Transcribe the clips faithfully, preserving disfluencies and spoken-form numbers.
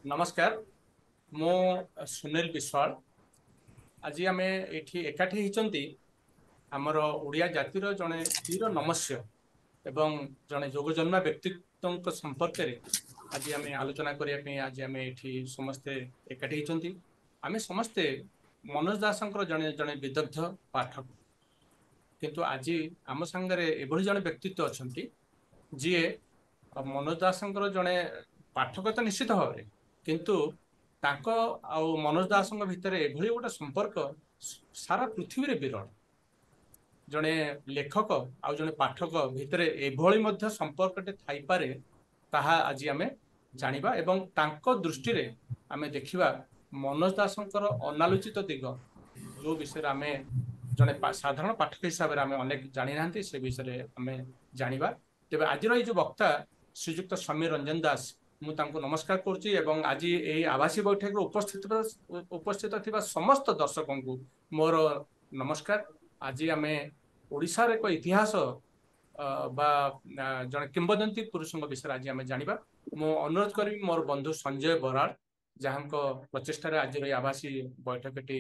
ନମସ୍କାର, ମୁଁ ସୁନୀଲ ବିଶ୍ୱାଳ। ଆଜି ଆମେ ଏଠି ଏକାଠି ହେଇଛନ୍ତି ଆମର ଓଡ଼ିଆ ଜାତିର ଜଣେ ବୀର ନମସ୍ୟ ଏବଂ ଜଣେ ଯୋଗଜନ୍ମା ବ୍ୟକ୍ତିତ୍ୱଙ୍କ ସମ୍ପର୍କରେ ଆଜି ଆମେ ଆଲୋଚନା କରିବା ପାଇଁ ଆଜି ଆମେ ଏଠି ସମସ୍ତେ ଏକାଠି ହେଇଛନ୍ତି। ଆମେ ସମସ୍ତେ ମନୋଜ ଦାସଙ୍କର ଜଣେ ଜଣେ ବିଦଗ୍ଧ ପାଠକ, କିନ୍ତୁ ଆଜି ଆମ ସାଙ୍ଗରେ ଏଭଳି ଜଣେ ବ୍ୟକ୍ତିତ୍ୱ ଅଛନ୍ତି ଯିଏ ମନୋଜ ଦାସଙ୍କର ଜଣେ ପାଠକ ତ ନିଶ୍ଚିତ ଭାବରେ, କିନ୍ତୁ ତାଙ୍କ ଆଉ ମନୋଜ ଦାସଙ୍କ ଭିତରେ ଏଭଳି ଗୋଟେ ସମ୍ପର୍କ ସାରା ପୃଥିବୀରେ ବିରଳ। ଜଣେ ଲେଖକ ଆଉ ଜଣେ ପାଠକ ଭିତରେ ଏଭଳି ମଧ୍ୟ ସମ୍ପର୍କଟେ ଥାଇପାରେ, ତାହା ଆଜି ଆମେ ଜାଣିବା ଏବଂ ତାଙ୍କ ଦୃଷ୍ଟିରେ ଆମେ ଦେଖିବା ମନୋଜ ଦାସଙ୍କର ଅନାଲୋଚିତ ଦିଗ, ଯୋଉ ବିଷୟରେ ଆମେ ଜଣେ ସାଧାରଣ ପାଠକ ହିସାବରେ ଆମେ ଅନେକ ଜାଣିନାହାନ୍ତି, ସେ ବିଷୟରେ ଆମେ ଜାଣିବା। ତେବେ ଆଜିର ଏଇ ଯୋଉ ବକ୍ତା ଶ୍ରୀଯୁକ୍ତ ସମୀର ରଞ୍ଜନ ଦାସ, ମୁଁ ତାଙ୍କୁ ନମସ୍କାର କରୁଛି ଏବଂ ଆଜି ଏଇ ଆଭାସୀ ବୈଠକରେ ଉପସ୍ଥିତ ଉପସ୍ଥିତ ଥିବା ସମସ୍ତ ଦର୍ଶକଙ୍କୁ ମୋର ନମସ୍କାର। ଆଜି ଆମେ ଓଡ଼ିଶାର ଏକ ଇତିହାସ ବା ଜଣେ କିମ୍ବଦନ୍ତୀ ପୁରୁଷଙ୍କ ବିଷୟରେ ଆଜି ଆମେ ଜାଣିବା। ମୁଁ ଅନୁରୋଧ କରିବି ମୋର ବନ୍ଧୁ ସଞ୍ଜୟ ବରାଳ, ଯାହାଙ୍କ ପ୍ରଚେଷ୍ଟାରେ ଆଜିର ଏଇ ଆଭାସୀ ବୈଠକଟି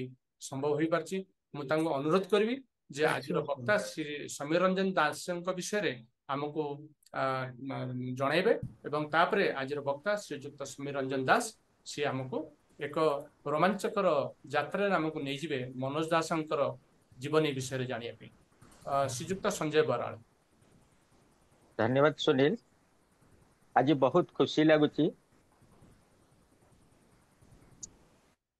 ସମ୍ଭବ ହୋଇପାରିଛି, ମୁଁ ତାଙ୍କୁ ଅନୁରୋଧ କରିବି ଯେ ଆଜିର ବକ୍ତା ଶ୍ରୀ ସମୀର ରଞ୍ଜନ ଦାସଙ୍କ ବିଷୟରେ ଆମକୁ ଜଣାଇବେ ଏବଂ ତାପରେ ଆଜିର ବକ୍ତା ଶ୍ରୀଯୁକ୍ତ ସମୀର ରଞ୍ଜନ ଦାସ ସିଏ ଆମକୁ ଏକ ରୋମାଞ୍ଚକର ଯାତ୍ରାରେ ଆମକୁ ନେଇଯିବେ ମନୋଜ ଦାସଙ୍କର ଜୀବନୀ ବିଷୟରେ ଜାଣିବା ପାଇଁ। ଶ୍ରୀଯୁକ୍ତ ସଞ୍ଜୟ ବରାଳ। ଧନ୍ୟବାଦ ସୁନୀଲ। ଆଜି ବହୁତ ଖୁସି ଲାଗୁଛି।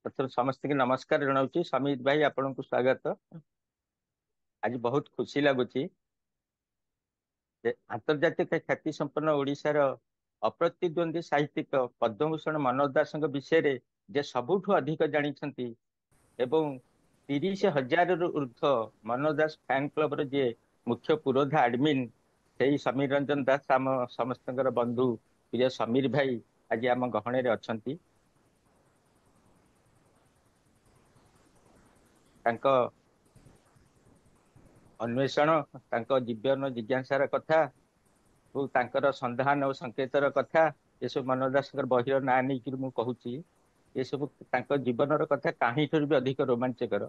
ପ୍ରଥମେ ସମସ୍ତଙ୍କୁ ନମସ୍କାର ଜଣାଉଛି। ସମୀର ଭାଇ, ଆପଣଙ୍କୁ ସ୍ୱାଗତ। ଆଜି ବହୁତ ଖୁସି ଲାଗୁଛି ଯେ ଆନ୍ତର୍ଜାତିକ ଖ୍ୟାତି ସମ୍ପନ୍ନ ଓଡ଼ିଶାର ଅପ୍ରତିଦ୍ୱନ୍ଦ୍ୱୀ ସାହିତ୍ୟିକ ପଦ୍ମଭୂଷଣ ମନୋଜ ଦାସଙ୍କ ବିଷୟରେ ଯେ ସବୁଠୁ ଅଧିକ ଜାଣିଛନ୍ତି ଏବଂ ତିରିଶ ହଜାରରୁ ଉର୍ଦ୍ଧ୍ୱ ମନୋଜ ଦାସ ଫ୍ୟାନ୍ କ୍ଲବର ଯିଏ ମୁଖ୍ୟ ପୁରୋଧା ଆଡମିନ୍, ସେଇ ସମୀର ରଞ୍ଜନ ଦାସ, ଆମ ସମସ୍ତଙ୍କର ବନ୍ଧୁ ପ୍ରିୟ ସମୀର ଭାଇ ଆଜି ଆମ ଗହଣରେ ଅଛନ୍ତି। ତାଙ୍କ ଅନ୍ୱେଷଣ, ତାଙ୍କ ଜୀବନ ଜିଜ୍ଞାସାର କଥା ଓ ତାଙ୍କର ସନ୍ଧାନ ଓ ସଂକେତର କଥା, ଏସବୁ ମନୋଜ ଦାସଙ୍କର ବହିର ନାଁ ନେଇକରି ମୁଁ କହୁଛି। ଏସବୁ ତାଙ୍କ ଜୀବନର କଥା କାହିଁଠାରୁ ବି ଅଧିକ ରୋମାଞ୍ଚକର।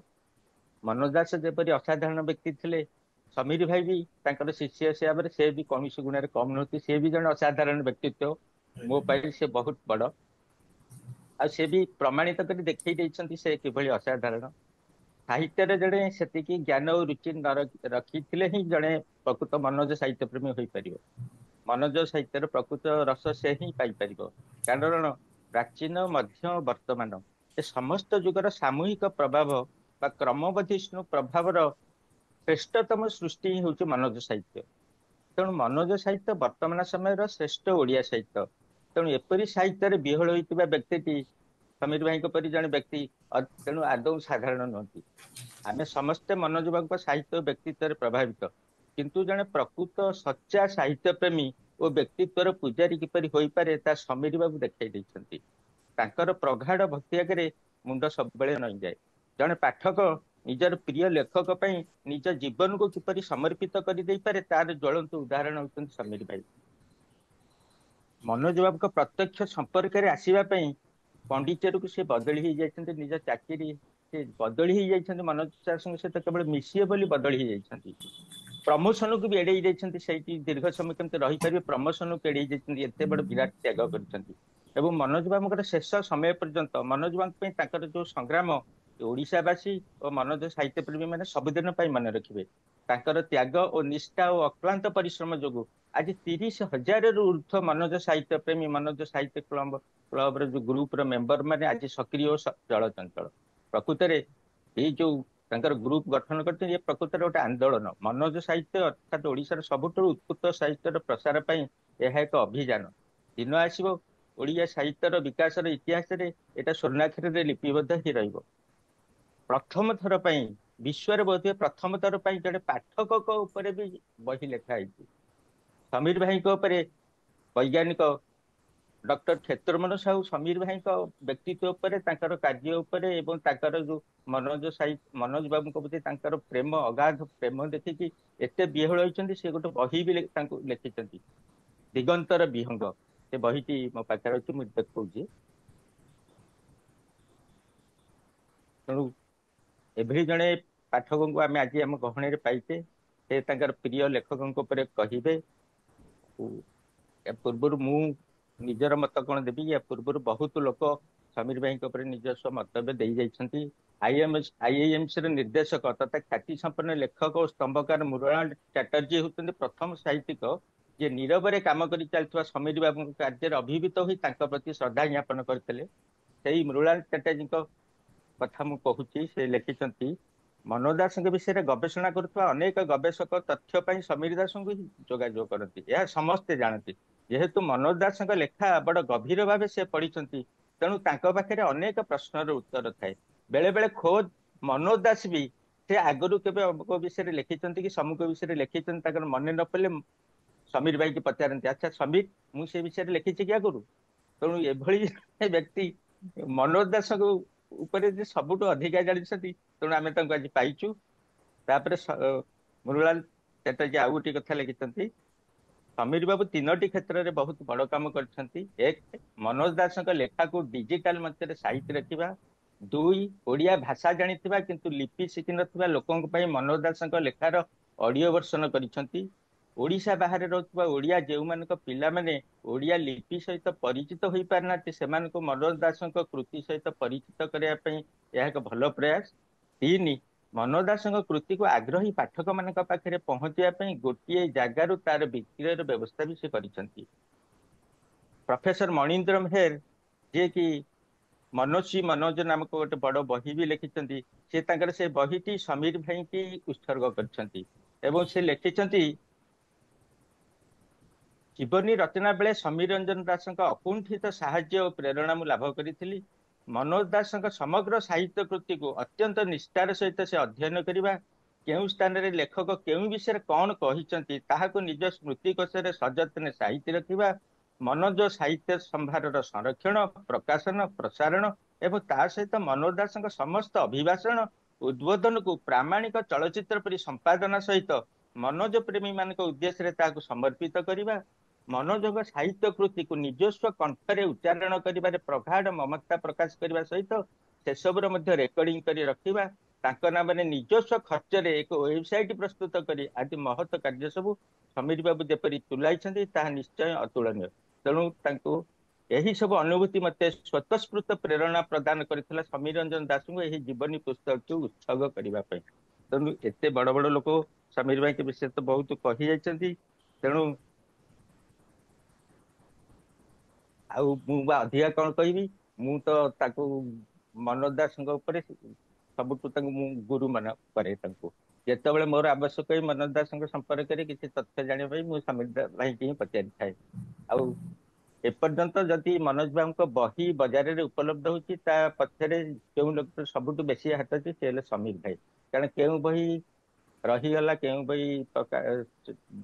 ମନୋଜ ଦାସ ଯେପରି ଅସାଧାରଣ ବ୍ୟକ୍ତି ଥିଲେ, ସମୀର ଭାଇ ବି ତାଙ୍କର ଶିଷ୍ୟ ହିସାବରେ ସେ ବି କୌଣସି ଗୁଣରେ କମ୍ ନୁହନ୍ତି। ସେ ବି ଜଣେ ଅସାଧାରଣ ବ୍ୟକ୍ତିତ୍ୱ, ମୋ ପାଇଁ ସେ ବହୁତ ବଡ଼। ଆଉ ସେ ବି ପ୍ରମାଣିତ କରି ଦେଖେଇ ଦେଇଛନ୍ତି ସେ କିଭଳି ଅସାଧାରଣ। ସାହିତ୍ୟରେ ଜଣେ ସେତିକି ଜ୍ଞାନ ଓ ରୁଚି ନ ରଖିଥିଲେ ହିଁ ଜଣେ ପ୍ରକୃତ ମନୋଜ ସାହିତ୍ୟ ପ୍ରେମୀ ହୋଇପାରିବ। ମନୋଜ ସାହିତ୍ୟର ପ୍ରକୃତ ରସ ସେ ହିଁ ପାଇପାରିବ। କାରଣ ପ୍ରାଚୀନ, ମଧ୍ୟ, ବର୍ତ୍ତମାନ ଏ ସମସ୍ତ ଯୁଗର ସାମୂହିକ ପ୍ରଭାବ ବା କ୍ରମବର୍ଦ୍ଧିଷ୍ଣୁ ପ୍ରଭାବର ଶ୍ରେଷ୍ଠତମ ସୃଷ୍ଟି ହିଁ ହେଉଛି ମନୋଜ ସାହିତ୍ୟ। ତେଣୁ ମନୋଜ ସାହିତ୍ୟ ବର୍ତ୍ତମାନ ସମୟର ଶ୍ରେଷ୍ଠ ଓଡ଼ିଆ ସାହିତ୍ୟ। ତେଣୁ ଏପରି ସାହିତ୍ୟରେ ବିହଳ ହୋଇଥିବା ବ୍ୟକ୍ତିଟି ସମୀର ଭାଇଙ୍କ ପରି ଜଣେ ବ୍ୟକ୍ତି ତେଣୁ ଆଦୌ ସାଧାରଣ ନୁହନ୍ତି। ଆମେ ସମସ୍ତେ ମନୋଜ ବାବୁଙ୍କ ସାହିତ୍ୟ ଓ ବ୍ୟକ୍ତିତ୍ୱରେ ପ୍ରଭାବିତ, କିନ୍ତୁ ଜଣେ ପ୍ରକୃତ ସଚ୍ଚା ସାହିତ୍ୟ ପ୍ରେମୀ ଓ ବ୍ୟକ୍ତିତ୍ୱର ପୂଜାରୀ କିପରି ହୋଇପାରେ ତା ସମୀର ବାବୁ ଦେଖାଇ ଦେଇଛନ୍ତି। ତାଙ୍କର ପ୍ରଗାଢ଼ ଭକ୍ତି ଆଗରେ ମୁଣ୍ଡ ସବୁବେଳେ ନଇଁଯାଏ। ଜଣେ ପାଠକ ନିଜର ପ୍ରିୟ ଲେଖକ ପାଇଁ ନିଜ ଜୀବନକୁ କିପରି ସମର୍ପିତ କରିଦେଇପାରେ ତାର ଜ୍ୱଳନ୍ତ ଉଦାହରଣ ହେଉଛନ୍ତି ସମୀର ଭାଇ। ମନୋଜ ବାବୁଙ୍କ ପ୍ରତ୍ୟକ୍ଷ ସମ୍ପର୍କରେ ଆସିବା ପାଇଁ ପଣ୍ଡିଚେରୀକୁ ସେ ବଦଳି ହେଇଯାଇଛନ୍ତି। ନିଜ ଚାକିରି ସେ ବଦଳି ହେଇଯାଇଛନ୍ତି, ମନୋଜ ଦାସଙ୍କ ସହିତ କେବଳ ମିଶିବେ ବୋଲି ବଦଳି ହେଇଯାଇଛନ୍ତି। ପ୍ରମୋସନକୁ ବି ଏଡେଇ ଯାଇଛନ୍ତି, ସେଇଠି ଦୀର୍ଘ ସମୟ କେମିତି ରହିପାରିବେ ପ୍ରମୋସନକୁ ଏଡେଇ ଯାଇଛନ୍ତି। ଏତେ ବଡ ବିରାଟ ତ୍ୟାଗ କରିଛନ୍ତି। ଏବଂ ମନୋଜ ବାବୁଙ୍କର ଶେଷ ସମୟ ପର୍ଯ୍ୟନ୍ତ ମନୋଜ ବାବୁଙ୍କ ପାଇଁ ତାଙ୍କର ଯୋଉ ସଂଗ୍ରାମ, ଓଡ଼ିଶାବାସୀ ଓ ମନୋଜ ସାହିତ୍ୟ ପ୍ରେମୀ ମାନେ ସବୁଦିନ ପାଇଁ ମନେ ରଖିବେ। ତାଙ୍କର ତ୍ୟାଗ ଓ ନିଷ୍ଠା ଓ ଅକ୍ଳାନ୍ତ ପରିଶ୍ରମ ଯୋଗୁ ଆଜି ତିରିଶ ହଜାରରୁ ଉର୍ଦ୍ଧ୍ୱ ମନୋଜ ସାହିତ୍ୟ ପ୍ରେମୀ, ମନୋଜ ସାହିତ୍ୟ କ୍ଲବ କ୍ଲବର ଯୋଉ ଗ୍ରୁପର ମେମ୍ବର ମାନେ ଆଜି ସକ୍ରିୟ ଓ ଚଳଚଞ୍ଚଳ। ପ୍ରକୃତରେ ଏଇ ଯୋଉ ତାଙ୍କର ଗ୍ରୁପ ଗଠନ କରିଛନ୍ତି, ଏ ପ୍ରକୃତରେ ଗୋଟେ ଆନ୍ଦୋଳନ। ମନୋଜ ସାହିତ୍ୟ ଅର୍ଥାତ୍ ଓଡ଼ିଶାର ସବୁଠାରୁ ଉତ୍କୃଷ୍ଟ ସାହିତ୍ୟର ପ୍ରସାର ପାଇଁ ଏହା ଏକ ଅଭିଯାନ। ଦିନ ଆସିବ ଓଡ଼ିଆ ସାହିତ୍ୟର ବିକାଶର ଇତିହାସରେ ଏଇଟା ସ୍ୱର୍ଣ୍ଣାକ୍ଷରରେ ଲିପିବଦ୍ଧ ହେଇ ରହିବ। ପ୍ରଥମ ଥର ପାଇଁ ବିଶ୍ୱରେ ବୋଧହୁଏ ପ୍ରଥମ ଥର ପାଇଁ ଜଣେ ପାଠକଙ୍କ ଉପରେ ବି ବହି ଲେଖା ହେଇଛି। ସମୀର ଭାଇଙ୍କ ଉପରେ ବୈଜ୍ଞାନିକ ଡକ୍ଟର କ୍ଷେତ୍ରମୋହନ ସାହୁ ସମୀର ଭାଇଙ୍କ ବ୍ୟକ୍ତିତ୍ୱ ଉପରେ, ତାଙ୍କର କାର୍ଯ୍ୟ ଉପରେ ଏବଂ ତାଙ୍କର ଯୋଉ ମନୋଜ ସାହି ମନୋଜ ବାବୁଙ୍କ ପ୍ରତି ତାଙ୍କର ପ୍ରେମ, ଅଗାଧ ପ୍ରେମ ଦେଖିକି ଏତେ ବିହଳ ହେଇଛନ୍ତି, ସେ ଗୋଟେ ବହି ବି ତାଙ୍କୁ ଲେଖିଛନ୍ତି, ଦିଗନ୍ତର ବିହଙ୍ଗ। ସେ ବହିଟି ମୋ ପାଖରେ ଅଛି, ମୁଁ ଦେଖଉଛି। ତେଣୁ ଏଭଳି ଜଣେ ପାଠକଙ୍କୁ ଆମେ ଆଜି ଆମ ଗହଣରେ ପାଇଛେ, ସେ ତାଙ୍କର ପ୍ରିୟ ଲେଖକଙ୍କ ଉପରେ କହିବେ। ପୂର୍ବରୁ ମୁଁ ନିଜର ମତ କଣ ଦେବି, ୟା ପୂର୍ବରୁ ବହୁତ ଲୋକ ସମୀର ଭାଇଙ୍କ ଉପରେ ନିଜସ୍ୱ ମନ୍ତବ୍ୟ ଦେଇ ଯାଇଛନ୍ତି। ଆଇଏମଏସ୍ ଆଇଆଇଏମସି ର ନିର୍ଦ୍ଦେଶକ ତଥା ଖ୍ୟାତି ସମ୍ପନ୍ନ ଲେଖକ ଓ ସ୍ତମ୍ଭକାର ମୃଣାଳ ଚାଟାର୍ଜୀ ହେଉଛନ୍ତି ପ୍ରଥମ ସାହିତ୍ୟିକ ଯିଏ ନୀରବରେ କାମ କରି ଚାଲିଥିବା ସମୀର ବାବୁଙ୍କ କାର୍ଯ୍ୟରେ ଅଭିଭୂତ ହୋଇ ତାଙ୍କ ପ୍ରତି ଶ୍ରଦ୍ଧା ଜ୍ଞାପନ କରିଥିଲେ। ସେଇ ମୃଣାଳ ଚାଟାର୍ଜୀଙ୍କ କଥା ମୁଁ କହୁଛି। ସେ ଲେଖିଛନ୍ତି, ମନୋଜ ଦାସଙ୍କ ବିଷୟରେ ଗବେଷଣା କରୁଥିବା ଅନେକ ଗବେଷକ ତଥ୍ୟ ପାଇଁ ସମୀର ଦାସଙ୍କୁ ହିଁ ଯୋଗାଯୋଗ କରନ୍ତି। ଏହା ସମସ୍ତେ ଜାଣନ୍ତି। ଯେହେତୁ ମନୋଜ ଦାସଙ୍କ ଲେଖା ବଡ ଗଭୀର ଭାବେ ସେ ପଢିଛନ୍ତି, ତେଣୁ ତାଙ୍କ ପାଖରେ ଅନେକ ପ୍ରଶ୍ନର ଉତ୍ତର ଥାଏ। ବେଳେ ବେଳେ ଖୋଦ ମନୋଜ ଦାସ ବି ସେ ଆଗରୁ କେବେ ଅମୁକ ବିଷୟରେ ଲେଖିଛନ୍ତି କି ସମୁକ ବିଷୟରେ ଲେଖିଛନ୍ତି ତାଙ୍କର ମନେ ନ ପଡ଼ିଲେ ସମୀର ଭାଇକି ପଚାରନ୍ତି, ଆଚ୍ଛା ସମୀର, ମୁଁ ସେ ବିଷୟରେ ଲେଖିଛି କି ଆଗରୁ? ତେଣୁ ଏଭଳି ବ୍ୟକ୍ତି ମନୋଜ ଦାସଙ୍କ ଉପରେ ଯେ ସବୁଠୁ ଅଧିକା ଜାଣିଛନ୍ତି, ତେଣୁ ଆମେ ତାଙ୍କୁ ଆଜି ପାଇଛୁ। ତାପରେ ମୃଣାଳ ଚାଟାର୍ଜୀ ଆଉ ଗୋଟିଏ କଥା ଲେଖିଛନ୍ତି, ସମୀର ବାବୁ ତିନୋଟି କ୍ଷେତ୍ରରେ ବହୁତ ବଡ କାମ କରିଛନ୍ତି। ଏକ, ମନୋଜ ଦାସଙ୍କ ଲେଖାକୁ ଡିଜିଟାଲ ମଞ୍ଚରେ ସାଇତି ରଖିବା। ଦୁଇ, ଓଡ଼ିଆ ଭାଷା ଜାଣିଥିବା କିନ୍ତୁ ଲିପି ଶିଖିନଥିବା ଲୋକଙ୍କ ପାଇଁ ମନୋଜ ଦାସଙ୍କ ଲେଖାର ଅଡିଓ ଭର୍ସନ କରିଛନ୍ତି। ଓଡ଼ିଶା ବାହାରେ ରହୁଥିବା ଓଡ଼ିଆ ଯେଉଁମାନଙ୍କ ପିଲାମାନେ ଓଡ଼ିଆ ଲିପି ସହିତ ପରିଚିତ ହୋଇପାରିନାହାନ୍ତି, ସେମାନଙ୍କୁ ମନୋଜ ଦାସଙ୍କ କୃତି ସହିତ ପରିଚିତ କରିବା ପାଇଁ ଏହା ଏକ ଭଲ ପ୍ରୟାସ। ତିନି, ମନୋଜ ଦାସଙ୍କ କୃତିକୁ ଆଗ୍ରହୀ ପାଠକମାନଙ୍କ ପାଖରେ ପହଞ୍ଚିବା ପାଇଁ ଗୋଟିଏ ଜାଗାରୁ ତାର ବିକ୍ରୟର ବ୍ୟବସ୍ଥା ବି ସେ କରିଛନ୍ତି। ପ୍ରଫେସର ମଣୀନ୍ଦ୍ର ମେହେର, ଯିଏକି ମନୋଜୀ ମନୋଜ ନାମକ ଗୋଟେ ବଡ ବହି ବି ଲେଖିଛନ୍ତି, ସେ ତାଙ୍କର ସେ ବହିଟି ସମୀର ଭାଇଙ୍କି ଉତ୍ସର୍ଗ କରିଛନ୍ତି ଏବଂ ସେ ଲେଖିଛନ୍ତି, ଜୀବନୀ ରଚନା ବେଳେ ସମୀର ରଞ୍ଜନ ଦାସଙ୍କ ଅକୁଣ୍ଠିତ ସାହାଯ୍ୟ ଓ ପ୍ରେରଣା ମୁଁ ଲାଭ କରିଥିଲି। ମନୋଜ ଦାସଙ୍କ ସମଗ୍ର ସାହିତ୍ୟ କୃତିକୁ ଅତ୍ୟନ୍ତ ନିଷ୍ଠାର ସହିତ ସେ ଅଧ୍ୟୟନ କରିବା, କେଉଁ ସ୍ଥାନରେ ଲେଖକ କେଉଁ ବିଷୟରେ କଣ କହିଛନ୍ତି ତାହାକୁ ନିଜ ସ୍ମୃତିକୋଷରେ ସଯତ୍ନେ ସାଇତି ରଖିବା, ମନୋଜ ସାହିତ୍ୟ ସମ୍ଭାରର ସଂରକ୍ଷଣ, ପ୍ରକାଶନ, ପ୍ରସାରଣ ଏବଂ ତା ସହିତ ମନୋଜ ଦାସଙ୍କ ସମସ୍ତ ଅଭିଭାଷଣ, ଉଦ୍ବୋଧନକୁ ପ୍ରାମାଣିକ ଚଳଚ୍ଚିତ୍ର ପରି ସମ୍ପାଦନା ସହିତ ମନୋଜ ପ୍ରେମୀ ମାନଙ୍କ ଉଦ୍ଦେଶ୍ୟରେ ତାହାକୁ ସମର୍ପିତ କରିବା, ମନୋଜଙ୍କ ସାହିତ୍ୟ କୃତିକୁ ନିଜସ୍ୱ କଣ୍ଠରେ ଉଚ୍ଚାରଣ କରିବାରେ ପ୍ରଗାଢ ମମତା ପ୍ରକାଶ କରିବା ସହିତ ସେସବୁର ମଧ୍ୟ ରେକର୍ଡିଂ କରି ରଖିବା, ତାଙ୍କ ନାମରେ ନିଜସ୍ୱ ଖର୍ଚ୍ଚରେ ଏକ ୱେବସାଇଟ ପ୍ରସ୍ତୁତ କରି ଆଦି ମହତ କାର୍ଯ୍ୟ ସବୁ ସମୀର ବାବୁ ଯେପରି ତୁଲାଇଛନ୍ତି ତାହା ନିଶ୍ଚୟ ଅତୁଳନୀୟ। ତେଣୁ ତାଙ୍କୁ ଏହି ସବୁ ଅନୁଭୂତି ମତେ ସ୍ୱତଃସ୍ଫୂର୍ତ୍ତ ପ୍ରେରଣା ପ୍ରଦାନ କରିଥିଲା ସମୀର ରଞ୍ଜନ ଦାସଙ୍କୁ ଏହି ଜୀବନୀ ପୁସ୍ତକକୁ ଉତ୍ସର୍ଗ କରିବା ପାଇଁ। ତେଣୁ ଏତେ ବଡ ବଡ ଲୋକ ସମୀର ଭାଇଙ୍କ ବିଷୟରେ ତ ବହୁତ କହି ଯାଇଛନ୍ତି, ତେଣୁ ଆଉ ମୁଁ ବା ଅଧିକା କଣ କହିବି? ମୁଁ ତ ତାକୁ ମନୋଜ ଦାସଙ୍କ ଉପରେ ସବୁଠୁ ତାଙ୍କୁ ମୁଁ ଗୁରୁ ମନେ କରେ। ତାଙ୍କୁ ଯେତେବେଳେ ମୋର ଆବଶ୍ୟକ ହୁଏ ମନୋଜ ଦାସଙ୍କ ସମ୍ପର୍କରେ କିଛି ତଥ୍ୟ ଜାଣିବା ପାଇଁ, ମୁଁ ସମୀର ଭାଇକି ହିଁ ପଚାରିଥାଏ। ଆଉ ଏପର୍ଯ୍ୟନ୍ତ ଯଦି ମନୋଜ ବାବୁଙ୍କ ବହି ବଜାରରେ ଉପଲବ୍ଧ ହଉଛି, ତା ପଛରେ କେଉଁ ଲୋକ ସବୁଠୁ ବେଶୀ ହାତ ଅଛି, ସେ ହେଲେ ସମୀର ଭାଇ। କାରଣ କେଉଁ ବହି ରହିଗଲା, କେଉଁ ବହି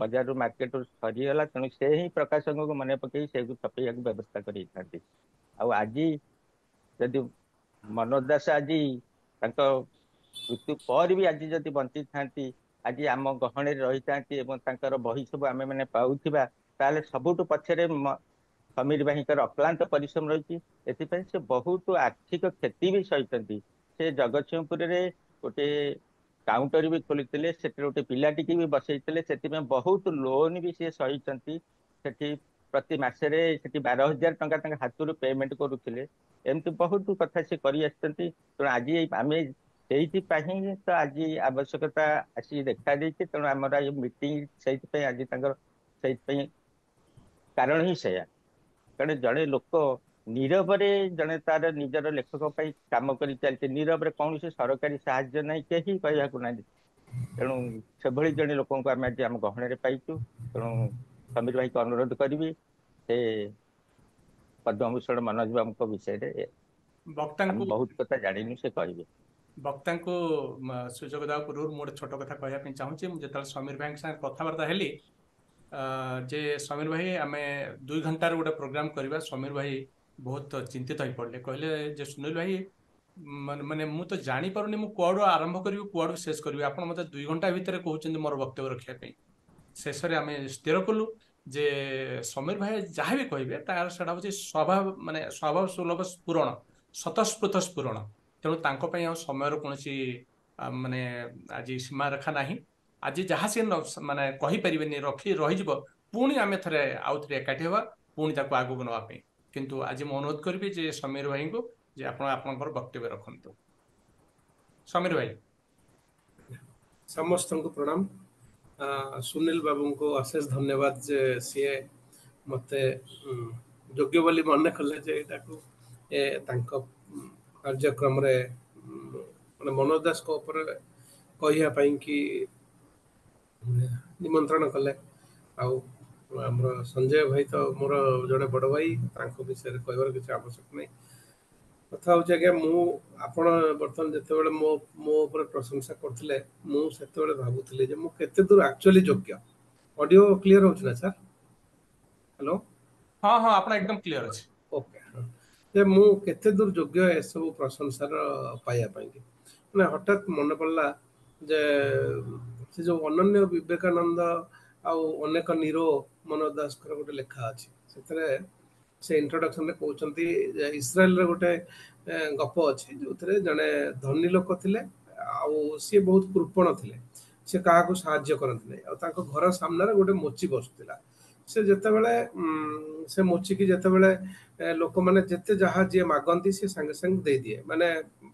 ବଜାରରୁ ମାର୍କେଟରୁ ସରିଗଲା, ତେଣୁ ସେ ହିଁ ପ୍ରକାଶକଙ୍କୁ ମନେ ପକେଇ ସେଇକୁ ଛପେଇବାକୁ ବ୍ୟବସ୍ଥା କରିଥାନ୍ତି। ଆଉ ଆଜି ଯଦି ମନୋଜ ଦାସ ଆଜି ତାଙ୍କ ମୃତ୍ୟୁ ପରେ ବି ଆଜି ଯଦି ବଞ୍ଚିଥାନ୍ତି, ଆଜି ଆମ ଗହଣରେ ରହିଥାନ୍ତି ଏବଂ ତାଙ୍କର ବହି ସବୁ ଆମେ ମାନେ ପାଉଥିବା, ତାହେଲେ ସବୁଠୁ ପଛରେ ସମୀର ଭାଇଙ୍କର ଅକ୍ଳାନ୍ତ ପରିଶ୍ରମ ରହିଛି। ଏଥିପାଇଁ ସେ ବହୁତ ଆର୍ଥିକ କ୍ଷତି ବି ସହିଛନ୍ତି। ସେ ଜଗତସିଂହପୁରରେ ଗୋଟେ କାଉଣ୍ଟର ବି ଖୋଲିଥିଲେ, ସେଠି ଗୋଟେ ପିଲାଟିକି ବି ବସେଇଥିଲେ, ସେଥିପାଇଁ ବହୁତ ଲୋନ ବି ସିଏ ସହିଛନ୍ତି। ସେଠି ପ୍ରତି ମାସରେ ସେଠି ବାର ହଜାର ଟଙ୍କା ତାଙ୍କ ହାତରୁ ପେମେଣ୍ଟ କରୁଥିଲେ। ଏମିତି ବହୁତ କଥା ସେ କରି ଆସିଛନ୍ତି। ତେଣୁ ଆଜି ଆମେ ସେଇଥିପାଇଁ ତ ଆଜି ଆବଶ୍ୟକତା ଆସି ଦେଖା ଦେଇଛି। ତେଣୁ ଆମର ଏଇ ମିଟିଂ ସେଇଥିପାଇଁ ଆଜି ତାଙ୍କର ସେଇଥିପାଇଁ କାରଣ ହିଁ ସେଇଆ। କାରଣ ଜଣେ ଲୋକ ନୀରବରେ ଜଣେ ତାର ନିଜର ଲେଖକ ପାଇଁ କାମ କରି ଚାଲିଛି ନୀରବରେ, କୌଣସି ସରକାରୀ ସାହାଯ୍ୟ ନାହିଁ, କେହି କହିବାକୁ ନାହାନ୍ତି। ତେଣୁ ସେଭଳି ଜଣେ ଲୋକଙ୍କୁ ଆମେ ଆଜି ଆମ ଗହଣରେ ପାଇଛୁ। ତେଣୁ ସମୀର ଭାଇକୁ ଅନୁରୋଧ କରିବି, ସେ ପଦ୍ମଭୂଷଣ ମନୋଜ ବାବୁଙ୍କ ବିଷୟରେ ବକ୍ତାଙ୍କୁ ବହୁତ କଥା ଜାଣିନୁ, ସେ କହିବେ। ବକ୍ତାଙ୍କୁ ସୁଯୋଗ ଦେବା ପୂର୍ବରୁ ମୁଁ ଗୋଟେ ଛୋଟ କଥା କହିବା ପାଇଁ ଚାହୁଁଛି। ମୁଁ ଯେତେବେଳେ ସମୀର ଭାଇଙ୍କ ସାଙ୍ଗରେ କଥାବାର୍ତ୍ତା ହେଲି ଯେ ସମୀର ଭାଇ, ଆମେ ଦୁଇ ଘଣ୍ଟାର ଗୋଟେ ପ୍ରୋଗ୍ରାମ କରିବା, ସମୀର ଭାଇ ବହୁତ ଚିନ୍ତିତ ହେଇ ପଡ଼ିଲେ। କହିଲେ ଯେ ସୁନୀଲ ଭାଇ, ମାନେ ମୁଁ ତ ଜାଣିପାରୁନି ମୁଁ କୁଆଡୁ ଆରମ୍ଭ କରିବି, କୁଆଡୁ ଶେଷ କରିବି, ଆପଣ ମତେ ଦୁଇ ଘଣ୍ଟା ଭିତରେ କହୁଛନ୍ତି ମୋର ବକ୍ତବ୍ୟ ରଖିବା ପାଇଁ। ଶେଷରେ ଆମେ ସ୍ଥିର କଲୁ ଯେ ସମୀର ଭାଇ ଯାହା ବି କହିବେ ତାର ସେଟା ହଉଛି ସ୍ୱଭାବ, ମାନେ ସ୍ୱଭାବ ସୁଲଭ ସ୍ଫୁରଣ, ସ୍ୱତଃସ୍ଫୂର୍ତ୍ତ ସ୍ଫୁରଣ। ତେଣୁ ତାଙ୍କ ପାଇଁ ଆଉ ସମୟର କୌଣସି ମାନେ ଆଜି ସୀମାରେଖା ନାହିଁ। ଆଜି ଯାହା ସେ ମାନେ କହିପାରିବେନି, ରଖି ରହିଯିବ, ପୁଣି ଆମେ ଥରେ ଆଉ ଥରେ ଏକାଠି ହେବା ପୁଣି ତାକୁ ଆଗକୁ ନେବା ପାଇଁ। କିନ୍ତୁ ଆଜି ମୁଁ ଅନୁରୋଧ କରିବି ଯେ ସମୀର ଭାଇଙ୍କୁ ଯେ ଆପଣ ଆପଣଙ୍କର ବକ୍ତବ୍ୟ ରଖନ୍ତୁ। ସମୀର ଭାଇ। ସମସ୍ତଙ୍କୁ ପ୍ରଣାମ। ସୁନୀଲ ବାବୁଙ୍କୁ ଅଶେଷ ଧନ୍ୟବାଦ ଯେ ସିଏ ମୋତେ ଯୋଗ୍ୟ ବୋଲି ମନେ କଲେ ଯେ ଏଇଟାକୁ ଏ ତାଙ୍କ କାର୍ଯ୍ୟକ୍ରମରେ ମାନେ ମନୋଜ ଦାସଙ୍କ ଉପରେ କହିବା ପାଇଁ କି ନିମନ୍ତ୍ରଣ କଲେ। ଆଉ ଆମର ସଞ୍ଜୟ ଭାଇ ତ ମୋର ଜଣେ ବଡ଼ ଭାଇ, ତାଙ୍କ ବିଷୟରେ କହିବାର କିଛି ଆବଶ୍ୟକ ନାହିଁ। କଥା ହେଉଛି ଆଜ୍ଞା, ମୁଁ ଆପଣ ବର୍ତ୍ତମାନ ଯେତେବେଳେ ମୋ ମୋ ଉପରେ ପ୍ରଶଂସା କରୁଥିଲେ, ମୁଁ ସେତେବେଳେ ଭାବୁଥିଲି ଯେ ମୁଁ କେତେ ଦୂର ଆକ୍ଚୁଆଲି ଯୋଗ୍ୟ। ଅଡିଓ କ୍ଲିୟର ହେଉଛି ନା ସାର୍? ହ୍ୟାଲୋ? ହଁ ହଁ, ଆପଣ ଏକଦମ କ୍ଲିୟର ଅଛି। ଓକେ। ଯେ ମୁଁ କେତେ ଦୂର ଯୋଗ୍ୟ ଏସବୁ ପ୍ରଶଂସାର ପାଇବା ପାଇଁ। ମାନେ ହଠାତ୍ ମନେ ପଡ଼ିଲା ଯେ ସେ ଯୋଉ ଅନନ୍ୟ ବିବେକାନନ୍ଦ ଆଉ ଅନେକ ନିରୋ ମନୋଜ ଦାସଙ୍କର ଗୋଟେ ଲେଖା ଅଛି, ସେଥିରେ ସେ ଇଣ୍ଟ୍ରୋଡକ୍ସନରେ କହୁଛନ୍ତି ଯେ ଇସ୍ରାଏଲର ଗୋଟେ ଗପ ଅଛି ଯୋଉଥିରେ ଜଣେ ଧନୀ ଲୋକ ଥିଲେ ଆଉ ସିଏ ବହୁତ କୃପଣ ଥିଲେ, ସେ କାହାକୁ ସାହାଯ୍ୟ କରନ୍ତି ନାହିଁ। ଆଉ ତାଙ୍କ ଘର ସାମ୍ନାରେ ଗୋଟେ ମୋଚି ବସୁଥିଲା। ସେ ଯେତେବେଳେ ସେ ମୋଚିକି ଯେତେବେଳେ ଲୋକମାନେ ଯେତେ ଯାହା ଯିଏ ମାଗନ୍ତି ସେ ସାଙ୍ଗେ ସାଙ୍ଗେ ଦେଇଦିଏ, ମାନେ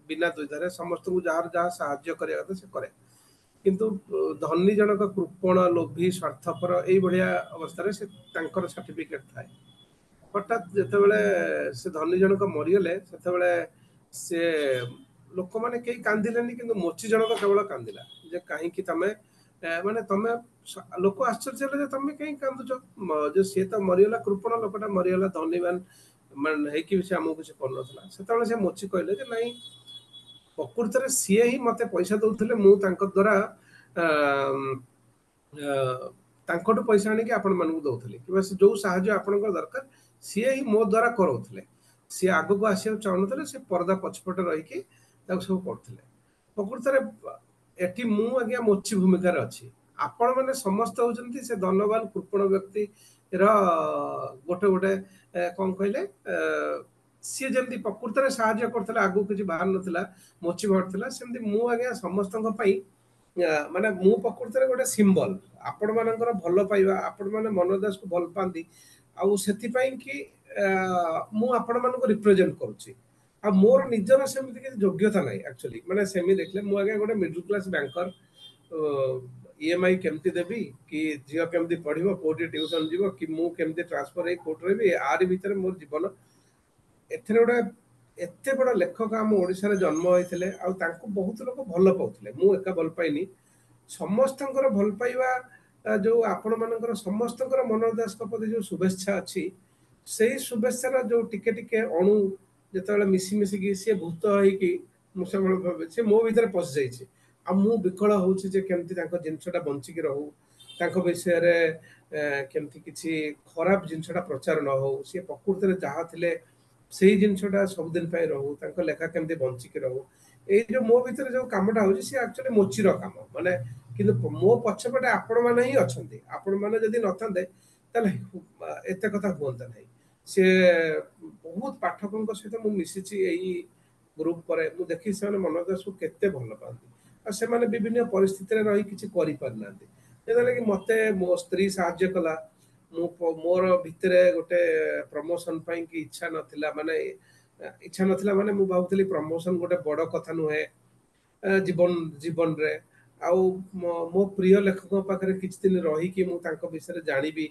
ବିନା ଦ୍ୱିଧାରେ ସମସ୍ତଙ୍କୁ ଯାହାର ଯାହା ସାହାଯ୍ୟ କରିବା କଥା ସେ କରେ। କିନ୍ତୁ ଧନୀ ଜଣକ କୃପଣ, ଲୋଭୀ, ସ୍ୱାର୍ଥପର ଏଇଭଳିଆ ଅବସ୍ଥାରେ ସେ ତାଙ୍କର ସାର୍ଟିଫିକେଟ ଥାଏ। ହଠାତ୍ ଯେତେବେଳେ ସେ ଧନୀ ଜଣକ ମରିଗଲେ, ସେତେବେଳେ ସେ ଲୋକମାନେ କେହି କାନ୍ଦିଲେନି, କିନ୍ତୁ ମୋଚି ଜଣକ କେବଳ କାନ୍ଦିଲା ଯେ କାହିଁକି ତମେ ମାନେ ତମେ ଲୋକ ଆଶ୍ଚର୍ଯ୍ୟ ହେଲେ ଯେ ତମେ କାହିଁକି କାନ୍ଦୁଛ, ଯେ ସିଏ ତ ମରିଗଲା, କୃପଣ ଲୋକଟା ମରିଗଲା, ଧନୀବାନ ମାନେ ହେଇକି ବି ସେ ଆମକୁ କିଛି କରୁନଥିଲା। ସେତେବେଳେ ସେ ମୋଚି କହିଲେ ଯେ ନାଇଁ, ପ୍ରକୃତରେ ସିଏ ହିଁ ମତେ ପଇସା ଦଉଥିଲେ, ମୁଁ ତାଙ୍କ ଦ୍ୱାରା ତାଙ୍କଠୁ ପଇସା ଆଣିକି ଆପଣମାନଙ୍କୁ ଦଉଥିଲି, କିମ୍ବା ସେ ଯୋଉ ସାହାଯ୍ୟ ଆପଣଙ୍କର ଦରକାର ସିଏ ହିଁ ମୋ ଦ୍ୱାରା କରାଉଥିଲେ। ସିଏ ଆଗକୁ ଆସିବାକୁ ଚାହୁଁନଥିଲେ, ସେ ପରଦା ପଛପଟେ ରହିକି ତାକୁ ସବୁ କରୁଥିଲେ। ପ୍ରକୃତରେ ଏଠି ମୁଁ ଆଜ୍ଞା ମୋଚି ଭୂମିକାରେ ଅଛି, ଆପଣମାନେ ସମସ୍ତେ ହଉଛନ୍ତି ସେ ଧନବାନ କୃପଣ ବ୍ୟକ୍ତିର ଗୋଟେ ଗୋଟେ କଣ କହିଲେ, ସିଏ ଯେମିତି ପ୍ରକୃତରେ ସାହାଯ୍ୟ କରୁଥିଲା, ଆଗକୁ କିଛି ବାହାରୁ ନଥିଲା, ମୋଚି ବାହାରୁଥିଲା, ସେମିତି ମୁଁ ଆଜ୍ଞା ସମସ୍ତଙ୍କ ପାଇଁ ମାନେ ମୁଁ ପ୍ରକୃତରେ ଗୋଟେ ସିମ୍ବଲ। ଆପଣମାନଙ୍କର ଭଲ ପାଇବା, ଆପଣମାନେ ମନୋଜ ଦାସକୁ ଭଲ ପାଆନ୍ତି, ଆଉ ସେଥିପାଇଁ କି ମୁଁ ଆପଣମାନଙ୍କୁ ରିପ୍ରେଜେଣ୍ଟ କରୁଛି। ଆଉ ମୋର ନିଜର ସେମିତି କିଛି ଯୋଗ୍ୟତା ନାହିଁ ଆକ୍ଚୁଆଲି, ମାନେ ସେମିତି ଦେଖିଲେ ମୁଁ ଆଜ୍ଞା ଗୋଟେ ମିଡଲ କ୍ଲାସ ବ୍ୟାଙ୍କର, ଇଏମ୍ଆଇ କେମିତି ଦେବି, କି ଝିଅ କେମିତି ପଢିବ, କୋଉଠି ଟ୍ୟୁସନ ଯିବ, କି ମୁଁ କେମିତି ଟ୍ରାନ୍ସଫର ହେଇ କୋଉଠି ରହିବି, ଆରି ଭିତରେ ମୋର ଜୀବନ। ଏଥିରେ ଗୋଟେ ଏତେ ବଡ଼ ଲେଖକ ଆମ ଓଡ଼ିଶାରେ ଜନ୍ମ ହେଇଥିଲେ, ଆଉ ତାଙ୍କୁ ବହୁତ ଲୋକ ଭଲ ପାଉଥିଲେ, ମୁଁ ଏକା ଭଲ ପାଇନି, ସମସ୍ତଙ୍କର ଭଲ ପାଇବା ଯୋଉ ଆପଣମାନଙ୍କର ସମସ୍ତଙ୍କର ମନୋଜ ଦାସଙ୍କ ପ୍ରତି ଯୋଉ ଶୁଭେଚ୍ଛା ଅଛି, ସେଇ ଶୁଭେଚ୍ଛାର ଯୋଉ ଟିକେ ଟିକେ ଅଣୁ ଯେତେବେଳେ ମିଶି ମିଶିକି ସିଏ ଭୂତ ହେଇକି ମୁଁ ସବୁବେଳେ ଭାବେ ସେ ମୋ ଭିତରେ ପଶିଯାଇଛି। ଆଉ ମୁଁ ବିକଳ ହଉଛି ଯେ କେମିତି ତାଙ୍କ ଜିନିଷଟା ବଞ୍ଚିକି ରହୁ, ତାଙ୍କ ବିଷୟରେ କେମିତି କିଛି ଖରାପ ଜିନିଷଟା ପ୍ରଚାର ନ ହଉ, ସିଏ ପ୍ରକୃତରେ ଯାହା ଥିଲେ ସେଇ ଜିନିଷଟା ସବୁଦିନ ପାଇଁ ରହୁ, ତାଙ୍କ ଲେଖା କେମିତି ବଞ୍ଚିକି ରହୁ। ଏଇ ଯୋଉ ମୋ ଭିତରେ ଯୋଉ କାମଟା ହଉଛି ସିଏ ଆକ୍ଚୁଆଲି ମୋଚିର କାମ, ମାନେ କିନ୍ତୁ ମୋ ପଛପଟେ ଆପଣମାନେ ହିଁ ଅଛନ୍ତି। ଆପଣମାନେ ଯଦି ନଥାନ୍ତେ ତାହେଲେ ଏତେ କଥା ହୁଅନ୍ତା ନାହିଁ। ସିଏ ବହୁତ ପାଠକଙ୍କ ସହିତ ମୁଁ ମିଶିଛି ଏଇ ଗ୍ରୁପ ପରେ, ମୁଁ ଦେଖିଛି ସେମାନେ ମନୋଜ ଦାସକୁ କେତେ ଭଲ ପାଆନ୍ତି, ଆଉ ସେମାନେ ବିଭିନ୍ନ ପରିସ୍ଥିତିରେ ରହି କିଛି କରିପାରିନାହାନ୍ତି। ଯେତେବେଳେ କି ମତେ ମୋ ସ୍ତ୍ରୀ ସାହାଯ୍ୟ କଲା, ମୁଁ ମୋର ଭିତରେ ଗୋଟେ ପ୍ରମୋସନ ପାଇଁ କି ଇଚ୍ଛା ନଥିଲା, ମାନେ ଇଚ୍ଛା ନଥିଲା ମାନେ ମୁଁ ଭାବୁଥିଲି ପ୍ରମୋସନ ଗୋଟେ ବଡ଼ କଥା ନୁହେଁ ଜୀବନ ଜୀବନରେ। ଆଉ ମୋ ପ୍ରିୟ ଲେଖକଙ୍କ ପାଖରେ କିଛି ଦିନ ରହିକି ମୁଁ ତାଙ୍କ ବିଷୟରେ ଜାଣିବି,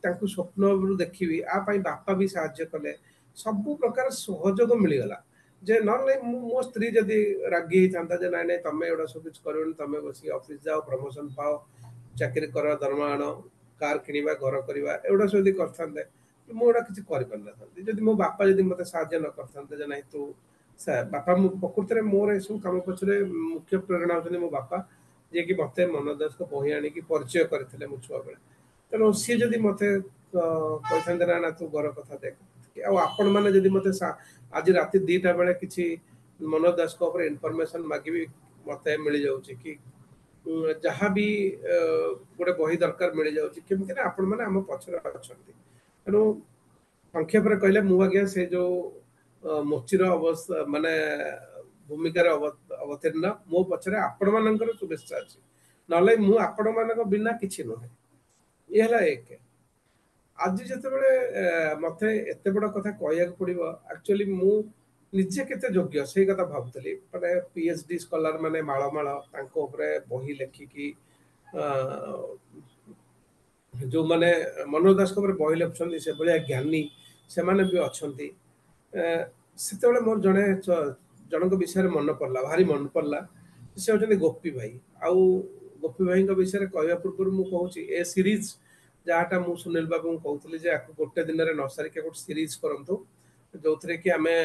ତାଙ୍କୁ ସ୍ୱପ୍ନରୁ ଦେଖିବି, ଆ ପାଇଁ ବାପା ବି ସାହାଯ୍ୟ କଲେ, ସବୁ ପ୍ରକାର ସହଯୋଗ ମିଳିଗଲା। ଯେ ନହେଲେ ମୁଁ ମୋ ସ୍ତ୍ରୀ ଯଦି ରାଗି ହେଇଥାନ୍ତା ଯେ ନାଇଁ ନାଇଁ ତମେ ଏଗୁଡ଼ା ସବୁ କିଛି କରିବନି, ତମେ ବସିକି ଅଫିସ ଯାଅ, ପ୍ରମୋସନ ପାଅ, ଚାକିରି କର, ଦରମା ଆଣ, କାର କିଣିବା, ଘର କରିବା, ଏଗୁଡ଼ା ସବୁ ଯଦି କରିଥାନ୍ତେ ମୁଁ ଏଗୁଡ଼ା କିଛି କରିପାରିନଥାନ୍ତି। ଯଦି ମୋ ବାପା ଯଦି ମୋତେ ସାହାଯ୍ୟ ନ କରିଥାନ୍ତେ ଯେ ନାଇଁ ତୁ ବାପା, ମୁଁ ପ୍ରକୃତରେ ମୋର ଏସବୁ କାମ ପଛରେ ମୁଖ୍ୟ ପ୍ରେରଣା ହେଉଛନ୍ତି ମୋ ବାପା, ଯିଏକି ମୋତେ ମନୋଜ ଦାସଙ୍କ ବହି ଆଣିକି ପରିଚୟ କରିଥିଲେ ମୁଁ ଛୁଆବେଳେ। ତେଣୁ ସିଏ ଯଦି ମୋତେ କହିଥାନ୍ତେ ନା ନା ତୁ ଘର କଥା ଦେଖ, ଆଉ ଆପଣମାନେ ଯଦି ମୋତେ ଆଜି ରାତି ଦିଟା ବେଳେ କିଛି ମନୋଜ ଦାସଙ୍କ ଉପରେ ଇନଫର୍ମେସନ ମାଗିବି ମୋତେ ମିଳିଯାଉଛି, କି ଯାହା ବି ଗୋଟେ ବହି ଦରକାର ମିଳିଯାଉଛି, କେମିତି ନା ଆପଣମାନେ ଆମ ପଛରେ ଅଛନ୍ତି। ତେଣୁ ସଂକ୍ଷେପରେ କହିଲେ ମୁଁ ଆଜ୍ଞା ସେ ଯୋଉ ମୋଚିର ଅବସ୍ଥା ମାନେ ଭୂମିକାରେ ଅବତୀର୍ଣ୍ଣ। ମୋ ପଛରେ ଆପଣମାନଙ୍କର ଶୁଭେଚ୍ଛା ଅଛି, ନହେଲେ ମୁଁ ଆପଣମାନଙ୍କ ବିନା କିଛି ନୁହେଁ। ଇଏ ହେଲା ଏକ। ଆଜି ଯେତେବେଳେ ମତେ ଏତେ ବଡ଼ କଥା କହିବାକୁ ପଡିବ, ଆକ୍ଚୁଆଲି ମୁଁ ନିଜେ କେତେ ଯୋଗ୍ୟ ସେଇ କଥା ଭାବୁଥିଲି। ମାନେ ପି ଏଚ୍ ଡି ସ୍କଲାର ମାନେ ମାଳ ମାଳ, ତାଙ୍କ ଉପରେ ବହି ଲେଖିକି, ଯୋଉମାନେ ମନୋଜ ଦାସଙ୍କ ଉପରେ ବହି ଲେଖୁଛନ୍ତି ସେଭଳିଆ ଜ୍ଞାନୀ ସେମାନେ ବି ଅଛନ୍ତି। ସେତେବେଳେ ମୋର ଜଣେ ଜଣଙ୍କ ବିଷୟରେ ମନେ ପଡିଲା, ଭାରି ମନେ ପଡିଲା। ସେ ହେଉଛନ୍ତି ଗୋପୀ ଭାଇ। ଆଉ ଗୋପୀ ଭାଇଙ୍କ ବିଷୟରେ କହିବା ପୂର୍ବରୁ ମୁଁ କହୁଛି, ଏ ସିରିଜ ଯାହାଟା ମୁଁ ସୁନୀଲ ବାବୁଙ୍କୁ କହୁଥିଲି ଯେ ଆକୁ ଗୋଟେ ଦିନରେ ନ ସାରିକି ଗୋଟେ ସିରିଜ କରନ୍ତୁ, ଯୋଉଥିରେ କି ଆମେ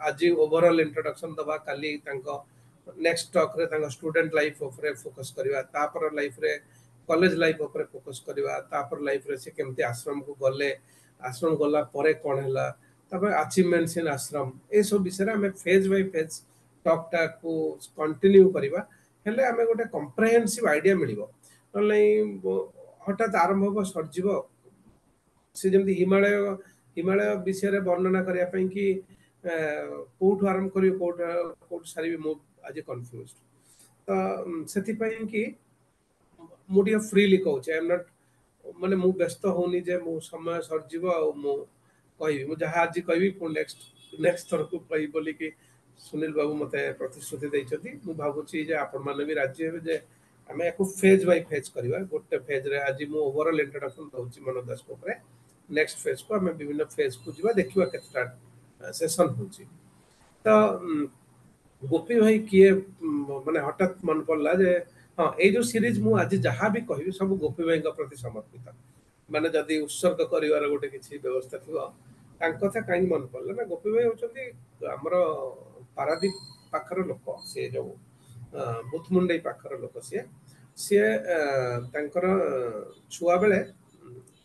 ଆଜି ଓଭରଅଲ୍ ଇଣ୍ଟ୍ରୋଡକ୍ସନ ଦବା, କାଲି ତାଙ୍କ ନେକ୍ସଟ ଟକ୍ରେ ତାଙ୍କ ଷ୍ଟୁଡେଣ୍ଟ ଲାଇଫ ଉପରେ ଫୋକସ୍ କରିବା, ତାପର ଲାଇଫରେ କଲେଜ ଲାଇଫ ଉପରେ ଫୋକସ୍ କରିବା, ତାପର ଲାଇଫରେ ସେ କେମିତି ଆଶ୍ରମକୁ ଗଲେ, ଆଶ୍ରମ ଗଲା ପରେ କ'ଣ ହେଲା, ତାପରେ ଆଚିଭମେଣ୍ଟସ୍ ଇନ୍ ଆଶ୍ରମ, ଏସବୁ ବିଷୟରେ ଆମେ ଫେଜ୍ ବାଇ ଫେଜ୍ ଟକ୍ଟାକୁ କଣ୍ଟିନ୍ୟୁ କରିବା। ହେଲେ ଆମେ ଗୋଟେ କମ୍ପ୍ରେହେନ୍ସିଭ୍ ଆଇଡିଆ ମିଳିବ, ନହେଲେ ହଠାତ୍ ଆରମ୍ଭ ହବ ସରିଯିବ। ସେ ଯେମିତି ହିମାଳୟ ହିମାଳୟ ବିଷୟରେ ବର୍ଣ୍ଣନା କରିବା ପାଇଁ କି କୋଉଠୁ ଆରମ୍ଭ କରିବି, କୋଉଠୁ କୋଉଠୁ ସାରିବି, ମୁଁ ଆଜି କନଫ୍ୟୁଜ। ତ ସେଥିପାଇଁ କି ମୁଁ ଟିକେ ଫ୍ରିଲି କହୁଛି, I M not ମାନେ ମୁଁ ବ୍ୟସ୍ତ ହଉନି ଯେ ମୁଁ ସମୟ ସରିଯିବ ଆଉ ମୁଁ କହିବି। ମୁଁ ଯାହା ଆଜି କହିବି ପୁଣି ନେକ୍ସଟ ନେକ୍ସଟ ଥରକୁ କହିବି ବୋଲିକି ସୁନୀଲ ବାବୁ ମତେ ପ୍ରତିଶ୍ରୁତି ଦେଇଛନ୍ତି। ମୁଁ ଭାବୁଛି ଯେ ଆପଣମାନେ ବି ରାଜି ହେବେ ଯେ ଆମେ ୟାକୁ ଫେଜ୍ ବାଇ ଫେଜ୍ କରିବା। ଗୋଟେ ଫେଜ୍ରେ ଆଜି ମୁଁ ଓଭରଅଲ୍ ଇଣ୍ଟ୍ରୋଡକ୍ସନ ଦଉଛି ମନୋଜ ଦାସଙ୍କ ଉପରେ, ନେକ୍ସଟ ଫେଜ୍କୁ ଆମେ ବିଭିନ୍ନ ଫେଜ୍କୁ ଯିବା, ଦେଖିବା କେତେଟା ସେସନ୍ ହେଉଛି। ତ ଗୋପୀ ଭାଇ କିଏ ମାନେ ହଠାତ୍ ମନେ ପଡିଲା ଯେ ହଁ, ଏଇ ଯୋଉ ସିରିଜ ମୁଁ ଆଜି ଯାହା ବି କହିବି ସବୁ ଗୋପୀ ଭାଇଙ୍କ ପ୍ରତି ସମର୍ପିତ। ମାନେ ଯଦି ଉତ୍ସର୍ଗ କରିବାର ଗୋଟେ କିଛି ବ୍ୟବସ୍ଥା ଥିବ, ତାଙ୍କ କଥା କାହିଁକି ମନେ ପଡିଲା ନା, ଗୋପୀ ଭାଇ ହଉଛନ୍ତି ଆମର ପାରାଦୀପ ପାଖର ଲୋକ, ସିଏ ଯୋଉ ବୁଥମୁଣ୍ଡେଇ ପାଖର ଲୋକ। ସିଏ ସିଏ ତାଙ୍କର ଛୁଆ ବେଳେ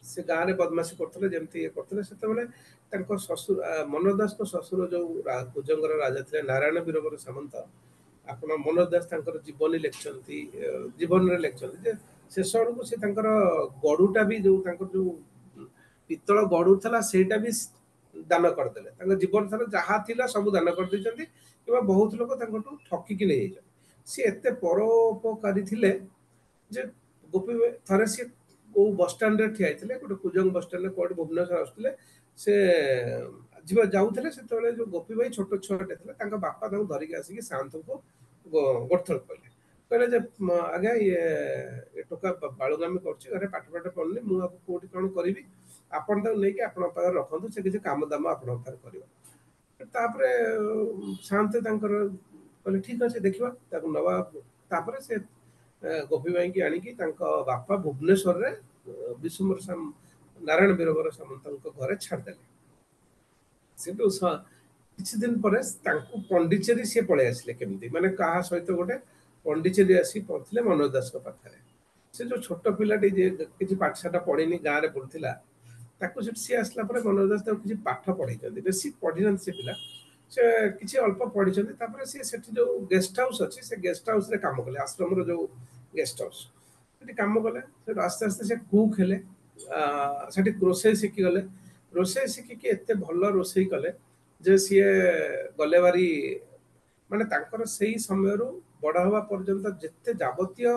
ସେ ଗାଁରେ ବଦମାସି କରୁଥିଲେ, ଯେମିତି ଇଏ କରୁଥିଲେ। ସେତେବେଳେ ତାଙ୍କ ଶ୍ୱଶୁର ମନୋଜ ଦାସଙ୍କ ଶ୍ୱଶୁର ଯୋଉ କୁଜଙ୍ଗର ରାଜା ଥିଲେ ନାରାୟଣ ବୀରବର ସାମନ୍ତ, ଆପଣ ମନୋଜ ଦାସ ତାଙ୍କର ଜୀବନୀ ଲେଖିଛନ୍ତି, ଜୀବନରେ ଲେଖିଛନ୍ତି ଯେ ଶେଷ ବେଳକୁ ସେ ତାଙ୍କର ଗଡୁଟା ବି ଯୋଉ ତାଙ୍କର ଯୋଉ ପିତ୍ତଳ ଗଡୁ ଥିଲା ସେଇଟା ବି ଦାନ କରିଦେଲେ। ତାଙ୍କ ଜୀବନ ସାରା ଯାହା ଥିଲା ସବୁ ଦାନ କରିଦେଇଛନ୍ତି, କିମ୍ବା ବହୁତ ଲୋକ ତାଙ୍କଠୁ ଠକିକି ନେଇଯାଇଛନ୍ତି। ସିଏ ଏତେ ପରୋପକାରୀ ଥିଲେ ଯେ ଗୋପୀ ଥରେ ସିଏ କୋଉ ବସଷ୍ଟାଣ୍ଡରେ ଠିଆ ହେଇଥିଲେ, ଗୋଟେ କୁଜଙ୍ଗ ବସଷ୍ଟାଣ୍ଡରେ କୁଆଡେ ଭୁବନେଶ୍ୱର ଆସୁଥିଲେ, ସେ ଯିବା ଯାଉଥିଲେ। ସେତେବେଳେ ଯୋଉ ଗୋପୀ ଭାଇ ଛୋଟ ଛୁଆଟେ ଥିଲା, ତାଙ୍କ ବାପା ତାଙ୍କୁ ଧରିକି ଆସିକି ସାଆନ୍ତଙ୍କୁ ଗୋଟେ ଥର କହିଲେ କହିଲେ ଯେ ଆଜ୍ଞା ଇଏ ଟୋକା ବାଳୁଗାମୀ କରୁଛି, ଘରେ ପାଠ ପାଠ ପଢୁନି, ମୁଁ ଆକୁ କୋଉଠି କଣ କରିବି, ଆପଣ ତାକୁ ନେଇକି ଆପଣଙ୍କ ପାଖରେ ରଖନ୍ତୁ, ସେ କିଛି କାମ ଦାମ ଆପଣଙ୍କ ପାଖରେ କରିବ। ତାପରେ ସାଆନ୍ତେ ତାଙ୍କର କହିଲେ ଠିକ ଅଛି ଦେଖିବା ତାକୁ ନବା। ତାପରେ ସେ ଗୋପୀ ଭାଇଙ୍କି ଆଣିକି ତାଙ୍କ ବାପା ଭୁବନେଶ୍ୱରରେ ବିଶ୍ୱମ୍ବର ନାରାୟଣ ବୀରବର ସାମନ୍ତଙ୍କ ଘରେ ଛାଡ଼ିଦେଲେ। ସେଠୁ କିଛି ଦିନ ପରେ ତାଙ୍କୁ ପଣ୍ଡିଚେରୀ ସିଏ ପଳେଇ ଆସିଲେ। କେମିତି ମାନେ କାହା ସହିତ ଗୋଟେ ପଣ୍ଡିଚେରୀ ଆସି ପହଞ୍ଚିଲେ ମନୋଜ ଦାସଙ୍କ ପାଖରେ। ସେ ଯୋଉ ଛୋଟ ପିଲାଟି ଯିଏ କିଛି ପାଠଶାଠ ପଢିନି, ଗାଁରେ ବୁଲୁଥିଲା, ତାକୁ ସେଠି ସିଏ ଆସିଲା ପରେ ମନୋଜ ଦାସ ତାକୁ କିଛି ପାଠ ପଢେଇଛନ୍ତି। ବେଶୀ ପଢିନାହାନ୍ତି ସେ ପିଲା, ସେ କିଛି ଅଳ୍ପ ପଢିଛନ୍ତି। ତାପରେ ସିଏ ସେଠି ଯୋଉ ଗେଷ୍ଟ ହାଉସ୍ ଅଛି ସେ ଗେଷ୍ଟ ହାଉସ୍ରେ କାମ କଲେ, ଆଶ୍ରମର ଯୋଉ ଗେଷ୍ଟ ହାଉସ୍ ସେଠି କାମ କଲେ। ସେଠୁ ଆସ୍ତେ ଆସ୍ତେ ସେ କୁକ୍ ହେଲେ, ସେଠି ରୋଷେଇ ଶିଖିଗଲେ। ରୋଷେଇ ଶିଖିକି ଏତେ ଭଲ ରୋଷେଇ କଲେ ଯେ ସିଏ ଗଲେ ଭାରି ମାନେ ତାଙ୍କର ସେଇ ସମୟରୁ ବଡ଼ ହେବା ପର୍ଯ୍ୟନ୍ତ ଯେତେ ଯାବତୀୟ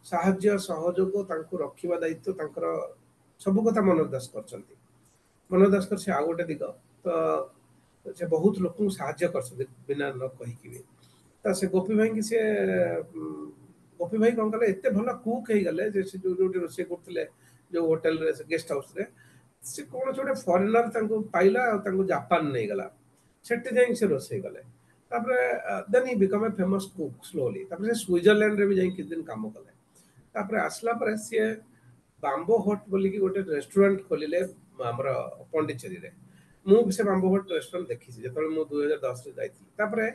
ସାହାଯ୍ୟ ସହଯୋଗ ତାଙ୍କୁ ରଖିବା ଦାୟିତ୍ୱ ତାଙ୍କର ସବୁ କଥା ମନୋଜ ଦାସ କରିଛନ୍ତି। ମନୋଜ ଦାସଙ୍କର ସେ ଆଉ ଗୋଟେ ଦିଗ, ତ ସେ ବହୁତ ଲୋକଙ୍କୁ ସାହାଯ୍ୟ କରିଛନ୍ତି ବିନା ନ କହିକି ବି। ତ ସେ ଗୋପୀ ଭାଇଙ୍କି ସିଏ ଗୋପୀ ଭାଇ କଣ କଲେ, ଏତେ ଭଲ କୁକ୍ ହେଇଗଲେ ଯେ ସେ ଯୋଉ ଯୋଉଠି ରୋଷେଇ କରୁଥିଲେ ଯୋଉ ହୋଟେଲରେ ଗେଷ୍ଟ ହାଉସରେ, ସେ କୌଣସି ଗୋଟେ ଫରେନର ତାଙ୍କୁ ପାଇଲା ଆଉ ତାଙ୍କୁ ଜାପାନ ନେଇଗଲା, ସେଠି ଯାଇକି ସେ ରୋଷେଇ କଲେ। ତାପରେ then he become a famous cook slowly. ତାପରେ ସେ ସୁଇଜରଲ୍ୟାଣ୍ଡରେ ବି ଯାଇ କିଛି ଦିନ କାମ କଲେ। ତାପରେ ଆସିଲା ପରେ ସିଏ ବାମ୍ବୋ ହଟ୍ ବୋଲିକି ଗୋଟେ ରେଷ୍ଟୁରାଣ୍ଟ ଖୋଲିଲେ ଆମର ପଣ୍ଡିଚେରୀରେ। ମୁଁ ବି ସେ ବାମ୍ବୋ ହଟ୍ ରେଷ୍ଟୁରାଣ୍ଟ ଦେଖିଛି ଯେତେବେଳେ ମୁଁ ଦୁଇ ହଜାର ଦଶରେ ଯାଇଥିଲି। ତାପରେ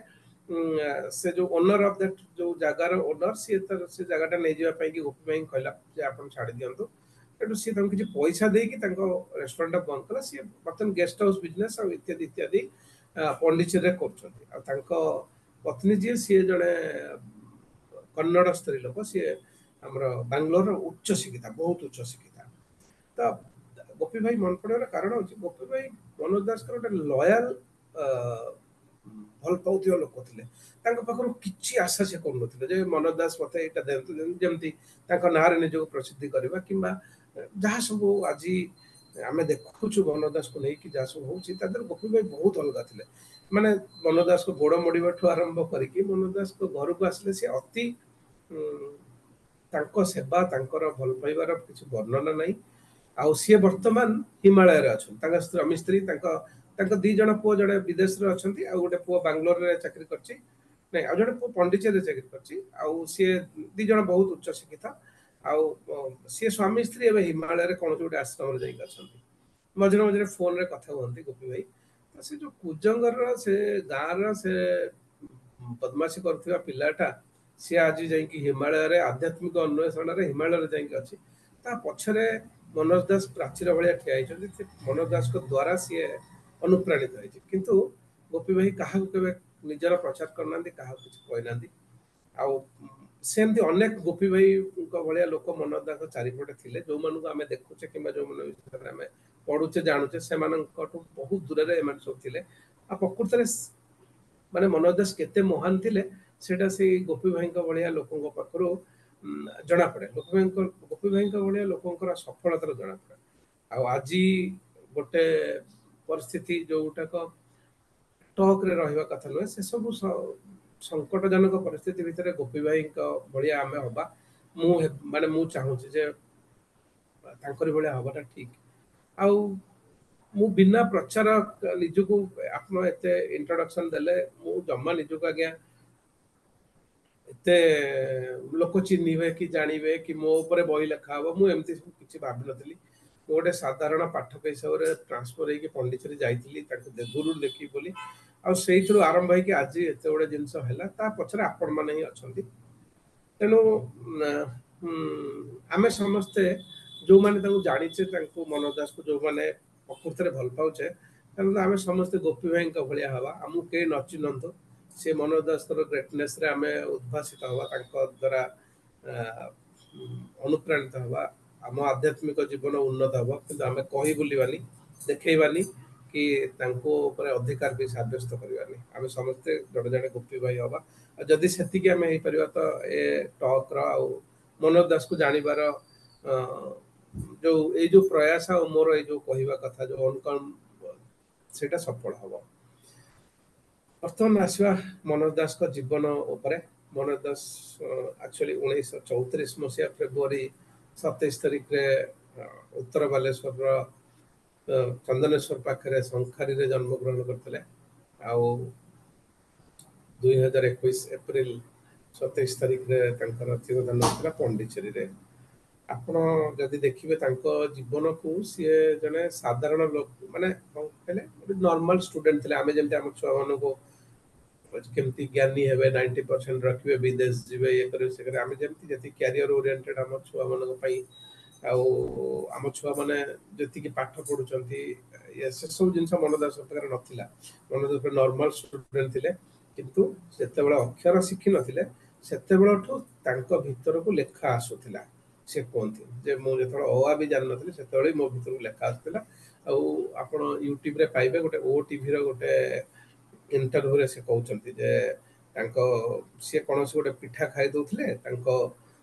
ସେ ଯୋଉ ଓନର ଅଫ୍ that ଯୋଉ ଜାଗାର ଓନର, ସିଏ ତାର ସେ ଜାଗାଟା ନେଇଯିବା ପାଇଁ କି ଗୋପୀ ଭାଇଙ୍କୁ କହିଲା ଯେ ଆପଣ ଛାଡ଼ି ଦିଅନ୍ତୁ। ସେଠୁ ସିଏ ତାଙ୍କୁ କିଛି ପଇସା ଦେଇକି ତାଙ୍କ ରେଷ୍ଟୁରାଣ୍ଟଟା ବନ୍ଦ କଲା। ସିଏ ବର୍ତ୍ତମାନ ଗେଷ୍ଟ ହାଉସ୍ ବିଜନେସ୍ ଆଉ ଇତ୍ୟାଦି ଇତ୍ୟାଦି ପଣ୍ଡିଚେରୀରେ କରୁଛନ୍ତି। ଆଉ ତାଙ୍କ ପତ୍ନୀ ଯିଏ, ସିଏ ଜଣେ କନ୍ନଡ଼ ସ୍ତ୍ରୀ ଲୋକ, ସିଏ ଆମର ବାଙ୍ଗାଲୋରର ଉଚ୍ଚ ଶିକ୍ଷିତା, ବହୁତ ଉଚ୍ଚ ଶିକ୍ଷିତା। ତ ଗୋପୀ ଭାଇ ମନେ ପଡ଼ିବାର କାରଣ ହଉଛି ଗୋପୀ ଭାଇ ମନୋଜ ଦାସଙ୍କର ଗୋଟେ ଲୟାଲ ଭଲ ପାଉଥିବା ଲୋକ ଥିଲେ। ତାଙ୍କ ପାଖରୁ କିଛି ଆଶା ସେ କରୁନଥିଲେ ଯେ ମନୋଜ ଦାସ ମତେ ଏଇଟା ଦିଅନ୍ତୁ, ଯେମିତି ତାଙ୍କ ନାଁରେ ନିଜକୁ ପ୍ରସିଦ୍ଧି କରିବା କିମ୍ବା ଯାହା ସବୁ ଆଜି ଆମେ ଦେଖୁଛୁ ମନୋଜ ଦାସକୁ ନେଇକି ଯାହା ସବୁ ହଉଛି, ତା ଦେହରେ ଗୋପୀ ଭାଇ ବହୁତ ଅଲଗା ଥିଲେ। ମାନେ ମନୋଜ ଦାସକୁ ଗୋଡ଼ ମୋଡ଼ିବାଠୁ ଆରମ୍ଭ କରିକି ମନୋଜ ଦାସଙ୍କ ଘରକୁ ଆସିଲେ ସେ ଅତି ତାଙ୍କ ସେବା, ତାଙ୍କର ଭଲ ପାଇବାର କିଛି ବର୍ଣ୍ଣନା ନାହିଁ। ଆଉ ସିଏ ବର୍ତ୍ତମାନ ହିମାଳୟରେ ଅଛନ୍ତି। ତାଙ୍କ ସ୍ୱାମୀ ସ୍ତ୍ରୀ, ତାଙ୍କ ତାଙ୍କ ଦି ଜଣ ପୁଅ, ଜଣେ ବିଦେଶରେ ଅଛନ୍ତି ଆଉ ଗୋଟେ ପୁଅ ବାଙ୍ଗାଲୋରରେ ଚାକିରି କରିଛି, ନାଇଁ ଆଉ ଜଣେ ପୁଅ ପଣ୍ଡିଚେରୀରେ ଚାକିରି କରିଛି। ଆଉ ସିଏ ଦି ଜଣ ବହୁତ ଉଚ୍ଚ ଶିକ୍ଷିତ। ଆଉ ସିଏ ସ୍ୱାମୀ ସ୍ତ୍ରୀ ଏବେ ହିମାଳୟରେ କୌଣସି ଗୋଟେ ଆଶ୍ରମରେ ଯାଇକି ଅଛନ୍ତି। ମଝିରେ ମଝିରେ ଫୋନରେ କଥା ହୁଅନ୍ତି ଗୋପୀ ଭାଇ। ତ ସେ ଯୋଉ କୁଜଙ୍ଗରର ସେ ଗାଁର ସେ ବଦମାସି କରୁଥିବା ପିଲାଟା, ସିଏ ଆଜି ଯାଇକି ହିମାଳୟରେ ଆଧ୍ୟାତ୍ମିକ ଅନ୍ୱେଷଣରେ ହିମାଳୟରେ ଯାଇକି ଅଛି। ତା ପଛରେ ମନୋଜ ଦାସ ପ୍ରାଚୀର ଭଳିଆ ଠିଆ ହେଇଛନ୍ତି। ସେ ମନୋଜ ଦାସଙ୍କ ଦ୍ୱାରା ସିଏ ଅନୁପ୍ରାଣିତ ହେଇଛି। କିନ୍ତୁ ଗୋପୀ ଭାଇ କାହାକୁ କେବେ ନିଜର ପ୍ରଚାର କରିନାହାନ୍ତି, କାହାକୁ କିଛି କହିନାହାନ୍ତି। ଆଉ ସେମିତି ଅନେକ ଗୋପୀ ଭାଇଙ୍କ ଭଳିଆ ଲୋକ ମନୋଜ ଦାସଙ୍କ ଚାରିପଟେ ଥିଲେ, ଯୋଉମାନଙ୍କୁ ଆମେ ଦେଖୁଛେ କିମ୍ବା ଯୋଉମାନଙ୍କ ବିଷୟରେ ଆମେ ପଢୁଛେ ଜାଣୁଛେ, ସେମାନଙ୍କଠୁ ବହୁତ ଦୂରରେ ଏମାନେ ସବୁ ଥିଲେ। ଆଉ ପ୍ରକୃତରେ ମାନେ ମନୋଜ ଦାସ କେତେ ମହାନ ଥିଲେ ସେଇଟା ସେଇ ଗୋପୀ ଭାଇଙ୍କ ଭଳିଆ ଲୋକଙ୍କ ପାଖରୁ ଜଣାପଡେ। ଗୋପୀ ଭାଇଙ୍କ ଗୋପୀ ଭାଇଙ୍କ ଭଳିଆ ଲୋକଙ୍କର ସଫଳତାର ଜଣାପଡେ। ଆଉ ଆଜି ଗୋଟେ ପରିସ୍ଥିତି ଯୋଉଟାକ ଟକରେ ରହିବା କଥା ନୁହେଁ, ସେସବୁ ସଙ୍କଟଜନକ ପରିସ୍ଥିତି ଭିତରେ ଗୋପୀ ଭାଇଙ୍କ ଭଳିଆ ଆମେ ହବା, ମୁଁ ମାନେ ମୁଁ ଚାହୁଁଛି ଯେ ତାଙ୍କରି ଭଳିଆ ହବାଟା ଠିକ। ଆଉ ମୁଁ ବିନା ପ୍ରଚାର ନିଜକୁ ଆପଣ ଏତେ ଇଣ୍ଟ୍ରୋଡକ୍ସନ ଦେଲେ, ମୁଁ ଜମା ନିଜକୁ ଆଜ୍ଞା ଏତେ ଲୋକ ଚିହ୍ନିବେ କି ଜାଣିବେ କି ମୋ ଉପରେ ବହି ଲେଖା ହବ, ମୁଁ ଏମିତି ସବୁ କିଛି ଭାବିନଥିଲି। ମୁଁ ଗୋଟେ ସାଧାରଣ ପାଠକ ହିସାବରେ ଟ୍ରାନ୍ସଫର ହେଇକି ପଣ୍ଡିଚେରୀ ଯାଇଥିଲି ତାଙ୍କୁ ଗୁରୁ ଦେଖିବି ବୋଲି। ଆଉ ସେଇଥିରୁ ଆରମ୍ଭ ହେଇକି ଆଜି ଏତେ ଗୁଡେ ଜିନିଷ ହେଲା, ତା ପଛରେ ଆପଣମାନେ ହିଁ ଅଛନ୍ତି। ତେଣୁ ଆମେ ସମସ୍ତେ ଯୋଉମାନେ ତାଙ୍କୁ ଜାଣିଛେ, ତାଙ୍କୁ ମନୋଜ ଦାସକୁ ଯୋଉମାନେ ପ୍ରକୃତରେ ଭଲ ପାଉଛେ, ତେଣୁ ଆମେ ସମସ୍ତେ ଗୋପୀ ଭାଇଙ୍କ ଭଳିଆ ହବା। ଆମକୁ କେହି ନ ଚିହ୍ନନ୍ତୁ, ସେ ମନୋଜ ଦାସଙ୍କର ଗ୍ରେଟନେସରେ ଆମେ ଉଦ୍ଭାସିତ ହବା, ତାଙ୍କ ଦ୍ୱାରା ଅନୁପ୍ରାଣିତ ହବା, ଆମ ଆଧ୍ୟାତ୍ମିକ ଜୀବନ ଉନ୍ନତ ହବ। କିନ୍ତୁ ଆମେ କହି ବୁଲିବାନି, ଦେଖେଇବାନି କି ତାଙ୍କ ଉପରେ ଅଧିକାର ବି ସାବ୍ୟସ୍ତ କରିବାନି। ଆମେ ସମସ୍ତେ ଜଣେ ଜଣେ ଗୋପୀ ଭାଇ ହବା। ଆଉ ଯଦି ସେତିକି ଆମେ ହେଇପାରିବା ତ ଏ ଟକ୍ର ଆଉ ମନୋଜ ଦାସକୁ ଜାଣିବାର ଯୋଉ ଏଇ ଯୋଉ ପ୍ରୟାସ ଆଉ ମୋର ଏଇ ଯୋଉ କହିବା କଥା ଯୋଉ ଅନୁକମ୍ପ, ସେଇଟା ସଫଳ ହବ। ବର୍ତ୍ତମାନ ଆସିବା ମନୋଜ ଦାସଙ୍କ ଜୀବନ ଉପରେ। ମନୋଜ ଦାସ ଆକ୍ଚୁଆଲି ଉଣେଇଶହ ଚଉତିରିଶ ମସିହା ଫେବୃଆରୀ ସତେଇଶ ତାରିଖରେ ଉତ୍ତର ବାଲେଶ୍ୱରର ଚନ୍ଦନେଶ୍ୱର ପାଖରେ ଶଙ୍ଖାରୀରେ ଜନ୍ମଗ୍ରହଣ କରିଥିଲେ। ଆଉ ଦୁଇ ହଜାର ଏକୋଇଶ ଏପ୍ରିଲ ସତେଇଶ ତାରିଖରେ ତାଙ୍କର ତିରୋଧାନ ହୋଇଥିଲା ପଣ୍ଡିଚେରୀରେ। ଆପଣ ଯଦି ଦେଖିବେ ତାଙ୍କ ଜୀବନକୁ, ସିଏ ଜଣେ ସାଧାରଣ ଲୋକ, ମାନେ କଣ କହିଲେ ଗୋଟେ ନର୍ମାଲ ଷ୍ଟୁଡେଣ୍ଟ ଥିଲେ। ଆମେ ଯେମିତି ଆମ ଛୁଆମାନଙ୍କୁ କେମିତି ଜ୍ଞାନୀ ହେବେ, ନାଇଣ୍ଟି ପରସେଣ୍ଟ ରଖିବେ, ବିଦେଶ ଯିବେ, ଇଏ କରିବେ ସେ କରିବେ, ଆମେ ଯେମିତି ଯେତିକି କ୍ୟାରିୟର ଓରିଏଣ୍ଟେଡ ଆମ ଛୁଆମାନଙ୍କ ପାଇଁ, ଆଉ ଆମ ଛୁଆମାନେ ଯେତିକି ପାଠ ପଢୁଛନ୍ତି, ସେସବୁ ଜିନିଷ ମନୋଜ ଦାସଙ୍କ ପାଖରେ ନଥିଲା। ମନୋଜ ଦାସ ନର୍ମାଲ ଷ୍ଟୁଡେଣ୍ଟ ଥିଲେ, କିନ୍ତୁ ଯେତେବେଳେ ଅକ୍ଷର ଶିଖିନଥିଲେ ସେତେବେଳଠୁ ତାଙ୍କ ଭିତରକୁ ଲେଖା ଆସୁଥିଲା। ସେ କୁହନ୍ତି ଯେ ମୁଁ ଯେତେବେଳେ ଅ ଆ ବି ଜାଣିନଥିଲି ସେତେବେଳେ ମୋ ଭିତରକୁ ଲେଖା ଆସୁଥିଲା। ଆଉ ଆପଣ ୟୁଟ୍ୟୁବରେ ପାଇବେ ଗୋଟେ ଓ ଟିଭିର ଗୋଟେ ଇଣ୍ଟରଭ୍ୟୁରେ ସେ କହୁଛନ୍ତି ଯେ ତାଙ୍କ ସିଏ କୌଣସି ଗୋଟେ ପିଠା ଖାଇ ଦଉଥିଲେ, ତାଙ୍କ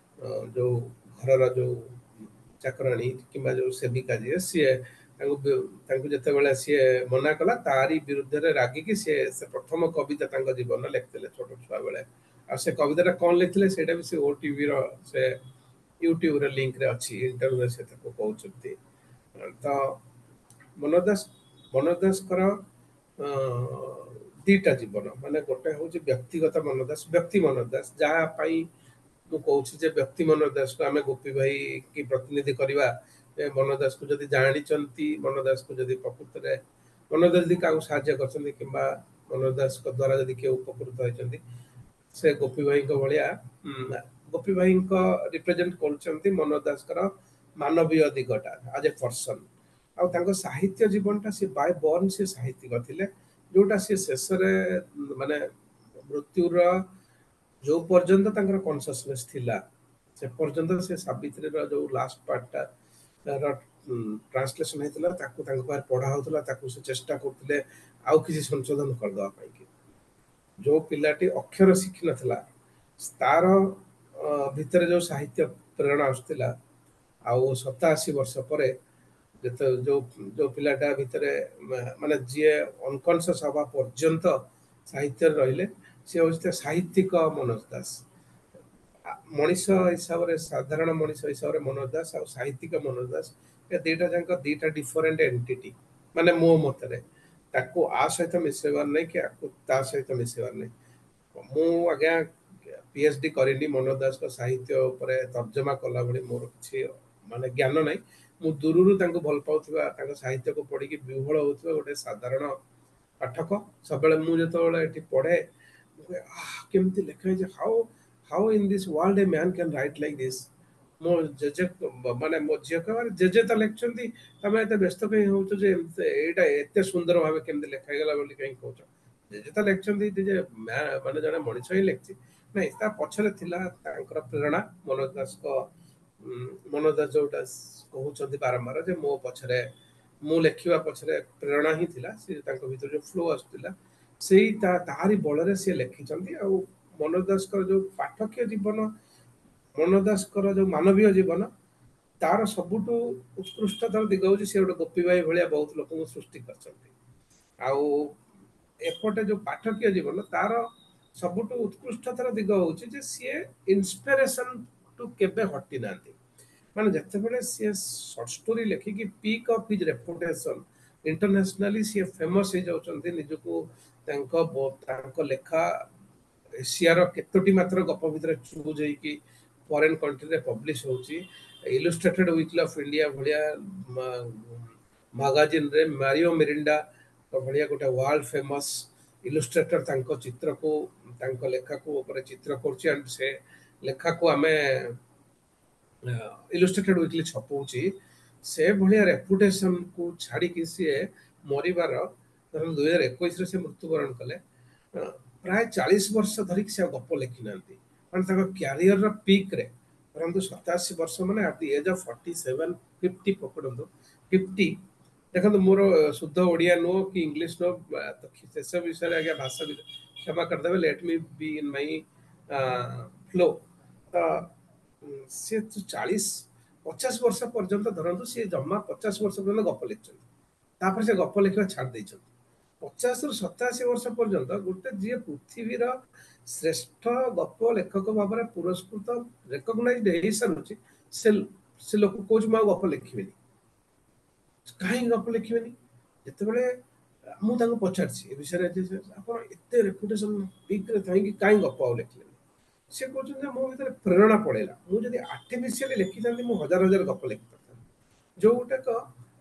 ଯୋଉ ଘରର ଯୋଉ ଚାକରାଣୀ କିମ୍ବା ଯୋଉ ସେବିକା ଯିଏ, ସିଏ ତାଙ୍କୁ ତାଙ୍କୁ ଯେତେବେଳେ ସିଏ ମନା କଲା, ତାରି ବିରୁଦ୍ଧରେ ରାଗିକି ସିଏ ସେ ପ୍ରଥମ କବିତା ତାଙ୍କ ଜୀବନରେ ଲେଖିଥିଲେ ଛୋଟ ଛୁଆ ବେଳେ। ଆଉ ସେ କବିତାଟା କଣ ଲେଖିଥିଲେ ସେଇଟା ବି ସେ ଓ ଟିଭିର ସେ ୟୁଟ୍ୟୁବର ଲିଙ୍କରେ ଅଛି, ଇଣ୍ଟରଭ୍ୟୁରେ ସେ ତାକୁ କହୁଛନ୍ତି। ତ ମନୋଜ ଦାସ ମନୋଜ ଦାସଙ୍କର ଦିଟା ଜୀବନ, ମାନେ ଗୋଟେ ହଉଛି ବ୍ୟକ୍ତିଗତ ମନୋଜ ଦାସ, ବ୍ୟକ୍ତି ମନୋଜ ଦାସ, ଯାହା ପାଇଁ ମୁଁ କହୁଛି ଯେ ବ୍ୟକ୍ତି ମନୋଜ ଦାସକୁ ଆମେ ଗୋପୀ ଭାଇ କି ପ୍ରତିନିଧି କରିବା। ମନୋଜ ଦାସକୁ ଯଦି ଜାଣିଛନ୍ତି, ମନୋଜ ଦାସକୁ ଯଦି ପ୍ରକୃତରେ ମନୋଜ ଦାସ ଯଦି କାହାକୁ ସାହାଯ୍ୟ କରିଛନ୍ତି କିମ୍ବା ମନୋଜ ଦାସଙ୍କ ଦ୍ୱାରା ଯଦି କିଏ ଉପକୃତ ହେଇଛନ୍ତି, ସେ ଗୋପୀ ଭାଇଙ୍କ ଭଳିଆ ଗୋପୀ ଭାଇଙ୍କ ରିପ୍ରେଜେଣ୍ଟ କରୁଛନ୍ତି ମନୋଜ ଦାସଙ୍କର ମାନବୀୟ ଦିଗଟା ଆଜ ଏ ପର୍ସନ। ଆଉ ତାଙ୍କ ସାହିତ୍ୟ ଜୀବନଟା ସେ ବାଇ ବର୍ନ ସେ ସାହିତ୍ୟିକ ଥିଲେ, ଯୋଉଟା ସେ ଶେଷରେ ମାନେ ମୃତ୍ୟୁର ଯୋଉ ପର୍ଯ୍ୟନ୍ତ ତାଙ୍କର କନସିୟସନେସ୍ ଥିଲା ସେ ପର୍ଯ୍ୟନ୍ତ ସେ ସାବିତ୍ରୀର ଯୋଉ ଲାଷ୍ଟ ପାର୍ଟଟା ଟ୍ରାନ୍ସଲେସନ ହେଇଥିଲା ତାକୁ ତାଙ୍କ ପାଖରେ ପଢା ହଉଥିଲା, ତାକୁ ସେ ଚେଷ୍ଟା କରୁଥିଲେ ଆଉ କିଛି ସଂଶୋଧନ କରିଦେବା ପାଇଁ କି। ଯୋଉ ପିଲାଟି ଅକ୍ଷର ଶିଖିନଥିଲା ତାର ଭିତରେ ଯୋଉ ସାହିତ୍ୟ ପ୍ରେରଣା ଆସୁଥିଲା, ଆଉ ସତାଅଶୀ ବର୍ଷ ପରେ ଯେତେ ଯୋଉ ଯୋଉ ପିଲାଟା ଭିତରେ ମାନେ ଯିଏ ଅନକନସିୟସ୍ ହବା ପର୍ଯ୍ୟନ୍ତ ସାହିତ୍ୟରେ ରହିଲେ, ସିଏ ହେଉଛି ସାହିତ୍ୟିକ ମନୋଜ ଦାସ। ମଣିଷ ହିସାବରେ, ସାଧାରଣ ମଣିଷ ହିସାବରେ ମନୋଜ ଦାସ ଆଉ ସାହିତ୍ୟିକ ମନୋଜ ଦାସ, ଏ ଦିଟା ଯାକ ଦିଟା ଡିଫରେଣ୍ଟ ଏଣ୍ଟିଟି। ମାନେ ମୋ ମତରେ ତାକୁ ଆ ସହିତ ମିଶେଇବାର ନାହିଁ କି ଆକୁ ତା ସହିତ ମିଶେଇବାର ନାହିଁ। ମୁଁ ଆଜ୍ଞା ପି ଏଚ୍ ଡି କରିନି, ମନୋଜ ଦାସଙ୍କ ସାହିତ୍ୟ ଉପରେ ତର୍ଜମା କଲା ଭଳି ମୋର କିଛି ମାନେ ଜ୍ଞାନ ନାହିଁ। ମୁଁ ଦୂରରୁ ତାଙ୍କୁ ଭଲ ପାଉଥିବା, ତାଙ୍କ ସାହିତ୍ୟକୁ ପଢିକି ବିହ୍ୱଳ ହଉଥିବା ଗୋଟେ ସାଧାରଣ ପାଠକ। ସବୁବେଳେ ମୁଁ ଯେତେବେଳେ ଏଠି ପଢେ, ମୁଁ କୁହେ, ଆହ, କେମିତି ଲେଖା ହେଇଛି, how how in this world a man can write like this. ମୋ ଜେଜେ, ମାନେ ମୋ ଝିଅ କହିବ, ଜେଜେ ତ ଲେଖିଛନ୍ତି, ତମେ ଏତେ ବ୍ୟସ୍ତ କାହିଁ ହଉଛ ଯେ ଏମିତି ଏଇଟା ଏତେ ସୁନ୍ଦର ଭାବେ କେମିତି ଲେଖା ହେଇଗଲା ବୋଲି କାହିଁ କହୁଛ? ଜେଜେ ତ ଲେଖିଛନ୍ତି, ଜେଜେ ମାନେ ଜଣେ ମଣିଷ ହିଁ ଲେଖିଛି। ନାଇଁ, ତା ପଛରେ ଥିଲା ତାଙ୍କର ପ୍ରେରଣା। ମନୋଜ ଦାସଙ୍କ, ମନୋଜ ଦାସ ଯୋଉଟା କହୁଛନ୍ତି ବାରମ୍ବାର ଯେ ମୋ ପଛରେ, ମୁଁ ଲେଖିବା ପଛରେ ପ୍ରେରଣା ହିଁ ଥିଲା, ସେ ତାଙ୍କ ଭିତରେ ଯୋଉ ଫ୍ଲୋ ଆସୁଥିଲା, ସେଇ ତା ତାହାରି ବଳରେ ସିଏ ଲେଖିଛନ୍ତି। ଆଉ ମନୋଜ ଦାସଙ୍କର ଯୋଉ ପାଠକୀୟ ଜୀବନ, ମନୋଜ ଦାସଙ୍କର ଯୋଉ ମାନବୀୟ ଜୀବନ, ତାର ସବୁଠୁ ଉତ୍କୃଷ୍ଟତର ଦିଗ ହଉଛି ସେ ଗୋଟେ ଗୋପୀ ଭାଇ ଭଳିଆ ବହୁତ ଲୋକଙ୍କୁ ସୃଷ୍ଟି କରିଛନ୍ତି। ଆଉ ଏପଟେ ଯୋଉ ପାଠକୀୟ ଜୀବନ, ତାର ସବୁଠୁ ଉତ୍କୃଷ୍ଟତର ଦିଗ ହଉଛି ଯେ ସିଏ ଇନ୍ସପିରେସନ ଟୁ କେବେ ହଟି ନାହାନ୍ତି। ମାନେ ଯେତେବେଳେ ସିଏ ସର୍ଟ ଷ୍ଟୋରି ଲେଖିକି peak of his reputation, internationally ସିଏ ଫେମସ୍ ହେଇଯାଉଛନ୍ତି, ନିଜକୁ ତାଙ୍କ ତାଙ୍କ ଲେଖା ଏସିଆର କେତୋଟି ମାତ୍ର ଗପ ଭିତରେ ଚୁଜ୍ ହେଇକି ଫରେନ୍ କଣ୍ଟ୍ରିରେ ପବ୍ଲିଶ ହଉଛି, ଇଲୁଷ୍ଟ୍ରେଟେଡ୍ ୱିକଲି ଅଫ୍ ଇଣ୍ଡିଆ ଭଳିଆ ମାଗାଜିନରେ ମାରିଓ ମିରିଣ୍ଡା ଭଳିଆ ଗୋଟେ ୱାର୍ଲଡ ଫେମସ୍ ଇଲୁଷ୍ଟ୍ରେଟର ତାଙ୍କ ଚିତ୍ରକୁ, ତାଙ୍କ ଲେଖାକୁ ଉପରେ ଚିତ୍ର କରୁଛି, ଆଣ୍ଡ ସେ ଲେଖାକୁ ଆମେ ଇଲୁଷ୍ଟ୍ରେଟେଡ୍ ୱିକଲି ଛପଉଛି, ସେ ଭଳିଆ ରେପୁଟେସନକୁ ଛାଡ଼ିକି ସିଏ ମରିବାର, ଧରନ୍ତୁ ଦୁଇ ହଜାର ଏକୋଇଶରେ ସେ ମୃତ୍ୟୁବରଣ କଲେ, ପ୍ରାୟ ଚାଳିଶ ବର୍ଷ ଧରିକି ସେ ଆଉ ଗପ ଲେଖିନାହାନ୍ତି। ମାନେ ତାଙ୍କ କ୍ୟାରିୟରର ପିକ୍ରେ ଧରନ୍ତୁ ସତାଅଶୀ ବର୍ଷ, ମାନେ at the age of forty seven, fifty ପକଡ଼ନ୍ତୁ, fifty. ଦେଖନ୍ତୁ, ମୋର ଶୁଦ୍ଧ ଓଡ଼ିଆ ନୁହଁ କି ଇଂଲିଶ ନୁହଁ, ସେସବୁ ବିଷୟରେ ଆଜ୍ଞା ଭାଷା କ୍ଷମା କରିଦେବେ। Let me be in my flow. ତ ସିଏ ଚାଳିଶ ପଚାଶ ବର୍ଷ ପର୍ଯ୍ୟନ୍ତ, ଧରନ୍ତୁ ସିଏ ଜମା ପଚାଶ ବର୍ଷ ପର୍ଯ୍ୟନ୍ତ ଗପ ଲେଖିଛନ୍ତି, ତାପରେ ସେ ଗପ ଲେଖିବା ଛାଡ଼ି ଦେଇଛନ୍ତି। ପଚାଶରୁ ସତାଅଶୀ ବର୍ଷ ପର୍ଯ୍ୟନ୍ତ ଗୋଟେ ଯିଏ ପୃଥିବୀର ଶ୍ରେଷ୍ଠ ଗପ ଲେଖକ ଭାବରେ ପୁରସ୍କୃତ, ରେକଗ୍ନାଇଜଡ ହେଇସାରୁଛି, ସେ ସେ ଲୋକ କହୁଛି ମୁଁ ଆଉ ଗପ ଲେଖିବିନି। କାହିଁକି ଗପ ଲେଖିବେନି? ଯେତେବେଳେ ମୁଁ ତାଙ୍କୁ ପଚାରିଛି ଏ ବିଷୟରେ, ଆପଣ ଏତେ ରେପୁଟେସନ ପିକ୍ରେ ଥାଇକି କାହିଁ ଗପ ଆଉ ଲେଖିଲେନି? ସେ କହୁଛନ୍ତି ଯେ ମୋ ଭିତରେ ପ୍ରେରଣା ପଳେଇଲା। ମୁଁ ଯଦି ଆର୍ଟିଫିସିଆଲି ଲେଖିଥାନ୍ତି, ମୁଁ ହଜାର ହଜାର ଗପ ଲେଖିପାରିଥାନ୍ତି, ଯୋଉଟାକ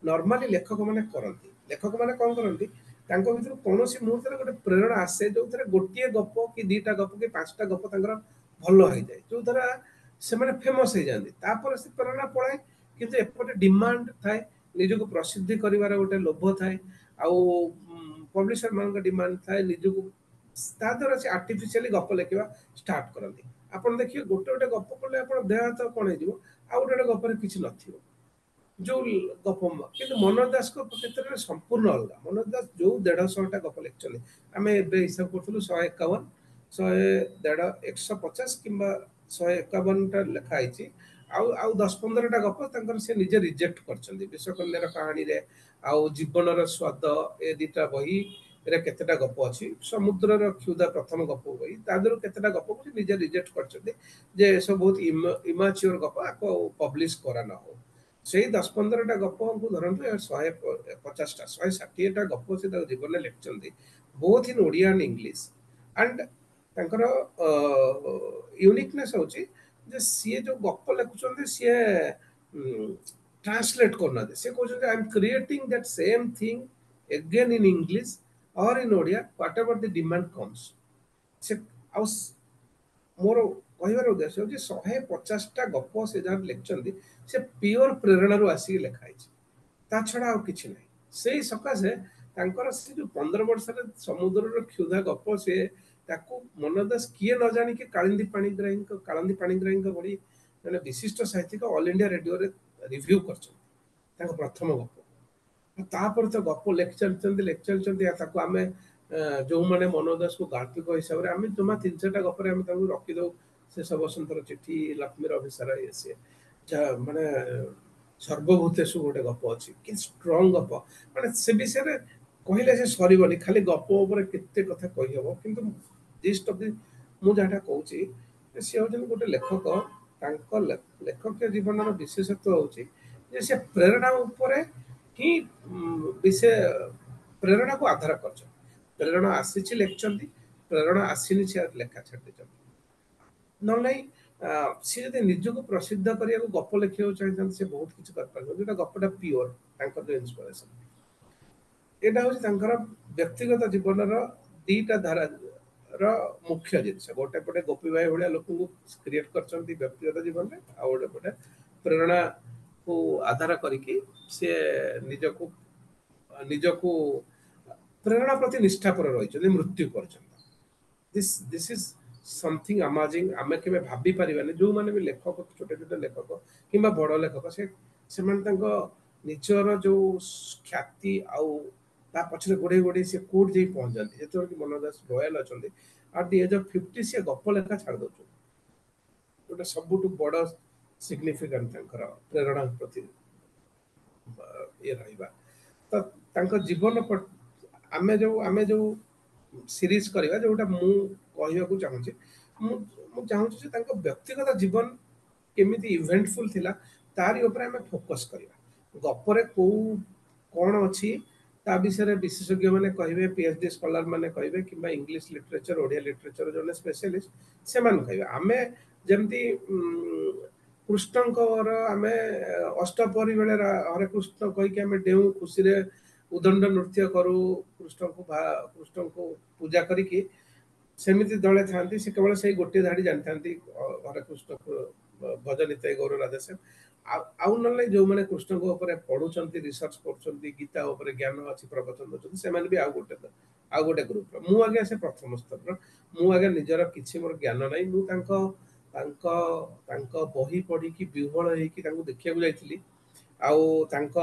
ନର୍ମାଲି ଲେଖକମାନେ କରନ୍ତି। ଲେଖକମାନେ କଣ କରନ୍ତି? ତାଙ୍କ ଭିତରୁ କୌଣସି ମୁହୂର୍ତ୍ତରେ ଗୋଟେ ପ୍ରେରଣା ଆସେ, ଯୋଉଥିରେ ଗୋଟିଏ ଗପ କି ଦିଟା ଗପ କି ପାଞ୍ଚଟା ଗପ ତାଙ୍କର ଭଲ ହେଇଯାଏ, ଯୋଉଦ୍ୱାରା ସେମାନେ ଫେମସ୍ ହେଇଯାଆନ୍ତି। ତାପରେ ସେ ପ୍ରେରଣା ପଳାଏ। କିନ୍ତୁ ଏପଟେ ଡିମାଣ୍ଡ ଥାଏ, ନିଜକୁ ପ୍ରସିଦ୍ଧି କରିବାର ଗୋଟେ ଲୋଭ ଥାଏ, ଆଉ ପବ୍ଲିସର ମାନଙ୍କ ଡିମାଣ୍ଡ ଥାଏ ନିଜକୁ, ତା ଦ୍ୱାରା ସେ ଆର୍ଟିଫିସିଆଲି ଗପ ଲେଖିବା ଷ୍ଟାର୍ଟ କରନ୍ତି। ଆପଣ ଦେଖିବେ, ଗୋଟେ ଗୋଟେ ଗପ କଲେ ଆପଣ ଦେହ ହାତ କଣ ହେଇଯିବ, ଆଉ ଗୋଟେ ଗୋଟେ ଗପରେ କିଛି ନଥିବ ଯୋଉ ଗପ। କିନ୍ତୁ ମନୋଜ ଦାସଙ୍କ କ୍ଷେତ୍ରରେ ସମ୍ପୂର୍ଣ୍ଣ ଅଲଗା। ମନୋଜ ଦାସ ଯୋଉ ଦେଢ଼ଶହଟା ଗପ ଲେଖିଛନ୍ତି, ଆମେ ଏବେ ହିସାବ କରୁଥିଲୁ, ଶହେ ଏକାବନ, ଶହେ ଦେଢ଼, ଏକଶହ ପଚାଶ କିମ୍ବା ଶହେ ଏକାବନଟା ଲେଖା ହେଇଛି। ଆଉ ଆଉ ଦଶ ପନ୍ଦରଟା ଗପ ତାଙ୍କର ସେ ନିଜେ ରିଜେକ୍ଟ କରିଛନ୍ତି। ବିଶ୍ୱକନ୍ୟାର କାହାଣୀରେ ଆଉ ଜୀବନର ସ୍ୱାଦ, ଏ ଦିଟା ବହିରେ କେତେଟା ଗପ ଅଛି। ସମୁଦ୍ରର କ୍ଷୁଧା ପ୍ରଥମ ଗପ ବହି, ତା ଦେହରୁ କେତେଟା ଗପକୁ ସେ ନିଜେ ରିଜେକ୍ଟ କରିଛନ୍ତି ଯେ ଏସବୁ ବହୁତ ଇମାଚିଓର ଗପ, ଆକୁ ଆଉ ପବ୍ଲିଶ କରା ନ ହଉ। ସେଇ ଦଶ ପନ୍ଦରଟା ଗପକୁ ଧରନ୍ତୁ ଶହେ ପଚାଶଟା, ଶହେ ଷାଠିଏଟା ଗପ ସେ ତାଙ୍କ ଜୀବନରେ ଲେଖିଛନ୍ତି, both in Odia and English. And ତାଙ୍କର ୟୁନିକନେସ୍ ହେଉଛି ଯେ ସିଏ ଯୋଉ ଗପ ଲେଖୁଛନ୍ତି, ସିଏ ଟ୍ରାନ୍ସଲେଟ୍ କରୁନାହାନ୍ତି। ସେ କହୁଛନ୍ତି, "I am creating that same thing again in English or in Odia, whatever the demand comes." ସେ ଆଉ ମୋର କହିବାର ଉଦ୍ଦେଶ୍ୟ ହେଉଛି, ଶହେ ପଚାଶଟା ଗପ ସେ ଯାହା ଲେଖିଛନ୍ତି, ସେ ପିଓର ପ୍ରେରଣାରୁ ଆସିକି ଲେଖା ହେଇଛି, ତା ଛଡ଼ା ଆଉ କିଛି ନାହିଁ। ସେଇ ସକାଶେ ତାଙ୍କର ସେ ଯୋଉ ପନ୍ଦର ବର୍ଷରେ ସମୁଦ୍ରର କ୍ଷୁଧା ଗପ, ସେ ତାକୁ ମନୋଜ ଦାସ କିଏ ନ ଜାଣିକି କାଳିନ୍ଦୀ ପାଣିଗ୍ରାହୀଙ୍କ କାଳନ୍ଦୀ ପାଣିଗ୍ରାହୀଙ୍କ ଭଳି ଜଣେ ବିଶିଷ୍ଟ ସାହିତ୍ୟିକ ଅଲ୍ ଇଣ୍ଡିଆ ରେଡିଓରେ ରିଭ୍ୟୁ କରିଛନ୍ତି ତାଙ୍କ ପ୍ରଥମ ଗପ। ତାପରେ ତ ଗପ ଲେଖି ଚାଲିଛନ୍ତି, ଲେଖି ଚାଲିଛନ୍ତି। ତାକୁ ଆମେ ଯେଉଁମାନେ ମନୋଜ ଦାସକୁ ଗାଳ୍ପିକ ହିସାବରେ ଆମେ ଜମା ତିନି ଚାରିଟା ଗପରେ ଆମେ ତାଙ୍କୁ ରଖିଦଉ, ସେ ବସନ୍ତର ଚିଠି, ଲକ୍ଷ୍ମୀର ଅଭିସାର, ଇଏ ସିଏ, ଯାହା ମାନେ ସର୍ବଭୂତେଷୁ ଗୋଟେ ଗପ ଅଛି କି ଷ୍ଟ୍ରଙ୍ଗ ଗପ, ମାନେ ସେ ବିଷୟରେ କହିଲେ ସେ ସରିବନି, ଖାଲି ଗପ ଉପରେ କେତେ କଥା କହିହବ। କିନ୍ତୁ ଜିଷ୍ଟ ଅଫ୍ the ମୁଁ ଯାହାଟା କହୁଛି, ସିଏ ହେଉଛନ୍ତି ଗୋଟେ ଲେଖକ। ତାଙ୍କ ଲେଖକୀୟ ଜୀବନର ବିଶେଷତ୍ୱ ହେଉଛି ଯେ ସେ ପ୍ରେରଣା ଉପରେ ହିଁ ବିଶେଷ ପ୍ରେରଣାକୁ ଆଧାର କରିଛନ୍ତି। ପ୍ରେରଣା ଆସିଛି ଲେଖିଛନ୍ତି, ପ୍ରେରଣା ଆସିନି ସେ ଲେଖା ଛାଡ଼ି ଦେଇଛନ୍ତି। ନହେଲେ ନାହିଁ ସିଏ ଯଦି ନିଜକୁ ପ୍ରସିଦ୍ଧ କରିବାକୁ ଗପ ଲେଖିବାକୁ ଚାହିଁଥାନ୍ତି, ସେ ବହୁତ କିଛି କରିପାରିବେ। ଯୋଉଟା ଗପଟା ପିଓର ତାଙ୍କର ଯୋଉ ଇନ୍ସପିରେସନ, ଏଇଟା ହେଉଛି ତାଙ୍କର ବ୍ୟକ୍ତିଗତ ଜୀବନର ଦିଟା ଧାରାର ମୁଖ୍ୟ ଜିନିଷ। ଗୋଟେ ପଟେ ଗୋପୀ ଭାଇ ଭଳିଆ ଲୋକଙ୍କୁ କ୍ରିଏଟ କରିଛନ୍ତି ବ୍ୟକ୍ତିଗତ ଜୀବନରେ, ଆଉ ଗୋଟେ ପଟେ ପ୍ରେରଣାକୁ ଆଧାର କରିକି ସିଏ ନିଜକୁ ନିଜକୁ ପ୍ରେରଣା ପ୍ରତି ନିଷ୍ଠାପର ରହିଛନ୍ତି ମୃତ୍ୟୁ ପର୍ଯ୍ୟନ୍ତ। This this is something amazing. ଆମେ କେବେ ଭାବି ପାରିବାନି। ଯେଉଁମାନେ ବି ଲେଖକ, ଛୋଟ ଛୋଟ ଲେଖକ କିମ୍ବା ବଡ଼ ଲେଖକ, ସେ ସେମାନେ ତାଙ୍କ ନିଜର ଯୋଉ ଖ୍ୟାତି ଆଉ ତା ପଛରେ ଗୋଡ଼େଇ ଗୋଡ଼େଇ ସେ କୋଉଠି ଯାଇ ପହଞ୍ଚନ୍ତି। ଯେତେବେଳେ କି ମନୋଜ ଦାସ ରୟାଲ ଅଛନ୍ତି, at the age of fifty ସିଏ ଗପ ଲେଖା ଛାଡ଼ି ଦଉଛନ୍ତି। ଗୋଟେ ସବୁଠୁ ବଡ଼ ସିଗ୍ନିଫିକାଣ୍ଟ ତାଙ୍କର ପ୍ରେରଣା ପ୍ରତି ଇଏ ରହିବା। ତ ତାଙ୍କ ଜୀବନ ଆମେ ଯୋଉ ଆମେ ଯୋଉ ସିରିଜ କରିବା, ଯୋଉଟା ମୁଁ କହିବାକୁ ଚାହୁଁଛି, ମୁଁ ମୁଁ ଚାହୁଁଛି ଯେ ତାଙ୍କ ବ୍ୟକ୍ତିଗତ ଜୀବନ କେମିତି ଇଭେଣ୍ଟଫୁଲ ଥିଲା, ତାରି ଉପରେ ଆମେ ଫୋକସ୍ କରିବା। ଗପରେ କୋଉ କ'ଣ ଅଛି ତା ବିଷୟରେ ବିଶେଷଜ୍ଞ ମାନେ କହିବେ, ପି ଏଚ୍ ଡି ସ୍କଲାର ମାନେ କହିବେ, କିମ୍ବା ଇଂଲିଶ ଲିଟରେଚର, ଓଡ଼ିଆ ଲିଟରେଚର ଯୋଉମାନେ ସ୍ପେଶାଲିଷ୍ଟ ସେମାନେ କହିବେ। ଆମେ ଯେମିତି କୃଷ୍ଣଙ୍କର ଆମେ ଅଷ୍ଟପ୍ରହରୀ ବେଳେ ହରେ କୃଷ୍ଣ କହିକି ଆମେ ଡେଉଁ, ଖୁସିରେ ଉଦଣ୍ଡ ନୃତ୍ୟ କରୁ, କୃଷ୍ଣଙ୍କୁ କୃଷ୍ଣଙ୍କୁ ପୂଜା କରିକି, ସେମିତି ଦଳେ ଥାନ୍ତି ସେ କେବଳ ସେଇ ଗୋଟିଏ ଧାଡ଼ି ଜାଣିଥାନ୍ତି, ହରେ କୃଷ୍ଣ ଭଜ ନିତାଇ ଗୌର ରାଧେଶ୍ୟାମ। ଆଉ ଆଉ ନହେଲେ ଯୋଉମାନେ କୃଷ୍ଣଙ୍କ ଉପରେ ପଢୁଛନ୍ତି, ରିସର୍ଚ୍ଚ କରୁଛନ୍ତି, ଗୀତା ଉପରେ ଜ୍ଞାନ ଅଛି, ପ୍ରବଚନ ଦଉଛନ୍ତି, ସେମାନେ ବି ଆଉ ଗୋଟେ ଆଉ ଗୋଟେ ଗ୍ରୁପର। ମୁଁ ଆଜ୍ଞା ସେ ପ୍ରଥମ ସ୍ତରର। ମୁଁ ଆଜ୍ଞା ନିଜର କିଛି ମୋର ଜ୍ଞାନ ନାହିଁ। ମୁଁ ତାଙ୍କ ତାଙ୍କ ତାଙ୍କ ବହି ପଢିକି ବିହ୍ୱଳ ହେଇକି ତାଙ୍କୁ ଦେଖିବାକୁ ଯାଇଥିଲି। ଆଉ ତାଙ୍କ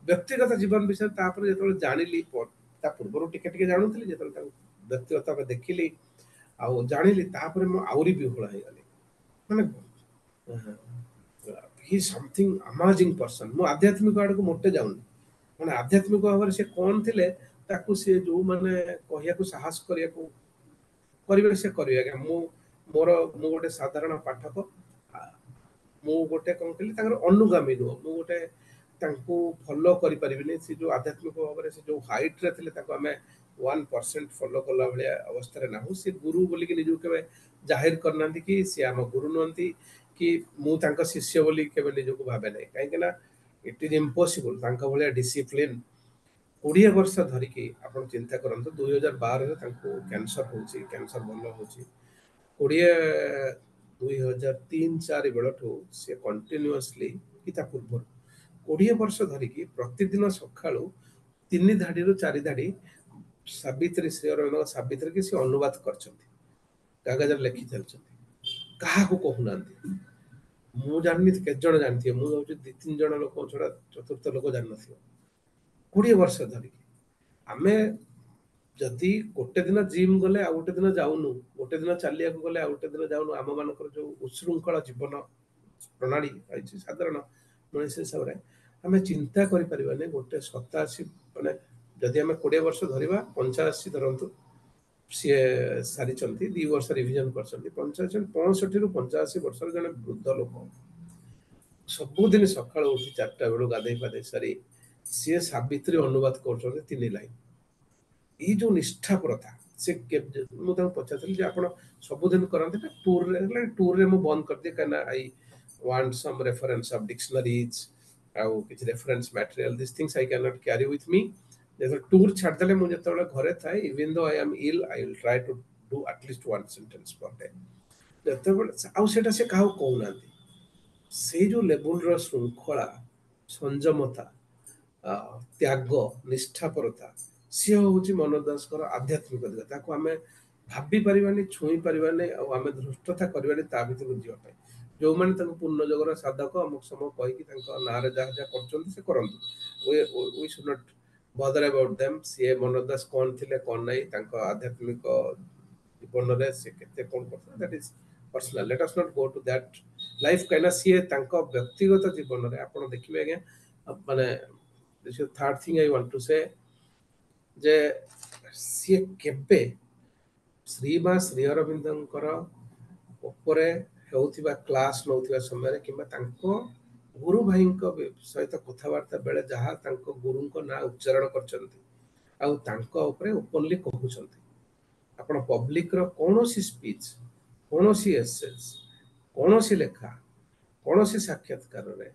ବ୍ୟକ୍ତିଗତ ଜୀବନ ବିଷୟରେ ତାପରେ ଯେତେବେଳେ ଜାଣିଲି, ତା ପୂର୍ବରୁ ଟିକେ ଟିକେ ଜାଣୁଥିଲି, ଯେତେବେଳେ ତାଙ୍କୁ ବ୍ୟକ୍ତିଗତ ଭାବେ ଦେଖିଲି ଆଉ ଜାଣିଲି, ତାପରେ ମୁଁ ଆହୁରି ବିହ୍ୱଳ ହେଇଗଲି। ମାନେ ହି ସମଥିଙ୍ଗ ଆମାଜିଂ ପର୍ସନ। ମୁଁ ଆଧ୍ୟାତ୍ମିକ ଆଡ଼କୁ ମୋଟେ ଯାଉନି, ମାନେ ଆଧ୍ୟାତ୍ମିକ ଭାବରେ ସେ କ'ଣ ଥିଲେ ତାକୁ ସିଏ ଯୋଉମାନେ କହିବାକୁ ସାହସ କରିବାକୁ କରିବେ ସେ କରିବେ ଆଜ୍ଞା। ମୁଁ ମୋର ମୁଁ ଗୋଟେ ସାଧାରଣ ପାଠକ, ମୁଁ ଗୋଟେ କ'ଣ କହିଲି ତାଙ୍କର ଅନୁଗାମୀ ନୁହଁ, ମୁଁ ଗୋଟେ ତାଙ୍କୁ ଫଲୋ କରିପାରିବିନି। ସେ ଯୋଉ ଆଧ୍ୟାତ୍ମିକ ଭାବରେ ସେ ଯୋଉ ହାଇଟ୍ରେ ଥିଲେ ତାକୁ ଆମେ ୱାନ୍ ପରସେଣ୍ଟ ଫଲୋ କଲା ଭଳିଆ ଅବସ୍ଥାରେ ନାହୁଁ। ସେ ଗୁରୁ ବୋଲିକି ନିଜକୁ କେବେ ଜାହିର କରିନାହାନ୍ତି କି ସିଏ ଆମ ଗୁରୁ ନୁହନ୍ତି କି ମୁଁ ତାଙ୍କ ଶିଷ୍ୟ ବୋଲି କେବେ ନିଜକୁ ଭାବେ ନାହିଁ। କାହିଁକି ନା ଇଟ୍ is impossible ତାଙ୍କ ଭଳିଆ ଡିସିପ୍ଲିନ୍ କୋଡ଼ିଏ ବର୍ଷ ଧରିକି। ଆପଣ ଚିନ୍ତା କରନ୍ତୁ, ଦୁଇ ହଜାର ବାରରେ ତାଙ୍କୁ କ୍ୟାନ୍ସର ହେଉଛି, କ୍ୟାନ୍ସର ଭଲ ହେଉଛି। କୋଡ଼ିଏ ଦୁଇ ହଜାର ତିନି ଚାରି ବେଳଠୁ ସେ କଣ୍ଟିନ୍ୟୁଅସଲି କି ତା ପୂର୍ବରୁ କୋଡ଼ିଏ ବର୍ଷ ଧରିକି ପ୍ରତିଦିନ ସକାଳୁ ତିନି ଧାଡ଼ିରୁ ଚାରି ଧାଡ଼ି ସାବିତ୍ରୀ, ଶ୍ରୀ ଅରବିନ୍ଦଙ୍କ ସାବିତ୍ରୀ କି ସେ ଅନୁବାଦ କରିଛନ୍ତି, କାଗଜରେ ଲେଖି ଚାଲିଛନ୍ତି, କାହାକୁ କହୁନାହାନ୍ତି। ମୁଁ ଜାଣିନି କେତେ ଜଣ ଜାଣିଥିବେ, ମୁଁ ଭାବୁଛି ଦି ତିନି ଜଣ ଲୋକ ଛଡ଼ା ଚତୁର୍ଥ ଲୋକ ଜାଣିନଥିବ। କୋଡ଼ିଏ ବର୍ଷ ଧରିକି ଆମେ ଯଦି ଗୋଟେ ଦିନ ଜିମ୍ ଗଲେ ଆଉ ଗୋଟେ ଦିନ ଯାଉନୁ, ଗୋଟେ ଦିନ ଚାଲିବାକୁ ଗଲେ ଆଉ ଗୋଟେ ଦିନ ଯାଉନୁ, ଆମ ମାନଙ୍କର ଯୋଉ ଉଶୃଙ୍ଖଳ ଜୀବନ ପ୍ରଣାଳୀ ରହିଛି ସାଧାରଣ ମଣିଷ ହିସାବରେ ଆମେ ଚିନ୍ତା କରିପାରିବାନି। ଗୋଟେ ସତାଅଶୀ ମାନେ ଯଦି ଆମେ କୋଡ଼ିଏ ବର୍ଷ ଧରିବା, ପଞ୍ଚାଅଶୀ ଧରନ୍ତୁ ସିଏ ସାରିଛନ୍ତି, ଦି ବର୍ଷ ରିଭିଜନ କରିଛନ୍ତି, ପଞ୍ଚାଅଶୀ ପଞ୍ଚଷଠିରୁ ପଞ୍ଚାଅଶୀ ବର୍ଷର ଜଣେ ବୃଦ୍ଧ ଲୋକ ସବୁଦିନ ସକାଳୁ ଉଠି ଚାରିଟା ବେଳୁ ଗାଧେଇ ପାଧେଇ ସାରି ସିଏ ସାବିତ୍ରୀ ଅନୁବାଦ କରୁଛନ୍ତି ତିନି ଲାଇନ। ଏଇ ଯୋଉ ନିଷ୍ଠାପରତା, ସେ ମୁଁ ତାଙ୍କୁ ପଚାରିଥିଲି ଯେ ଆପଣ ସବୁଦିନ କରନ୍ତି ନା ଟୁରରେ? ଟୁରରେ ମୁଁ ବନ୍ଦ କରିଦିଏ, କାହିଁକିନା I want some reference of dictionaries ଆଉ କିଛି reference material, this things I can not carry with ମି। ଯେତେବେଳେ ଟୁର୍ ଛାଡ଼ିଦେଲେ ମୁଁ ଯେତେବେଳେ ଘରେ ଥାଏ, even though I am ill, I will try to do at least one sentence per day. ଯେତେବେଳେ ଆଉ ସେଇଟା ସେ କାହାକୁ କହୁନାହାନ୍ତି। ସେଇ ଯୋଉ ଲେବୁଲର ଶୃଙ୍ଖଳା, ସଂଯମତା, ତ୍ୟାଗ, ନିଷ୍ଠାପରତା, ସିଏ ହେଉଛି ମନୋଜ ଦାସଙ୍କର ଆଧ୍ୟାତ୍ମିକ ଦିଗ। ତାକୁ ଆମେ ଭାବି ପାରିବାନି, ଛୁଇଁ ପାରିବାନି, ଆଉ ଆମେ ଧୃଷ୍ଟତା କରିବାନି ତା ଭିତରକୁ ଯିବା ପାଇଁ। ଯେଉଁମାନେ ତାଙ୍କୁ ପୂର୍ଣ୍ଣ ଯୋଗର ସାଧକ ଅମୁକ ସମୁକ କହିକି ତାଙ୍କ ନାଁରେ ଯାହା ଯାହା କରୁଛନ୍ତି ସେ କରନ୍ତୁ। We should not bother about them ସିଏ ମନୋଜ ଦାସ କ'ଣ ଥିଲେ କ'ଣ ନାହିଁ ତାଙ୍କ ଆଧ୍ୟାତ୍ମିକ ଜୀବନରେ ସେ କେତେ କ'ଣ କରୁଥିଲେ that is personal let us not go to that life କାହିଁକିନା ସିଏ ତାଙ୍କ ବ୍ୟକ୍ତିଗତ ଜୀବନରେ ଆପଣ ଦେଖିବେ ଆଜ୍ଞା ମାନେ third thing I want to say ଯେ ସିଏ କେବେ ଶ୍ରୀମା ଶ୍ରୀ ଅରବିନ୍ଦଙ୍କର ଉପରେ ହେଉଥିବା କ୍ଲାସ୍ ନେଉଥିବା ସମୟରେ କିମ୍ବା ତାଙ୍କ ଗୁରୁ ଭାଇଙ୍କ ସହିତ କଥାବାର୍ତ୍ତା ବେଳେ ଯାହା ତାଙ୍କ ଗୁରୁଙ୍କ ନାଁ ଉଚ୍ଚାରଣ କରିଛନ୍ତି ଆଉ ତାଙ୍କ ଉପରେ ଓପନଲି କହୁଛନ୍ତି ଆପଣ ପବ୍ଲିକର କୌଣସି ସ୍ପିଚ୍ କୌଣସି ଏସେସ୍ କୌଣସି ଲେଖା କୌଣସି ସାକ୍ଷାତକାରରେ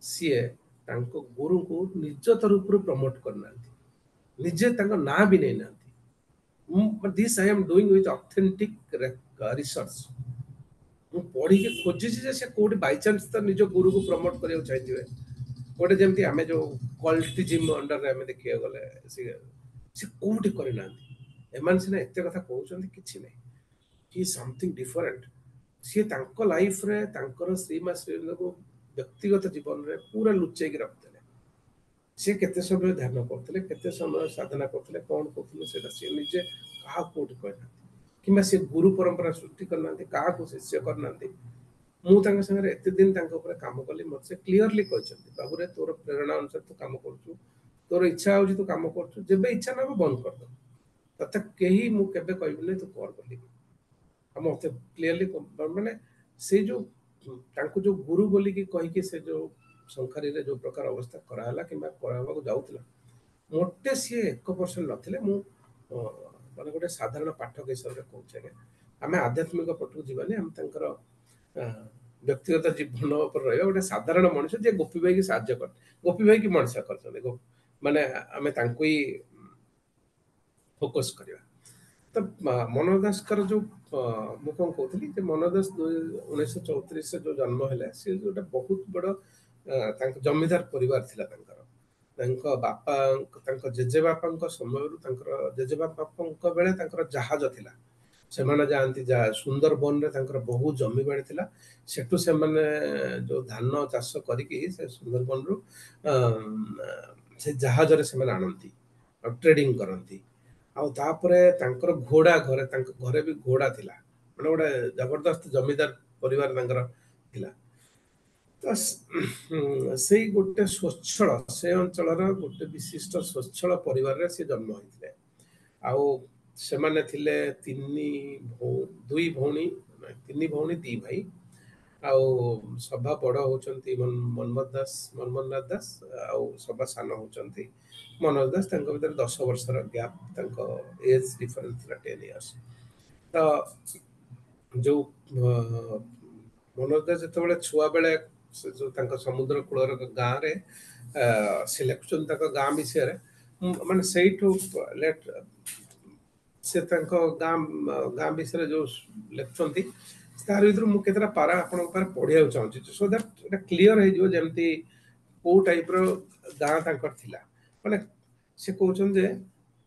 ସିଏ ତାଙ୍କ ଗୁରୁଙ୍କୁ ନିଜ ତରଫରୁ ପ୍ରମୋଟ କରିନାହାନ୍ତି ନିଜେ ତାଙ୍କ ନାଁ ବି ନେଇନାହାନ୍ତି this I am doing with authentic research ମୁଁ ପଢିକି ଖୋଜିଛି ଯେ ସେ କୋଉଠି ବାଇଚାନ୍ସ ତ ନିଜ ଗୁରୁକୁ ପ୍ରମୋଟ କରିବାକୁ ଚାହିଁଥିବେ ଗୋଟେ ଯେମିତି ଆମେ ଯୋଉ କଲ୍ଟିଜିମ୍ ଅଣ୍ଡରରେ ଆମେ ଦେଖିବାକୁ ଗଲେ ସେ ସେ କୋଉଠି କରିନାହାନ୍ତି ଏମାନେ ସିନା ଏତେ କଥା କହୁଛନ୍ତି କିଛି ନାହିଁ ହି ସମଥିଙ୍ଗ ଡିଫରେଣ୍ଟ ସିଏ ତାଙ୍କ ଲାଇଫରେ ତାଙ୍କର ଶ୍ରୀମା ଶ୍ରୀଙ୍କୁ ବ୍ୟକ୍ତିଗତ ଜୀବନରେ ପୁରା ଲୁଚେଇକି ରଖିଥିଲେ ସିଏ କେତେ ସମୟ ଧ୍ୟାନ କରୁଥିଲେ କେତେ ସମୟ ସାଧନା କରୁଥିଲେ କ'ଣ କରୁଥିଲେ ସେଇଟା ସିଏ ନିଜେ କାହାକୁ କୋଉଠି କହିନାହାନ୍ତି କିମ୍ବା ସେ ଗୁରୁ ପରମ୍ପରା ସୃଷ୍ଟି କରିନାହାନ୍ତି କାହାକୁ ଶିଷ୍ୟ କରିନାହାନ୍ତି ମୁଁ ତାଙ୍କ ସାଙ୍ଗରେ ଏତେ ଦିନ ତାଙ୍କ ଉପରେ କାମ କଲି ମୋତେ ସେ କ୍ଲିଅରଲି କହିଛନ୍ତି ବାବୁରେ ତୋର ପ୍ରେରଣା ଅନୁସାରେ ତୁ କାମ କରୁଛୁ ତୋର ଇଚ୍ଛା ହଉଛି ତୁ କାମ କରୁଛୁ ଯେବେ ଇଚ୍ଛା ନ ହବ ବନ୍ଦ କରିଦବୁ ତତେ କେହି ମୁଁ କେବେ କହିବିନି ତୁ କର ବୋଲି ଆଉ ମତେ କ୍ଲିଅରଲି ମାନେ ସେ ଯୋଉ ତାଙ୍କୁ ଯୋଉ ଗୁରୁ ବୋଲିକି କହିକି ସେ ଯୋଉ ସଂସାରୀରେ ଯୋଉ ପ୍ରକାର ଅବସ୍ଥା କରାହେଲା କିମ୍ବା କରାହେବାକୁ ଯାଉଥିଲା ମୋଟେ ସିଏ ଏକ ପରସେଣ୍ଟ ନଥିଲେ ମୁଁ ମାନେ ଗୋଟେ ସାଧାରଣ ପାଠକ ହିସାବରେ କହୁଛି ଆଜ୍ଞା ଆମେ ଆଧ୍ୟାତ୍ମିକ ପଟକୁ ଯିବାନି ଆମେ ତାଙ୍କର ବ୍ୟକ୍ତିଗତ ଜୀବନ ଉପରେ ରହିବା ଗୋଟେ ସାଧାରଣ ମଣିଷ ଯିଏ ଗୋପୀ ଭାଇକି ସାହାଯ୍ୟ କରେ ଗୋପୀ ଭାଇକି ମଣିଷ କରିଛନ୍ତି ମାନେ ଆମେ ତାଙ୍କୁ ହିଁ ଫୋକସ୍ କରିବା ତ ମନୋଜ ଦାସଙ୍କର ଯୋଉ ମୁଁ କଣ କହୁଥିଲି ଯେ ମନୋଜ ଦାସ ଉଣେଇଶହ ଚଉତିରିଶରେ ଯୋଉ ଜନ୍ମ ହେଲେ ସେ ଗୋଟେ ବହୁତ ବଡ ତାଙ୍କ ଜମିଦାର ପରିବାର ଥିଲା ତାଙ୍କର ତାଙ୍କ ବାପା ତାଙ୍କ ଜେଜେବାପାଙ୍କ ସମୟରୁ ତାଙ୍କର ଜେଜେବାପାଙ୍କ ବେଳେ ତାଙ୍କର ଜାହାଜ ଥିଲା ସେମାନେ ଯାଆନ୍ତି ଯା ସୁନ୍ଦରବନରେ ତାଙ୍କର ବହୁତ ଜମିବାଡ଼ି ଥିଲା ସେଠୁ ସେମାନେ ଯୋଉ ଧାନ ଚାଷ କରିକି ସେ ସୁନ୍ଦରବନରୁ ସେ ଜାହାଜରେ ସେମାନେ ଆଣନ୍ତି ଆଉ ଟ୍ରେଡିଂ କରନ୍ତି ଆଉ ତାପରେ ତାଙ୍କର ଘୋଡ଼ା ଘରେ ତାଙ୍କ ଘରେ ବି ଘୋଡ଼ା ଥିଲା ମାନେ ଗୋଟେ ଜବରଦସ୍ତ ଜମିଦାର ପରିବାର ତାଙ୍କର ଥିଲା ତ ସେଇ ଗୋଟେ ସ୍ୱଚ୍ଛଳ ସେ ଅଞ୍ଚଳର ଗୋଟେ ବିଶିଷ୍ଟ ସ୍ୱଚ୍ଛଳ ପରିବାରରେ ସେ ଜନ୍ମ ହୋଇଥିଲେ ଆଉ ସେମାନେ ଥିଲେ ତିନି ଦୁଇ ଭଉଣୀ ତିନି ଭଉଣୀ ଦି ଭାଇ ଆଉ ସଭା ବଡ଼ ହଉଛନ୍ତି ମନ୍ମଥ ଦାସ ମନ୍ମଥନାଥ ଦାସ ଆଉ ସଭା ସାନ ହଉଛନ୍ତି ମନୋଜ ଦାସ ତାଙ୍କ ଭିତରେ ଦଶ ବର୍ଷର ଗ୍ୟାପ୍ ତାଙ୍କ ଏଜ୍ ଡିଫରେନ୍ସ ଥିଲା ଟେନ୍ ଇୟର୍ସ ତ ଯୋଉ ମନୋଜ ଦାସ ଯେତେବେଳେ ଛୁଆ ବେଳେ ସେ ଯୋଉ ତାଙ୍କ ସମୁଦ୍ର କୂଳର ଗାଁରେ ସେ ଲେଖୁଛନ୍ତି ତାଙ୍କ ଗାଁ ବିଷୟରେ ମାନେ ସେଇଠୁ ଲେଟ୍ ସେ ତାଙ୍କ ଗାଁ ଗାଁ ବିଷୟରେ ଯୋଉ ଲେଖୁଛନ୍ତି ତାର ଭିତରୁ ମୁଁ କେତେଟା ପାରା ଆପଣଙ୍କ ପାଖରେ ପଢିବାକୁ ଚାହୁଁଛି ସୋ that ଏଟା କ୍ଲିଅର ହେଇଯିବ ଯେମିତି କୋଉ ଟାଇପର ଗାଁ ତାଙ୍କର ଥିଲା ମାନେ ସେ କହୁଛନ୍ତି ଯେ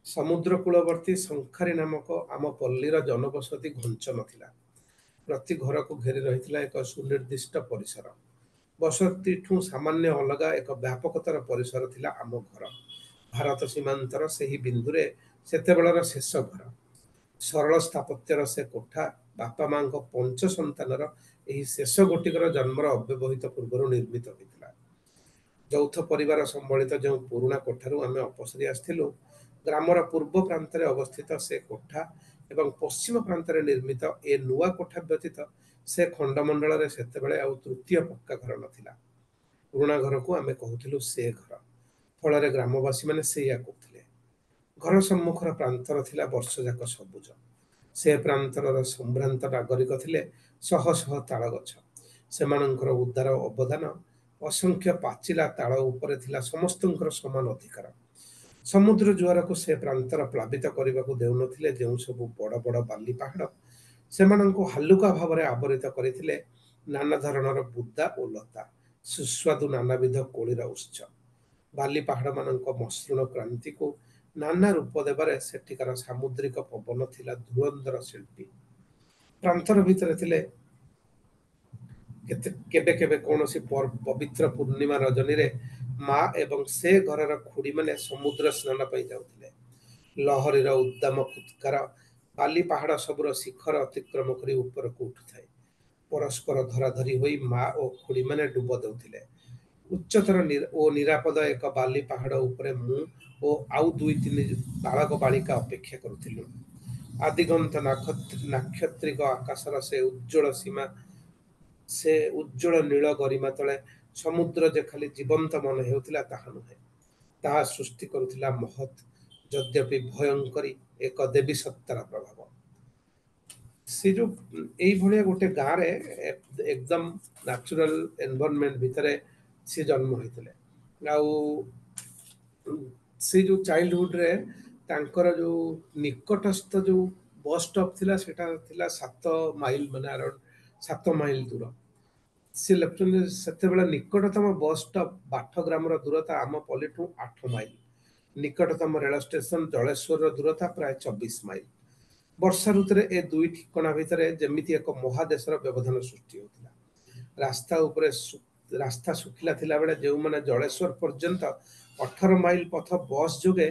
ସମୁଦ୍ର କୂଳବର୍ତ୍ତୀ ଶଙ୍ଖାରୀ ନାମକ ଆମ ପଲ୍ଲୀର ଜନବସତି ଘଞ୍ଚ ନଥିଲା ପ୍ରତି ଘରକୁ ଘେରି ରହିଥିଲା ଏକ ସୁନିର୍ଦ୍ଦିଷ୍ଟ ପରିସର ବସତିଠୁ ସାମାନ୍ୟ ଅଲଗା ଏକ ବ୍ୟାପକତର ପରିସର ଥିଲା ଆମ ଘର ଭାରତ ସୀମାନ୍ତର ସେହି ବିନ୍ଦୁରେ ସେତେବେଳର ଶେଷ ଘର ସରଳ ସ୍ଥାପତ୍ୟର ସେ କୋଠା ବାପା ମାଙ୍କ ପଞ୍ଚ ସନ୍ତାନର ଏହି ଶେଷ ଗୋଟିକର ଜନ୍ମର ଅବ୍ୟବହିତ ପୂର୍ବରୁ ନିର୍ମିତ ହୋଇଥିଲା ଯୌଥ ପରିବାର ସମ୍ବଳିତ ଯେଉଁ ପୁରୁଣା କୋଠାରୁ ଆମେ ଅପସରି ଆସିଥିଲୁ ଗ୍ରାମର ପୂର୍ବ ପ୍ରାନ୍ତରେ ଅବସ୍ଥିତ ସେ କୋଠା ଏବଂ ପଶ୍ଚିମ ପ୍ରାନ୍ତରେ ନିର୍ମିତ ଏ ନୂଆ କୋଠା ବ୍ୟତୀତ ସେ ଖଣ୍ଡମଣ୍ଡଳରେ ସେତେବେଳେ ଆଉ ତୃତୀୟ ପକ୍କା ଘର ନଥିଲା ପୁରୁଣା ଘରକୁ ଆମେ କହୁଥିଲୁ ସେ ଘର ଫଳରେ ଗ୍ରାମବାସୀମାନେ ସେଇଆ କହୁଥିଲେ ଘର ସମ୍ମୁଖର ପ୍ରାନ୍ତର ଥିଲା ବର୍ଷଯାକ ସବୁଜ ସେ ପ୍ରାନ୍ତରର ସମ୍ଭ୍ରାନ୍ତ ନାଗରିକ ଥିଲେ ଶହ ଶହ ତାଳ ଗଛ ସେମାନଙ୍କର ଉଦାର ଅବଦାନ ଅସଂଖ୍ୟ ପାଚିଲା ତାଳ ଉପରେ ଥିଲା ସମସ୍ତଙ୍କର ସମାନ ଅଧିକାର ସମୁଦ୍ର ଜୁଆରକୁ ସେ ପ୍ରାନ୍ତର ପ୍ଲାବିତ କରିବାକୁ ଦେଉନଥିଲେ ଯେଉଁ ସବୁ ବଡ଼ ବଡ଼ ବାଲି ପାହାଡ଼ ସେମାନଙ୍କୁ ହାଲୁକା ଭାବରେ ଆବରିତ କରିଥିଲେ ନାନା ଧରଣର ବୁଦା ଓ ଲତା ସୁସ୍ୱାଦୁ ନାନାବିଧ କୋଳିର ଉତ୍ସ ବାଲି ପାହାଡ଼ମାନଙ୍କ ମସୃଣ କ୍ରାନ୍ତିକୁ ନାନା ରୂପ ଦେବାରେ ସେଠିକାର ସାମୁଦ୍ରିକ ପବନ ଥିଲା ଧୁରନ୍ଧର ଶିଳ୍ପୀ ପ୍ରାନ୍ତର ଭିତରେ ଥିଲେ କେତେ କେବେ କେବେ କୌଣସି ପବିତ୍ର ପୂର୍ଣ୍ଣିମା ରଜନୀରେ ମା ଏବଂ ସେ ଘରର ଖୁଡ଼ିମାନେ ସମୁଦ୍ର ସ୍ନାନ ପାଇଁ ଯାଉଥିଲେ। ଲହରୀର ଉଦ୍ଦାମ ଫୁତ୍କାର ବାଲି ପାହାଡ଼ ସବୁର ଶିଖର ଅତିକ୍ରମ କରି ଉପରକୁ ଉଠୁଥାଏ। ପରସ୍ପର ଧରାଧରି ହୋଇ ମା ଓ ଖୁଡ଼ିମାନେ ଡୁବ ଦେଉଥିଲେ। ଉଚ୍ଚତର ଓ ନିରାପଦ ଏକ ବାଲି ପାହାଡ଼ ଉପରେ ମୁଁ ଓ ଆଉ ଦୁଇ ତିନି ବାଳକ ବାଳିକା ଅପେକ୍ଷା କରୁଥିଲୁ। ଆଦିଗନ୍ତ ନାକ୍ଷତ୍ରିକ ଆକାଶର ସେ ଉଜ୍ଜ୍ୱଳ ସୀମା, ସେ ଉଜ୍ଜ୍ୱଳ ନୀଳ ଗରିମା ତଳେ ସମୁଦ୍ର ଯେ ଖାଲି ଜୀବନ୍ତ ମନେ ହେଉଥିଲା ତାହା ନୁହେଁ, ତାହା ସୃଷ୍ଟି କରୁଥିଲା ମହତ୍ ଯଦ୍ୟପି ଭୟଙ୍କରୀ ଏକ ଦେବୀ ସତ୍ତାର ପ୍ରଭାବ। ସେ ଯୋଉ ଏଇଭଳିଆ ଗୋଟେ ଗାଁରେ ଏକଦମ ନ୍ୟାଚୁରାଲ ଏନଭାରନମେଣ୍ଟ ଭିତରେ ସେ ଜନ୍ମ ହୋଇଥିଲେ। ଆଉ ସେ ଯୋଉ ଚାଇଲ୍ଡହୁଡରେ ତାଙ୍କର ଯୋଉ ନିକଟସ୍ଥ ଯୋଉ ବସ୍ ଷ୍ଟପ୍ ଥିଲା ସେଟା ଥିଲା ସାତ ମାଇଲ, ମାନେ ଆରାଉଣ୍ଡ ସାତ ମାଇଲ ଦୂର। ସେ ଲେଖୁଛନ୍ତି ସେତେବେଳେ ନିକଟତମ ବସ୍ ଷ୍ଟପ୍ ବାଠଗ୍ରାମର ଦୂରତା ଆମ ପଲ୍ଲୀଠୁ ଆଠ ମାଇଲ, ନିକଟତମ ରେଳ ଷ୍ଟେସନ ଜଳେଶ୍ୱରର ଦୂରତା ପ୍ରାୟ ଚବିଶ ମାଇଲ। ବର୍ଷା ଋତୁରେ ଏ ଦୁଇ ଠିକଣା ଭିତରେ ଯେମିତି ଏକ ମହାଦେଶର ବ୍ୟବଧାନ ସୃଷ୍ଟି ହେଉଥିଲା। ରାସ୍ତା ଉପରେ ରାସ୍ତା ଶୁଖିଲା ଥିଲାବେଳେ ଯେଉଁମାନେ ଜଳେଶ୍ୱର ପର୍ଯ୍ୟନ୍ତ ଅଠର ମାଇଲ ପଥ ବସ୍ ଯୋଗେ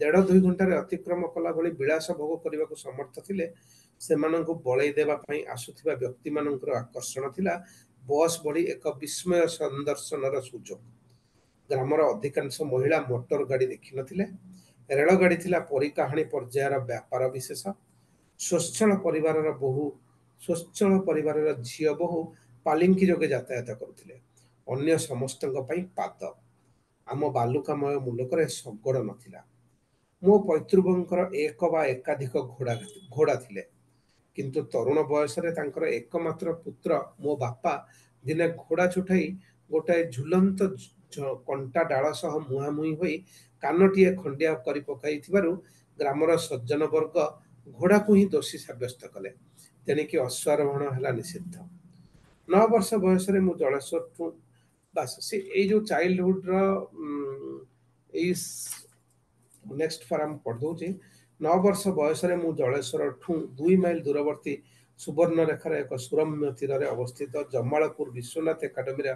ଦେଢ଼ ଦୁଇ ଘଣ୍ଟାରେ ଅତିକ୍ରମ କଲା ଭଳି ବିଳାସ ଭୋଗ କରିବାକୁ ସମର୍ଥ ଥିଲେ, ସେମାନଙ୍କୁ ବଳେଇ ଦେବା ପାଇଁ ଆସୁଥିବା ବ୍ୟକ୍ତିମାନଙ୍କର ଆକର୍ଷଣ ଥିଲା ବସ୍ ଭଳି ଏକ ବିସ୍ମୟ ସନ୍ଦର୍ଶନର ସୁଯୋଗ। ଗ୍ରାମର ଅଧିକାଂଶ ମହିଳା ମୋଟର ଗାଡ଼ି ଦେଖିନଥିଲେ। ରେଳଗାଡ଼ି ଥିଲା ପରିକାହାଣୀ ପର୍ଯ୍ୟାୟର ବ୍ୟାପାର ବିଶେଷ। ସ୍ୱଚ୍ଛଳ ପରିବାରର ବୋହୂ ସ୍ୱଚ୍ଛଳ ପରିବାରର ଝିଅ ବୋହୂ ପାଲିଙ୍କି ଯୋଗେ ଯାତାୟାତ କରୁଥିଲେ, ଅନ୍ୟ ସମସ୍ତଙ୍କ ପାଇଁ ପାଦ। ଆମ ବାଲୁକାମୟ ମୁଲକରେ ଶଗଡ଼ ନଥିଲା। ମୋ ପୈତୃକଙ୍କର ଏକ ବା ଏକାଧିକ ଘୋଡ଼ା ଘୋଡ଼ା ଥିଲେ, କିନ୍ତୁ ତରୁଣ ବୟସରେ ତାଙ୍କର ଏକମାତ୍ର ପୁତ୍ର ମୋ ବାପା ଦିନେ ଘୋଡ଼ା ଛୁଟାଇ ଗୋଟାଏ ଝୁଲନ୍ତ କଣ୍ଟା ଡାଳ ସହ ମୁହାଁମୁହିଁ ହୋଇ କାନଟିଏ ଖଣ୍ଡିଆ କରି ପକାଇଥିବାରୁ ଗ୍ରାମର ସଜ୍ଜନ ବର୍ଗ ଘୋଡ଼ାକୁ ହିଁ ଦୋଷୀ ସାବ୍ୟସ୍ତ କଲେ। ତେଣିକି ଅଶ୍ୱାରୋହଣ ହେଲା ନିଷିଦ୍ଧ। ନଅ ବର୍ଷ ବୟସରେ ମୁଁ ଜଳେଶ୍ୱରଠୁ ବାସ ସେ ଏଇ ଯୋଉ ଚାଇଲ୍ଡହୁଡର ଏଇ ନେକ୍ସଟ ଫାରାମ ପଢ଼ିଦଉଛି। ନଅ ବର୍ଷ ବୟସରେ ମୁଁ ଜଳେଶ୍ୱରଠୁ ଦୁଇ ମାଇଲ ଦୂରବର୍ତ୍ତୀ ସୁବର୍ଣ୍ଣରେଖାର ଏକ ସୁରମ୍ୟ ତୀରରେ ଅବସ୍ଥିତ ଜମାଳପୁର ବିଶ୍ୱନାଥ ଏକାଡେମୀର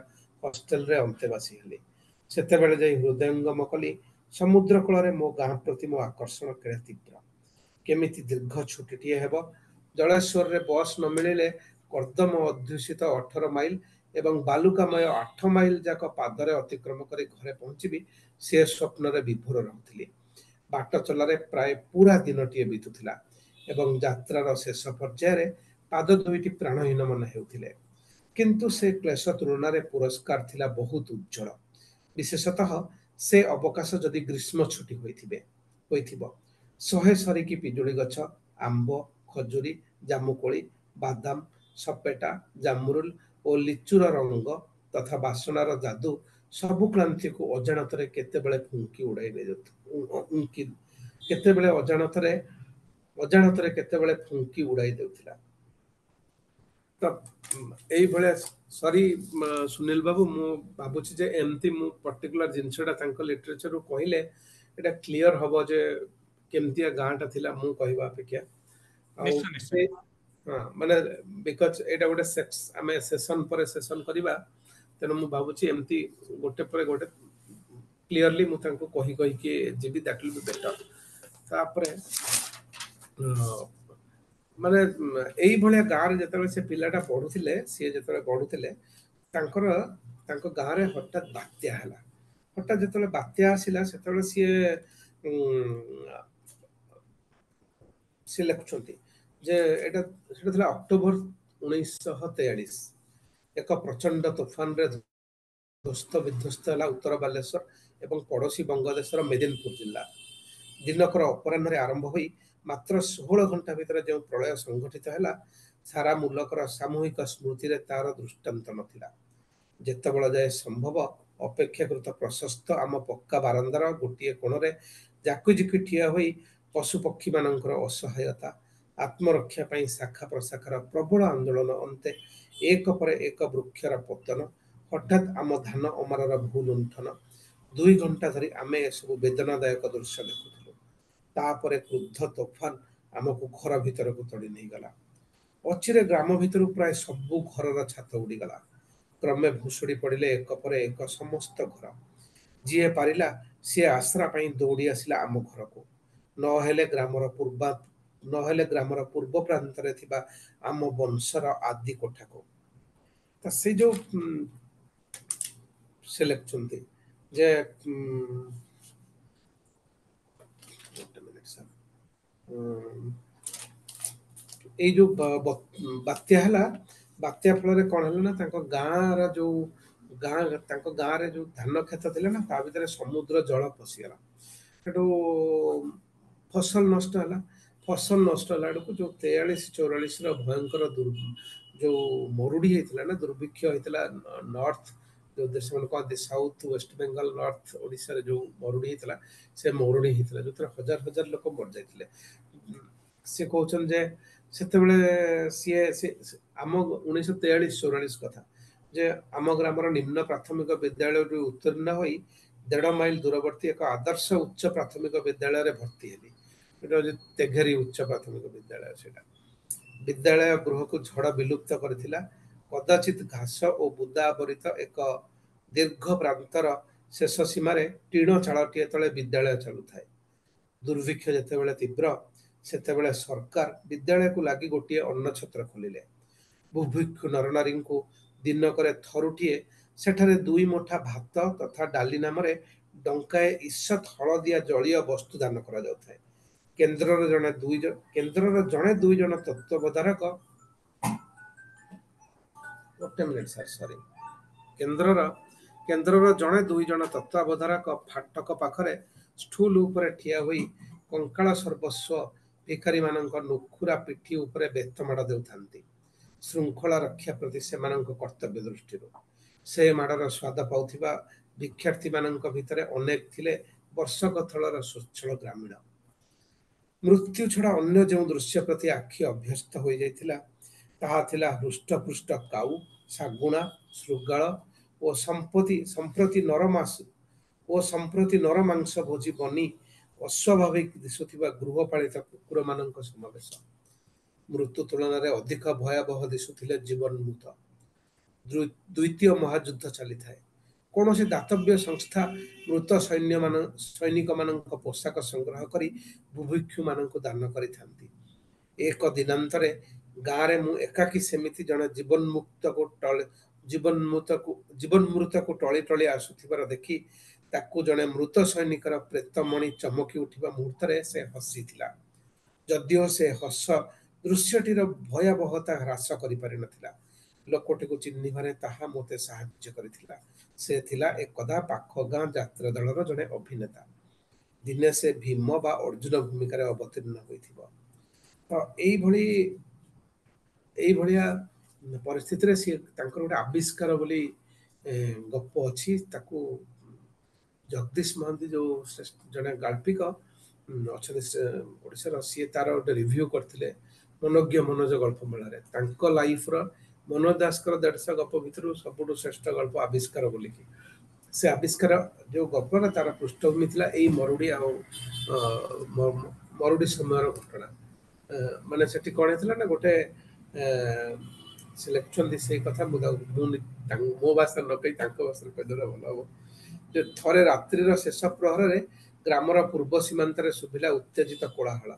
ହଷ୍ଟେଲରେ ଅନ୍ତେବାସୀ ହେଲି। ସେତେବେଳେ ଯାଇ ହୃଦୟଙ୍ଗମ କଲି ସମୁଦ୍ର କୂଳରେ ମୋ ଗାଁ ପ୍ରତି ମୋ ଆକର୍ଷଣ କେଡ଼େ ତୀବ୍ର। କେମିତି ଦୀର୍ଘ ଛୁଟିଟିଏ ହେବ। ଜଳେଶ୍ୱରରେ ବସ୍ ନ ମିଳିଲେ କର୍ଦ୍ଦମ ଅଧ୍ୟୁଷିତ ଅଠର ମାଇଲ ଏବଂ ବାଲୁକାମୟ ଆଠ ମାଇଲ ଯାକ ପାଦରେ ଅତିକ୍ରମ କରି ଘରେ ପହଞ୍ଚିବି ସେ ସ୍ୱପ୍ନରେ ବିଭୋର ରହୁଥିଲି। ବାଟ ଚଲାରେ ପ୍ରାୟ ପୁରା ଦିନଟିଏ ବିତୁଥିଲା ଏବଂ ଯାତ୍ରାର ଶେଷ ପର୍ଯ୍ୟାୟରେ ପାଦ ଦୁଇଟି ପ୍ରାଣହୀନ ମନେ ହେଉଥିଲେ। କିନ୍ତୁ ସେ କ୍ଲେଶ ତୁଳନାରେ ପୁରସ୍କାର ଥିଲା ବହୁତ ଉଜ୍ଜ୍ୱଳ। ବିଶେଷତଃ ସେ ଅବକାଶ ଯଦି ଗ୍ରୀଷ୍ମ ଛୁଟି ହୋଇଥିବେ ହୋଇଥିବ। ଶହେ ସରିକି ପିଜୁଳି ଗଛ, ଆମ୍ବ, ଖଜୁରୀ, ଜାମୁକୋଳି, ବାଦାମ, ସପେଟା, ଜାମରୁଲ ଓ ଲିଚୁର ରଙ୍ଗ ତଥା ବାସନାର ଯାଦୁ ସବୁ କ୍ଳାନ୍ତିକୁ ଅଜାଣତରେ କେତେବେଳେ ଫୁଙ୍କି ଉଡ଼ାଇ ନେଇଯାଉଥିଲା, କେତେବେଳେ ଅଜାଣତରେ ଅଜାଣତରେ କେତେବେଳେ ଫୁଙ୍କି ଉଡ଼ାଇ ଦେଉଥିଲା। ତ ଏଇଭଳିଆ ସରି ସୁନୀଲ ବାବୁ, ମୁଁ ଭାବୁଛି ଯେ ଏମିତି ମୁଁ ପର୍ଟିକୁଲାର ଜିନିଷଟା ତାଙ୍କ ଲିଟରେଚରରୁ କହିଲେ ଏଇଟା କ୍ଲିଅର ହବ ଯେ କେମିତିଆ ଗାଁଟା ଥିଲା ମୁଁ କହିବା ଅପେକ୍ଷା। ଆଉ ହଁ, ମାନେ because ଏଇଟା ଗୋଟେ ଆମେ ସେସନ ପରେ ସେସନ କରିବା, ତେଣୁ ମୁଁ ଭାବୁଛି ଏମିତି ଗୋଟେ ପରେ ଗୋଟେ କ୍ଲିଅରଲି ମୁଁ ତାଙ୍କୁ କହି କହିକି ଯିବି, that will be better. ତାପରେ ମାନେ ଏଇଭଳିଆ ଗାଁରେ ଯେତେବେଳେ ସେ ପିଲାଟା ପଢୁଥିଲେ, ସିଏ ଯେତେବେଳେ ପଢୁଥିଲେ ତାଙ୍କର ତାଙ୍କ ଗାଁରେ ହଠାତ୍ ବାତ୍ୟା ହେଲା। ହଠାତ୍ ଯେତେବେଳେ ବାତ୍ୟା ଆସିଲା ସେତେବେଳେ ସିଏ ସିଏ ଲେଖୁଛନ୍ତି ଯେ ଏଇଟା ସେଟା ଥିଲା ଅକ୍ଟୋବର ଉଣେଇଶହ ତେୟାଳିଶ। ଏକ ପ୍ରଚଣ୍ଡ ତୋଫାନରେ ଧ୍ୱସ୍ତ ବିଧ୍ୱସ୍ତ ହେଲା ଉତ୍ତର ବାଲେଶ୍ୱର ଏବଂ ପଡ଼ୋଶୀ ବଙ୍ଗଦେଶର ମେଦିନପୁର ଜିଲ୍ଲା। ଦିନକର ଅପରାହ୍ନରେ ଆରମ୍ଭ ହୋଇ ମାତ୍ର ଷୋହଳ ଘଣ୍ଟା ଭିତରେ ଯେଉଁ ପ୍ରଳୟ ସଂଘଟିତ ହେଲା, ସାରା ମୁଲକର ସାମୂହିକ ସ୍ମୃତିରେ ତାର ଦୃଷ୍ଟାନ୍ତ ନଥିଲା। ଯେତେବେଳେ ଯାଏ ସମ୍ଭବ ଅପେକ୍ଷାକୃତ ପ୍ରଶସ୍ତ ଆମ ପକ୍କା ବାରନ୍ଦାର ଗୋଟିଏ କୋଣରେ ଜାକୁଜିକି ଠିଆ ହୋଇ ପଶୁପକ୍ଷୀମାନଙ୍କର ଅସହାୟତା, ଆତ୍ମରକ୍ଷା ପାଇଁ ଶାଖା ପ୍ରଶାଖାର ପ୍ରବଳ ଆନ୍ଦୋଳନ ଅନ୍ତେ ଏକ ପରେ ଏକ ବୃକ୍ଷର ପତନ, ହଠାତ୍ ଆମ ଧାନ ଅମାରର ଭୂଲୁଣ୍ଠନ, ଦୁଇ ଘଣ୍ଟା ଧରି ଆମେ ଏସବୁ ବେଦନାଦାୟକ ଦୃଶ୍ୟ ଦେଖୁଥିଲୁ। ତାପରେ କ୍ରୁଦ୍ଧ ତୋଫାନ ଆମକୁ ଘର ଭିତରକୁ ତଡ଼ି ନେଇଗଲା। ଅଚିରେ ଗ୍ରାମ ଭିତରୁ ପ୍ରାୟ ସବୁ ଘରର ଛାତ ଉଡ଼ିଗଲା। କ୍ରମେ ଭୁଷୁଡ଼ି ପଡ଼ିଲେ ଏକ ପରେ ଏକ ସମସ୍ତ ଘର। ଯିଏ ପାରିଲା ସିଏ ଆଶ୍ରା ପାଇଁ ଦୌଡ଼ି ଆସିଲା ଆମ ଘରକୁ, ନହେଲେ ଗ୍ରାମର ପୂର୍ବା ନହେଲେ ଗ୍ରାମର ପୂର୍ବ ପ୍ରାନ୍ତରେ ଥିବା ଆମ ବଂଶର ଆଦି କୋଠାକୁ। ତ ସେ ଯୋଉ ସେ ଲେଖୁଛନ୍ତି ଯେ ଏଇ ଯୋଉ ବାତ୍ୟା ହେଲା, ବାତ୍ୟା ଫଳରେ କଣ ହେଲା ନା ତାଙ୍କ ଗାଁର ଯୋଉ ଗାଁ ତାଙ୍କ ଗାଁରେ ଯୋଉ ଧାନ କ୍ଷେତ ଥିଲା ନା, ତା ଭିତରେ ସମୁଦ୍ର ଜଳ ପଶିଗଲା। ସେଠୁ ଫସଲ ନଷ୍ଟ ହେଲା। ଫସଲ ନଷ୍ଟ ହେଲା ବେଳକୁ ଯୋଉ ତେୟାଳିଶ ଚଉରାଳିଶର ଭୟଙ୍କର ଯୋଉ ମରୁଡି ହେଇଥିଲା ନା, ଦୁର୍ଭିକ୍ଷ ହେଇଥିଲା ନର୍ଥ ଯୋଉ ଦେଶ ମାନେ କହନ୍ତି ସାଉଥ ୱେଷ୍ଟ ବେଙ୍ଗଲ ନର୍ଥ ଓଡ଼ିଶାରେ ଯୋଉ ମରୁଡି ହେଇଥିଲା, ସେ ମରୁଡି ହେଇଥିଲା ଯୋଉଥିରେ ହଜାର ହଜାର ଲୋକ ମରିଯାଇଥିଲେ। ସେ କହୁଛନ୍ତି ଯେ ସେତେବେଳେ ସିଏ ସେ ଆମ ଉଣେଇଶହ ତେୟାଳିଶ ଚଉରାଳିଶ କଥା, ଯେ ଆମ ଗ୍ରାମର ନିମ୍ନ ପ୍ରାଥମିକ ବିଦ୍ୟାଳୟରୁ ଉତ୍ତୀର୍ଣ୍ଣ ହୋଇ ଦେଢ଼ ମାଇଲ ଦୂରବର୍ତ୍ତୀ ଏକ ଆଦର୍ଶ ଉଚ୍ଚ ପ୍ରାଥମିକ ବିଦ୍ୟାଳୟରେ ଭର୍ତ୍ତି ହେଲି। ଏଇଟା ହଉଛି ତେଘେରି ଉଚ୍ଚ ପ୍ରାଥମିକ ବିଦ୍ୟାଳୟ। ସେଇଟା ବିଦ୍ୟାଳୟ ଗୃହକୁ ଝଡ଼ ବିଲୁପ୍ତ କରିଥିଲା। କଦାଚିତ ଘାସ ଓ ବୁଦା ଆବରିତ ଏକ ଦୀର୍ଘ ପ୍ରାନ୍ତର ଶେଷ ସୀମାରେ ଟିଣ ଚାଳଟିଏ ତଳେ ବିଦ୍ୟାଳୟ ଚାଲୁଥାଏ। ଦୁର୍ଭିକ୍ଷ ଯେତେବେଳେ ତୀବ୍ର, ସେତେବେଳେ ସରକାର ବିଦ୍ୟାଳୟକୁ ଲାଗି ଗୋଟିଏ ଅନ୍ନଛତ୍ର ଖୋଲିଲେ। ବୁଭୁକ୍ଷୁ ନରନାରୀଙ୍କୁ ଦିନକରେ ଥରୁଟିଏ ସେଠାରେ ଦୁଇ ମୁଠା ଭାତ ତଥା ଡାଲି ନାମରେ ଡଙ୍କାଏ ଈଷତ୍ ହଳଦିଆ ଜଳୀୟ ବସ୍ତୁ ଦାନ କରାଯାଉଥାଏ। କେନ୍ଦ୍ରର ଜଣେ ଦୁଇ କେନ୍ଦ୍ରର ଜଣେ ଦୁଇ ଜଣ ତତ୍ତ୍ୱାବଧାରକ ଗୋଟେ ମିନିଟ୍ ସାର୍ ସରି କେନ୍ଦ୍ରର କେନ୍ଦ୍ରର ଜଣେ ଦୁଇ ଜଣ ତତ୍ତ୍ୱାବଧାରକ ଫାଟକ ପାଖରେ ଷ୍ଟୁଲ ଉପରେ ଠିଆ ହୋଇ କଙ୍କାଳ ସର୍ବସ୍ୱ ଭିକାରୀମାନଙ୍କ ନୁଖୁରା ପିଠି ଉପରେ ବେତ ମାଡ଼ ଦେଉଥାନ୍ତି, ଶୃଙ୍ଖଳା ରକ୍ଷା ପ୍ରତି ସେମାନଙ୍କ କର୍ତ୍ତବ୍ୟ ଦୃଷ୍ଟିରୁ। ସେ ମାଡ଼ର ସ୍ୱାଦ ପାଉଥିବା ଭିକ୍ଷାର୍ଥୀମାନଙ୍କ ଭିତରେ ଅନେକ ଥିଲେ ବର୍ଷକ ତଳର ସ୍ୱଚ୍ଛଳ ଗ୍ରାମୀଣ। ମୃତ୍ୟୁ ଛଡ଼ା ଅନ୍ୟ ଯେଉଁ ଦୃଶ୍ୟ ପ୍ରତି ଆଖି ଅଭ୍ୟସ୍ତ ହୋଇଯାଇଥିଲା, ତାହା ଥିଲା ହୃଷ୍ଟପୃଷ୍ଟ କାଉ, ଶାଗୁଣା, ଶୃଗାଳ ଓ ସମ୍ପତ୍ତି ସମ୍ପ୍ରତି ନରମାସ ଓ ସମ୍ପ୍ରତି ନରମାଂସ ଭୋଜି ବନି ଅସ୍ୱାଭାବିକ ଦିଶୁଥିବା ଗୃହପାଳିତ କୁକୁରମାନଙ୍କ ସମାବେଶ। ମୃତ୍ୟୁ ତୁଳନାରେ ଅଧିକ ଭୟାବହ ଦିଶୁଥିଲେ ଜୀବନ୍ମୃତ। ଦ୍ୱିତୀୟ ମହାଯୁଦ୍ଧ ଚାଲିଥାଏ। କୌଣସି ଦାତବ୍ୟ ସଂସ୍ଥା ମୃତ ସୈନ୍ୟମାନ ସୈନିକମାନଙ୍କ ପୋଷାକ ସଂଗ୍ରହ କରି ବୁଭୁକ୍ଷୁମାନଙ୍କୁ ଦାନ କରିଥାନ୍ତି। ଏକ ଦିନାନ୍ତରେ ଗାଁରେ ମୁଁ ଏକାକୀ ସେମିତି ଜଣେ ଜୀବନ୍ମୁକ୍ତକୁ ଟଳି ଜୀବନ୍ମୃତକୁ ଜୀବନ୍ମୃତକୁ ଟଳି ଟଳି ଆସୁଥିବାର ଦେଖି ତାକୁ ଜଣେ ମୃତ ସୈନିକର ପ୍ରେତମଣି ଚମକି ଉଠିବା ମୁହୂର୍ତ୍ତରେ ସେ ହସିଥିଲା। ଯଦିଓ ସେ ହସ ଦୃଶ୍ୟଟିର ଭୟାବହତା ହ୍ରାସ କରିପାରିନଥିଲା, ଲୋକଟିକୁ ଚିହ୍ନିବାରେ ତାହା ମୋତେ ସାହାଯ୍ୟ କରିଥିଲା। ସେ ଥିଲା ଏକଦା ପାଖ ଗାଁ ଯାତ୍ରା ଦଳର ଜଣେ ଅଭିନେତା। ଦିନେ ସେ ଭୀମ ବା ଅର୍ଜୁନ ଭୂମିକାରେ ଅବତୀର୍ଣ୍ଣ ହୋଇଥିବ। ତ ଏଇଭଳି ଏଇଭଳିଆ ପରିସ୍ଥିତିରେ ସିଏ ତାଙ୍କର ଗୋଟେ ଆବିଷ୍କାର ବୋଲି ଗପ ଅଛି। ତାକୁ ଜଗଦୀଶ ମହାନ୍ତି ଯୋଉ ଜଣେ ଗାଳ୍ପିକ ଅଛନ୍ତି ଓଡ଼ିଶାର, ସିଏ ତାର ଗୋଟେ ରିଭ୍ୟୁ କରିଥିଲେ ମନୋଜ୍ଞ ମନୋଜ ଗଳ୍ପ ମେଳାରେ। ତାଙ୍କ ଲାଇଫର ମନୋଜ ଦାସଙ୍କର ଦେଢ଼ଶହ ଗପ ଭିତରୁ ସବୁଠୁ ଶ୍ରେଷ୍ଠ ଗଳ୍ପ ଆବିଷ୍କାର ବୋଲିକି। ସେ ଆବିଷ୍କାର ଯୋଉ ଗପର ତାର ପୃଷ୍ଠଭୂମି ଥିଲା ଏଇ ମରୁଡ଼ି ଆଉ ମରୁଡ଼ି ସମୟର ଘଟଣା। ମାନେ ସେଠି କଣ ହେଇଥିଲା ନା ଗୋଟେ ସେ ଲେଖୁଛନ୍ତି ସେଇ କଥା, ମୁଁ ତାକୁ ମୁଁ ମୋ ଭାଷାରେ ନ କହି ତାଙ୍କ ଭାଷାରେ କହିଦେଲେ ଭଲ ହବ। ଯେ ଥରେ ରାତ୍ରିର ଶେଷ ପ୍ରହରରେ ଗ୍ରାମର ପୂର୍ବ ସୀମାନ୍ତରେ ଶୁଭିଲା ଉତ୍ତେଜିତ କୋଳାହଳ।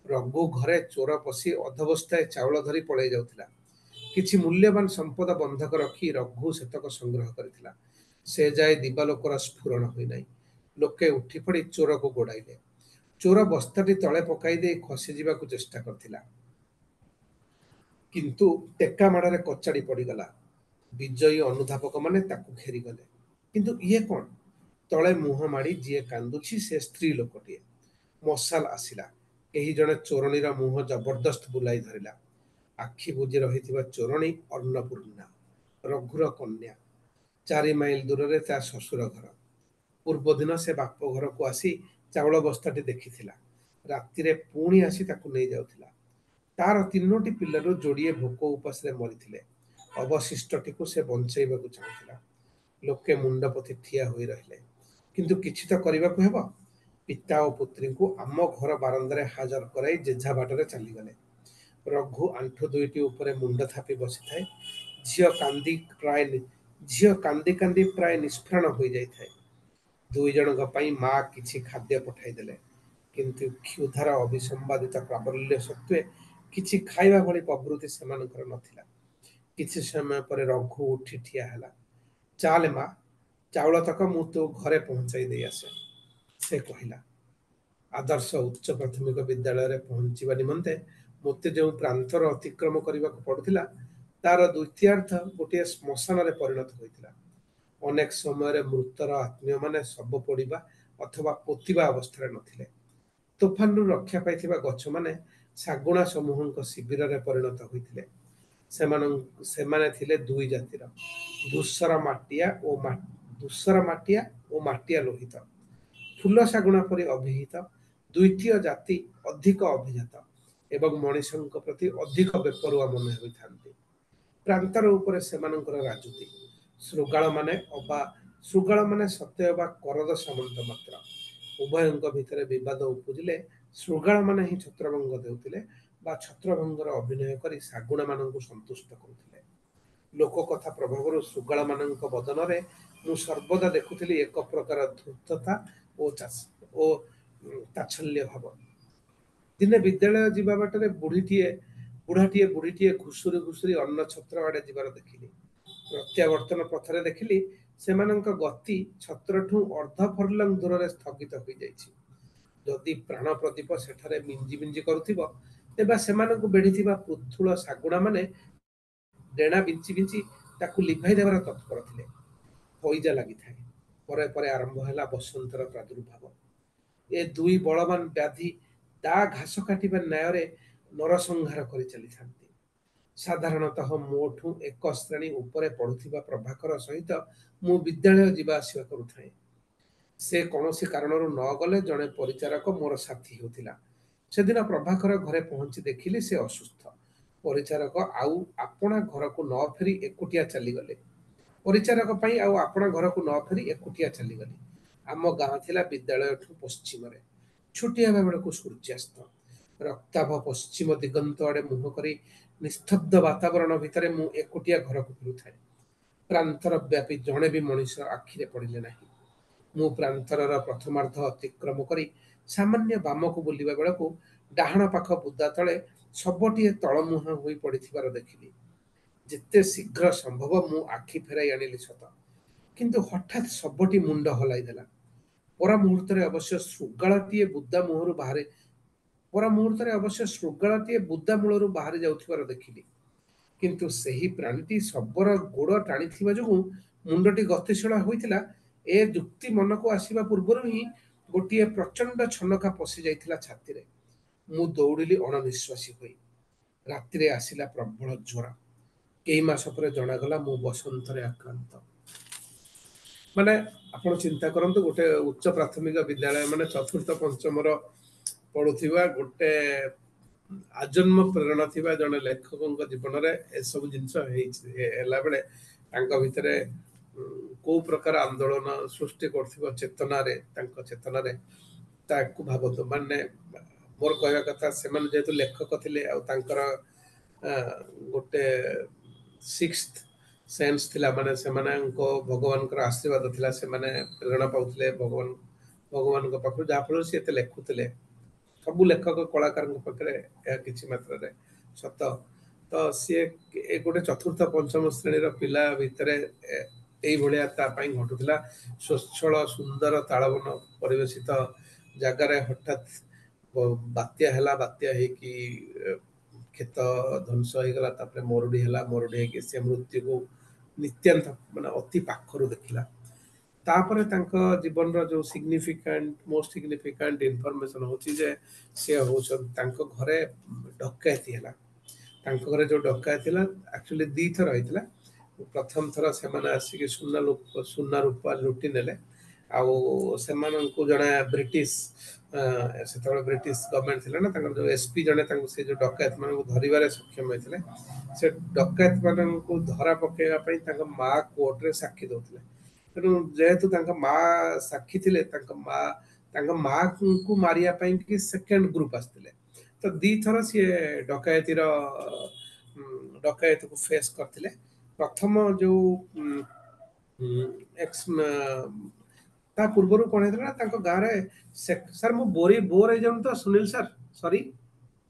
ରଘୁ ଘରେ ଚୋର ପଶି ଅଧବସ୍ଥାଏ ଚାଉଳ ଧରି ପଳେଇ ଯାଉଥିଲା। କିଛି ମୂଲ୍ୟବାନ ସମ୍ପଦ ବନ୍ଧକ ରଖି ରଘୁ ସେତକ ସଂଗ୍ରହ କରିଥିଲା। ସେ ଯାଏ ଦିବାଲୋକର ସ୍ଫୁରଣ ହୋଇନାହିଁ। ଲୋକେ ଉଠି ପଡ଼ି ଚୋରକୁ ଗୋଡ଼ାଇଲେ। ଚୋର ବସ୍ତାଟି ତଳେ ପକାଇ ଦେଇ ଖସିଯିବାକୁ ଚେଷ୍ଟା କରିଥିଲା, କିନ୍ତୁ ଟେକା ମାଡ଼ରେ କଚାଡ଼ି ପଡ଼ିଗଲା। ବିଜୟୀ ଅନୁଧାପକମାନେ ତାକୁ ଘେରିଗଲେ। କିନ୍ତୁ ଇଏ କଣ? ତଳେ ମୁହଁ ମାଡ଼ି ଯିଏ କାନ୍ଦୁଛି ସେ ସ୍ତ୍ରୀ ଲୋକଟିଏ। ମଶାଲ ଆସିଲା। କେହି ଜଣେ ଚୋରଣୀର ମୁହଁ ଜବରଦସ୍ତ ବୁଲାଇ ଧରିଲା। ଆଖି ବୁଜି ରହିଥିବା ଚୋରଣୀ ଅନ୍ନପୂର୍ଣ୍ଣା, ରଘୁର କନ୍ୟା। ଚାରି ମାଇଲ ଦୂରରେ ତା ଶ୍ୱଶୁର ଘର। ପୂର୍ବଦିନ ସେ ବାପ ଘରକୁ ଆସି ଚାଉଳ ବସ୍ତାଟି ଦେଖିଥିଲା। ରାତିରେ ପୁଣି ଆସି ତାକୁ ନେଇଯାଉଥିଲା। ତାର ତିନୋଟି ପିଲାରୁ ଯୋଡ଼ିଏ ଭୋକ ଉପାସରେ ମରିଥିଲେ। ଅବଶିଷ୍ଟଟିକୁ ସେ ବଞ୍ଚେଇବାକୁ ଚାହୁଁଥିଲା। ଲୋକେ ମୁଣ୍ଡ ପୋତି ଠିଆ ହୋଇ ରହିଲେ। କିନ୍ତୁ କିଛି ତ କରିବାକୁ ହେବ। ପିତା ଓ ପୁତ୍ରୀଙ୍କୁ ଆମ ଘର ବାରନ୍ଦାରେ ହାଜର କରାଇ ଯେଝା ବାଟରେ ଚାଲିଗଲେ। ରଘୁ ଆଣ୍ଠୁ ଦୁଇଟି ଉପରେ ମୁଣ୍ଡ ଥାପି ବସିଥାଏ। ଝିଅ କାନ୍ଦି ପ୍ରାୟ ଝିଅ କାନ୍ଦି କାନ୍ଦି ପ୍ରାୟ ନିଷ୍ପ୍ରାଣ ହୋଇଯାଇଥାଏ। ଦୁଇ ଜଣଙ୍କ ପାଇଁ ମା କିଛି ଖାଦ୍ୟ ପଠାଇଦେଲେ। କିନ୍ତୁ କ୍ଷୁଧାର ଅବିସମ୍ବାଦିତ ପ୍ରାବଲ୍ୟ ସତ୍ତ୍ୱେ କିଛି ଖାଇବା ଭଳି ପ୍ରବୃତ୍ତି ସେମାନଙ୍କର ନଥିଲା। କିଛି ସମୟ ପରେ ରଘୁ ଉଠି ଠିଆ ହେଲା। ଚାଲେ ମା, ଚାଉଳ ତକ ମୁଁ ତୋ ଘରେ ପହଞ୍ଚାଇ ଦେଇ ଆସେ, ସେ କହିଲା। ଆଦର୍ଶ ଉଚ୍ଚ ପ୍ରାଥମିକ ବିଦ୍ୟାଳୟରେ ପହଞ୍ଚିବା ନିମନ୍ତେ ମୋତେ ଯେଉଁ ପ୍ରାନ୍ତର ଅତିକ୍ରମ କରିବାକୁ ପଡୁଥିଲା, ତାର ଦ୍ୱିତୀୟାର୍ଦ୍ଧ ଗୋଟିଏ ଶ୍ମଶାନରେ ପରିଣତ ହୋଇଥିଲା। ଅନେକ ସମୟରେ ମୃତର ଆତ୍ମୀୟମାନେ ଶବ ପୋଡ଼ିବା ଅଥବା ପୋତିବା ଅବସ୍ଥାରେ ନଥିଲେ। ତୋଫାନରୁ ରକ୍ଷା ପାଇଥିବା ଗଛମାନେ ଶାଗୁଣା ସମୂହଙ୍କ ଶିବିରରେ ପରିଣତ ହୋଇଥିଲେ। ସେମାନଙ୍କ ସେମାନେ ଥିଲେ ଦୁଇ ଜାତିର, ଧୂସର ମାଟିଆ ଓ ଧୂସର ମାଟିଆ ଓ ମାଟିଆ ଲୋହିତ। ଫୁଲ ଶାଗୁଣା ପରି ଅଭିହିତ ଦ୍ୱିତୀୟ ଜାତି ଅଧିକ ଅଭିଜାତ ଏବଂ ମଣିଷଙ୍କ ପ୍ରତି ଅଧିକ ବେପରୁଆ ମନେ ହୋଇଥାନ୍ତି। ପ୍ରାନ୍ତର ଉପରେ ସେମାନଙ୍କର ରାଜୁତି। ଶୃଗାଳମାନେ ଅବା ଶୃଗାଳମାନେ ସତେ ଅବା କରଦ ସାମନ୍ତ ମାତ୍ର। ଉଭୟଙ୍କ ଭିତରେ ବିବାଦ ଉପୁଜିଲେ ଶୃଗାଳମାନେ ହିଁ ଛତ୍ରଭଙ୍ଗ ଦେଉଥିଲେ ବା ଛତ୍ରଭଙ୍ଗର ଅଭିନୟ କରି ଶାଗୁଣାମାନଙ୍କୁ ସନ୍ତୁଷ୍ଟ କରୁଥିଲେ। ଲୋକକଥା ପ୍ରଭାବରୁ ଶୃଗାଳମାନଙ୍କ ବଦନରେ ମୁଁ ସର୍ବଦା ଦେଖୁଥିଲି ଏକ ପ୍ରକାର ଧୂର୍ତ୍ତତା ଓ ଓ ତାଚ୍ଛଲ୍ୟ ଭାବ। ଦିନେ ବିଦ୍ୟାଳୟ ଯିବା ବାଟରେ ବୁଢ଼ୀଟିଏ ବୁଢ଼ାଟିଏ ବୁଢ଼ୀଟିଏ ଘୁଷୁରି ଘୁଷୁରି ଅନ୍ନ ଛତ୍ର ଆଡ଼େ ଯିବାର ଦେଖିଲି। ପ୍ରତ୍ୟାବର୍ତ୍ତନ ପଥରେ ଦେଖିଲି ସେମାନଙ୍କ ଗତି ଛତ୍ରଠୁ ଅର୍ଦ୍ଧ ଫର୍ଲଙ୍ଗ ଦୂରରେ ସ୍ଥଗିତ ହୋଇଯାଇଛି। ଯଦି ପ୍ରାଣ ପ୍ରଦୀପ ସେଠାରେ ମିଞ୍ଜି ମିଞ୍ଜି କରୁଥିବ, ତେବେ ସେମାନଙ୍କୁ ବେଢ଼ିଥିବା ପୃଥୁଳ ଶାଗୁଣାମାନେ ଡେଣା ବିଞ୍ଚି ବିଞ୍ଚି ତାକୁ ଲିଭାଇ ଦେବାର ତତ୍ପର ଥିଲେ। ହଇଜା ଲାଗିଥାଏ। ପରେ ପରେ ଆରମ୍ଭ ହେଲା ବସନ୍ତର ପ୍ରାଦୁର୍ଭାବ। ଏ ଦୁଇ ବଳବାନ ବ୍ୟାଧି ଦା ଘାସ କାଟିବା ନ୍ୟାୟରେ ନରସଂହାର କରି ଚାଲିଥାନ୍ତି। ସାଧାରଣତଃ ମୋଠୁ ଏକ ଶ୍ରେଣୀ ଉପରେ ପଢୁଥିବା ପ୍ରଭାକର ସହିତ ମୁଁ ବିଦ୍ୟାଳୟ ଯିବା ଆସିବା କରୁଥାଏ। ସେ କୌଣସି କାରଣରୁ ନ ଗଲେ ଜଣେ ପରିଚାରକ ମୋର ସାଥୀ ହେଉଥିଲା। ସେଦିନ ପ୍ରଭାକର ଘରେ ପହଞ୍ଚି ଦେଖିଲି ସେ ଅସୁସ୍ଥ। ପରିଚାରକ ଆଉ ଆପଣା ଘରକୁ ନ ଫେରି ଏକୁଟିଆ ଚାଲିଗଲେ। ପରିଚାରକ ପାଇଁ ଆଉ ଆପଣା ଘରକୁ ନ ଫେରି ଏକୁଟିଆ ଚାଲିଗଲି। ଆମ ଗାଁ ଥିଲା ବିଦ୍ୟାଳୟଠୁ ପଶ୍ଚିମରେ। ଛୁଟି ହେବା ବେଳକୁ ସୂର୍ଯ୍ୟାସ୍ତ। ରକ୍ତାଭ ପଶ୍ଚିମ ଦିଗନ୍ତ ଆଡ଼େ ମୁହଁ କରି ନିସ୍ତବ୍ଧ ବାତାବରଣ ଭିତରେ ମୁଁ ଏକୁଟିଆ ଘରକୁ ଫେରୁଥାଏ। ପ୍ରାନ୍ତର ବ୍ୟାପୀ ଜଣେ ବି ମଣିଷ ଆଖିରେ ପଡ଼ିଲେ ନାହିଁ। ମୁଁ ପ୍ରାନ୍ତରର ପ୍ରଥମାର୍ଦ୍ଧ ଅତିକ୍ରମ କରି ସାମାନ୍ୟ ବାମକୁ ବୁଲିବା ବେଳକୁ ଡାହାଣ ପାଖ ବୁଦା ତଳେ ଶବଟିଏ ତଳମୁହାଁ ହୋଇ ପଡ଼ିଥିବାର ଦେଖିଲି। ଯେତେ ଶୀଘ୍ର ସମ୍ଭବ ମୁଁ ଆଖି ଫେରାଇ ଆଣିଲି ସତ, କିନ୍ତୁ ହଠାତ୍ ଶବଟି ମୁଣ୍ଡ ହଲାଇ ଦେଲା। ପର ମୁହୂର୍ତ୍ତରେ ଅବଶ୍ୟ ଶୃଗାଳଟିଏ ବୁଦା ମୁହଁରୁ ବାହାରେ ପର ମୁହୂର୍ତ୍ତରେ ଅବଶ୍ୟ ଶୃଗାଳଟିଏ ବୁଦା ମୂଳରୁ ବାହାରି ଯାଉଥିବାର ଦେଖିଲି। କିନ୍ତୁ ସେହି ପ୍ରାଣୀଟି ଶବର ଗୋଡ଼ ଟାଣିଥିବା ଯୋଗୁଁ ମୁଣ୍ଡଟି ଗତିଶୀଳ ହୋଇଥିଲା, ଏ ଯୁକ୍ତି ମନକୁ ଆସିବା ପୂର୍ବରୁ ହିଁ ଗୋଟିଏ ପ୍ରଚଣ୍ଡ ଛନକା ପଶି ଯାଇଥିଲା ଛାତିରେ। ମୁଁ ଦୌଡ଼ିଲି ଅଣନିଶ୍ୱାସୀ ହୋଇ। ରାତିରେ ଆସିଲା ପ୍ରବଳ ଜ୍ୱର। କେଇ ମାସ ପରେ ଜଣାଗଲା ମୁଁ ବସନ୍ତରେ ଆକ୍ରାନ୍ତ। ମାନେ ଆପଣ ଚିନ୍ତା କରନ୍ତୁ, ଗୋଟେ ଉଚ୍ଚ ପ୍ରାଥମିକ ବିଦ୍ୟାଳୟ, ମାନେ ଚତୁର୍ଥ ପଞ୍ଚମର ପଢୁଥିବା ଗୋଟେ ଆଜନ୍ମ ପ୍ରେରଣା ଥିବା ଜଣେ ଲେଖକଙ୍କ ଜୀବନରେ ଏସବୁ ଜିନିଷ ହେଇଛି ହେଲା ବେଳେ ତାଙ୍କ ଭିତରେ କୋଉ ପ୍ରକାର ଆନ୍ଦୋଳନ ସୃଷ୍ଟି କରୁଥିବ ଚେତନାରେ, ତାଙ୍କ ଚେତନାରେ, ତାକୁ ଭାବନ୍ତୁ। ମାନେ ମୋର କହିବା କଥା, ସେମାନେ ଯେହେତୁ ଲେଖକ ଥିଲେ ଆଉ ତାଙ୍କର ଗୋଟେ ସିକ୍ସଥ ସେନ୍ସ ଥିଲା, ମାନେ ସେମାନଙ୍କ ଭଗବାନଙ୍କର ଆଶୀର୍ବାଦ ଥିଲା, ସେମାନେ ପ୍ରେରଣା ପାଉଥିଲେ ଭଗବାନ ଭଗବାନଙ୍କ ପାଖରୁ, ଯାହାଫଳରେ ସେ ଏତେ ଲେଖୁଥିଲେ। ସବୁ ଲେଖକ କଳାକାରଙ୍କ ପାଖରେ ଏହା କିଛି ମାତ୍ରାରେ ସତ। ତ ସିଏ ଏ ଗୋଟେ ଚତୁର୍ଥ ପଞ୍ଚମ ଶ୍ରେଣୀର ପିଲା ଭିତରେ ଏଇଭଳିଆ ତା ପାଇଁ ଘଟୁଥିଲା। ସ୍ୱଚ୍ଛଳ ସୁନ୍ଦର ତାଳବନ ପରିବେଶିତ ଜାଗାରେ ହଠାତ୍ ବାତ୍ୟା ହେଲା। ବାତ୍ୟା ହେଇକି କ୍ଷେତ ଧ୍ୱଂସ ହେଇଗଲା। ତାପରେ ମରୁଡି ହେଲା। ମରୁଡି ହେଇକି ସେ ମୃତ୍ୟୁକୁ ନିତ୍ୟାନ୍ତ ମାନେ ଅତି ପାଖରୁ ଦେଖିଲା। ତାପରେ ତାଙ୍କ ଜୀବନର ଯୋଉ ସିଗ୍ନିଫିକାଣ୍ଟ, ମୋଷ୍ଟ ସିଗ୍ନିଫିକାଣ୍ଟ ଇନଫର୍ମେସନ ହଉଛି ଯେ ସେ ହଉଛନ୍ତି ତାଙ୍କ ଘରେ ଡକାୟତି ହେଲା। ତାଙ୍କ ଘରେ ଯୋଉ ଡକାୟତି ହେଲା, ଆକ୍ଚୁଆଲି ଦିଥର ହେଇଥିଲା। ପ୍ରଥମ ଥର ସେମାନେ ଆସିକି ସୁନା ସୁନା ରୂପା ଲୁଟି ନେଲେ ଆଉ ସେମାନଙ୍କୁ ଜଣେ ବ୍ରିଟିଶ, ସେତେବେଳେ ବ୍ରିଟିଶ ଗଭର୍ଣ୍ଣମେଣ୍ଟ ଥିଲା ନା, ତାଙ୍କର ଯୋଉ ଏସପି ଜଣେ ତାଙ୍କୁ ସେ ଯୋଉ ଡକାୟତ ମାନଙ୍କୁ ଧରିବାରେ ସକ୍ଷମ ହେଇଥିଲେ। ସେ ଡକାୟତ ମାନଙ୍କୁ ଧରା ପକେଇବା ପାଇଁ ତାଙ୍କ ମା କୋର୍ଟରେ ସାକ୍ଷୀ ଦଉଥିଲେ। ତେଣୁ ଯେହେତୁ ତାଙ୍କ ମା ସାକ୍ଷୀ ଥିଲେ, ତାଙ୍କ ମା ତାଙ୍କ ମାଙ୍କୁ ମାରିବା ପାଇଁ କି ସେକେଣ୍ଡ ଗ୍ରୁପ ଆସିଥିଲେ। ତ ଦିଥର ସିଏ ଡକାୟତିର ଡକାୟତକୁ ଫେସ୍ କରିଥିଲେ। ପ୍ରଥମ ଯୋଉ ଏକ୍ସ ତା ପୂର୍ବରୁ କଣ ହେଇଥିଲା ନା ତାଙ୍କ ଗାଁରେ, ସାର୍, ମୁଁ ବୋରି ବୋର ହେଇଯାଉନି ତ ସୁନୀଲ ସାର୍? ସରି।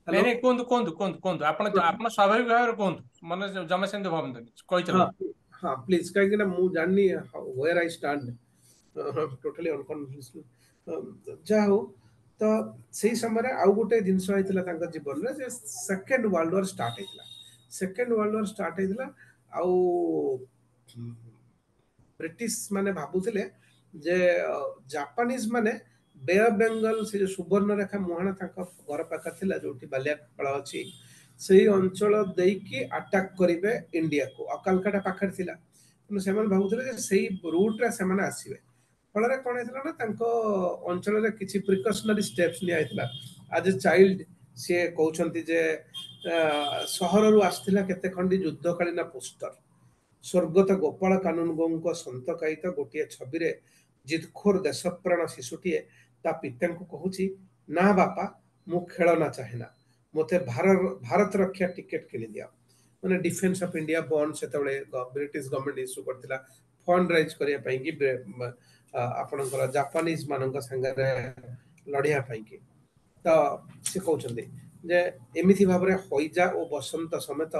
ନାଇଁ ନାଇଁ, କୁହନ୍ତୁ, କୁହନ୍ତୁ, କୁହନ୍ତୁ, କୁହନ୍ତୁ। ଆପଣ ଆପଣ ସ୍ୱାଭାବିକ ଭାବରେ କୁହନ୍ତୁ, ମାନେ ଜମା ସେମିତି ଭାବନ୍ତୁନି, କହିଚାଲନ୍ତୁ। ହଁ, ପ୍ଲିଜ, କାହିଁକି ନା ମୁଁ ଜାଣିନି where I stand, totally ଅନକନଫିଡେନ୍ସ। ଯାହା ହଉ, ତ ସେଇ ସମୟରେ ଆଉ ଗୋଟେ ଜିନିଷ ହେଇଥିଲା ତାଙ୍କ ଜୀବନରେ ଯେ ସେକେଣ୍ଡ ୱାର୍ଲଡ ୱାର ଷ୍ଟାର୍ଟ ହେଇଥିଲା। ସେକେଣ୍ଡ ୱାର୍ଲଡ ୱାର ଷ୍ଟାର୍ଟ ହେଇଥିଲା ଆଉ ବ୍ରିଟିଶ ମାନେ ଭାବୁଥିଲେ ଯେ ଜାପାନିଜ ମାନେ ବେ ଅଫ ବେଙ୍ଗଲ, ସେ ଯୋଉ ସୁବର୍ଣ୍ଣରେଖା ମୁହାଣ ତାଙ୍କ ଘର ପାଖରେ ଥିଲା, ଯୋଉଠି ବାଲିଆପାଳ ଅଛି, ସେଇ ଅଞ୍ଚଳ ଦେଇକି ଆଟାକ୍ କରିବେ ଇଣ୍ଡିଆକୁ। ଆଉ କାଲକାଟା ପାଖରେ ଥିଲା, ତେଣୁ ସେମାନେ ଭାବୁଥିଲେ ଯେ ସେଇ ରୁଟରେ ସେମାନେ ଆସିବେ। ଫଳରେ କଣ ହେଇଥିଲା ନା ତାଙ୍କ ଅଞ୍ଚଳରେ କିଛି ପ୍ରିକସନାରୀ ଷ୍ଟେପ୍ସ ନିଆ ହେଇଥିଲା। ଆଜ ଏ ଚାଇଲ୍ଡ ସିଏ କହୁଛନ୍ତି ଯେ ସହରରୁ ଆସିଥିଲା କେତେ ଖଣ୍ଡି ଯୁଦ୍ଧକାଳୀନ ପୋଷ୍ଟର। ସ୍ୱର୍ଗତ ଗୋପାଳ କାନୁନଗୋଙ୍କ ସନ୍ତକାୟିତ ଗୋଟିଏ ଛବିରେ ଜିଦଖୋର ଦେଶପ୍ରାଣ ଶିଶୁଟିଏ ତା ପିତାଙ୍କୁ କହୁଛି, "ନା ବାପା, ମୁଁ ଖେଳନା ଚାହେଁ ନା, ମୋତେ ଭାରତ ରକ୍ଷା ଟିକେଟ କିଣିଦିଅ।" ମାନେ ଡିଫେନ୍ସ ଅଫ ଇଣ୍ଡିଆ ବଣ୍ଡ ସେତେବେଳେ ବ୍ରିଟିଶ ଗଭର୍ଣ୍ଣମେଣ୍ଟ ଇସ୍ୟୁ କରିଥିଲା ଫଣ୍ଡ ରାଇଜ କରିବା ପାଇଁ କି ଆପଣଙ୍କର ଜାପାନିଜ ମାନଙ୍କ ସାଙ୍ଗରେ ଲଢିବା ପାଇଁ କି। ତ ସେ କହୁଛନ୍ତି ଯେ ଏମିତି ଭାବରେ ହଇଜା ଓ ବସନ୍ତ ସମେତ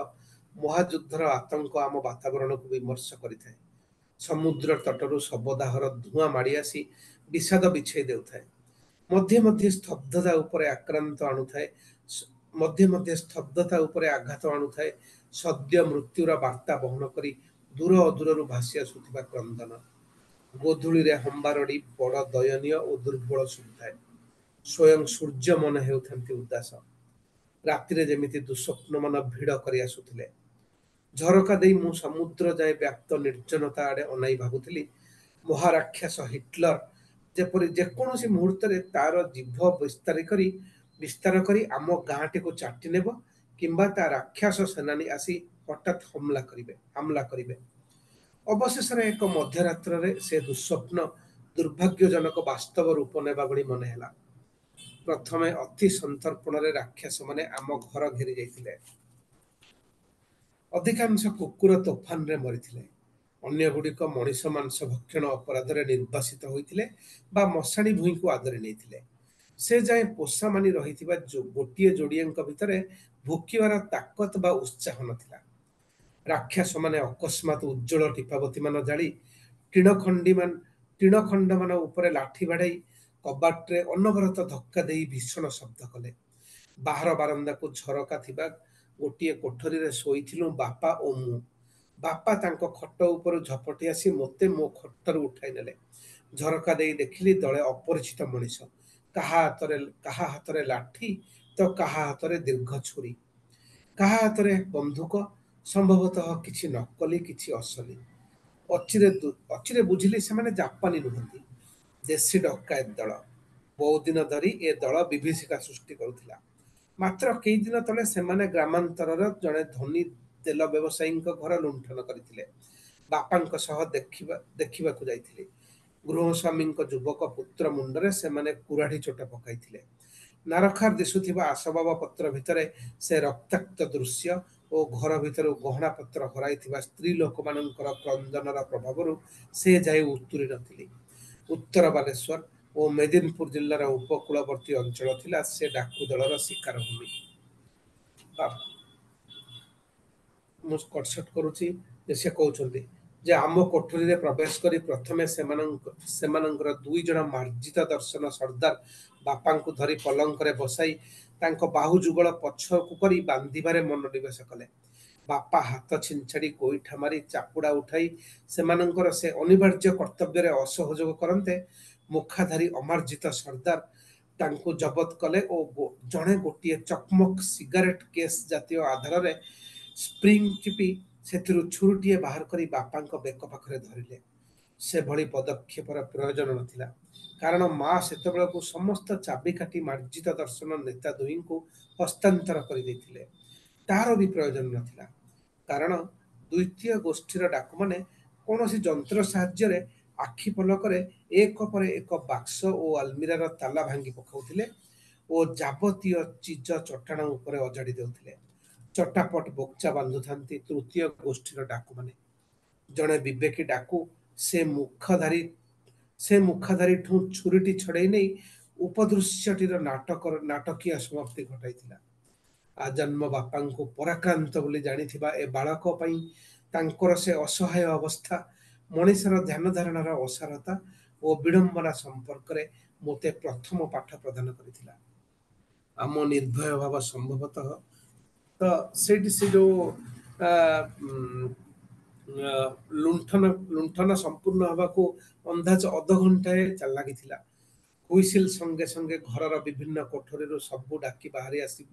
ମହାଯୁଦ୍ଧର ଆତଙ୍କ ଆମ ବାତାବରଣକୁ ବିମର୍ଶ କରିଥାଏ। ସମୁଦ୍ର ତଟରୁ ଶବଦାହର ଧୂଆଁ ମାଡ଼ି ଆସି ବିଷାଦ ବିଛେଇ ଦେଉଥାଏ। ମଧ୍ୟେ ମଧ୍ୟେ ସ୍ତବ୍ଧତା ଉପରେ ଆକ୍ରାନ୍ତ ଆଣୁଥାଏ, ମଧ୍ୟେ ମଧ୍ୟେ ସ୍ତବ୍ଧତା ଉପରେ ଆଘାତ ଆଣୁଥାଏ ସଦ୍ୟ ମୃତ୍ୟୁର ବାର୍ତ୍ତା ବହନ କରି ଦୂର ଅଦୂରରୁ ଭାସି ଆସୁଥିବା କ୍ରନ୍ଦନ। ଗୋଧୂଳିରେ ହମ୍ବାରଡ଼ି ବଡ଼ ଦୟନୀୟ ଓ ଦୁର୍ବଳ ଶୁଭୁଥାଏ। ସ୍ୱୟଂ ସୂର୍ଯ୍ୟ ମନେ ହେଉଥାନ୍ତି ଉଦାସ। ରାତିରେ ଯେମିତି ଦୁଃସ୍ୱପ୍ନମାନ ଭିଡ଼ କରି ଆସୁଥିଲେ। ଝରକା ଦେଇ ମୁଁ ସମୁଦ୍ର ଯାଏ ବ୍ୟାପ୍ତ ନିର୍ଜନତା ଆଡ଼େ ଅନାଇ ଭାବୁଥିଲି, ମହାରାକ୍ଷସ ହିଟଲର ଯେପରି ଯେକୌଣସି ମୁହୂର୍ତ୍ତରେ ତାର ଜିଭ ବିସ୍ତାର କରି ବିସ୍ତାର କରି ଆମ ଗାଁଟିକୁ ଚାଟି ନେବ କିମ୍ବା ତା ରାକ୍ଷସ ସେନାନୀ ଆସି ହଠାତ୍ ହମଲା କରିବେ ହାମଲା କରିବେ। ଅବଶେଷରେ ଏକ ମଧ୍ୟରାତ୍ରରେ ସେ ଦୁଃସ୍ୱପ୍ନ ଦୁର୍ଭାଗ୍ୟଜନକ ବାସ୍ତବ ରୂପ ନେବା ଭଳି ମନେ ହେଲା। ପ୍ରଥମେ ଅତି ସନ୍ତର୍ପଣରେ ରାକ୍ଷସମାନେ ଆମ ଘର ଘେରି ଯାଇଥିଲେ। ଅଧିକାଂଶ କୁକୁର ତୋଫାନରେ ମରିଥିଲେ। ଅନ୍ୟ ଗୁଡ଼ିକ ମଣିଷ ମାଂସ ଭକ୍ଷଣ ଅପରାଧରେ ନିର୍ବାସିତ ହୋଇଥିଲେ ବା ମଶାଣି ଭୂଇଁକୁ ଆଦରି ନେଇଥିଲେ। ସେ ଯାଏଁ ପୋଷା ମାନି ରହିଥିବା ଗୋଟିଏ ଯୋଡ଼ିଏଙ୍କ ଭିତରେ ଭୁକିବାର ତାକତ ବା ଉତ୍ସାହ ନଥିଲା। ରାକ୍ଷସମାନେ ଅକସ୍ମାତ ଉଜ୍ଜ୍ୱଳ ଟିପାବତୀମାନ ଜାଳି, ଟିଣ ଖଣ୍ଡିମାନ ଟିଣ ଖଣ୍ଡମାନ ଉପରେ ଲାଠି ବାଡ଼େଇ, କବାଟରେ ଅନବରତ ଧକ୍କା ଦେଇ ଭୀଷଣ ଶବ୍ଦ କଲେ। ବାହାର ବାରନ୍ଦାକୁ ଝରକା ଥିବା ଗୋଟିଏ କୋଠରୀରେ ଶୋଇଥିଲୁ ବାପା ଓ ମୁଁ। ବାପା ତାଙ୍କ ଖଟ ଉପରୁ ଝପଟି ଆସି ମୋତେ ମୋ ଖଟରୁ ଉଠାଇ ନେଲେ। ଝରକା ଦେଇ ଦେଖିଲି ଦଳେ ଅପରିଚିତ ମଣିଷ, କାହା ହାତରେ କାହା ହାତରେ ଲାଠି ତ କାହା ହାତରେ ଦୀର୍ଘ ଛୁରୀ, କାହା ହାତରେ ବନ୍ଧୁକ, ସମ୍ଭବତଃ କିଛି ନକଲି, କିଛି ଅସଲି। ଅଚିରେ ଅଚିରେ ବୁଝିଲି ସେମାନେ ଜାପାନୀ ନୁହନ୍ତି, ଦେଶୀ ଡକାୟତ ଦଳ। ବହୁଦିନ ଧରି ଏ ଦଳ ବିଭୀଷିକା ସୃଷ୍ଟି କରୁଥିଲା। ମାତ୍ର କେଇଦିନ ତଳେ ସେମାନେ ଗ୍ରାମାନ୍ତରର ଜଣେ ଧନୀ ତେଲ ବ୍ୟବସାୟୀଙ୍କ ଘର ଲୁଣ୍ଠନ କରିଥିଲେ। ବାପାଙ୍କ ସହ ଦେଖିବା ଦେଖିବାକୁ ଯାଇଥିଲି। ଗୃହସ୍ୱାମୀଙ୍କ ଯୁବକ ପୁତ୍ର ମୁଣ୍ଡରେ ସେମାନେ କୁରାଢ଼ି ଚୋଟ ପକାଇଥିଲେ। ନାରଖାର ଦିଶୁଥିବା ଆସବାବ ପତ୍ର ଭିତରେ ସେ ରକ୍ତାକ୍ତ ଦୃଶ୍ୟ ଓ ଘର ଭିତରୁ ଗହଣା ପତ୍ର ହରାଇଥିବା ସ୍ତ୍ରୀ ଲୋକମାନଙ୍କର କ୍ରନ୍ଦନର ପ୍ରଭାବରୁ ସେ ଯାଏ ଉତୁରି ନଥିଲି। ଉତ୍ତର ବାଲେଶ୍ୱର ଓ ମେଦିନପୁର ଜିଲ୍ଲାର ଉପକୂଳବର୍ତ୍ତୀ ଅଞ୍ଚଳ ଥିଲା ସେ ଡାକୁ ଦଳର ଶିକାର ଭୂମି। ମୁଁ କଟସଟ କରୁଛି ଯେ ସେ କହୁଛନ୍ତି ଯେ ଆମ କୋଠରୀରେ ପ୍ରବେଶ କରି ପ୍ରଥମେ ସେମାନଙ୍କ ସେମାନଙ୍କର ଦୁଇ ଜଣ ମାର୍ଜିତ ଦର୍ଶନ ସର୍ଦ୍ଦାର ବାପାଙ୍କୁ ଧରି ପଲଙ୍କରେ ବସାଇ ତାଙ୍କ ବାହୁ ଯୁଗଳ ପଛକୁ କରି ବାନ୍ଧିବାରେ ମନୋନିବେଶ କଲେ। ବାପା ହାତ ଛିଞ୍ଚାଡ଼ି, ଗୋଇଠା ମାରି, ଚାପୁଡ଼ା ଉଠାଇ ସେମାନଙ୍କର ସେ ଅନିବାର୍ଯ୍ୟ କର୍ତ୍ତବ୍ୟରେ ଅସହଯୋଗ କରନ୍ତେ ମୁଖାଧାରୀ ଅମାର୍ଜିତ ସର୍ଦ୍ଦାର ତାଙ୍କୁ ଜବତ କଲେ ଓ ଜଣେ ଗୋଟିଏ ଚକମକ ସିଗାରେଟ କେସ୍ ଜାତୀୟ ଆଧାରରେ ସ୍ପ୍ରିଙ୍ଗ ଚିପି ସେଥିରୁ ଛୁରୀଟିଏ ବାହାର କରି ବାପାଙ୍କ ବେକ ପାଖରେ ଧରିଲେ। ସେଭଳି ପଦକ୍ଷେପର ପ୍ରୟୋଜନ ନଥିଲା, କାରଣ ମା ସେତେବେଳକୁ ସମସ୍ତ ଚାବିକାଠି ମାର୍ଜିତ ଦର୍ଶନ ନେତା ଦୁହିଁଙ୍କୁ ହସ୍ତାନ୍ତର କରିଦେଇଥିଲେ। ତାର ବି ପ୍ରୟୋଜନ ନଥିଲା, କାରଣ ଦ୍ୱିତୀୟ ଗୋଷ୍ଠୀର ଡାକୁମାନେ କୌଣସି ଯନ୍ତ୍ର ସାହାଯ୍ୟରେ ଆଖି ପଲକରେ ଏକ ପରେ ଏକ ବାକ୍ସ ଓ ଆଲମିରାର ତାଲା ଭାଙ୍ଗି ପକାଉଥିଲେ ଓ ଯାବତୀୟ ଚିଜ ଚଟାଣ ଉପରେ ଅଜାଡ଼ି ଦେଉଥିଲେ। ଚଟାପଟ ବୋକଚା ବାନ୍ଧୁଥାନ୍ତି ତୃତୀୟ ଗୋଷ୍ଠୀର ଡାକୁମାନେ। ଜଣେ ବିବେକୀ ଡାକୁ ସେ ମୁଖଧାରୀ ସେ ମୁଖାଧାରୀଠୁଁ ଛୁରୀଟି ଛଡ଼େଇ ନେଇ ଉପଦୃଶ୍ୟଟିର ନାଟକର ନାଟକୀୟ ସମାପ୍ତି ଘଟାଇଥିଲା। ଆଜନ୍ମ ବାପାଙ୍କୁ ପରାକ୍ରାନ୍ତ ବୋଲି ଜାଣିଥିବା ଏ ବାଳକ ପାଇଁ ତାଙ୍କର ସେ ଅସହାୟ ଅବସ୍ଥା, ମଣିଷର ଧ୍ୟାନ ଧାରଣାର ଅସାରତା ଓ ବିଡ଼ମ୍ବନା ସମ୍ପର୍କରେ ମୋତେ ପ୍ରଥମ ପାଠ ପ୍ରଦାନ କରିଥିଲା। ଆମ ନିର୍ଭୟ ଭାବ ସମ୍ଭବତଃ ତ ସେଇଠି ସେ ଯୋଉ ଆ, ଉଁ, ଆ, ଲୁଣ୍ଠନ ଲୁଣ୍ଠନ ସମ୍ପୂର୍ଣ୍ଣ ହେବାକୁ ଅନ୍ଦାଜ ଅଧଘଣ୍ଟାଏ ଲାଗିଥିଲା। ହୁଇସିଲ ସଙ୍ଗେ ସଙ୍ଗେ ଘରର ବିଭିନ୍ନ କୋଠରୀରୁ ସବୁ ଡାକି ବାହାରି ଆସି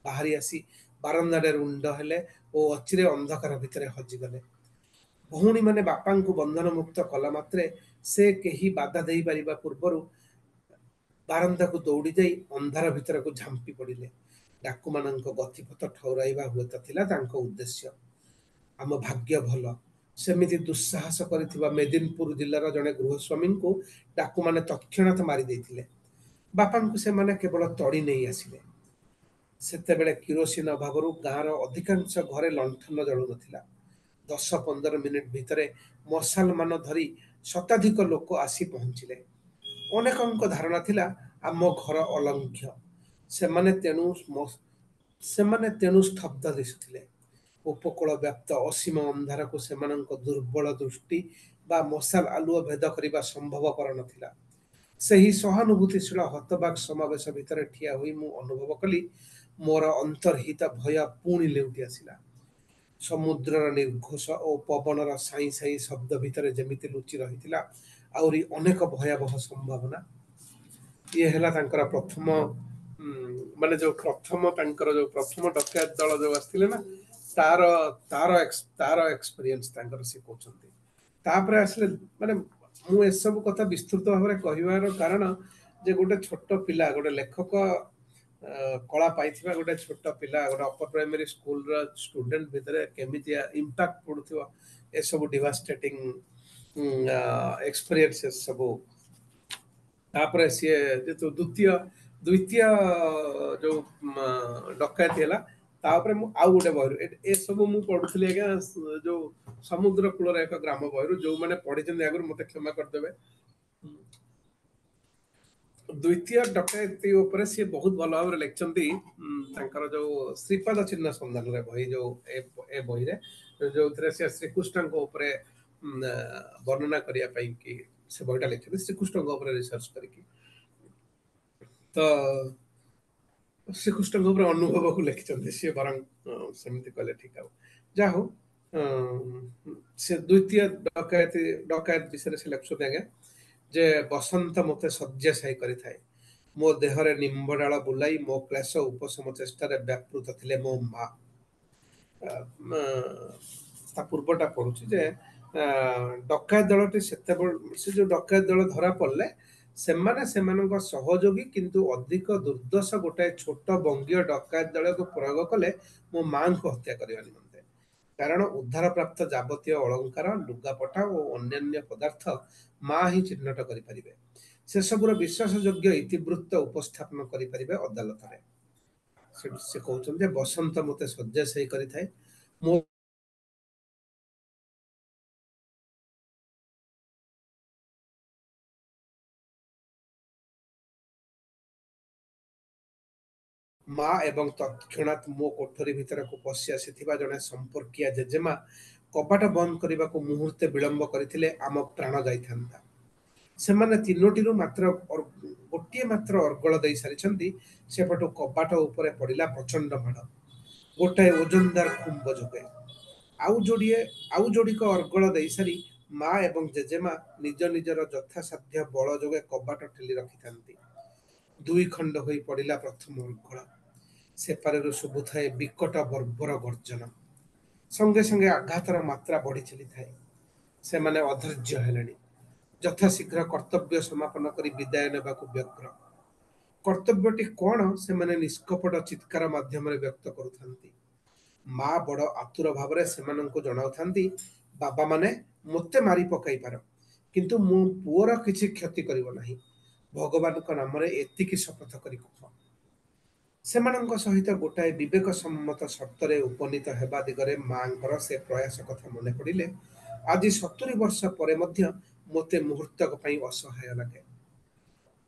ବାହାରି ଆସି ବାରନ୍ଦାରେ ରୁଣ୍ଡ ହେଲେ ଓ ଅଚିରେ ଅନ୍ଧକାର ଭିତରେ ହଜିଗଲେ। ଭଉଣୀମାନେ ବାପାଙ୍କୁ ବନ୍ଧନମୁକ୍ତ କଲା ମାତ୍ରେ ସେ କେହି ବାଧା ଦେଇପାରିବା ପୂର୍ବରୁ ବାରନ୍ଦାକୁ ଦୌଡ଼ି ଯାଇ ଅନ୍ଧାର ଭିତରକୁ ଝାମ୍ପି ପଡ଼ିଲେ। ଡାକୁମାନଙ୍କ ଗତିପଥ ଠଉରାଇବା ହୁଏତ ଥିଲା ତାଙ୍କ ଉଦ୍ଦେଶ୍ୟ। ଆମ ଭାଗ୍ୟ ଭଲ, ସେମିତି ଦୁଃସାହସ କରିଥିବା ମେଦିନପୁର ଜିଲ୍ଲାର ଜଣେ ଗୃହସ୍ୱାମୀଙ୍କୁ ଡାକୁମାନେ ତତ୍କ୍ଷଣାତ୍ ମାରି ଦେଇଥିଲେ। ବାପାଙ୍କୁ ସେମାନେ କେବଳ ତଡ଼ି ନେଇ ଆସିଲେ। ସେତେବେଳେ କିରୋସିନ ଅଭାବରୁ ଗାଁର ଅଧିକାଂଶ ଘରେ ଲଣ୍ଠନ ଜଳୁନଥିଲା। ଦଶ ପନ୍ଦର ମିନିଟ ଭିତରେ ମଶାଲମାନ ଧରି ଶତାଧିକ ଲୋକ ଆସି ପହଞ୍ଚିଲେ। ଅନେକଙ୍କ ଧାରଣା ଥିଲା ଆମ ଘର ଅଲଙ୍ଘ୍ୟ। ସେମାନେ ତେଣୁ ସେମାନେ ତେଣୁ ସ୍ତବ୍ଧ ଦିଶୁଥିଲେ। ଉପକୂଳ ବ୍ୟାପ୍ତ ଅସୀମ ଅନ୍ଧାରକୁ ସେମାନଙ୍କ ଦୁର୍ବଳ ଦୃଷ୍ଟି ବା ମଶାଲ ଆଲୁଅ ଭେଦ କରିବା ସମ୍ଭବପର ନଥିଲା। ସେହି ସହାନୁଭୂତିଶୀଳ ହତବାକ୍ ସମାବେଶ ଭିତରେ ଠିଆ ହୋଇ ମୁଁ ଅନୁଭବ କଲି ମୋର ଅନ୍ତର୍ହିତ ଭୟ ପୁଣି ଲେଉଟି ଆସିଲା। ସମୁଦ୍ରର ନିର୍ଘୋଷ ଓ ପବନର ସାଇଁ ସାଇଁ ଶବ୍ଦ ଭିତରେ ଯେମିତି ଲୁଚି ରହିଥିଲା ଆହୁରି ଅନେକ ଭୟାବହ ସମ୍ଭାବନା। ଇଏ ହେଲା ତାଙ୍କର ପ୍ରଥମ ମାନେ ଯୋଉ ପ୍ରଥମ ତାଙ୍କର ଯୋଉ ପ୍ରଥମ ଡକାୟତ ଦଳ ଯୋଉ ଆସିଥିଲେ ନା, ତାର ତାର ତାର ଏକ୍ସପିରିଏନ୍ସ ତାଙ୍କର ସେ କହୁଛନ୍ତି। ତାପରେ ଆସିଲେ ମାନେ ମୁଁ ଏସବୁ କଥା ବିସ୍ତୃତ ଭାବରେ କହିବାର କାରଣ ଯେ ଗୋଟେ ଛୋଟ ପିଲା, ଗୋଟେ ଲେଖକ କଳା ପାଇଥିବା ଗୋଟେ ଛୋଟ ପିଲା, ଗୋଟେ ଅପର ପ୍ରାଇମେରୀ ସ୍କୁଲର ଷ୍ଟୁଡେଣ୍ଟ ଭିତରେ କେମିତିଆ ଇମ୍ପାକ୍ଟ ପଡୁଥିବ ଏସବୁ ଡିଭାଷ୍ଟେଟିଂ ଏକ୍ସପିରିଏନ୍ସେସ୍ ସବୁ। ତାପରେ ସିଏ ଯେହେତୁ ଦ୍ୱିତୀୟ ଦ୍ୱିତୀୟ ଯୋଉ ଡକାୟତି ହେଲା, ତାପରେ ମୁଁ ଆଉ ଗୋଟେ ବହିରୁ ଏସବୁ ମୁଁ ପଢୁଥିଲି ଆଜ୍ଞା, ଯୋଉ ସମୁଦ୍ର କୂଳର ଏକ ଗ୍ରାମ ବହିରୁ। ଯୋଉମାନେ ପଢିଛନ୍ତି ଆଗରୁ ମତେ କ୍ଷମା କରିଦେବେ। ଦ୍ୱିତୀୟ ଡକାୟତି ଉପରେ ସିଏ ବହୁତ ଭଲ ଭାବରେ ଲେଖିଛନ୍ତି ତାଙ୍କର ଯୋଉ ଶ୍ରୀପାଦ ଚିହ୍ନ ସନ୍ଧାନରେ ବହି, ଯୋଉ ଏ ବହିରେ ଯୋଉଥିରେ ସେ ଶ୍ରୀକୃଷ୍ଣଙ୍କ ଉପରେ ବର୍ଣ୍ଣନା କରିବା ପାଇଁ କି ସେ ବହିଟା ଲେଖିଛନ୍ତି, ଶ୍ରୀକୃଷ୍ଣଙ୍କ ଉପରେ ରିସର୍ଚ୍ଚ କରିକି। ତ ଶ୍ରୀକୃଷ୍ଣଙ୍କ ଉପରେ ଅନୁଭବକୁ ଲେଖିଛନ୍ତି ସିଏ, ବରଂ ସେମିତି କହିଲେ ଠିକ ହବ। ଯାହା ହଉ, ସେ ଦ୍ୱିତୀୟ ଡକାୟତି ଡକାୟତ ବିଷୟରେ ସେ ଲେଖୁଛନ୍ତି ଆଜ୍ଞା ଯେ ବସନ୍ତ ମୋତେ ଶଯ୍ୟାଶାୟୀ କରିଥାଏ, ମୋ ଦେହରେ ନିମ୍ବ ଡାଳ ବୁଲାଇ ମୋ କ୍ଲେଶ ଉପଶମ ଚେଷ୍ଟାରେ ବ୍ୟାପୃତ ଥିଲେ ମୋ ମା। ତା ପୂର୍ବଟା ପଢୁଛି ଯେ ଡକାୟତ ଦଳଟି ସେତେବେଳେ ସେ ଯୋଉ ଡକାୟତ ଦଳ ଧରା ପଡ଼ିଲେ ସେମାନେ ସେମାନଙ୍କ ସହଯୋଗୀ କିନ୍ତୁ ଅଧିକ ଦୁର୍ଦ୍ଦଶ ଗୋଟାଏ ଛୋଟ ବଙ୍ଗୀୟ ଡକାୟତ ଦଳକୁ ପ୍ରୟୋଗ କଲେ ମୋ ମାଙ୍କୁ ହତ୍ୟା କରିବା ନିମନ୍ତେ। କାରଣ ଉଦ୍ଧାର ପ୍ରାପ୍ତ ଯାବତୀୟ ଅଳଙ୍କାର, ଲୁଗାପଟା ଓ ଅନ୍ୟାନ୍ୟ ପଦାର୍ଥ ମା ହିଁ ଚିହ୍ନଟ କରିପାରିବେ, ସେସବୁର ବିଶ୍ୱାସଯୋଗ୍ୟ ଇତିବୃତ୍ତ ଉପସ୍ଥାପନ କରିପାରିବେ ଅଦାଲତରେ। ସେ କହୁଛନ୍ତି ଯେ ବସନ୍ତ ମୋତେ ଶଯ୍ୟାଶାୟୀ କରିଥାଏ, ମୋ ମା ଏବଂ ତତ୍କ୍ଷଣାତ୍ ମୋ କୋଠରୀ ଭିତରକୁ ପଶି ଆସିଥିବା ଜଣେ ସମ୍ପର୍କୀୟା ଜେଜେମା କବାଟ ବନ୍ଦ କରିବାକୁ ମୁହୂର୍ତ୍ତେ ବିଳମ୍ବ କରିଥିଲେ ଆମ ପ୍ରାଣ ଯାଇଥାନ୍ତା। ସେମାନେ ତିନୋଟିରୁ ମାତ୍ର ଗୋଟିଏ ମାତ୍ର ଅର୍ଗଳ ଦେଇ ସାରିଛନ୍ତି, ସେପଟୁ କବାଟ ଉପରେ ପଡ଼ିଲା ପ୍ରଚଣ୍ଡ ମାଡ଼, ଗୋଟାଏ ଓଜନଦାର ଖୁମ୍ବ ଯୋଗେ। ଆଉ ଯୋଡ଼ିଏ ଆଉ ଯୋଡ଼ିକ ଅର୍ଗଳ ଦେଇସାରି ମା ଏବଂ ଜେଜେମା ନିଜ ନିଜର ଯଥାସାଧ୍ୟ ବଳ ଯୋଗେ କବାଟ ଠେଲି ରଖିଥାନ୍ତି। ଦୁଇ ଖଣ୍ଡ ହୋଇ ପଡ଼ିଲା ପ୍ରଥମ ଅର୍ଗଳ। ସେପାରରୁ ଶୁଭୁଥାଏ ବିକଟ ବର୍ବର ଗର୍ଜନ, ସଙ୍ଗେ ସଙ୍ଗେ ଆଘାତର ମାତ୍ରା ବଢ଼ି ଚାଲିଥାଏ। ସେମାନେ ଅଧୈର୍ଯ୍ୟ ହେଲେଣି, ଯଥାଶୀଘ୍ର କର୍ତ୍ତବ୍ୟ ସମାପନ କରି ବିଦାୟ ନେବାକୁ ବ୍ୟଗ୍ର। କର୍ତ୍ତବ୍ୟଟି କଣ ସେମାନେ ନିଷ୍କପଟ ଚିତ୍କାର ମାଧ୍ୟମରେ ବ୍ୟକ୍ତ କରୁଥାନ୍ତି। ମା ବଡ଼ ଆତୁର ଭାବରେ ସେମାନଙ୍କୁ ଜଣାଉଥାନ୍ତି, ବାବାମାନେ ମୋତେ ମାରି ପକାଇ ପାର, କିନ୍ତୁ ମୋ ପୁଅର କିଛି କ୍ଷତି କରିବ ନାହିଁ, ଭଗବାନଙ୍କ ନାମରେ ଏତିକି ଶପଥ କରି କୁହ। ସେମାନଙ୍କ ସହିତ ଗୋଟାଏ ବିବେକ ସମ୍ମତ ସର୍ତ୍ତରେ ଉପନୀତ ହେବା ଦିଗରେ ମାଙ୍କର ସେ ପ୍ରୟାସ କଥା ମନେ ପଡ଼ିଲେ ଆଜି ସତୁରି ବର୍ଷ ପରେ ମଧ୍ୟ ମୋତେ ମୁହୂର୍ତ୍ତକ ପାଇଁ ଅସହାୟ ଲାଗେ।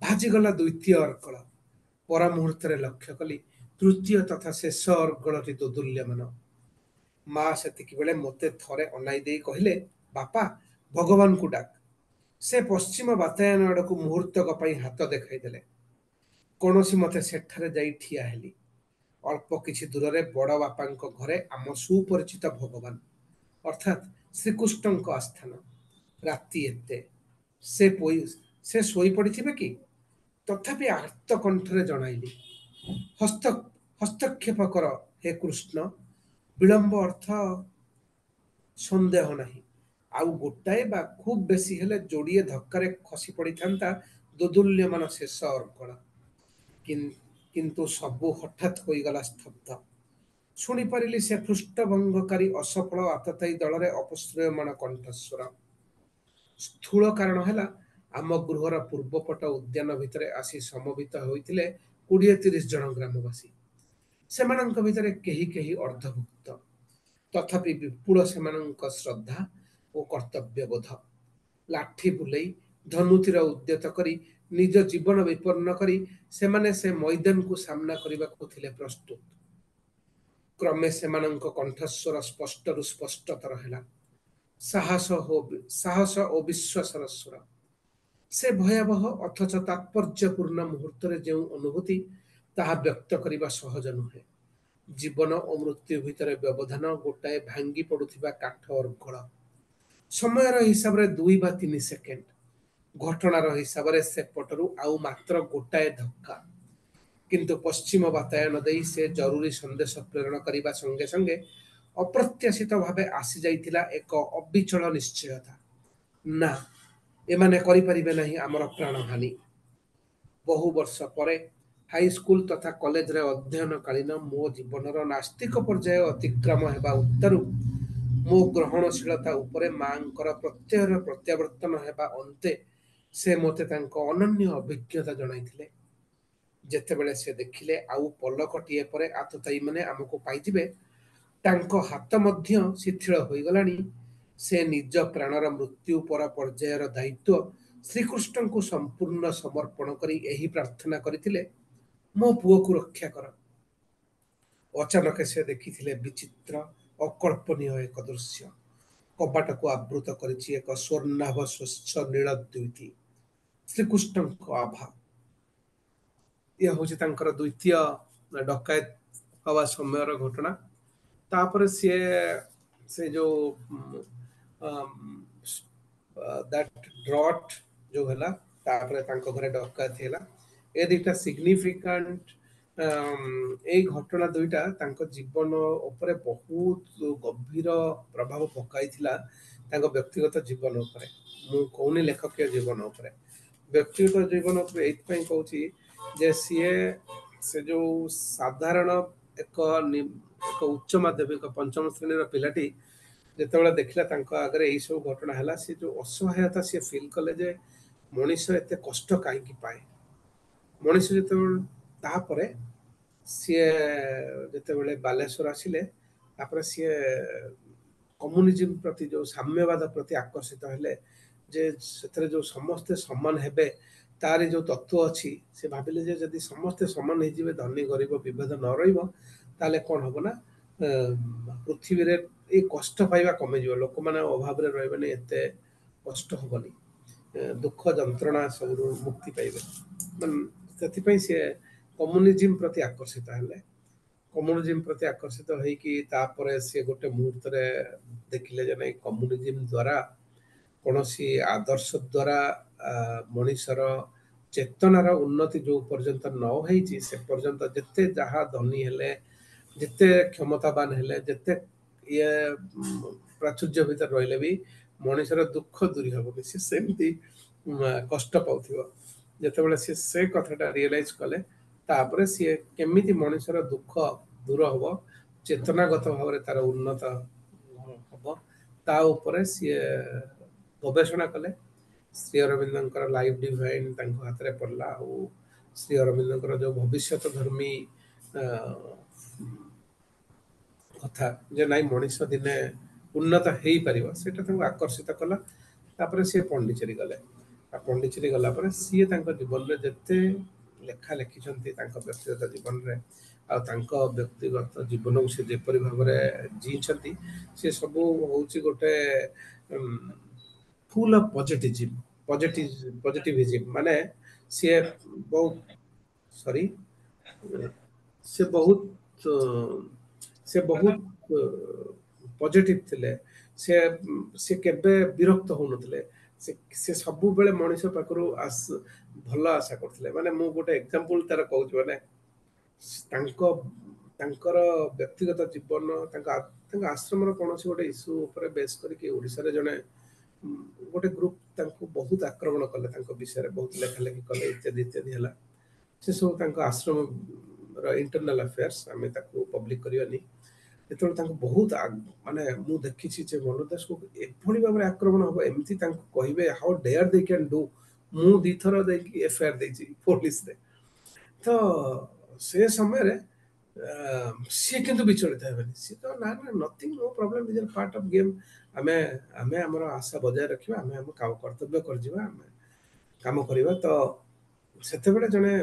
ଭାଜିଗଲା ଦ୍ୱିତୀୟ ଅର୍ଗଳ। ପର ମୁହୂର୍ତ୍ତରେ ଲକ୍ଷ୍ୟ କଲି ତୃତୀୟ ତଥା ଶେଷ ଅର୍ଗଳଟି ଦୋଦୁଲ୍ୟମାନ। ମା ସେତିକି ବେଳେ ମୋତେ ଥରେ ଅନାଇ ଦେଇ କହିଲେ, ବାପା, ଭଗବାନଙ୍କୁ ଡାକ। ସେ ପଶ୍ଚିମ ବାତାୟନ ଆଡ଼କୁ ମୁହୂର୍ତ୍ତକ ପାଇଁ ହାତ ଦେଖାଇଦେଲେ। କୌଣସି ମତେ ସେଠାରେ ଯାଇ ଠିଆ ହେଲି। ଅଳ୍ପ କିଛି ଦୂରରେ ବଡ଼ ବାପାଙ୍କ ଘରେ ଆମ ସୁପରିଚିତ ଭଗବାନ ଅର୍ଥାତ୍ ଶ୍ରୀକୃଷ୍ଣଙ୍କ ଆସ୍ଥାନ। ରାତି ଏତେ, ସେ ସେ ଶୋଇପଡ଼ିଥିବେ କି? ତଥାପି ଆର୍ତ୍ତ କଣ୍ଠରେ ଜଣାଇଲି, ହସ୍ତ ହସ୍ତକ୍ଷେପ କର ହେ କୃଷ୍ଣ। ବିଳମ୍ବ ଅର୍ଥ ସନ୍ଦେହ ନାହିଁ, ଆଉ ଗୋଟାଏ ବା ଖୁବ୍ ବେଶୀ ହେଲେ ଯୋଡ଼ିଏ ଧକ୍କାରେ ଖସି ପଡ଼ିଥାନ୍ତା ଦୋଦୁଲ୍ୟମାନ ଶେଷ ଅର୍ଗଳ। କିନ୍ତୁ ସବୁ ହଠାତ୍ ହୋଇଗଲା ସ୍ତବ୍ଧ। ଶୁଣିପାରିଲି ସେ ପୃଷ୍ଠଭଙ୍ଗକାରୀ ଅସଫଳ ଆତତାୟୀ ଦଳରେ ଅପଶ୍ରୟମାଣ କଣ୍ଠସ୍ୱର। ସ୍ଥୂଳ କାରଣ ହେଲା, ଆମ ଗୃହର ପୂର୍ବପଟ ଉଦ୍ୟାନ ଭିତରେ ଆସି ସମବେତ ହୋଇଥିଲେ କୋଡ଼ିଏ ତିରିଶ ଜଣ ଗ୍ରାମବାସୀ। ସେମାନଙ୍କ ଭିତରେ କେହି କେହି ଅର୍ଦ୍ଧଭୁକ୍ତ, ତଥାପି ବିପୁଳ ସେମାନଙ୍କ ଶ୍ରଦ୍ଧା ଓ କର୍ତ୍ତବ୍ୟବୋଧ। ଲାଠି ବୁଲେଇ, ଧନୁତୀର ଉଦ୍ୟତ କରି, ନିଜ ଜୀବନ ବିପନ୍ନ କରି ସେମାନେ ସେ ମଇଦାନକୁ ସାମ୍ନା କରିବାକୁ ଥିଲେ ପ୍ରସ୍ତୁତ। କ୍ରମେ ସେମାନଙ୍କ କଣ୍ଠସ୍ୱର ସ୍ପଷ୍ଟରୁ ସ୍ପଷ୍ଟତର ହେଲା, ସାହସ ଓ ସାହସ ଓ ବିଶ୍ୱାସର ସ୍ୱର। ସେ ଭୟାବହ ଅଥଚ ତାତ୍ପର୍ଯ୍ୟପୂର୍ଣ୍ଣ ମୁହୂର୍ତ୍ତରେ ଯେଉଁ ଅନୁଭୂତି, ତାହା ବ୍ୟକ୍ତ କରିବା ସହଜ ନୁହେଁ। ଜୀବନ ଓ ମୃତ୍ୟୁ ଭିତରେ ବ୍ୟବଧାନ ଗୋଟାଏ ଭାଙ୍ଗି ପଡୁଥିବା କାଠ ଅର୍ଗଳ। ସମୟର ହିସାବରେ ଦୁଇ ବା ତିନି ସେକେଣ୍ଡ, ଘଟଣାର ହିସାବରେ ସେପଟରୁ ଆଉ ମାତ୍ର ଗୋଟାଏ ଧକ୍କା। କିନ୍ତୁ ପଶ୍ଚିମ ବାତାୟନ ଦେଇ ସେ ଜରୁରୀ ସନ୍ଦେଶ ପ୍ରେରଣ କରିବା ସଙ୍ଗେ ସଙ୍ଗେ ଅପ୍ରତ୍ୟାଶିତ ଭାବେ ଆସିଯାଇଥିଲା ଏକ ଅବିଚଳ ନିଶ୍ଚୟତା, ନା, ଏମାନେ କରିପାରିବେ ନାହିଁ ଆମର ପ୍ରାଣହାନି। ବହୁ ବର୍ଷ ପରେ ହାଇସ୍କୁଲ ତଥା କଲେଜରେ ଅଧ୍ୟୟନକାଳୀନ ମୋ ଜୀବନର ନାସ୍ତିକ ପର୍ଯ୍ୟାୟ ଅତିକ୍ରମ ହେବା ଉତ୍ତାରୁ ମୋ ଗ୍ରହଣଶୀଳତା ଉପରେ ମାଙ୍କର ପ୍ରତ୍ୟୟର ପ୍ରତ୍ୟାବର୍ତ୍ତନ ହେବା ଅନ୍ତେ ସେ ମୋତେ ତାଙ୍କ ଅନନ୍ୟ ଅଭିଜ୍ଞତା ଜଣାଇଥିଲେ। ଯେତେବେଳେ ସେ ଦେଖିଲେ ଆଉ ପଲକଟିଏ ପରେ ଆତତାୟୀମାନେ ଆମକୁ ପାଇଯିବେ, ତାଙ୍କ ହାତ ମଧ୍ୟ ଶିଥିଳ ହୋଇଗଲାଣି, ସେ ନିଜ ପ୍ରାଣର ମୃତ୍ୟୁ ପର ପର୍ଯ୍ୟାୟର ଦାୟିତ୍ୱ ଶ୍ରୀକୃଷ୍ଣଙ୍କୁ ସମ୍ପୂର୍ଣ୍ଣ ସମର୍ପଣ କରି ଏହି ପ୍ରାର୍ଥନା କରିଥିଲେ, ମୋ ପୁଅକୁ ରକ୍ଷା କର। ଅଚାନକ ସେ ଦେଖିଥିଲେ ବିଚିତ୍ର ଅକଳ୍ପନୀୟ ଏକ ଦୃଶ୍ୟ। କବାଟକୁ ଆବୃତ କରିଛି ଏକ ସ୍ୱର୍ଣ୍ଣାଭ ସ୍ୱଚ୍ଛ ନୀଳ ଦ୍ୟୁତି, ଶ୍ରୀକୃଷ୍ଣଙ୍କ ଆଭା। ଇଏ ହଉଛି ତାଙ୍କର ଦ୍ୱିତୀୟ ଡକାୟତ ହବା ସମୟର ଘଟଣା। ତାପରେ ସିଏ ସେ ଯୋଉ that drought ଯୋଉ ହେଲା, ତାପରେ ତାଙ୍କ ଘରେ ଡକାୟତ ହେଲା, ଏ ଦିଟା ସିଗ୍ନିଫିକାଣ୍ଟ, ଏଇ ଘଟଣା ଦୁଇଟା ତାଙ୍କ ଜୀବନ ଉପରେ ବହୁତ ଗଭୀର ପ୍ରଭାବ ପକାଇଥିଲା, ତାଙ୍କ ବ୍ୟକ୍ତିଗତ ଜୀବନ ଉପରେ। ମୁଁ କହୁନି ଲେଖକୀୟ ଜୀବନ ଉପରେ, ବ୍ୟକ୍ତିଗତ ଜୀବନ ଉପରେ ଏଇଥିପାଇଁ କହୁଛି ଯେ ସିଏ ସେ ଯୋଉ ସାଧାରଣ ଏକ ଏକ ଉଚ୍ଚ ମାଧ୍ୟମିକ ପଞ୍ଚମ ଶ୍ରେଣୀର ପିଲାଟି ଯେତେବେଳେ ଦେଖିଲା ତାଙ୍କ ଆଗରେ ଏଇ ସବୁ ଘଟଣା ହେଲା, ସେ ଯୋଉ ଅସହାୟତା ସିଏ ଫିଲ୍ କଲେ ଯେ ମଣିଷ ଏତେ କଷ୍ଟ କାହିଁକି ପାଏ। ମଣିଷ ଯେତେବେଳେ ତାପରେ ସିଏ ଯେତେବେଳେ ବାଲେଶ୍ୱର ଆସିଲେ, ତାପରେ ସିଏ କମ୍ୟୁନିଜିମ୍ ପ୍ରତି, ଯୋଉ ସାମ୍ୟବାଦ ପ୍ରତି ଆକର୍ଷିତ ହେଲେ, ଯେ ସେଥିରେ ଯୋଉ ସମସ୍ତେ ସମାନ ହେବେ ତାର ଯୋଉ ତତ୍ତ୍ୱ ଅଛି, ସେ ଭାବିଲେ ଯେ ଯଦି ସମସ୍ତେ ସମାନ ହେଇଯିବେ, ଧନୀ ଗରିବ ବିଭେଦ ନ ରହିବ, ତାହେଲେ କଣ ହବ ନା ପୃଥିବୀରେ ଏଇ କଷ୍ଟ ପାଇବା କମିଯିବ, ଲୋକମାନେ ଅଭାବରେ ରହିବେନି, ଏତେ କଷ୍ଟ ହବନି, ଦୁଃଖ ଯନ୍ତ୍ରଣା ସବୁରୁ ମୁକ୍ତି ପାଇବେ। ସେଥିପାଇଁ ସିଏ କମ୍ୟୁନିଜିମ୍ ପ୍ରତି ଆକର୍ଷିତ ହେଲେ। କମ୍ୟୁନିଜିମ୍ ପ୍ରତି ଆକର୍ଷିତ ହେଇକି ତାପରେ ସିଏ ଗୋଟେ ମୁହୂର୍ତ୍ତରେ ଦେଖିଲେ ଯେ ନାଇଁ, କମ୍ୟୁନିଜିମ୍ ଦ୍ୱାରା କୌଣସି ଆଦର୍ଶ ଦ୍ୱାରା ମଣିଷର ଚେତନାର ଉନ୍ନତି ଯୋଉ ପର୍ଯ୍ୟନ୍ତ ନ ହେଇଛି, ସେ ପର୍ଯ୍ୟନ୍ତ ଯେତେ ଯାହା ଧନୀ ହେଲେ, ଯେତେ କ୍ଷମତାବାନ ହେଲେ, ଯେତେ ଇଏ ପ୍ରାଚୁର୍ଯ୍ୟ ଭିତରେ ରହିଲେ ବି ମଣିଷର ଦୁଃଖ ଦୂରୀ ହବନି, ସେ ସେମିତି କଷ୍ଟ ପାଉଥିବ। ଯେତେବେଳେ ସିଏ ସେ କଥାଟା ରିଏଲାଇଜ କଲେ, ତାପରେ ସିଏ କେମିତି ମଣିଷର ଦୁଃଖ ଦୂର ହବ, ଚେତନାଗତ ଭାବରେ ତାର ଉନ୍ନତ ହବ, ତା ଉପରେ ସିଏ ଗବେଷଣା କଲେ। ଶ୍ରୀ ଅରବିନ୍ଦଙ୍କର ଲାଇଫ ଡିଭାଇନ ତାଙ୍କ ହାତରେ ପଡ଼ିଲା, ଆଉ ଶ୍ରୀ ଅରବିନ୍ଦଙ୍କର ଯୋଉ ଭବିଷ୍ୟତ ଧର୍ମୀ କଥା ଯେ ନାଇଁ ମଣିଷ ଦିନେ ଉନ୍ନତ ହେଇପାରିବ, ସେଇଟା ତାଙ୍କୁ ଆକର୍ଷିତ କଲା। ତାପରେ ସିଏ ପଣ୍ଡିଚେରୀ ଗଲେ। ଆଉ ପଣ୍ଡିଚେରୀ ଗଲା ପରେ ସିଏ ତାଙ୍କ ଜୀବନରେ ଯେତେ ଲେଖା ଲେଖିଛନ୍ତି ତାଙ୍କ ବ୍ୟକ୍ତିଗତ ଜୀବନରେ, ଆଉ ତାଙ୍କ ବ୍ୟକ୍ତିଗତ ଜୀବନକୁ ସେ ଯେପରି ଭାବରେ ଜିଇଛନ୍ତି, ସେ ସବୁ ହଉଛି ଗୋଟେ ଫୁଲ୍ ଅଫ୍ ପଜିଟିଭିଜିମ୍ ପଜିଟିଭ ପଜିଟିଭିଜିମ୍ ମାନେ ସିଏ ବହୁତ, ସରି, ସେ ବହୁତ ସେ ବହୁତ ପଜିଟିଭ ଥିଲେ। ସେ ସେ କେବେ ବିରକ୍ତ ହଉନଥିଲେ। ସେ ସେ ସବୁବେଳେ ମଣିଷ ପାଖରୁ ଆସ ଭଲ ଆଶା କରୁଥିଲେ। ମାନେ ମୁଁ ଗୋଟେ ଏକ୍ଜାମ୍ପଲ ତାର କହୁଛି, ମାନେ ତାଙ୍କ ତାଙ୍କର ବ୍ୟକ୍ତିଗତ ଜୀବନ, ତାଙ୍କ ତାଙ୍କ ଆଶ୍ରମର କୌଣସି ଗୋଟେ ଇସ୍ୟୁ ଉପରେ ବେସ୍ କରିକି ଓଡ଼ିଶାରେ ଜଣେ ଗୋଟେ ଗ୍ରୁପ ତାଙ୍କୁ ବହୁତ ଆକ୍ରମଣ କଲେ, ତାଙ୍କ ବିଷୟରେ ବହୁତ ଲେଖାଲେଖି କଲେ, ଇତ୍ୟାଦି ଇତ୍ୟାଦି ହେଲା। ସେ ସବୁ ତାଙ୍କ ଆଶ୍ରମର ଇଣ୍ଟରନାଲ ଆଫେୟାର୍ସ, ଆମେ ତାକୁ ପବ୍ଲିକ କରିବାନି। ଯେତେବେଳେ ତାଙ୍କୁ ବହୁତ, ମାନେ ମୁଁ ଦେଖିଛି ଯେ ମନୋଜ ଦାସକୁ ଏଭଳି ଭାବରେ ଆକ୍ରମଣ ହବ, ଏମିତି ତାଙ୍କୁ କହିବେ, how dare they can do। ମୁଁ ଦିଥର ଯାଇକି ଏଫଆଇଆର ଦେଇଛି ପୋଲିସରେ। ତ ସେ ସମୟରେ ସିଏ କିନ୍ତୁ ବିଚଳିତ ହେବେନି। ସିଏ ତ ନା ନା, nothing, no problem, is part of game। ଆମେ ଆମେ ଆମର ଆଶା ବଜାୟ ରଖିବା, ଆମେ ଆମ କର୍ତ୍ତବ୍ୟ କରିଯିବା, ଆମେ କାମ କରିବା। ତ ସେତେବେଳେ ଜଣେ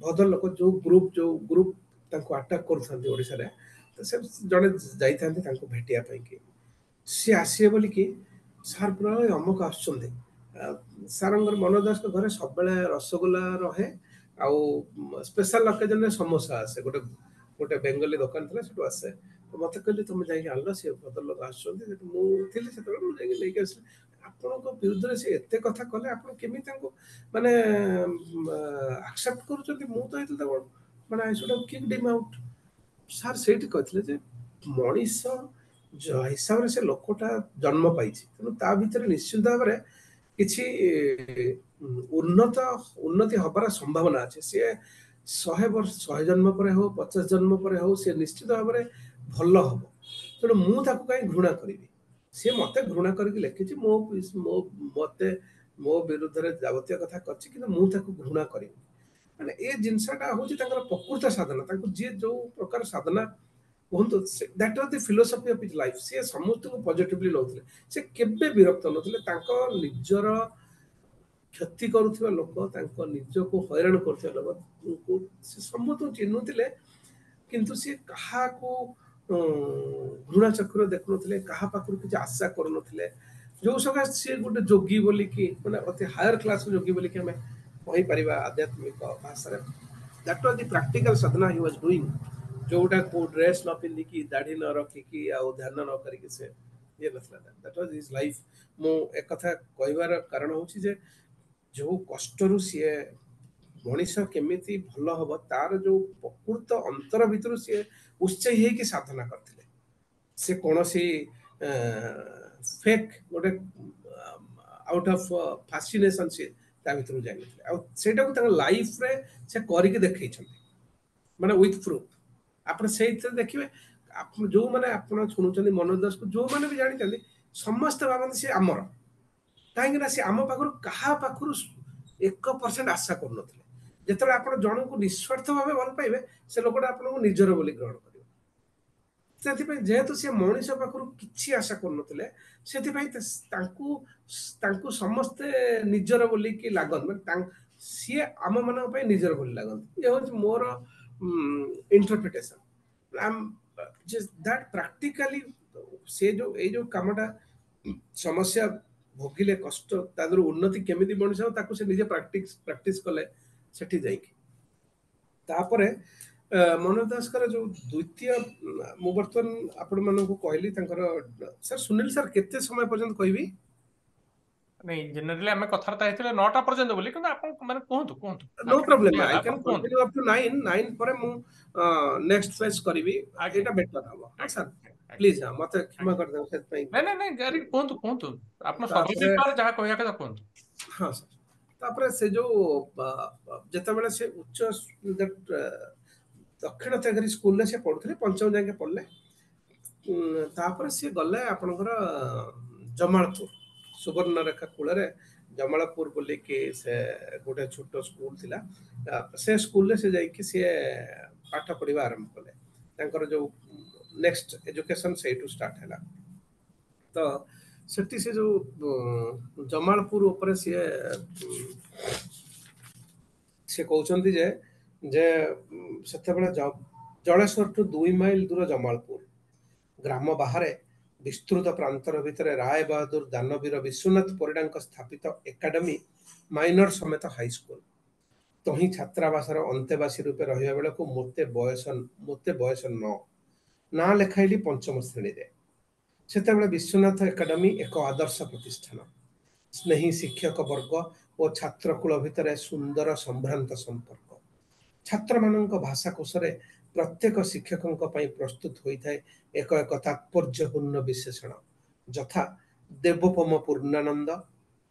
ଭଦ୍ରଲୋକ, ଯୋଉ ଗ୍ରୁପ ଯୋଉ ଗ୍ରୁପ ତାଙ୍କୁ ଆଟାକ୍ କରୁଥାନ୍ତି ଓଡ଼ିଶାରେ, ତ ସେ ଜଣେ ଯାଇଥାନ୍ତି ତାଙ୍କୁ ଭେଟିବା ପାଇଁ କି ସିଏ ଆସିବେ ବୋଲିକି। ସାର୍ ପୁରା ଅମକ ଆସୁଛନ୍ତି। ସାରଙ୍କର, ମନୋଜ ଦାସଙ୍କ ଘରେ ସବୁବେଳେ ରସଗୋଲା ରହେ ଆଉ ସ୍ପେଶାଲ ଅକେଜନରେ ସମୋସା ଆସେ। ଗୋଟେ ଗୋଟେ ବେଙ୍ଗଲୀ ଦୋକାନ ଥିଲା, ସେଠୁ ଆସେ। ତ ମତେ କହିଲେ, ତମେ ଯାଇକି ଆଣିଲ, ସେ ଭଦ୍ରଲୋକ ଆସୁଛନ୍ତି। ସେଠୁ ମୁଁ ଥିଲି ସେତେବେଳେ, ମୁଁ ଯାଇକି ନେଇକି ଆସିଲି। ଆପଣଙ୍କ ବିରୁଦ୍ଧରେ ସେ ଏତେ କଥା କଲେ, ଆପଣ କେମିତି ତାଙ୍କୁ ମାନେ ଆକ୍ସେପ୍ଟ କରୁଛନ୍ତି? ମୁଁ ତ ହେଇଥିଲେ ତାକୁ ମାନେ I should have kicked him out। Sir ସେଇଠି କହିଥିଲେ ଯେ ମଣିଷ ହିସାବରେ ସେ ଲୋକଟା ଜନ୍ମ ପାଇଛି, ତେଣୁ ତା ଭିତରେ ନିଶ୍ଚିନ୍ତ ଭାବରେ କିଛି ଉନ୍ନତ ଉନ୍ନତି ହବାର ସମ୍ଭାବନା ଅଛି। ସିଏ ଶହେ ବର୍ଷ, ଶହେ ଜନ୍ମ ପରେ ହଉ, ପଚାଶ ଜନ୍ମ ପରେ ହଉ, ସିଏ ନିଶ୍ଚିତ ଭାବରେ ଭଲ ହବ। ତେଣୁ ମୁଁ ତାକୁ କାହିଁ ଘୃଣା କରିବି? ସିଏ ମତେ ଘୃଣା କରିକି ଲେଖିଛି, ମୋ ମୋ ମତେ ମୋ ବିରୁଦ୍ଧରେ ଯାବତୀୟ କଥା କରିଛି, କିନ୍ତୁ ମୁଁ ତାକୁ ଘୃଣା କରିବି? ମାନେ ଏ ଜିନିଷଟା ହଉଛି ତାଙ୍କର ପ୍ରକୃତ ସାଧନା। ତାଙ୍କୁ ଯିଏ ଯୋଉ ପ୍ରକାର ସାଧନା କୁହନ୍ତୁ, that was the philosophy of his life। ସିଏ ସମସ୍ତଙ୍କୁ ପଜିଟିଭଲି ନେଉଥିଲେ। ସେ କେବେ ବିରକ୍ତ ନଥିଲେ। ତାଙ୍କ ନିଜର କ୍ଷତି କରୁଥିବା ଲୋକ, ତାଙ୍କ ନିଜକୁ ହଇରାଣ କରୁଥିବା ଲୋକଙ୍କୁ ସେ ସମସ୍ତଙ୍କୁ ଚିହ୍ନୁଥିଲେ, କିନ୍ତୁ ସିଏ କାହାକୁ ଘୃଣା ଚକ୍ଷୁରେ ଦେଖୁନଥିଲେ, କାହା ପାଖରୁ କିଛି ଆଶା କରୁନଥିଲେ। ଯୋଉ ସକାଶେ ସିଏ ଗୋଟେ ଯୋଗୀ ବୋଲିକି, ମାନେ ଅତି ହାୟର କ୍ଲାସ ଯୋଗୀ ବୋଲିକି ଆମେ କହିପାରିବା ଆଧ୍ୟାତ୍ମିକ ଭାଷାରେ। That was the practical sadhana he was doing। ଯୋଉଟା କୋଉ ଡ୍ରେସ୍ ନ ପିନ୍ଧିକି, ଦାଢି ନ ରଖିକି ଆଉ ଧ୍ୟାନ ନ କରିକି ସେ ଇଏ ନଥିଲା। That was his life। ମୁଁ ଏକଥା କହିବାର କାରଣ ହଉଛି ଯେ ଯୋଉ କଷ୍ଟରୁ ସିଏ ମଣିଷ କେମିତି ଭଲ ହବ, ତାର ଯୋଉ ପ୍ରକୃତ ଅନ୍ତର ଭିତରୁ ସିଏ ଉତ୍ସାହୀ ହେଇକି ସାଧନା କରିଥିଲେ। ସେ କୌଣସି ଫେକ୍ ଗୋଟେ ଆଉଟ୍ ଅଫ୍ ଫାସିନେସନ ସିଏ ତା ଭିତରକୁ ଯାଇନଥିଲେ। ଆଉ ସେଇଟାକୁ ତାଙ୍କ ଲାଇଫରେ ସେ କରିକି ଦେଖେଇଛନ୍ତି, ମାନେ ୱିଥ୍ ପ୍ରୁଫ୍। ଆପଣ ସେଇଥିରେ ଦେଖିବେ, ଆପଣ ଯୋଉମାନେ ଆପଣ ଶୁଣୁଛନ୍ତି, ମନୋଜ ଦାସକୁ ଯୋଉମାନେ ବି ଜାଣିଛନ୍ତି, ସମସ୍ତେ ଭାବନ୍ତି ସେ ଆମର। କାହିଁକି ନା ସେ ଆମ ପାଖରୁ, କାହା ପାଖରୁ ଏକ ପରସେଣ୍ଟ ଆଶା କରୁନଥିଲେ। ଯେତେବେଳେ ଆପଣ ଜଣଙ୍କୁ ନିସ୍ୱାର୍ଥ ଭାବେ ଭଲ ପାଇବେ, ସେ ଲୋକଟା ଆପଣଙ୍କୁ ନିଜର ବୋଲି ଗ୍ରହଣ କରିବ। ସେଥିପାଇଁ ଯେହେତୁ ସେ ମଣିଷ ପାଖରୁ କିଛି ଆଶା କରୁନଥିଲେ, ସେଥିପାଇଁ ତାଙ୍କୁ ତାଙ୍କୁ ସମସ୍ତେ ନିଜର ବୋଲିକି ଲାଗନ୍ତି। ମାନେ ସିଏ ଆମ ମାନଙ୍କ ପାଇଁ ନିଜର ବୋଲି ଲାଗନ୍ତି। ଇଏ ହଉଛି ମୋର ଇଣ୍ଟରପ୍ରିଟେସନ that practically ସେ ଯୋଉ ଏଇ ଯୋଉ କାମଟା, ସମସ୍ୟା ଭୋଗିଲେ କଷ୍ଟ, ତା ଦେହରୁ ଉନ୍ନତି କେମିତି ମଣିଷ ହବ, ତାକୁ ସେ ନିଜେ ପ୍ରାକ୍ଟିସ ପ୍ରାକ୍ଟିସ କଲେ ସେଠି ଯାଇକି। ତାପରେ ମନୋଜ ଦାସଙ୍କର ଯୋଉ ଦ୍ୱିତୀୟ, ମୁଁ ବର୍ତ୍ତମାନ ଆପଣମାନଙ୍କୁ କହିଲି ତାଙ୍କର, ସାର୍, ସୁନୀଲ ସାର୍, କେତେ ସମୟ ପର୍ଯ୍ୟନ୍ତ କହିବି? ନାଇଁ, ଜେନେରାଲି ଆମେ କଥାବାର୍ତ୍ତା ହେଇଥିଲେ ନଅଟା ପର୍ଯ୍ୟନ୍ତ ବୋଲି, କିନ୍ତୁ ଆପଣ ମାନେ କୁହନ୍ତୁ, କୁହନ୍ତୁ। No problem, I can continue up to nine। Nine ପରେ ମୁଁ ନେକ୍ସଟ ଫେଜ୍ କରିବି, ଏଇଟା ବେଟର ହବ। ହଁ ସାର୍, ପ୍ଲିଜ ମତେ କ୍ଷମା କରିଦେବେ ସେଥିପାଇଁ। ନାଇଁ ନାଇଁ ନାଇଁ, କୁହନ୍ତୁ, କୁହନ୍ତୁ। ଆପଣ ସର୍ବ ଯାହା କହିବା କଥା କୁହନ୍ତୁ। ହଁ ସାର୍, ତାପରେ ସେ ଯୋଉ ଯେତେବେଳେ ସେ ଉଚ୍ଚ ଦକ୍ଷିଣ ତେଘରୀ ସ୍କୁଲରେ ସେ ପଢୁଥିଲେ, ପଞ୍ଚମ ଯାକେ ପଢିଲେ। ତାପରେ ସିଏ ଗଲେ ଆପଣଙ୍କର ଜମାଳପୁର, ସୁବର୍ଣ୍ଣରେଖା କୂଳରେ ଜମାଳପୁର ବୋଲିକି ସେ ଗୋଟେ ଛୋଟ ସ୍କୁଲ ଥିଲା। ସେ ସ୍କୁଲରେ ସେ ଯାଇକି ସିଏ ପାଠ ପଢିବା ଆରମ୍ଭ କଲେ। ତାଙ୍କର ଯୋଉ ନେକ୍ସଟ ଏଜୁକେସନ ସେଇଠୁ ଷ୍ଟାର୍ଟ ହେଲା। ତ ସେଠି ସେ ଯୋଉ ଜମାଳପୁର ଉପରେ ସିଏ ସେ କହୁଛନ୍ତି ଯେ ଯେ ସେତେବେଳେ ଜଳେଶ୍ୱରଠୁ ଦୁଇ ମାଇଲ ଦୂର ଜମାଳପୁର ଗ୍ରାମ ବାହାରେ ବିସ୍ତୃତ ପ୍ରାନ୍ତର ଭିତରେ ରାୟ ବାହାଦୁର ଦାନବୀର ବିଶ୍ୱନାଥ ପରିଡ଼ାଙ୍କ ସ୍ଥାପିତ ଏକାଡେମୀ ମାଇନର ସମେତ ହାଇସ୍କୁଲ। ତହିଁ ଛାତ୍ରାବାସର ଅନ୍ତେବାସୀ ରୂପେ ରହିବା ବେଳକୁ ମୋତେ ବୟସ ମୋତେ ବୟସ ନଅ, ନାଁ ଲେଖାଇଲି ପଞ୍ଚମ ଶ୍ରେଣୀରେ। ସେତେବେଳେ ବିଶ୍ୱନାଥ ଏକାଡେମୀ ଏକ ଆଦର୍ଶ ପ୍ରତିଷ୍ଠାନ। ସ୍ନେହୀ ଶିକ୍ଷକ ବର୍ଗ ଓ ଛାତ୍ରକୁଳ ଭିତରେ ସୁନ୍ଦର ସମ୍ଭ୍ରାନ୍ତ ସମ୍ପର୍କ। ଛାତ୍ରମାନଙ୍କ ଭାଷାକୋଷରେ ପ୍ରତ୍ୟେକ ଶିକ୍ଷକଙ୍କ ପାଇଁ ପ୍ରସ୍ତୁତ ହୋଇଥାଏ ଏକ ଏକ ତାତ୍ପର୍ଯ୍ୟପୂର୍ଣ୍ଣ ବିଶେଷଣ, ଯଥା ଦେବୋପମ ପୂର୍ଣ୍ଣାନନ୍ଦ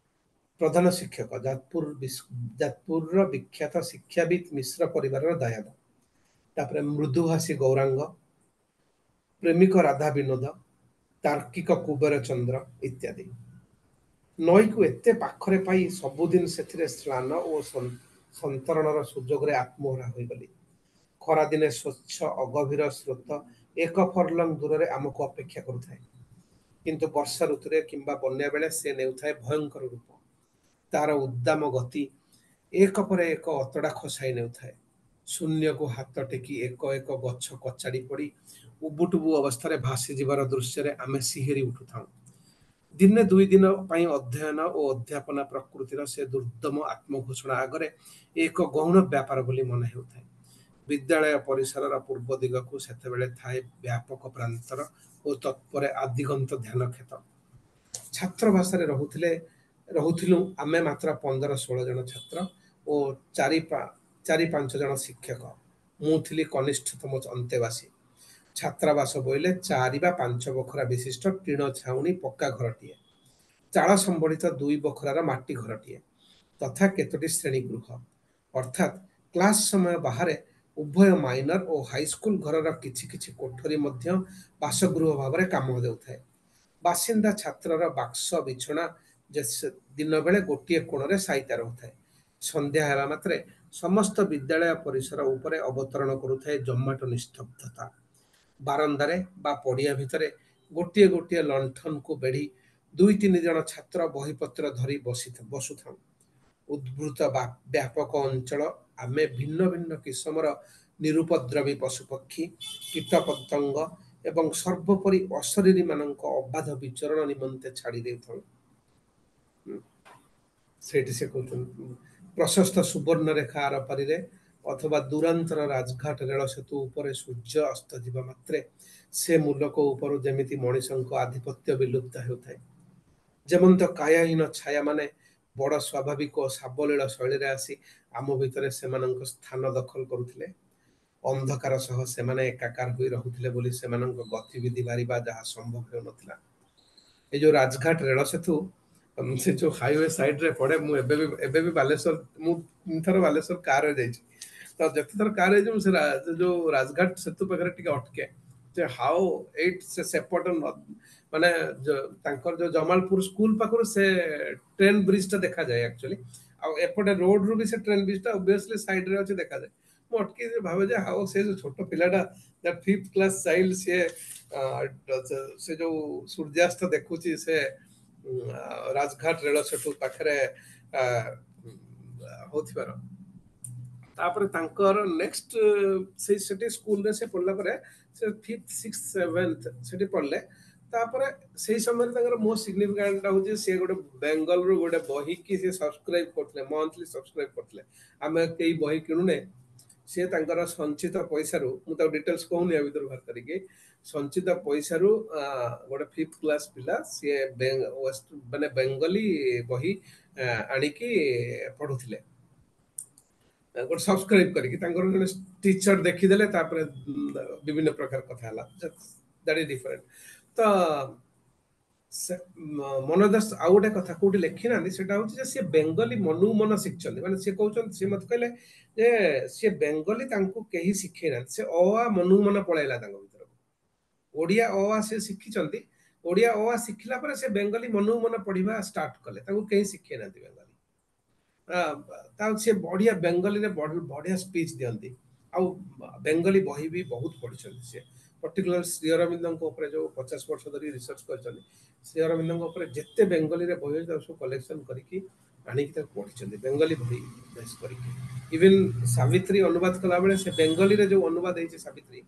ପ୍ରଧାନ ଶିକ୍ଷକ, ଯାଜପୁର ଯାଜପୁରର ବିଖ୍ୟାତ ଶିକ୍ଷାବିତ୍ ମିଶ୍ର ପରିବାରର ଦାୟାଦ। ତାପରେ ମୃଦୁଭାଷୀ ଗୌରାଙ୍ଗ, ପ୍ରେମିକ ରାଧା ବିନୋଦ, ତାର୍କିକ କୁବେର ଚନ୍ଦ୍ର ଇତ୍ୟାଦି। ନଈକୁ ଏତେ ପାଖରେ ପାଇ ସବୁଦିନ ସେଥିରେ ସ୍ନାନ ଓ ସନ୍ତରଣର ସୁଯୋଗରେ ଆତ୍ମହରା ହୋଇଗଲି। ଖରାଦିନେ ସ୍ୱଚ୍ଛ ଅଗଭୀର ସ୍ରୋତ ଏକ ଫରଲଙ୍ଗ ଦୂରରେ ଆମକୁ ଅପେକ୍ଷା କରୁଥାଏ, କିନ୍ତୁ ବର୍ଷା ଋତୁରେ କିମ୍ବା ବନ୍ୟା ବେଳେ ସେ ନେଉଥାଏ ଭୟଙ୍କର ରୂପ। ତାର ଉଦ୍ଦାମ ଗତି ଏକ ପରେ ଏକ ଅତଡ଼ା ଖସାଇ ନେଉଥାଏ। ଶୂନ୍ୟକୁ ହାତ ଟେକି ଏକ ଏକ ଗଛ କଚାଡ଼ି ପଡ଼ି ଉବୁଟୁବୁ ଅବସ୍ଥାରେ ଭାସିଯିବାର ଦୃଶ୍ୟରେ ଆମେ ଶିହରି ଉଠୁଥାଉ। ଦିନେ ଦୁଇ ଦିନ ପାଇଁ ଅଧ୍ୟୟନ ଓ ଅଧ୍ୟାପନା ପ୍ରକୃତିର ସେ ଦୁର୍ଦ୍ଦମ ଆତ୍ମଘୋଷଣା ଆଗରେ ଏକ ଗୌଣ ବ୍ୟାପାର ବୋଲି ମନେ ହେଉଥାଏ। ବିଦ୍ୟାଳୟ ପରିସରର ପୂର୍ବ ଦିଗକୁ ସେତେବେଳେ ଥାଏ ବ୍ୟାପକ ପ୍ରାନ୍ତର ଓ ତତ୍ପରେ ଆଦିଗନ୍ତ ଧ୍ୟାନ କ୍ଷେତ। ଛାତ୍ରବାସରେ ରହୁଥିଲେ ରହୁଥିଲୁ ଆମେ ମାତ୍ର ପନ୍ଦର ଷୋହଳ ଜଣ ଛାତ୍ର ଓ ଚାରି ଚାରି ପାଞ୍ଚ ଜଣ ଶିକ୍ଷକ। ମୁଁ ଥିଲି କନିଷ୍ଠତମ ଅନ୍ତେବାସୀ। ଛାତ୍ରାବାସ ବୋଇଲେ ଚାରି ବା ପାଞ୍ଚ ବଖରା ବିଶିଷ୍ଟ ଟିଣ ଛାଉଣି ପକ୍କା ଘରଟିଏ, ଚାଳ ସମ୍ବଳିତ ଦୁଇ ବଖରାର ମାଟି ଘରଟିଏ ତଥା କେତୋଟି ଶ୍ରେଣୀ ଗୃହ। ଅର୍ଥାତ୍ କ୍ଲାସ ସମୟ ବାହାରେ ଉଭୟ ମାଇନର ଓ ହାଇସ୍କୁଲ ଘରର କିଛି କିଛି କୋଠରୀ ମଧ୍ୟ ବାସଗୃହ ଭାବରେ କାମ ଦେଉଥାଏ। ବାସିନ୍ଦା ଛାତ୍ରର ବାକ୍ସ ବିଛଣା ଦିନବେଳେ ଗୋଟିଏ କୋଣରେ ସାଇତା ରହୁଥାଏ। ସନ୍ଧ୍ୟା ହେବା ମାତ୍ରେ ସମସ୍ତ ବିଦ୍ୟାଳୟ ପରିସର ଉପରେ ଅବତରଣ କରୁଥାଏ ଜମାଟ ନିସ୍ତବ୍ଧତା। ବାରନ୍ଦାରେ ବା ପଡ଼ିଆ ଭିତରେ ଗୋଟିଏ ଗୋଟିଏ ଲଣ୍ଠନକୁ ବେଢ଼ି ଦୁଇ ତିନି ଜଣ ଛାତ୍ର ବହିପତ୍ର ଧରି ବସି ବସୁଥାଉ। ଉଦ୍ବୃତ ବ୍ୟାପକ ଅଞ୍ଚଳ ଆମେ ଭିନ୍ନ ଭିନ୍ନ କିସମର ନିରୁପଦ୍ରବୀ ପଶୁପକ୍ଷୀ, କୀଟପତଙ୍ଗ ଏବଂ ସର୍ବୋପରି ଅଶରୀରୀମାନଙ୍କ ଅବାଧ ବିଚରଣ ନିମନ୍ତେ ଛାଡ଼ି ଦେଉଥାଉ। ସେଇଠି ସେ କହୁଛନ୍ତି ପ୍ରଶସ୍ତ ସୁବର୍ଣ୍ଣରେଖା ଆରପାରିରେ ଅଥବା ଦୂରାନ୍ତର ରାଜଘାଟ ରେଳ ସେତୁ ଉପରେ ସୂର୍ଯ୍ୟ ଅସ୍ତ ଯିବା ମାତ୍ରେ ସେ ମୂଲକ ଉପରୁ ଯେମିତି ମଣିଷଙ୍କ ଆଧିପତ୍ୟ ବିଲୁପ୍ତ ହେଉଥାଏ। ଯେମନ୍ତ କାୟାହୀନ ଛାୟାମାନେ ବଡ଼ ସ୍ୱାଭାବିକ ଓ ସାବଲୀଳ ଶୈଳୀରେ ଆସି ଆମ ଭିତରେ ସେମାନଙ୍କ ସ୍ଥାନ ଦଖଲ କରୁଥିଲେ। ଅନ୍ଧକାର ସହ ସେମାନେ ଏକାକାର ହୋଇ ରହୁଥିଲେ ବୋଲି ସେମାନଙ୍କ ଗତିବିଧି ବାରିବା ଯାହା ସମ୍ଭବ ହେଉନଥିଲା। ଏ ଯୋଉ ରାଜଘାଟ ରେଳ ସେତୁ ସେ ଯୋଉ ହାଇୱେ ସାଇଡରେ ପଡେ, ମୁଁ ଏବେ ବି ଏବେ ବି ବାଲେଶ୍ୱର, ମୁଁ ଥର ବାଲେଶ୍ୱର କାରରେ ଯାଇଛି, ତ ଯେତେଥର କାରରେ ଯାଇଛି ମୁଁ ସେ ଯୋଉ ରାଜଘାଟ ସେତୁ ପାଖରେ ଟିକେ ଅଟକେ ଯେ ହାଉ ଏଇଟ୍ ସେ ସେପଟ ମାନେ ତାଙ୍କର ଯୋଉ ଜମାଲପୁର ସ୍କୁଲ ପାଖରୁ ସେ ଟ୍ରେନ ବ୍ରିଜ ଟା ଦେଖାଯାଏ ଆକ୍ଚୁଆଲି, ଆଉ ଏପଟେ ରୋଡ ରୁ ବି ସେ ଟ୍ରେନ ବ୍ରିଜ ଟା ଅବଭିୟସଲି ସାଇଡରେ ଅଛି ଦେଖାଯାଏ। ମୁଁ ଅଟକି ଭାବେ ଯେ ହାଉ ସେ ଯୋଉ ଛୋଟ ପିଲାଟା that fifth class child ସିଏ ସେ ଯୋଉ ସୂର୍ଯ୍ୟାସ୍ତ ଦେଖୁଛି ସେ ରାଜଘାଟ ରେଳ ସେତୁ ପାଖରେ ହଉଥିବାର। ତାପରେ ତାଙ୍କର ନେକ୍ସଟ ସେଇ ସେଠି ସ୍କୁଲରେ ସେ ପଢିଲା ପରେ ସେ ଫିଫ୍ଥ ସିକ୍ସ ସେଭେନ୍ଥ ସେଠି ପଢିଲେ। ତାପରେ ସେଇ ସମୟରେ ତାଙ୍କର ମୋଷ୍ଟ ସିଗ୍ନିଫିକାଣ୍ଟ ହଉଛି ସିଏ ଗୋଟେ ବେଙ୍ଗଲରୁ ଗୋଟେ ବହିକି ସେ ସବସ୍କ୍ରାଇବ କରୁଥିଲେ, ମନ୍ଥଲି ସବସ୍କ୍ରାଇବ କରୁଥିଲେ। ଆମେ କେହି ବହି କିଣୁନେ, ସିଏ ତାଙ୍କର ସଞ୍ଚିତ ପଇସାରୁ, ମୁଁ ତାକୁ ଡିଟେଲ୍ସ କହୁନି ଆ ଭିତରୁ ବାହାର କରିକି, ସଞ୍ଚିତ ପଇସାରୁ ଗୋଟେ ଫିଫ୍ଥ କ୍ଲାସ ପିଲା ସିଏ ମାନେ ବେଙ୍ଗଲୀ ବହି ଆଣିକି ପଢୁଥିଲେ ଗୋଟେ ସବସ୍କ୍ରାଇବ କରିକି। ତାଙ୍କର ଜଣେ ଟିଚର ଦେଖିଦେଲେ, ତାପରେ ବିଭିନ୍ନ ପ୍ରକାର କଥା ହେଲା, that is different. ତ ମନୋଜ ଦାସ ଆଉ ଗୋଟେ କଥା କୋଉଠି ଲେଖିନାହାନ୍ତି, ସେଟା ହଉଛି ଯେ ସିଏ ବେଙ୍ଗଲୀ ମନକୁ ମନ ଶିଖିଛନ୍ତି। ମାନେ ସିଏ କହୁଛନ୍ତି, ସିଏ ମତେ କହିଲେ ଯେ ସିଏ ବେଙ୍ଗଲୀ ତାଙ୍କୁ କେହି ଶିଖେଇ ନାହାନ୍ତି, ସେ ଅ ଆ ମନକୁ ମନ ପଳେଇଲା ତାଙ୍କ ଭିତରକୁ। ଓଡ଼ିଆ ଅ ଆ ସେ ଶିଖିଛନ୍ତି, ଓଡ଼ିଆ ଅ ଆ ଶିଖିଲା ପରେ ସେ ବେଙ୍ଗଲୀ ମନକୁ ମନ ପଢିବା ଷ୍ଟାର୍ଟ କଲେ, ତାଙ୍କୁ କେହି ଶିଖେଇ ନାହାନ୍ତି ବେଙ୍ଗଲୀ। ତା ସେ ବଢିଆ ବେଙ୍ଗଲୀରେ ବଢିଆ ସ୍ପିଚ୍ ଦିଅନ୍ତି, ଆଉ ବେଙ୍ଗଲୀ ବହି ବି ବହୁତ ପଢିଛନ୍ତି ସିଏ। ପର୍ଟିକୁଲାର ଶ୍ରୀ ଅରବିନ୍ଦଙ୍କ ଉପରେ ଯୋଉ ପଚାଶ ବର୍ଷ ଧରି ରିସର୍ଚ୍ଚ କରିଛନ୍ତି ଶ୍ରୀ ଅରବିନ୍ଦଙ୍କ ଉପରେ ଯେତେ ବେଙ୍ଗଲୀରେ ବହି ଅଛି ତାକୁ ସବୁ କଲେକ୍ସନ କରିକି ଆଣିକି ତାକୁ ପଢିଛନ୍ତି ବେଙ୍ଗଲୀ ବହି ବେସ୍ କରିକି ଇଭେନ୍ ସାବିତ୍ରୀ ଅନୁବାଦ କଲାବେଳେ ସେ ବେଙ୍ଗଲୀରେ ଯୋଉ ଅନୁବାଦ ହେଇଛି ସାବିତ୍ରୀ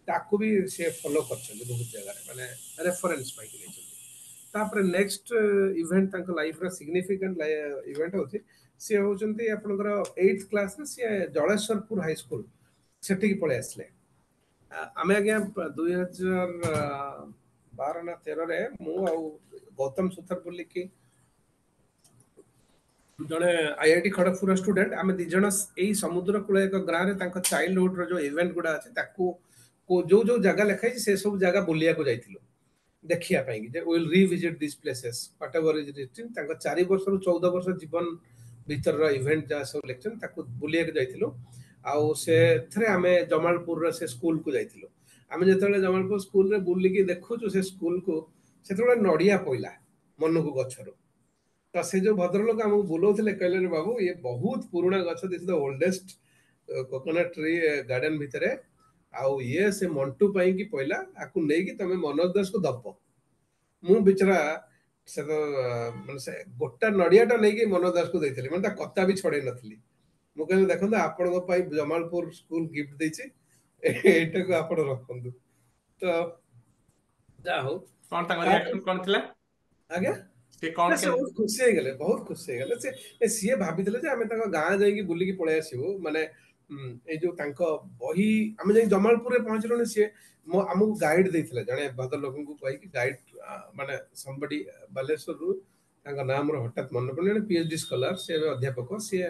ତାକୁ ବି ସେ ଫଲୋ କରିଛନ୍ତି ବହୁତ ଜାଗାରେ ମାନେ ରେଫରେନ୍ସ ପାଇକି ନେଇଛନ୍ତି ତାପରେ ନେକ୍ସଟ ଇଭେଣ୍ଟ ତାଙ୍କ ଲାଇଫର ସିଗ୍ନିଫିକାଣ୍ଟ ଇଭେଣ୍ଟ ହଉଛି ସିଏ ହଉଛନ୍ତି ଆପଣଙ୍କର ଏଇଥ କ୍ଲାସରେ ସିଏ ଜଳେଶ୍ୱରପୁର ହାଇସ୍କୁଲ ସେଠିକି ପଳେଇ ଆସିଲେ ଆମେ ଆଜ୍ଞା ଦୁଇ ହଜାର ବାର ନା ତେରରେ ମୁଁ ଆଉ ଗୌତମ ସୁଥର ବୋଲିକି ଜଣେ ଆଇଆଇଟି ଖଡଗପୁର ଷ୍ଟୁଡେଣ୍ଟ ଆମେ ଦି ଜଣ ଏଇ ସମୁଦ୍ର କୂଳ ଏକ ଗାଁରେ ତାଙ୍କ ଚାଇଲ୍ଡହୁଡର ଯୋଉ ଇଭେଣ୍ଟ ଗୁଡା ଅଛି ତାକୁ ଯୋଉ ଯୋଉ ଜାଗା ଲେଖା ହେଇଛି ସେ ସବୁ ଜାଗା ବୁଲିବାକୁ ଯାଇଥିଲୁ ଦେଖିବା ପାଇଁ ଯେ will revisit this places whatever is written ତାଙ୍କ ଚାରି ବର୍ଷରୁ ଚଉଦ ବର୍ଷ ଜୀବନ ଭିତରର ଇଭେଣ୍ଟ ଯାହା ସବୁ ଲେଖିଛନ୍ତି ତାକୁ ବୁଲିବାକୁ ଯାଇଥିଲୁ ଆଉ ସେଥିରେ ଆମେ ଜମାଳପୁରର ସେ ସ୍କୁଲକୁ ଯାଇଥିଲୁ ଆମେ ଯେତେବେଳେ ଜମାଳପୁର ସ୍କୁଲରେ ବୁଲିକି ଦେଖୁଛୁ ସେ ସ୍କୁଲକୁ ସେତେବେଳେ ନଡିଆ ପଇଲା ମନକୁ ଗଛରୁ ତ ସେ ଯୋଉ ଭଦ୍ରଲୋକ ଆମକୁ ବୁଲଉଥିଲେ କହିଲେ ବାବୁ ଇଏ ବହୁତ ପୁରୁଣା ଗଛ this the oldest coconut tree garden ଭିତରେ ଆଉ ଇଏ ସେ ମଣ୍ଟୁ ପାଇଁକି ପଇଲା ଆକୁ ନେଇକି ତମେ ମନୋଜ ଦାସକୁ ଦବ ମୁଁ ବିଚରା ସେ ତ ମାନେ ସେ ଗୋଟା ନଡିଆଟା ନେଇକି ମନୋଜ ଦାସକୁ ଦେଇଥିଲି ମାନେ ତା କତା ବି ଛଡେଇ ନଥିଲି ମୁଁ କହିଲି ଦେଖନ୍ତୁ ଆପଣଙ୍କ ପାଇଁ ଜମାଳପୁର ସ୍କୁଲ ଗିଫ୍ଟ ଦେଇଛି ଏଇଟାକୁ ଆପଣ ରଖନ୍ତୁ ତ ଯାହା ହଉ କଣ ତାଙ୍କ ରିଆକ୍ସନ କଣ ଥିଲା ଆଜ୍ଞା ସେ କଣ ସେ ବହୁତ ଖୁସି ହେଇଗଲେ ବହୁତ ଖୁସି ହେଇଗଲେ ସେ ସିଏ ଭାବିଥିଲେ ଯେ ଆମେ ତାଙ୍କ ଗାଁ ଯାଇକି ବୁଲିକି ପଳେଇ ଆସିବୁ ମାନେ ଏଇ ଯୋଉ ତାଙ୍କ ବହି ଆମେ ଯାଇ ଜମାଳପୁରରେ ପହଞ୍ଚିଲୁଣି ସିଏ ମୋ ଆମକୁ ଗାଇଡ ଦେଇଥିଲେ ଜଣେ ଭଦ୍ରଲୋକଙ୍କୁ କହିକି ଗାଇଡ ମାନେ ସମ୍ବଡି ବାଲେଶ୍ୱରରୁ ତାଙ୍କ ନାଁ ମୋର ହଠାତ୍ ମନେ ପଡୁନି ଜଣେ ପିଏଚଡି ସ୍କଲାର ସେ ଏବେ ଅଧ୍ୟାପକ ସିଏ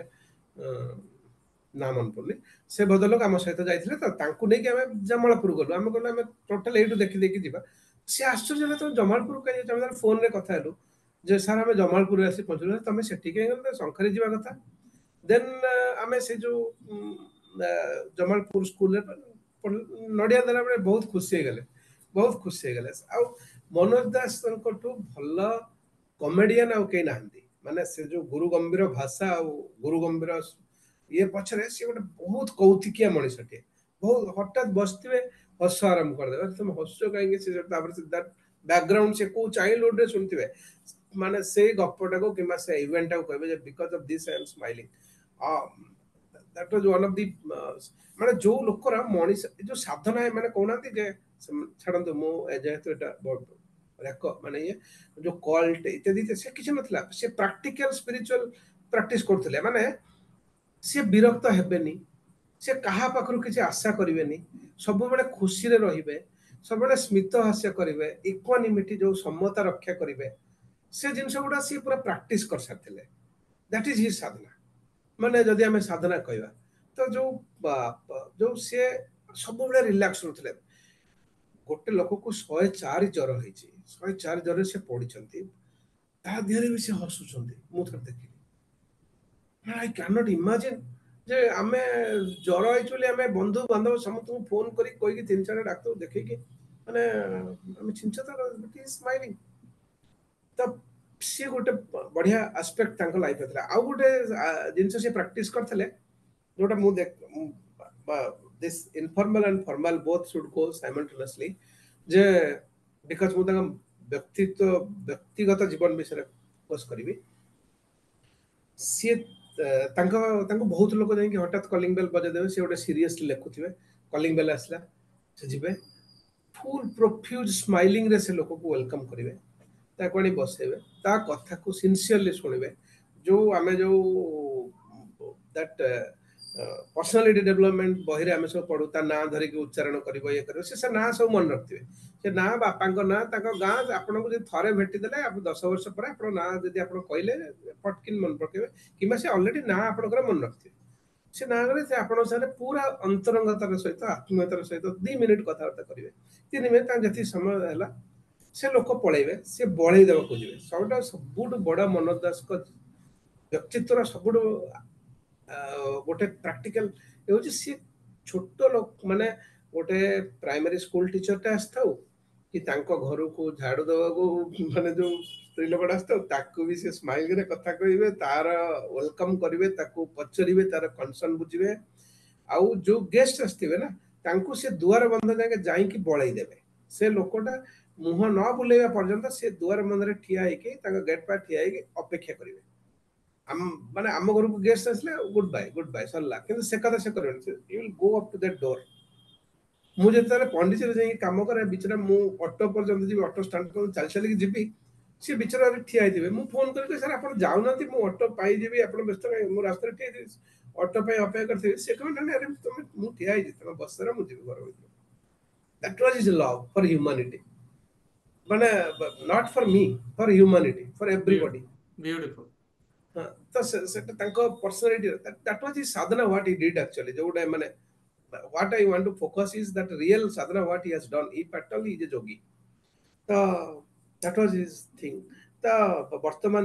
ନାଁ ମନେ ପଡୁନି ସେ ଭଦ୍ରଲୋକ ଆମ ସହିତ ଯାଇଥିଲେ ତ ତାଙ୍କୁ ନେଇକି ଆମେ ଜମାଳପୁର ଗଲୁ ଆମେ କହିଲୁ ଆମେ ଟୋଟାଲ ଏଇଠୁ ଦେଖି ଦେଖି ଯିବା ସେ ଆଶ୍ଚର୍ଯ୍ୟ ହେଲେ ତମେ ଜମାଳପୁର କାହିଁ ଯାଇଛ ଆମେ ଫୋନରେ କଥା ହେଲୁ ଯେ ସାର୍ ଆମେ ଜମାଳପୁରରେ ଆସି ପହଞ୍ଚିଲୁ ତମେ ସେଠି କାହିଁ ଗଲ ଶଙ୍ଖରେ ଯିବା କଥା ଦେନ୍ ଆମେ ସେ ଯୋଉ ଜମାଳପୁର ସ୍କୁଲରେ ନଡିଆ ଦେଲା ବେଳେ ବହୁତ ଖୁସି ହେଇଗଲେ ବହୁତ ଖୁସି ହେଇଗଲେ ଆଉ ମନୋଜ ଦାସଙ୍କଠୁ ଭଲ କମେଡିଆନ ଆଉ କେହି ନାହାନ୍ତି ମାନେ ସେ ଯୋଉ ଗୁରୁ ଗମ୍ଭୀର ଭାଷା ଆଉ ଗୁରୁ ଗମ୍ଭୀର ଇଏ ପଛରେ ସିଏ ଗୋଟେ ବହୁତ କୌତିକିଆ ମଣିଷଟିଏ ବହୁତ ହଠାତ୍ ବସିଥିବେ ହସ ଆରମ୍ଭ କରିଦେବେ ତମେ ହସୁଛ କାହିଁକି ସେ ତାପରେ ସେ ବ୍ୟାକଗ୍ରାଉଣ୍ଡ ସେ କୋଉ ଚାଇଲ୍ଡହୁଡରେ ଶୁଣିଥିବେ ମାନେ ସେଇ ଗପଟାକୁ କିମ୍ବା ସେ ଇଭେଣ୍ଟଟାକୁ କହିବେ ଯେ because of this I am smiling that was one of the ମାନେ ଯୋଉ ଲୋକର ମଣିଷ ଯୋଉ ସାଧନା ମାନେ କହୁନାହାନ୍ତି ଯେ ଛାଡନ୍ତୁ ମୁଁ ଯେହେତୁ ଏଟା ରେକ ମାନେ ଇଏ ଯୋଉ କଲ୍ଟ ଇତ୍ୟାଦି ସେ କିଛି ନଥିଲା ସେ ପ୍ରାକ୍ଟିକାଲ ସ୍ପିରିଚୁଆଲ ପ୍ରାକ୍ଟିସ କରୁଥିଲେ ମାନେ ସେ ବିରକ୍ତ ହେବେନି ସେ କାହା ପାଖରୁ କିଛି ଆଶା କରିବେନି ସବୁବେଳେ ଖୁସିରେ ରହିବେ ସବୁବେଳେ ସ୍ମିତ ହାସ୍ୟ କରିବେ ଇକ୍ୱାନିମିଟି ଯୋଉ ସମତା ରକ୍ଷା କରିବେ ସେ ଜିନିଷ ଗୁଡା ସିଏ ପୁରା ପ୍ରାକ୍ଟିସ କରିସାରିଥିଲେ that is his ସାଧନା ମାନେ ଯଦି ଆମେ ସାଧନା କହିବା ତ ଯୋଉ ଯୋଉ ସିଏ ସବୁବେଳେ ରିଲାକ୍ସ ରହୁଥିଲେ ଗୋଟେ ଲୋକକୁ ଶହେ ଚାରି ଜ୍ୱର ହେଇଛି ଶହେ ଚାରି ଜ୍ୱରରେ ସେ ପଡିଛନ୍ତି ତା ଦେହରେ ବି ସେ ହସୁଛନ୍ତି ମୁଁ ଥରେ ଦେଖିଲି I can't imagine ଯେ ଆମେ ଜ୍ୱର ହେଇଛୁ ବୋଲି ଆମେ ବନ୍ଧୁ ବାନ୍ଧବ ସମସ୍ତଙ୍କୁ ଫୋନ କରି କହିକି ତିନି ଚାରିଟା ଡାକ୍ତର ଦେଖେଇକି ମାନେ ଆମେ ଛିଞ୍ଚତା ସ୍ମାଇଲିଂ ତ ସିଏ ଗୋଟେ ବଢିଆ ଆସ୍ପେକ୍ଟ ତାଙ୍କ ଲାଇଫରେ ଥିଲା ଆଉ ଗୋଟେ ଜିନିଷ ସିଏ ପ୍ରାକ୍ଟିସ କରିଥିଲେ ଯୋଉଟା ମୁଁ this informal and formal both should go simultaneously ଯେ because ମୁଁ ତାଙ୍କ ବ୍ୟକ୍ତିତ୍ୱ ବ୍ୟକ୍ତିଗତ ଜୀବନ ବିଷୟରେ ଫୋକସ୍ କରିବି ସିଏ ତାଙ୍କ ତାଙ୍କୁ ବହୁତ ଲୋକ ଯାଇକି ହଠାତ୍ କଲିଂ ବେଲ୍ ବଜେଇଦେବେ ସେ ଗୋଟେ ସିରିୟସଲି ଲେଖୁଥିବେ କଲିଂ ବେଲ୍ ଆସିଲା ସେ ଯିବେ ଫୁଲ୍ ପ୍ରଫ୍ୟୁଜ ସ୍ମାଇଲିଂରେ ସେ ଲୋକକୁ welcome କରିବେ ତାକୁ ଆଣି ବସେଇବେ ତା କଥାକୁ ସିନସିୟରଲି ଶୁଣିବେ ଯୋଉ ଆମେ ଯୋଉ that personality development ବହିରେ ଆମେ ସବୁ ପଢୁ ତା ନାଁ ଧରିକି ଉଚ୍ଚାରଣ କରିବ ଇଏ କରିବ ସେ ସେ ନାଁ ସବୁ ମନେ ରଖିଥିବେ ସେ ନାଁ ବାପାଙ୍କ ନାଁ ତାଙ୍କ ଗାଁ ଆପଣଙ୍କୁ ଯଦି ଥରେ ଭେଟିଦେଲେ ଆପଣ ଦଶ ବର୍ଷ ପରେ ଆପଣଙ୍କ ନାଁ ଯଦି ଆପଣ କହିଲେ ପଟକିନ୍ ମନେ ପକେଇବେ କିମ୍ବା ସେ ଅଲରେଡି ନାଁ ଆପଣଙ୍କର ମନେ ରଖିଥିବେ ସେ ନାଁ କଲେ ସେ ଆପଣଙ୍କ ସାଙ୍ଗରେ ପୁରା ଅନ୍ତରଙ୍ଗତାର ସହିତ ଆତ୍ମୀୟତାର ସହିତ ଦି ମିନିଟ୍ କଥାବାର୍ତ୍ତା କରିବେ ତିନି ମିନିଟ୍ ତାଙ୍କ ଯେତିକି ସମୟ ହେଲା ସେ ଲୋକ ପଳେଇବେ ସେ ବଳେଇ ଦେବାକୁ ଯିବେ ସବୁଠୁ ସବୁଠୁ ବଡ ମନୋଜ ଦାସଙ୍କ ବ୍ୟକ୍ତିତ୍ୱର ସବୁଠୁ ଗୋଟେ ପ୍ରାକ୍ଟିକାଲ ହେଉଛି ସିଏ ଛୋଟ ଲୋକ ମାନେ ଗୋଟେ ପ୍ରାଇମାରୀ ସ୍କୁଲ ଟିଚରଟେ ଆସିଥାଉ କି ତାଙ୍କ ଘରକୁ ଝାଡୁ ଦେବାକୁ ମାନେ ଯୋଉ ସ୍ତ୍ରୀ ଲୋକଟା ଆସିଥାଉ ତାକୁ ବି ସେ ସ୍ମାଇଲରେ କଥା କହିବେ ତାର welcome କରିବେ ତାକୁ ପଚାରିବେ ତାର କନସର୍ନ ବୁଝିବେ ଆଉ ଯୋଉ ଗେଷ୍ଟ ଆସିଥିବେ ନା ତାଙ୍କୁ ସେ ଦୁଆର ବନ୍ଧ ଯାକେ ଯାଇକି ବଳେଇ ଦେବେ। ସେ ଲୋକଟା ମୁହଁ ନ ବୁଲେଇବା ପର୍ଯ୍ୟନ୍ତ ସେ ଦୁଆର ବନ୍ଧରେ ଠିଆ ହେଇକି, ତାଙ୍କ ଗେଟ୍ ପାଖରେ ଠିଆ ହେଇକି ଅପେକ୍ଷା କରିବେ। ଆମ ମାନେ ଆମ ଘରକୁ ଗେଷ୍ଟ ଆସିଲେ ଗୁଡ୍ ବାଏ, ଗୁଡ୍ ବାଏ, ସରିଲା। କିନ୍ତୁ ସେ କଥା ସେ କରିବେନି, you will go up to that door. ମୁଁ ଯେତେବେଳେ ପଣ୍ଡିଚେରୀ ଯାଇକି କାମ କରେ, ବିଚରା ମୁଁ ଅଟୋ ପର୍ଯ୍ୟନ୍ତ ଯିବି, ଅଟୋ ଷ୍ଟାଣ୍ଡ ପର୍ଯ୍ୟନ୍ତ ଚାଲି ଚାଲିକି ଯିବି, ସେ ବିଚରା ଠିଆ ହେଇଥିବେ। ମୁଁ ଫୋନ କରିକି, ସାର୍ ଆପଣ ଯାଉନାହାନ୍ତି, ମୁଁ ଅଟୋ ପାଇଯିବି, ଆପଣ ବ୍ୟସ୍ତ କାହିଁ, ମୁଁ ରାସ୍ତାରେ ଠିଆ ହେଇଥିବି, ଅଟୋ ପାଇଁ ଅପେକ୍ଷା କରିଥିବି। ସେ କହିବେ, ନାଇଁ ଆରେ ତମେ, ମୁଁ ଠିଆ ହେଇଛି, ତମେ ବସାର, ମୁଁ ଯିବି ଘର ଭିତରୁ। That was his love for humanity, ମାନେ not for me, for humanity, for everybody. Beautiful. ତ ସେଟା ତାଙ୍କ personality, that was his sadhana, what he did actually. ଯୋଉଟା ମାନେ what I want to focus is that real sadhana, what he has done. If at all he is a yogi, ତ that was his thing. ତ ବର୍ତ୍ତମାନ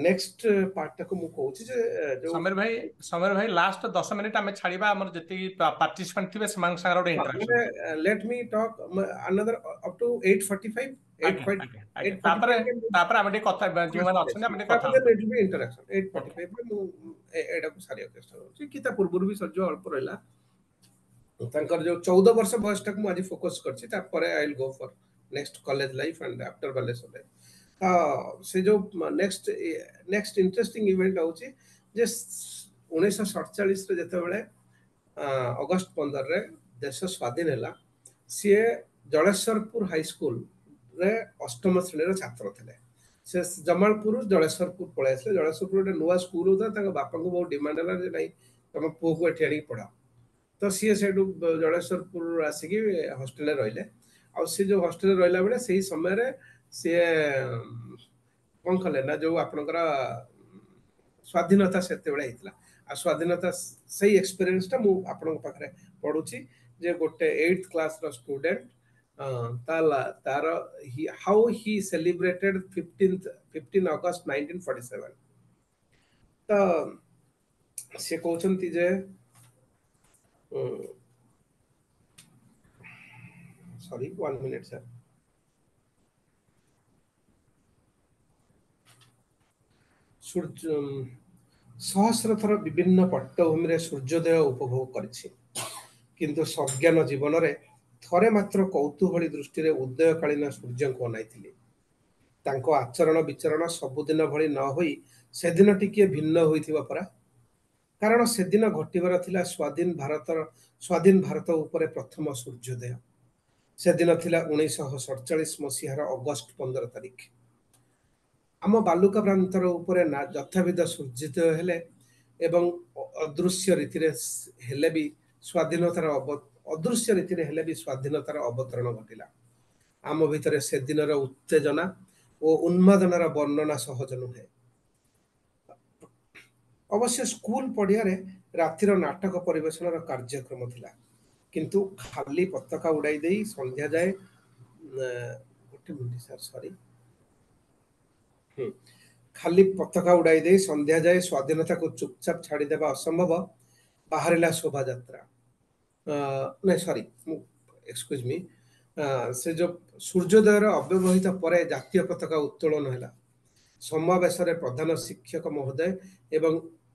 next ପାର୍ଟଟାକୁ ମୁଁ କହୁଛି ଯେ ଯୋଉ ସମୀର ଭାଇ, ସମୀର ଭାଇ, ଲାଷ୍ଟ ଦଶ ମିନିଟ୍ ଆମେ ଛାଡ଼ିବା, ଆମର ଯେତିକି ପାର୍ଟିସିପାଣ୍ଟ ଥିବେ ସେମାନଙ୍କ ସାଙ୍ଗରେ ଗୋଟେ interaction. Let me talk another up to eight forty five. ତାପରେ ତାପରେ ଆମେ ଟିକେ କଥା, ଯେଉଁମାନେ ଅଛନ୍ତି ଆମେ ଟିକେ କଥା। ଇଣ୍ଟରାକ୍ସନ ଏଇଟ୍ ଫର୍ଟି ଫାଇଭରେ ମୁଁ ଏଇଟାକୁ ସାରିବାକୁ ଚେଷ୍ଟା କରୁଛି କି ତା ପୂର୍ବରୁ ବି ସରିଯିବ, ଅଳ୍ପ ରହିଲା। ତାଙ୍କର ଯୋଉ ଚଉଦ ବର୍ଷ ବୟସଟାକୁ ମୁଁ ଆଜି ଫୋକସ୍ କରିଛି, ତାପରେ I will go for next college life and after Baleswar life. ତ ସେ ଯୋଉ ନେକ୍ସଟ ନେକ୍ସଟ ଇଣ୍ଟରେଷ୍ଟିଂ ଇଭେଣ୍ଟ ହଉଛି ଯେ ଉଣେଇଶହ ସଡ଼ଚାଳିଶରେ ଯେତେବେଳେ ଅଗଷ୍ଟ ପନ୍ଦରରେ ଦେଶ ସ୍ୱାଧୀନ ହେଲା, ସିଏ ଜଳେଶ୍ୱରପୁର ହାଇସ୍କୁଲରେ ଅଷ୍ଟମ ଶ୍ରେଣୀର ଛାତ୍ର ଥିଲେ। ସେ ଜମାଳପୁର ଜଳେଶ୍ୱରପୁର ପଳେଇ ଆସିଲେ। ଜଳେଶ୍ୱରପୁର ଗୋଟେ ନୂଆ ସ୍କୁଲ ହଉଥିଲା। ତାଙ୍କ ବାପାଙ୍କୁ ବହୁତ ଡିମାଣ୍ଡ ହେଲା ଯେ ନାଇଁ, ତମ ପୁଅକୁ ଏଠି ଆଣିକି ପଢାଅ। ତ ସିଏ ସେଇଠୁ ଜଳେଶ୍ୱରପୁର ଆସିକି ହଷ୍ଟେଲରେ ରହିଲେ। ଆଉ ସେ ଯୋଉ ହଷ୍ଟେଲରେ ରହିଲା ବେଳେ, ସେଇ ସମୟରେ ସିଏ କଣ କଲେ ନା, ଯୋଉ ଆପଣଙ୍କର ସ୍ୱାଧୀନତା ସେତେବେଳେ ହେଇଥିଲା, ଆଉ ସ୍ୱାଧୀନତା ସେଇ ଏକ୍ସପିରିଏନ୍ସଟା ମୁଁ ଆପଣଙ୍କ ପାଖରେ ପଢୁଛି ଯେ ଗୋଟେ ଏଇଥ କ୍ଲାସର ଷ୍ଟୁଡେଣ୍ଟ ତା ତାର how he celebrated fifteenth fifteen August nineteen forty seven. ତ ସେ କହୁଛନ୍ତି ଯେ, ସରି, ୱାନ୍ ମିନିଟ୍ ସାର୍। ସୂର୍ଯ୍ୟ ସହସ୍ର ଥର ବିଭିନ୍ନ ପଟ୍ଟଭୂମିରେ ସୂର୍ଯ୍ୟୋଦୟ ଉପଭୋଗ କରିଛି, କିନ୍ତୁ ସଜ୍ଞାନ ଜୀବନରେ ଥରେ ମାତ୍ର କୌତୂହଳୀ ଦୃଷ୍ଟିରେ ଉଦୟକାଳୀନ ସୂର୍ଯ୍ୟଙ୍କୁ ଅନାଇଥିଲି। ତାଙ୍କ ଆଚରଣ ବିଚରଣ ସବୁଦିନ ଭଳି ନ ହୋଇ ସେଦିନ ଟିକିଏ ଭିନ୍ନ ହୋଇଥିବ ପରା। କାରଣ ସେଦିନ ଘଟିବାର ଥିଲା ସ୍ୱାଧୀନ ଭାରତର ସ୍ୱାଧୀନ ଭାରତ ଉପରେ ପ୍ରଥମ ସୂର୍ଯ୍ୟୋଦୟ। ସେଦିନ ଥିଲା ଉଣେଇଶହ ସଡ଼ଚାଳିଶ ମସିହାର ଅଗଷ୍ଟ ପନ୍ଦର ତାରିଖ। ଆମ ବାଲୁକା ପ୍ରାନ୍ତର ଉପରେ ନା ଯଥାବିଧ ସୂର୍ଯ୍ୟୋଦୟ ହେଲେ ଏବଂ ଅଦୃଶ୍ୟ ରୀତିରେ ହେଲେ ବି ସ୍ୱାଧୀନତାର ଅଦୃଶ୍ୟ ରୀତିରେ ହେଲେ ବି ସ୍ୱାଧୀନତାର ଅବତରଣ ଘଟିଲା। ଆମ ଭିତରେ ସେଦିନର ଉତ୍ତେଜନା ଓ ଉନ୍ମାଦନାର ବର୍ଣ୍ଣନା ସହଜ ନୁହେଁ। ଅବଶ୍ୟ ସ୍କୁଲ ପଡ଼ିଆରେ ରାତିର ନାଟକ ପରିବେଷଣର କାର୍ଯ୍ୟକ୍ରମ ଥିଲା, କିନ୍ତୁ ଖାଲି ପତାକା ଉଡ଼ାଇ ଦେଇ ସନ୍ଧ୍ୟା ଯାଏ, ଗୋଟେ ମିନିଟ୍ ସାର୍, ସରି, ଖାଲି ପତାକା ଉଡ଼ାଇ ଦେଇ ସନ୍ଧ୍ୟା ଯାଏ ସ୍ୱାଧୀନତାକୁ ଚୁପଚାପ ଛାଡ଼ିଦେବା ଅସମ୍ଭବ। ବାହାରିଲା ଶୋଭାଯାତ୍ରା। ନାଇଁ, ସରି, ମୁଁ ଏକ୍ସକ୍ୟୁଜ ମି। ସେ ଯୋଉ ସୂର୍ଯ୍ୟୋଦୟର ଅବ୍ୟବହିତ ପରେ ଜାତୀୟ ପତାକା ଉତ୍ତୋଳନ ହେଲା। ସମାବେଶରେ ପ୍ରଧାନ ଶିକ୍ଷକ ମହୋଦୟ ଏବଂ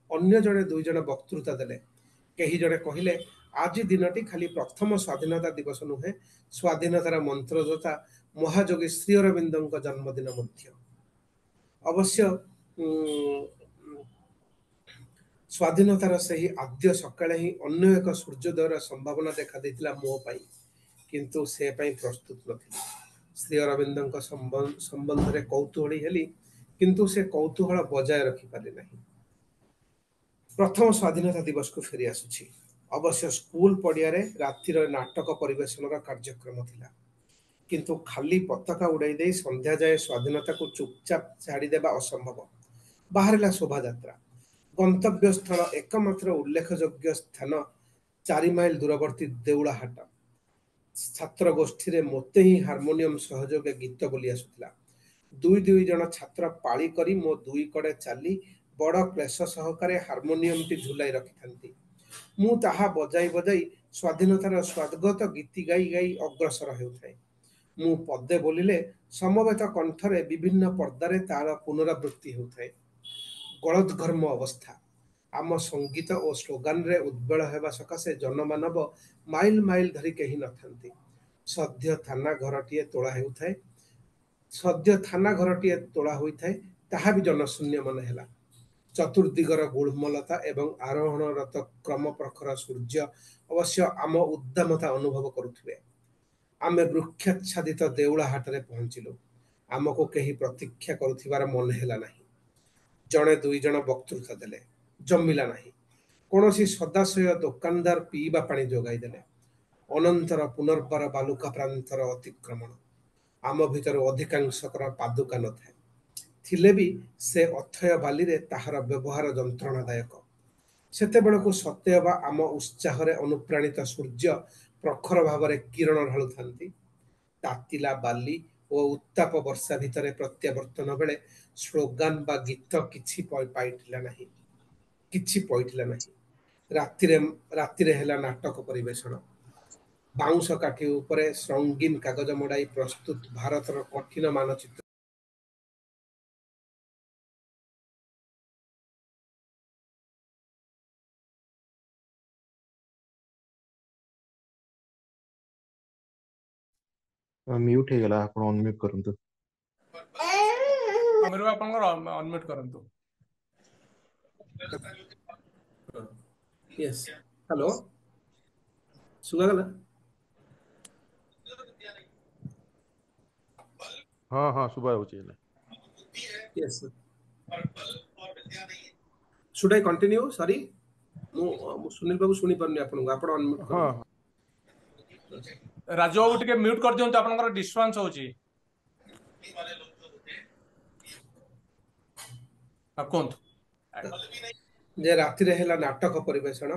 ଅନ୍ୟ ଜଣେ ଦୁଇ ଜଣ ବକ୍ତୃତା ଦେଲେ। କେହି ଜଣେ କହିଲେ, ଆଜି ଦିନଟି ଖାଲି ପ୍ରଥମ ସ୍ୱାଧୀନତା ଦିବସ ନୁହେଁ, ସ୍ୱାଧୀନତାର ମନ୍ତ୍ରଦାତା ମହାଯୋଗୀ ଶ୍ରୀ ଅରବିନ୍ଦଙ୍କ ଜନ୍ମଦିନ ମଧ୍ୟ। ଅବଶ୍ୟ ସ୍ୱାଧୀନତାର ସେହି ଆଦ୍ୟ ସକାଳେ ହିଁ ଅନ୍ୟ ଏକ ସୂର୍ଯ୍ୟୋଦୟର ସମ୍ଭାବନା ଦେଖା ଦେଇଥିଲା ମୋ ପାଇଁ, କିନ୍ତୁ ସେ ପାଇଁ ପ୍ରସ୍ତୁତ ନଥିଲି। ଶ୍ରୀ ଅରବିନ୍ଦଙ୍କ ସମ୍ବନ୍ଧରେ କୌତୂହଳୀ ହେଲି, କିନ୍ତୁ ସେ କୌତୂହଳ ବଜାୟ ରଖିପାରିଲି ନାହିଁ। ପ୍ରଥମ ସ୍ୱାଧୀନତା ଦିବସକୁ ଫେରି ଆସୁଛି। ଅବଶ୍ୟ ସ୍କୁଲ ପଡ଼ିଆରେ ରାତିର ନାଟକ ପରିବେଷଣର କାର୍ଯ୍ୟକ୍ରମ ଥିଲା, କିନ୍ତୁ ଖାଲି ପତାକା ଉଡ଼ାଇ ଦେଇ ସନ୍ଧ୍ୟା ଯାଏ ସ୍ୱାଧୀନତାକୁ ଚୁପଚାପ ଛାଡ଼ିଦେବା ଅସମ୍ଭବ। ବାହାରିଲା ଶୋଭାଯାତ୍ରା। ଗନ୍ତବ୍ୟସ୍ଥଳ ଏକମାତ୍ର ଉଲ୍ଲେଖଯୋଗ୍ୟ ସ୍ଥାନ ଚାରି ମାଇଲ ଦୂରବର୍ତ୍ତୀ ଦେଉଳାହାଟ। ଛାତ୍ର ଗୋଷ୍ଠୀରେ ମୋତେ ହିଁ ହାରମୋନିୟମ ସହଯୋଗେ ଗୀତ ବୋଲି ଆସୁଥିଲା। ଦୁଇ ଦୁଇ ଜଣ ଛାତ୍ର ପାଳି କରି ମୋ ଦୁଇ କଡ଼େ ଚାଲି ବଡ଼ କ୍ଲେଶ ସହକାରେ ହାରମୋନିୟମଟି ଝୁଲାଇ ରଖିଥାନ୍ତି। ମୁଁ ତାହା ବଜାଇ ବଜାଇ ସ୍ୱାଧୀନତାର ସ୍ୱାଗତ ଗୀତି ଗାଇ ଗାଇ ଅଗ୍ରସର ହେଉଥାଏ। ମୁଁ ପଦେ ବୋଲିଲେ ସମବେତ କଣ୍ଠରେ ବିଭିନ୍ନ ପର୍ଦ୍ଦାରେ ତାର ପୁନରାବୃତ୍ତି ହେଉଥାଏ। ଗଳଦ୍ଘର୍ମ ଅବସ୍ଥା। ଆମ ସଙ୍ଗୀତ ଓ ସ୍ଲୋଗାନରେ ଉଦ୍ବେଳ ହେବା ସକାଶେ ଜନମାନବ ମାଇଲ ମାଇଲ ଧରି କେହି ନଥାନ୍ତି। ସଦ୍ୟ ଥାନା ଘରଟିଏ ତୋଳା ହେଉଥାଏ, ସଦ୍ୟ ଥାନା ଘରଟିଏ ତୋଳା ହୋଇଥାଏ, ତାହା ବି ଜନଶୂନ୍ୟ ମନେ ହେଲା। ଚତୁର୍ଦିଗର ଗୁଳ୍ମଲତା ଏବଂ ଆରୋହଣରତ କ୍ରମ ପ୍ରଖର ସୂର୍ଯ୍ୟ ଅବଶ୍ୟ ଆମ ଉଦ୍ଦାମତା ଅନୁଭବ କରୁଥିବେ। ଆମେ ବୃକ୍ଷାଚ୍ଛାଦିତ ଦେଉଳା ହାଟରେ ପହଞ୍ଚିଲୁ। ଆମକୁ କେହି ପ୍ରତୀକ୍ଷା କରୁଥିବାର ମନେ ହେଲା ନାହିଁ। ଜଣେ ଦୁଇ ଜଣ ବକ୍ତୃତା ଦେଲେ, ଜମିଲା ନାହିଁ। କୌଣସି ସଦାଶୟ ଦୋକାନଦାର ପିଇବା ପାଣି ଯୋଗାଇ ଦେଲେ। ଅନନ୍ତର ପୁନର୍ବାର ବାଲୁକା ପ୍ରାନ୍ତର ଅତିକ୍ରମଣ। ଆମ ଭିତରୁ ଅଧିକାଂଶଙ୍କର ପାଦୁକା ନଥାଏ, ଥିଲେ ବି ସେ ଅଥୟ ବାଲିରେ ତାହାର ବ୍ୟବହାର ଯନ୍ତ୍ରଣାଦାୟକ। ସେତେବେଳକୁ ସତେ ଅବା ଆମ ଉତ୍ସାହରେ ଅନୁପ୍ରାଣିତ ସୂର୍ଯ୍ୟ ପ୍ରଖର ଭାବରେ କିରଣ ଢାଳୁଥାନ୍ତି। ତାତିଲା ବାଲି ଓ ଉତ୍ତାପ ବର୍ଷା ଭିତରେ ପ୍ରତ୍ୟାବର୍ତ୍ତନ ବେଳେ ସ୍ଲୋଗାନ ବା ଗୀତ କିଛି ପାଇଥିଲା ନାହିଁ, କିଛି ପଇଠିଲା ନାହିଁ। ରାତିରେ ରାତିରେ ହେଲା ନାଟକ ପରିବେଷଣ। ବାଉଁଶ କାଠି ଉପରେ ରଙ୍ଗୀନ କାଗଜ ମଡ଼ାଇ ପ୍ରସ୍ତୁତ ଭାରତର କଠିନ ମାନଚିତ୍ର ମ୍ୟୁଟ ହେଇଗଲା, ଆପଣ ଅନମ୍ୟୁଟ କରନ୍ତୁ। ସମୀର ଆପଣଙ୍କର ଅନମ୍ୟୁଟ କରନ୍ତୁ। ୟେସ୍, ହ୍ୟାଲୋ, ଶୁଭାଗଲା? ହଁ ହଁ, ଶୁଭା ଯାଉଛି ହେଲେ। Yes, should I continue? Sorry, ମୁଁ ମୁଁ ସୁନୀଲ ବାବୁ ଶୁଣି ପାରୁନି ଆପଣଙ୍କୁ, ଆପଣ ଅନମ୍ୟୁଟ ହଁ କରନ୍ତୁ। ରାଜୁ ବାବୁ ଟିକେ ମ୍ୟୁଟ କରିଦିଅନ୍ତୁ, ଆପଣଙ୍କର ଡିଷ୍ଟର୍ବାନ୍ସ ହଉଛି। ହଁ, କୁହନ୍ତୁ। ଯେ ରାତିରେ ହେଲା ନାଟକ ପରିବେଷଣ।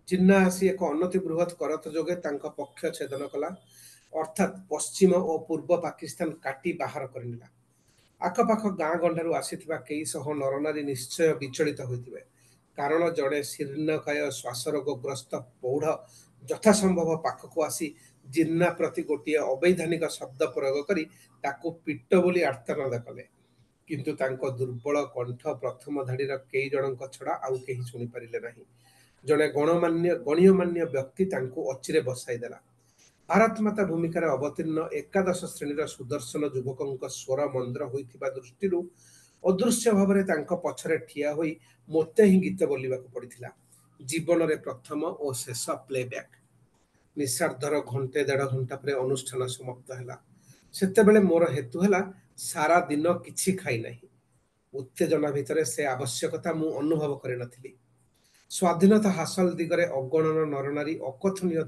ଜିନ୍ନା ଆସି ଏକ ଅନତି ବୃହତ କରତ ଯୋଗେ ତାଙ୍କ ପକ୍ଷ ଛେଦନ କଲା, ଅର୍ଥାତ୍ ପଶ୍ଚିମ ଓ ପୂର୍ବ ପାକିସ୍ତାନ କାଟି ବାହାର କରିନେଲା। ଆଖପାଖ ଗାଁ ଗଣ୍ଡାରୁ ଆସିଥିବା କେଇ ଶହ ନରନାରୀ ନିଶ୍ଚୟ ବିଚଳିତ ହୋଇଥିବେ, କାରଣ ଜଣେ ଶୀର୍ଣ୍ଣକାୟ ଶ୍ୱାସରୋଗଗ୍ରସ୍ତ ପୌଢ଼ ଯଥାସମ୍ଭବ ପାଖକୁ ଆସି ଜିନ୍ନା ପ୍ରତି ଗୋଟିଏ ଅବୈଧାନିକ ଶବ୍ଦ ପ୍ରୟୋଗ କରି ତାକୁ ପିଟ ବୋଲି ଆର୍ତ୍ତନାଦ କଲେ। କିନ୍ତୁ ତାଙ୍କ ଦୁର୍ବଳ କଣ୍ଠ ପ୍ରଥମ ଧାଡ଼ିର କେଇ ଜଣଙ୍କ ଛଡ଼ା ଆଉ କେହି ଶୁଣିପାରିଲେ ନାହିଁ। ଜଣେ ଗଣମାନ୍ୟ ଗଣ୍ୟମାନ୍ୟ ବ୍ୟକ୍ତି ତାଙ୍କୁ ଅଚିରେ ବସାଇ ଦେଲା। ଭାରତ ମାତା ଭୂମିକାରେ ଅବତୀର୍ଣ୍ଣ ଏକାଦଶ ଶ୍ରେଣୀର ସୁଦର୍ଶନ ଯୁବକଙ୍କ ସ୍ୱର ମନ୍ଦ୍ର ହୋଇଥିବା ଦୃଷ୍ଟିରୁ ଅଦୃଶ୍ୟ ଭାବରେ ତାଙ୍କ ପଛରେ ଠିଆ ହୋଇ ମୋତେ ହିଁ ଗୀତ ବୋଲିବାକୁ ପଡ଼ିଥିଲା। ଜୀବନରେ ପ୍ରଥମ ଓ ଶେଷ ପ୍ଲେବ୍ୟାକ୍। ନିଶାର୍ଦ୍ଧର ଘଣ୍ଟେ ଦେଢ଼ ଘଣ୍ଟା ପରେ ଅନୁଷ୍ଠାନ ସମାପ୍ତ ହେଲା। ସେତେବେଳେ ମୋର ହେତୁ ହେଲା ସାରା ଦିନ କିଛି ଖାଇନାହିଁ। ଉତ୍ତେଜନା ଭିତରେ ସେ ଆବଶ୍ୟକତା ମୁଁ ଅନୁଭବ କରିନଥିଲି। ସ୍ୱାଧୀନତା ହାସଲ ଦିଗରେ ଅଗଣନ ନରନାରୀ ଅକଥନୀୟ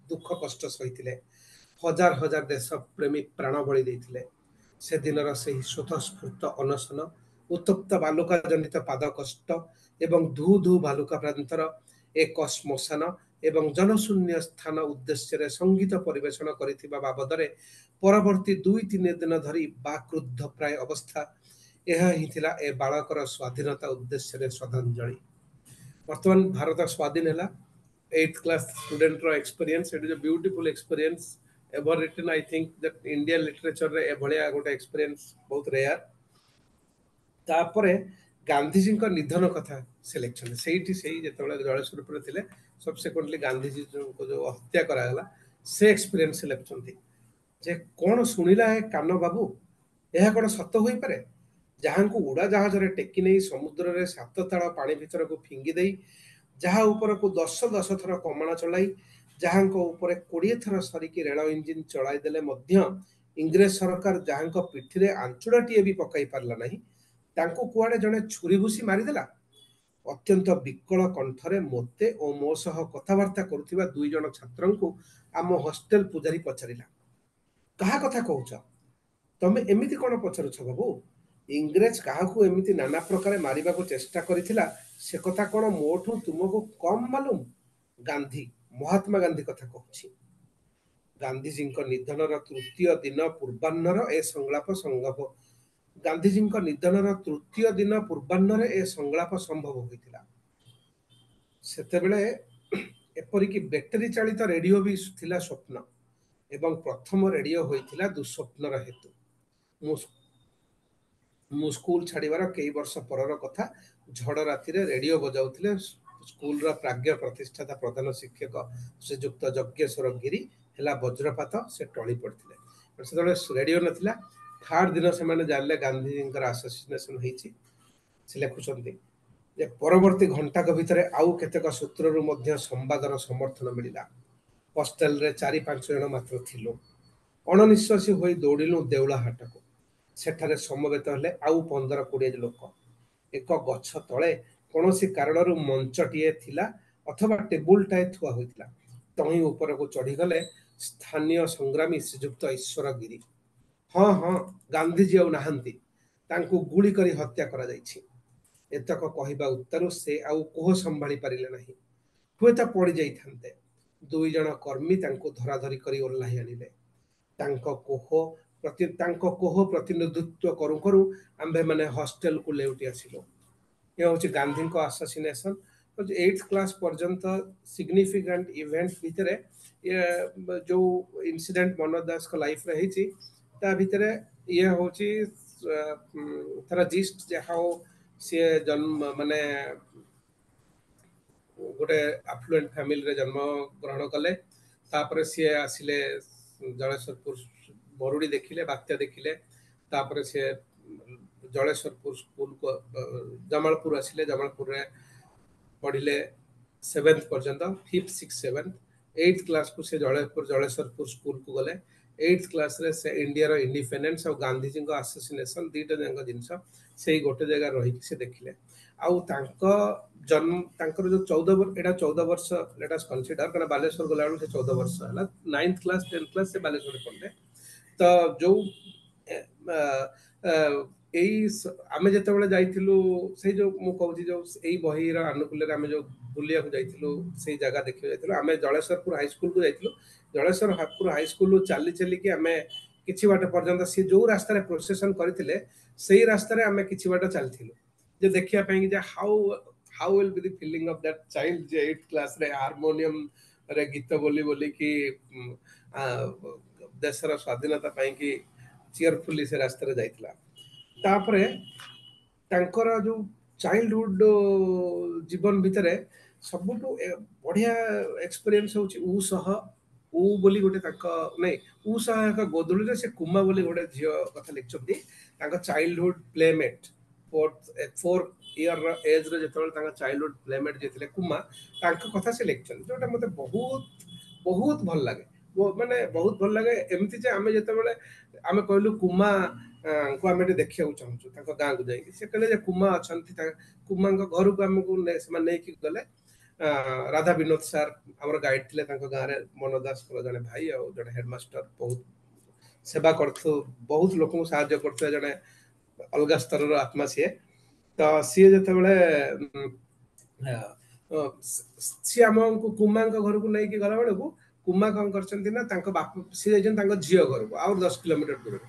ଦୁଃଖ କଷ୍ଟ ସହିଥିଲେ। ହଜାର ହଜାର ଦେଶପ୍ରେମୀ ପ୍ରାଣବଳି ଦେଇଥିଲେ। ସେଦିନର ସେହି ସ୍ୱତଃସ୍ଫୂର୍ତ୍ତ ଅନଶନ, ଉତ୍ତପ୍ତ ବାଲୁକା ଜନିତ ପାଦ କଷ୍ଟ ଏବଂ ଧୁ ଧୁ ବାଲୁକା ପ୍ରାନ୍ତର ଏକ ଶ୍ମଶାନ ଏବଂ ଜନଶୂନ୍ୟ ସ୍ଥାନ ଉଦ୍ଦେଶ୍ୟରେ ସଙ୍ଗୀତ ପରିବେଷଣ କରିଥିବା ବାବଦରେ ପରବର୍ତ୍ତୀ ଦୁଇ ତିନି ଦିନ ଧରି ବାକ୍ରୁଦ୍ଧ ପ୍ରାୟ ଅବସ୍ଥା, ଏହା ହିଁ ଥିଲା ଏ ବାଳକର ସ୍ୱାଧୀନତା ଉଦ୍ଦେଶ୍ୟରେ ଶ୍ରଦ୍ଧାଞ୍ଜଳି। ବର୍ତ୍ତମାନ ଭାରତ ସ୍ୱାଧୀନ ହେଲା। ଏଇଟ୍ କ୍ଲାସ୍ ଷ୍ଟୁଡେଣ୍ଟର experience, it is a beautiful experience ever written. I think that Indian ଲିଟରେଚରରେ ଏଭଳିଆ ଗୋଟେ ଏକ୍ସପିରିଏନ୍ସ ବହୁତ ରେୟାର। ତାପରେ ଗାନ୍ଧିଜୀଙ୍କ ନିଧନ କଥା ସେ ଲେଖିଛନ୍ତି। ସେଇଠି ସେଇ ଯେତେବେଳେ ଜଳେଶ୍ୱରପୁରରେ ଥିଲେ, ସବସିକ୍ୱେଣ୍ଟଲି ଗାନ୍ଧିଜୀଙ୍କୁ ଯୋଉ ହତ୍ୟା କରାଗଲା ସେ ଏକ୍ସପିରିଏନ୍ସ ସେ ଲେଖୁଛନ୍ତି ଯେ କଣ ଶୁଣିଲା ଏ କାନ ବାବୁ, ଏହା କଣ ସତ ହୋଇପାରେ? ଯାହାଙ୍କୁ ଉଡ଼ାଜାହାଜରେ ଟେକି ନେଇ ସମୁଦ୍ରରେ ସାତ ତାଳ ପାଣି ଭିତରକୁ ଫିଙ୍ଗି ଦେଇ, ଯାହା ଉପରକୁ ଦଶ ଦଶ ଥର କମାଣ ଚଳାଇ, ଯାହାଙ୍କ ଉପରେ କୋଡ଼ିଏ ଥର ସରିକି ରେଳ ଇଞ୍ଜିନ୍ ଚଳାଇ ଦେଲେ ମଧ୍ୟ ଇଂରେଜ ସରକାର ଯାହାଙ୍କ ପିଠିରେ ଆଞ୍ଚୁଡ଼ାଟିଏ ବି ପକାଇ ପାରିଲା ନାହିଁ, ତାଙ୍କୁ କୁଆଡ଼େ ଜଣେ ଛୁରୀ ଭୁସି ମାରିଦେଲା। ଅତ୍ୟନ୍ତ ବିକଳ କଣ୍ଠରେ ମୋତେ ଓ ମୋ ସହ କଥାବାର୍ତ୍ତା କରୁଥିବା ଦୁଇ ଜଣ ଛାତ୍ରଙ୍କୁ ଆମ ହଷ୍ଟେଲ ପୂଜାରୀ ପଚାରିଲା, କାହା କଥା କହୁଛ? ତମେ ଏମିତି କଣ ପଚାରୁଛ ବାବୁ? ଇଂରେଜ କାହାକୁ ଏମିତି ନାନା ପ୍ରକାରେ ମାରିବାକୁ ଚେଷ୍ଟା କରିଥିଲା ସେ କଥା କଣ ମୋଠୁ ତୁମକୁ କମ୍ ମାଲୁମ? ଗାନ୍ଧୀ, ମହାତ୍ମା ଗାନ୍ଧୀ କଥା କହୁଛି। ଗାନ୍ଧିଜୀଙ୍କ ନିଧନର ତୃତୀୟ ଦିନ ପୂର୍ବାହ୍ନର ଏ ସଂଳାପ ସମ୍ଭବ ଗାନ୍ଧିଜୀଙ୍କ ନିଧନର ତୃତୀୟ ଦିନ ପୂର୍ବାହ୍ନରେ ଏ ସଂଳାପ ସମ୍ଭବ ହୋଇଥିଲା। ସେତେବେଳେ ଏପରିକି ବ୍ୟାଟେରୀ ଚାଳିତ ରେଡିଓ ବି ଥିଲା ସ୍ୱପ୍ନ, ଏବଂ ପ୍ରଥମ ରେଡିଓ ହୋଇଥିଲା ଦୁଃସ୍ୱପ୍ନର ହେତୁ। ମୁଁ ମୁଁ ସ୍କୁଲ ଛାଡ଼ିବାର କେଇ ବର୍ଷ ପରର କଥା। ଝଡ଼ ରାତିରେ ରେଡିଓ ବଜାଉଥିଲେ ସ୍କୁଲର ପ୍ରାଜ୍ଞ ପ୍ରତିଷ୍ଠାତା ପ୍ରଧାନ ଶିକ୍ଷକ ଶ୍ରୀଯୁକ୍ତ ଯଜ୍ଞେଶ୍ୱର ଗିରି। ହେଲା ବଜ୍ରପାତ, ସେ ଟଳି ପଡ଼ିଥିଲେ। ସେତେବେଳେ ରେଡିଓ ନଥିଲା। ଥାର୍ଡ ଦିନ ସେମାନେ ଜାଣିଲେ ଗାନ୍ଧିଜୀଙ୍କର ଆସାସିନେସନ ହେଇଛି। ସେ ଲେଖୁଛନ୍ତି ଯେ ପରବର୍ତ୍ତୀ ଘଣ୍ଟାକ ଭିତରେ ଆଉ କେତେକ ସୂତ୍ରରୁ ମଧ୍ୟ ସମ୍ବାଦର ସମର୍ଥନ ମିଳିଲା। ହଷ୍ଟେଲରେ ଚାରି ପାଞ୍ଚ ଜଣ ମାତ୍ର ଥିଲୁ। ଅଣନିଶ୍ୱାସୀ ହୋଇ ଦୌଡ଼ିଲୁ ଦେଉଳା ହାଟକୁ। ସେଠାରେ ସମବେତ ହେଲେ ଆଉ ପନ୍ଦର କୋଡ଼ିଏ ଲୋକ। ଏକ ଗଛ ତଳେ କୌଣସି କାରଣରୁ ମଞ୍ଚଟିଏ ଥିଲା ଅଥବା ଟେବୁଲଟାଏ ଥୁଆ ହୋଇଥିଲା। ତହିଁ ଉପରକୁ ଚଢ଼ିଗଲେ ସ୍ଥାନୀୟ ସଂଗ୍ରାମୀ ଶ୍ରୀଯୁକ୍ତ ଈଶ୍ୱର ଗିରି। ହଁ ହଁ, ଗାନ୍ଧିଜୀ ଆଉ ନାହାନ୍ତି, ତାଙ୍କୁ ଗୁଳି କରି ହତ୍ୟା କରାଯାଇଛି। ଏତକ କହିବା ଉତ୍ତାରୁ ସେ ଆଉ କୋହ ସମ୍ଭାଳି ପାରିଲେ ନାହିଁ। ହୁଏତ ପଡ଼ି ଯାଇଥାନ୍ତେ। ଦୁଇ ଜଣ କର୍ମୀ ତାଙ୍କୁ ଧରାଧରି କରି ଓହ୍ଲାଇ ଆଣିଲେ। ତାଙ୍କ କୋହ ପ୍ରତି ତାଙ୍କ କୋହ ପ୍ରତିନିଧିତ୍ୱ କରୁ କରୁ ଆମ୍ଭେମାନେ ହଷ୍ଟେଲକୁ ଲେଉଟି ଆସିଲୁ। ଏ ହେଉଛି ଗାନ୍ଧୀଙ୍କ ଆସାସିନେସନ। ଏଇଥ କ୍ଲାସ ପର୍ଯ୍ୟନ୍ତ ସିଗ୍ନିଫିକାଣ୍ଟ ଇଭେଣ୍ଟ ଭିତରେ ଇଏ ଯୋଉ ଇନସିଡେଣ୍ଟ ମନୋଜ ଦାସଙ୍କ ଲାଇଫରେ ହେଇଛି, ତା ଭିତରେ ଇଏ ହଉଛି ତାର ଜିଷ୍ଟ, ଯେ ହାଉ ସିଏ ଜନ୍ମ, ମାନେ ଗୋଟେ ଆଫ୍ଲୁଏଣ୍ଟ ଫ୍ୟାମିଲିରେ ଜନ୍ମ ଗ୍ରହଣ କଲେ। ତାପରେ ସିଏ ଆସିଲେ ଜଳେଶ୍ୱରପୁର, ମରୁଡ଼ି ଦେଖିଲେ, ବାତ୍ୟା ଦେଖିଲେ। ତାପରେ ସିଏ ଜଳେଶ୍ୱରପୁର ସ୍କୁଲକୁ, ଜମାଳପୁର ଆସିଲେ। ଜମାଳପୁରରେ ପଢ଼ିଲେ ସେଭେନ୍ଥ ପର୍ଯ୍ୟନ୍ତ, ଫିଫ୍ଥ, ସିକ୍ସ, ସେଭେନ୍ଥ। ଏଇଥ କ୍ଲାସକୁ ସେ ଜଳେପୁର ଜଳେଶ୍ୱରପୁର ସ୍କୁଲକୁ ଗଲେ। ଏଇଥ କ୍ଲାସରେ ସେ ଇଣ୍ଡିଆର ଇଣ୍ଡିପେଣ୍ଡେନ୍ସ ଆଉ ଗାନ୍ଧିଜୀଙ୍କ ଆସାସିନେସନ ଦିଟା ଯାକ ଜିନିଷ ସେଇ ଗୋଟେ ଜାଗାରେ ରହିକି ସେ ଦେଖିଲେ। ଆଉ ତାଙ୍କ ଜନ୍ମ, ତାଙ୍କର ଯୋଉ ଚଉଦ, ଏଇଟା ଚଉଦ ବର୍ଷ ଲେଟ୍ ଅସ୍ କନସିଡର, କାରଣ ବାଲେଶ୍ୱର ଗଲାବେଳକୁ ସେ ଚଉଦ ବର୍ଷ ହେଲା। ନାଇନ୍ଥ କ୍ଲାସ, ଟେନ୍ଥ କ୍ଲାସ ସେ ବାଲେଶ୍ୱରରେ ପଢିଲେ। ତ ଯୋଉ ଏଇ ଆମେ ଯେତେବେଳେ ଯାଇଥିଲୁ, ସେଇ ଯୋଉ ମୁଁ କହୁଛି, ଯୋଉ ଏଇ ବହିର ଆନୁକୂଲ୍ୟରେ ଆମେ ଯୋଉ ବୁଲିବାକୁ ଯାଇଥିଲୁ, ସେଇ ଜାଗା ଦେଖିବାକୁ ଯାଇଥିଲୁ, ଆମେ ଜଳେଶ୍ୱରପୁର ହାଇସ୍କୁଲକୁ ଯାଇଥିଲୁ। ଜଳେଶ୍ୱରପୁର ହାଇସ୍କୁଲରୁ ଚାଲି ଚାଲିକି ଆମେ କିଛି ବାଟ ପର୍ଯ୍ୟନ୍ତ, ସିଏ ଯୋଉ ରାସ୍ତାରେ ପ୍ରୋସେସନ କରିଥିଲେ ସେଇ ରାସ୍ତାରେ ଆମେ କିଛି ବାଟ ଚାଲିଥିଲୁ, ଯେ ଦେଖିବା ପାଇଁ ଯେ how how will be the feeling of that child, ଯେ ଏଇଟ୍ କ୍ଲାସରେ ହାରମୋନିୟମରେ ଗୀତ ବୋଲି ବୋଲିକି ଦେଶର ସ୍ୱାଧୀନତା ପାଇଁକି ଚିୟରଫୁଲି ସେ ରାସ୍ତାରେ ଯାଇଥିଲା। ତାପରେ ତାଙ୍କର ଯୋଉ ଚାଇଲ୍ଡହୁଡ ଜୀବନ ଭିତରେ ସବୁଠୁ ବଢିଆ ଏକ୍ସପିରିଏନ୍ସ ହଉଛି ଉ ସହ ଉ ବୋଲି ଗୋଟେ ତାଙ୍କ, ନାଇଁ, ଉ ସହ ଏକ ଗୋଧୂଳିରେ ସେ କୁମା ବୋଲି ଗୋଟେ ଝିଅ କଥା ଲେଖିଛନ୍ତି। ତାଙ୍କ ଚାଇଲ୍ଡହୁଡ ପ୍ଲେମେଟ୍, ଫୋର୍ଥ ଫୋର୍ ଇୟର ଏଜରେ ଯେତେବେଳେ ତାଙ୍କ ଚାଇଲ୍ଡହୁଡ ପ୍ଲେମେଟ୍ ଯିଏ ଥିଲେ କୁମା, ତାଙ୍କ କଥା ସେ ଲେଖିଛନ୍ତି, ଯୋଉଟା ମତେ ବହୁତ ବହୁତ ଭଲ ଲାଗେ, ମାନେ ବହୁତ ଭଲ ଲାଗେ। ଏମିତି ଯେ ଆମେ ଯେତେବେଳେ ଆମେ କହିଲୁ କୁମା ଙ୍କୁ ଆମେ ଟିକେ ଦେଖିବାକୁ ଚାହୁଁଛୁ ତାଙ୍କ ଗାଁକୁ ଯାଇକି, ସେ କହିଲେ ଯେ କୁମା ଅଛନ୍ତି। କୁମାଙ୍କ ଘରକୁ ଆମକୁ ସେମାନେ ନେଇକି ଗଲେ। ରାଧା ବିନୋଦ ସାର୍ ଆମର ଗାଇଡ ଥିଲେ ତାଙ୍କ ଗାଁରେ, ମନୋଜ ଦାସଙ୍କର ଜଣେ ଭାଇ ଆଉ ଜଣେ ହେଡମାଷ୍ଟର, ବହୁତ ସେବା କରୁଥିବ, ବହୁତ ଲୋକଙ୍କୁ ସାହାଯ୍ୟ କରୁଥିବା ଜଣେ ଅଲଗା ସ୍ତରର ଆତ୍ମା ସିଏ। ତ ସିଏ ଯେତେବେଳେ ସିଏ ଆମକୁ କୁମାଙ୍କ ଘରକୁ ନେଇକି ଗଲା ବେଳକୁ କୁମା କଣ କରିଛନ୍ତି ନା, ତାଙ୍କ ବାପ, ସିଏ ଯାଇଛନ୍ତି ତାଙ୍କ ଝିଅ ଘରକୁ ଆଉ ଦଶ କିଲୋମିଟର ଦୂରରେ।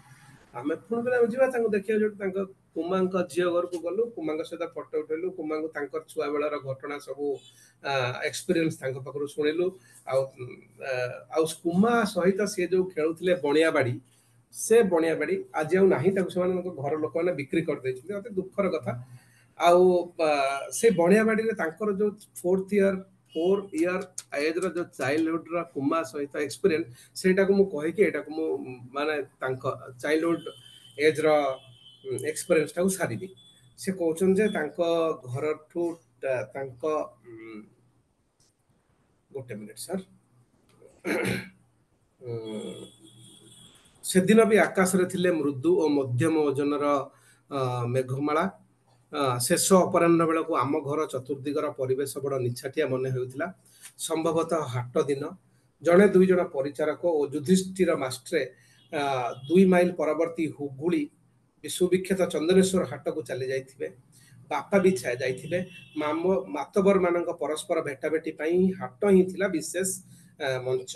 ଆମେ ପୁଣି କହିଲେ ଆମେ ଯିବା ତାଙ୍କୁ ଦେଖିବାକୁ। ଯୋଉଠି ତାଙ୍କ କୁମାଙ୍କ ଝିଅ ଘରକୁ ଗଲୁ, କୁମାଙ୍କ ସହିତ ଫଟୋ ଉଠେଇଲୁ, କୁମାଙ୍କୁ ତାଙ୍କର ଛୁଆ ବେଳର ଘଟଣା ସବୁ ଏକ୍ସପିରିଏନ୍ସ ତାଙ୍କ ପାଖରୁ ଶୁଣିଲୁ। ଆଉ ଆଉ କୁମା ସହିତ ସିଏ ଯୋଉ ଖେଳୁଥିଲେ ବଣିଆବାଡି, ସେ ବଣିଆବାଡି ଆଜି ଆଉ ନାହିଁ, ତାକୁ ସେମାନଙ୍କ ଘର ଲୋକମାନେ ବିକ୍ରି କରିଦେଇଛନ୍ତି, ଅତି ଦୁଃଖର କଥା। ଆଉ ସେ ବଣିଆବାଡିରେ ତାଙ୍କର ଯୋଉ ଫୋର୍ଥ ଇୟର ଫୋର୍ ଇୟର ଏଜର ଯୋଉ ଚାଇଲ୍ଡହୁଡର କୁମା ସହିତ ଏକ୍ସପିରିଏନ୍ସ, ସେଇଟାକୁ ମୁଁ କହିକି ଏଇଟାକୁ ମୁଁ ମାନେ ତାଙ୍କ ଚାଇଲ୍ଡହୁଡ ଏଜର ଏକ୍ସପିରିଏନ୍ସଟାକୁ ସାରିବି। ସେ କହୁଛନ୍ତି ଯେ ତାଙ୍କ ଘରଠୁ ତାଙ୍କ, ଗୋଟେ ମିନିଟ୍ ସାର୍। ସେଦିନ ବି ଆକାଶରେ ଥିଲେ ମୃଦୁ ଓ ମଧ୍ୟମ ଓଜନର ମେଘମାଳା। ଶେଷ ଅପରାହ୍ନ ବେଳକୁ ଆମ ଘର ଚତୁର୍ଦିଗର ପରିବେଶ ବଡ଼ ନିଛାଟିଆ ମନେ ହେଉଥିଲା। ସମ୍ଭବତଃ ହାଟ ଦିନ। ଜଣେ ଦୁଇ ଜଣ ପରିଚାରକ ଓ ଯୁଧିଷ୍ଠିର ମାଷ୍ଟ୍ରେ ଦୁଇ ମାଇଲ ପରବର୍ତ୍ତୀ ହୁଗୁଳି ସୁବିଖ୍ୟାତ ଚନ୍ଦନେଶ୍ୱର ହାଟକୁ ଚାଲି ଯାଇଥିବେ। ବାପା ବି ଯାଇଥିବେ। ମାମ ମାତବର ମାନଙ୍କ ପରସ୍ପର ଭେଟାଭେଟି ପାଇଁ ହାଟ ହିଁ ଥିଲା ବିଶେଷ ମଞ୍ଚ।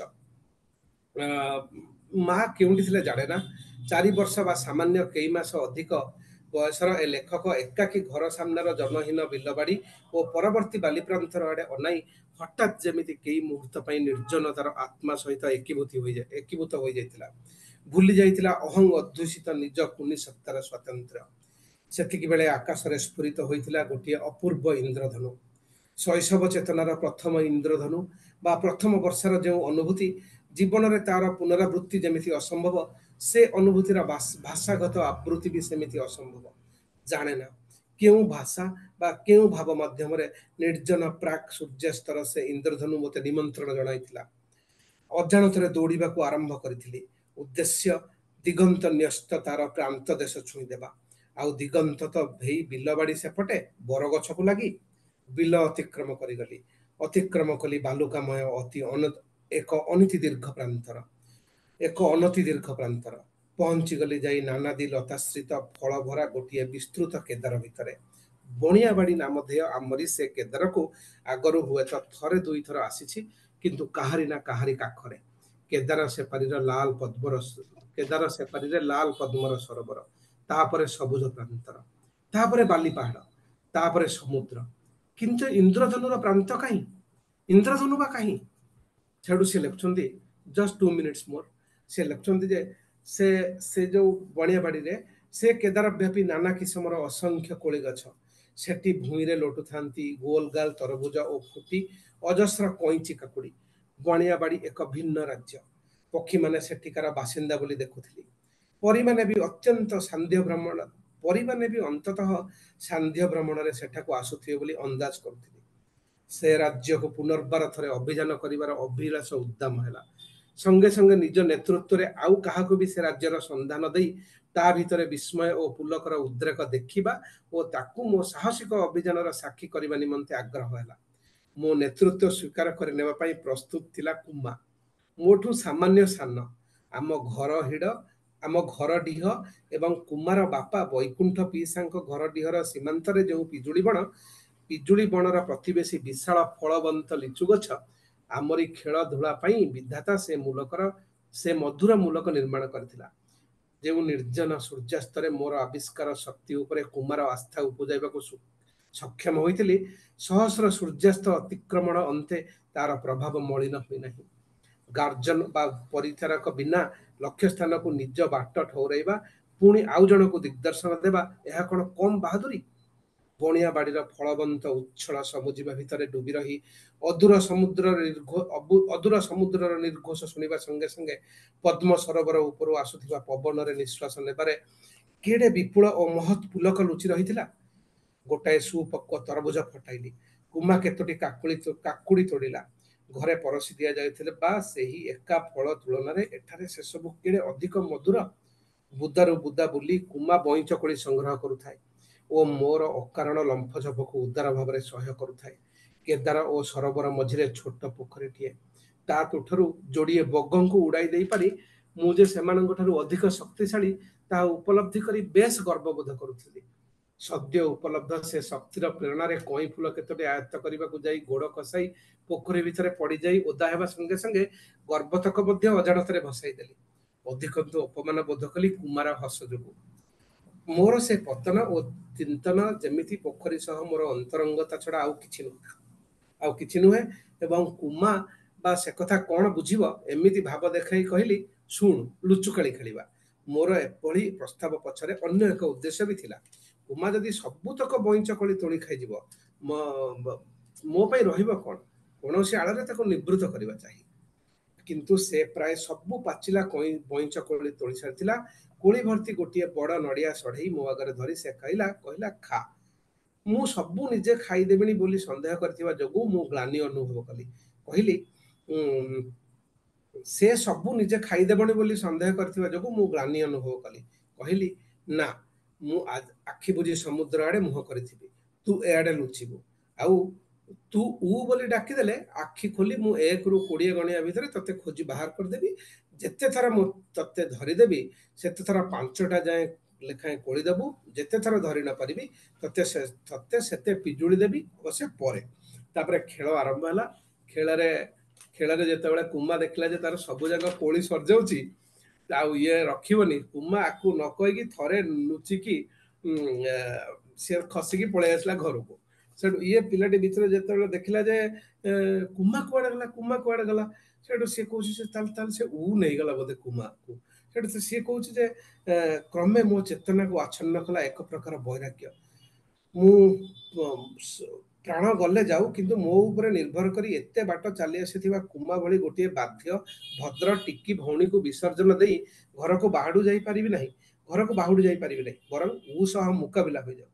ମା କେଉଁଠି ଥିଲେ ଜାଣେ ନା। ଚାରି ବର୍ଷ ବା ସାମାନ୍ୟ କେଇ ମାସ ଅଧିକ ବୟସର ଏ ଲେଖକ ଏକାକୀ ଘର ସାମ୍ନାର ଜନହୀନ ବିଲବାଡ଼ି ଓ ପରବର୍ତ୍ତୀ ବାଲିପ୍ରାନ୍ତର ଆଡ଼େ ଅନାଇ ହଠାତ୍ ଯେମିତି କେଇ ମୁହୂର୍ତ୍ତ ପାଇଁ ନିର୍ଜନତାର ଆତ୍ମା ସହିତ ଏକୀଭୂତ ହୋଇଯାଏ ଏକୀଭୂତ ହୋଇଯାଇଥିଲା। ଭୁଲି ଯାଇଥିଲା ଅହଂ ଅଧ୍ୟୁଷିତ ନିଜ କୁନି ସତ୍ତାର ସ୍ୱାତନ୍ତ୍ର୍ୟ। ସେତିକି ବେଳେ ଆକାଶରେ ସ୍ଫୁରିତ ହୋଇଥିଲା ଗୋଟିଏ ଅପୂର୍ବ ଇନ୍ଦ୍ରଧନୁ। ଶୈଶବ ଚେତନାର ପ୍ରଥମ ଇନ୍ଦ୍ରଧନୁ ବା ପ୍ରଥମ ବର୍ଷାର ଯେଉଁ ଅନୁଭୂତି, ଜୀବନରେ ତାର ପୁନରାବୃତ୍ତି ଯେମିତି ଅସମ୍ଭବ, ସେ ଅନୁଭୂତିର ଭାଷାଗତ ଆବୃତ୍ତି ବି ସେମିତି ଅସମ୍ଭବ। ଜାଣେ ନା କେଉଁ ଭାଷା ବା କେଉଁ ଭାବ ମାଧ୍ୟମରେ ନିର୍ଜନ ପ୍ରାକ୍ ସୂର୍ଯ୍ୟାସ୍ତର ସେ ଇନ୍ଦ୍ରଧନୁ ମୋତେ ନିମନ୍ତ୍ରଣ ଜଣାଇଥିଲା। ଅଜାଣତରେ ଦୌଡ଼ିବାକୁ ଆରମ୍ଭ କରିଥିଲି। ଉଦ୍ଦେଶ୍ୟ ଦିଗନ୍ତ ନ୍ୟସ୍ତ ତାର ପ୍ରାନ୍ତ ଦେଶ ଛୁଇଁଦେବା। ଆଉ ଦିଗନ୍ତ ତ ଭେଇ ବିଲବାଡ଼ି ସେପଟେ ବରଗଛକୁ ଲାଗି। ବିଲ ଅତିକ୍ରମ କରିଗଲି। ଅତିକ୍ରମ କଲି ବାଲୁକାମୟ ଅତି ଏକ ଅନତି ଦୀର୍ଘ ପ୍ରାନ୍ତର, ଏକ ଅନତି ଦୀର୍ଘ ପ୍ରାନ୍ତର। ପହଞ୍ଚିଗଲି ଯାଇ ନାନାଦି ଲତାଶ୍ରିତ ଫଳଭରା ଗୋଟିଏ ବିସ୍ତୃତ କେଦାର ଭିତରେ। ବଣିଆବାଡ଼ି ନାମଧେୟ ଆମରି ସେ କେଦାରକୁ ଆଗରୁ ହୁଏତ ଥରେ ଦୁଇଥର ଆସିଛି, କିନ୍ତୁ କାହାରି ନା କାହାରି କାଖରେ। କେଦାର ସେପାରିର ଲାଲ ପଦ୍ମର କେଦାର ସେପାରିରେ ଲାଲ ପଦ୍ମର ସରୋବର, ତାପରେ ସବୁଜ ପ୍ରାନ୍ତର, ତାପରେ ବାଲି ପାହାଡ଼, ତାପରେ ସମୁଦ୍ର। କିନ୍ତୁ ଇନ୍ଦ୍ରଧନୁର ପ୍ରାନ୍ତ କାହିଁ? ଇନ୍ଦ୍ରଧନୁ ବା କାହିଁ? ସେଠୁ ସେ ଲେଖୁଛନ୍ତି, ଜଷ୍ଟ ଟୁ ମିନିଟ୍ସ ମୋର। ସେ ଲେଖୁଛନ୍ତି ଯେ ସେ ସେ ଯୋଉ ବଣିଆବାଡ଼ିରେ ସେ କେଦାରବ୍ୟାପୀ ନାନା କିସମର ଅସଂଖ୍ୟ କୋଳି ଗଛ। ସେଠି ଭୂଇଁରେ ଲୋଟୁଥାନ୍ତି ଗୋଲ ଗାଲ ତରଭୁଜ ଓ ଫୁଟି ଅଜସ୍ର କଇଁଚି କାକୁଡ଼ି। ବଣିଆବାଡ଼ି ଏକ ଭିନ୍ନ ରାଜ୍ୟ। ପକ୍ଷୀମାନେ ସେଠିକାର ବାସିନ୍ଦା ବୋଲି ଦେଖୁଥିଲି। ପରୀମାନେ ବି ଅତ୍ୟନ୍ତ ସାନ୍ଧ୍ୟ ଭ୍ରମଣ ପରୀମାନେ ବି ଅନ୍ତତଃ ସାନ୍ଧ୍ୟ ଭ୍ରମଣରେ ସେଠାକୁ ଆସୁଥିବେ ବୋଲି ଅନ୍ଦାଜ କରୁଥିଲି। ସେ ରାଜ୍ୟକୁ ପୁନର୍ବାର ଥରେ ଅଭିଯାନ କରିବାର ଅଭିଳାଷ ଉଦ୍ଦାମ ହେଲା। ସଙ୍ଗେ ସଙ୍ଗେ ନିଜ ନେତୃତ୍ୱରେ ଆଉ କାହାକୁ ବି ସେ ରାଜ୍ୟର ସନ୍ଧାନ ଦେଇ ତା ଭିତରେ ବିସ୍ମୟ ଓ ପୁଲକର ଉଦ୍ରେକ ଦେଖିବା ଓ ତାକୁ ମୋ ସାହସିକ ଅଭିଯାନର ସାକ୍ଷୀ କରିବା ନିମନ୍ତେ ଆଗ୍ରହ ହେଲା। ମୋ ନେତୃତ୍ୱ ସ୍ୱୀକାର କରି ନେବା ପାଇଁ ପ୍ରସ୍ତୁତ ଥିଲା କୁମା, ମୋଠୁ ସାମାନ୍ୟ ସାନ। ଆମ ଘର ହିଡ଼ ଆମ ଘର ଡିହ ଏବଂ କୁମାର ବାପା ବୈକୁଣ୍ଠ ପିଇସାଙ୍କ ଘର ଡିହର ସୀମାନ୍ତରେ ଯେଉଁ ପିଜୁଳି ବଣ, ପିଜୁଳି ବଣର ପ୍ରତିବେଶୀ ବିଶାଳ ଫଳବନ୍ତ ଲିଚୁ ଗଛ, ଆମରି ଖେଳ ଧୂଳା ପାଇଁ ବିଧାତା ସେ ମୂଲକର ସେ ମଧୁର ମୂଲକ ନିର୍ମାଣ କରିଥିଲା। ଯେଉଁ ନିର୍ଜନ ସୂର୍ଯ୍ୟାସ୍ତରେ ମୋର ଆବିଷ୍କାର ଶକ୍ତି ଉପରେ କୁମାର ଆସ୍ଥା ଉପୁଜାଇବାକୁ ସକ୍ଷମ ହୋଇଥିଲି, ସହସ୍ର ସୂର୍ଯ୍ୟାସ୍ତ ଅତିକ୍ରମଣ ଅନ୍ତେ ତାର ପ୍ରଭାବ ମଳିନ ହୋଇନାହିଁ। ଗାର୍ଜନ ବା ପରିଚାରକ ବିନା ଲକ୍ଷ୍ୟ ସ୍ଥାନକୁ ନିଜ ବାଟ ଠଉରାଇବା, ପୁଣି ଆଉ ଜଣକୁ ଦିଗ୍ଦର୍ଶନ ଦେବା, ଏହା କଣ କମ୍ ବାହାଦୁରୀ? ବଣିଆ ବାଡ଼ିର ଫଳବନ୍ତ ଉଚ୍ଛଳ ସବୁଜିବା ଭିତରେ ଡୁବି ରହି ଅଦୂର ସମୁଦ୍ରର ଅଦୂର ସମୁଦ୍ରର ନିର୍ଘୋଷ ଶୁଣିବା ସଙ୍ଗେ ସଙ୍ଗେ ପଦ୍ମ ସରୋବର ଉପରୁ ଆସୁଥିବା ପବନରେ ନିଶ୍ୱାସ ନେବାରେ କେଡ଼େ ବିପୁଳ ଓ ମହତ୍ ପୁଲକ ଲୁଚି ରହିଥିଲା। ଗୋଟାଏ ସୁପକ୍ୱ ତରଭୁଜ ଫଟାଇଲି। କୁମା କେତୋଟି କାକୁଳି କାକୁଡ଼ି ତୋଡ଼ିଲା। ଘରେ ପରସି ଦିଆଯାଇଥିଲେ ବା ସେହି ଏକା ଫଳ ତୁଳନାରେ ଏଠାରେ ସେସବୁ କେଡ଼େ ଅଧିକ ମଧୁର। ବୁଦାରୁ ବୁଦା ବୁଲି କୁମା ବଇଁଚ କୋଳି ସଂଗ୍ରହ କରୁଥାଏ ଓ ମୋର ଅକାରଣ ଲମ୍ଫଝପକୁ ଉଦାର ଭାବରେ ସହ୍ୟ କରୁଥାଏ। କେଦାର ଓ ସରୋବର ମଝିରେ ଛୋଟ ପୋଖରୀଟିଏ। ତା ତୁଠରୁ ଯୋଡ଼ିଏ ବଗଙ୍କୁ ଉଡ଼ାଇ ଦେଇପାରି ମୁଁ ଯେ ସେମାନଙ୍କ ଠାରୁ ଅଧିକ ଶକ୍ତିଶାଳୀ ତାହା ଉପଲବ୍ଧି କରି ବେଶ ଗର୍ବବୋଧ କରୁଥିଲି। ସଦ୍ୟ ଉପଲବ୍ଧ ସେ ଶକ୍ତିର ପ୍ରେରଣାରେ କଇଁ ଫୁଲ କେତୋଟି ଆୟତ୍ତ କରିବାକୁ ଯାଇ ଗୋଡ଼ ଖସାଇ ପୋଖରୀ ଭିତରେ ପଡ଼ିଯାଇ ଓଦା ହେବା ସଙ୍ଗେ ସଙ୍ଗେ ଗର୍ବତକ ମଧ୍ୟ ଅଜାଣତରେ ଭସାଇ ଦେଲି। ଅଧିକନ୍ତୁ ଅପମାନ ବୋଧ କଲି କୁମାର ହସ ଯୋଗୁଁ। ମୋର ସେ ପତନ ଓ ଚିନ୍ତନ ଯେମିତି ପୋଖରୀ ସହ ମୋର ଅନ୍ତରଙ୍ଗତା ଛଡ଼ା ଆଉ କିଛି ନୁହେଁ ଆଉ କିଛି ନୁହେଁ ଏବଂ କୁମା ବା ସେ କଥା କଣ ବୁଝିବ ଏମିତି ଭାବ ଦେଖାଇ କହିଲି, ଶୁଣୁ, ଲୁଚୁକାଳି ଖେଳିବା। ମୋର ଏଭଳି ପ୍ରସ୍ତାବ ପଛରେ ଅନ୍ୟ ଏକ ଉଦ୍ଦେଶ୍ୟ ବି ଥିଲା। କୁମା ଯଦି ସବୁତକ ବଇଁଚ କୋଳି ତୋଳି ଖାଇଯିବ, ମୋ ପାଇଁ ରହିବ କଣ? କୌଣସି ଆଳରେ ତାକୁ ନିବୃତ୍ତ କରିବା ଚାହିଁ। କିନ୍ତୁ ସେ ପ୍ରାୟ ସବୁ ପାଚିଲା କଇଁ ବଇଁଚ କୋଳି ତୋଳି ସାରିଥିଲା। କୋଳି ଭର୍ତ୍ତି ଗୋଟିଏ ବଡ଼ ନଡ଼ିଆ ସଢ଼େଇ ମୋ ଆଗରେ ଧରି ସେ କହିଲା କହିଲା ଖା। ମୁଁ ସବୁ ନିଜେ ଖାଇଦେବିନି ବୋଲି ସନ୍ଦେହ କରିଥିବା ଯୋଗୁଁ ମୁଁ ଗ୍ଲାନି ଅନୁଭବ କଲି। କହିଲି, ସେ ସବୁ ନିଜେ ଖାଇଦେବଣି ବୋଲି ସନ୍ଦେହ କରିଥିବା ଯୋଗୁଁ ମୁଁ ଗ୍ଲାନି ଅନୁଭବ କଲି। କହିଲି, ନା, ମୁଁ ଆଖି ବୁଜି ସମୁଦ୍ର ଆଡ଼େ ମୁହଁ କରିଥିବି, ତୁ ଏଆଡ଼େ ଲୁଚିବୁ। ଆଉ ତୁ ଉ ବୋଲି ଡାକିଦେଲେ ଆଖି ଖୋଲି ମୁଁ ଏକରୁ କୋଡ଼ିଏ ଗଣିବା ଭିତରେ ତତେ ଖୋଜି ବାହାର କରିଦେବି। ଯେତେ ଥର ମୁଁ ତତେ ଧରିଦେବି ସେତେ ଥର ପାଞ୍ଚଟା ଯାଏଁ ଲେଖାଏଁ କୋଳି ଦେବୁ। ଯେତେ ଥର ଧରି ନ ପାରିବି ତତେ ତତେ ସେତେ ପିଜୁଳି ଦେବି, ଅବଶ୍ୟ ପରେ। ତାପରେ ଖେଳ ଆରମ୍ଭ ହେଲା। ଖେଳରେ ଖେଳରେ ଯେତେବେଳେ କୁମା ଦେଖିଲା ଯେ ତାର ସବୁ ଯାକ କୋଳି ସରିଯାଉଛି ଆଉ ଇଏ ରଖିବନି, କୁମା ଆକୁ ନ କହିକି ଥରେ ଲୁଚିକି ସିଏ ଖସିକି ପଳେଇ ଆସିଲା ଘରକୁ। ସେଠୁ ଇଏ ପିଲାଟି ଭିତରେ ଯେତେବେଳେ ଦେଖିଲା ଯେ କୁମା କୁଆଡ଼େ ଗଲା, କୁମା କୁଆଡ଼େ ଗଲା, ସେଠୁ ସିଏ କହୁଛି ସେ ତାହେଲେ ତାହେଲେ ସେ ଉ ନେଇଗଲା ବୋଧେ କୁମାକୁ। ସେଠୁ ସିଏ କହୁଛି ଯେ କ୍ରମେ ମୋ ଚେତନାକୁ ଆଚ୍ଛନ୍ନ କଲା ଏକ ପ୍ରକାର ବୈରାଗ୍ୟ। ମୁଁ ପ୍ରାଣ ଗଲେ ଯାଉ, କିନ୍ତୁ ମୋ ଉପରେ ନିର୍ଭର କରି ଏତେ ବାଟ ଚାଲି ଆସିଥିବା କୁମା ଭଳି ଗୋଟିଏ ବାଧ୍ୟ ଭଦ୍ର ଟିକି ଭଉଣୀକୁ ବିସର୍ଜନ ଦେଇ ଘରକୁ ବାହାଡୁ ଯାଇପାରିବି ନାହିଁ, ଘରକୁ ବାହୁଡି ଯାଇପାରିବି ନାହିଁ, ବରଂ ଉ ସହ ମୁକାବିଲା ହୋଇଯାଉ।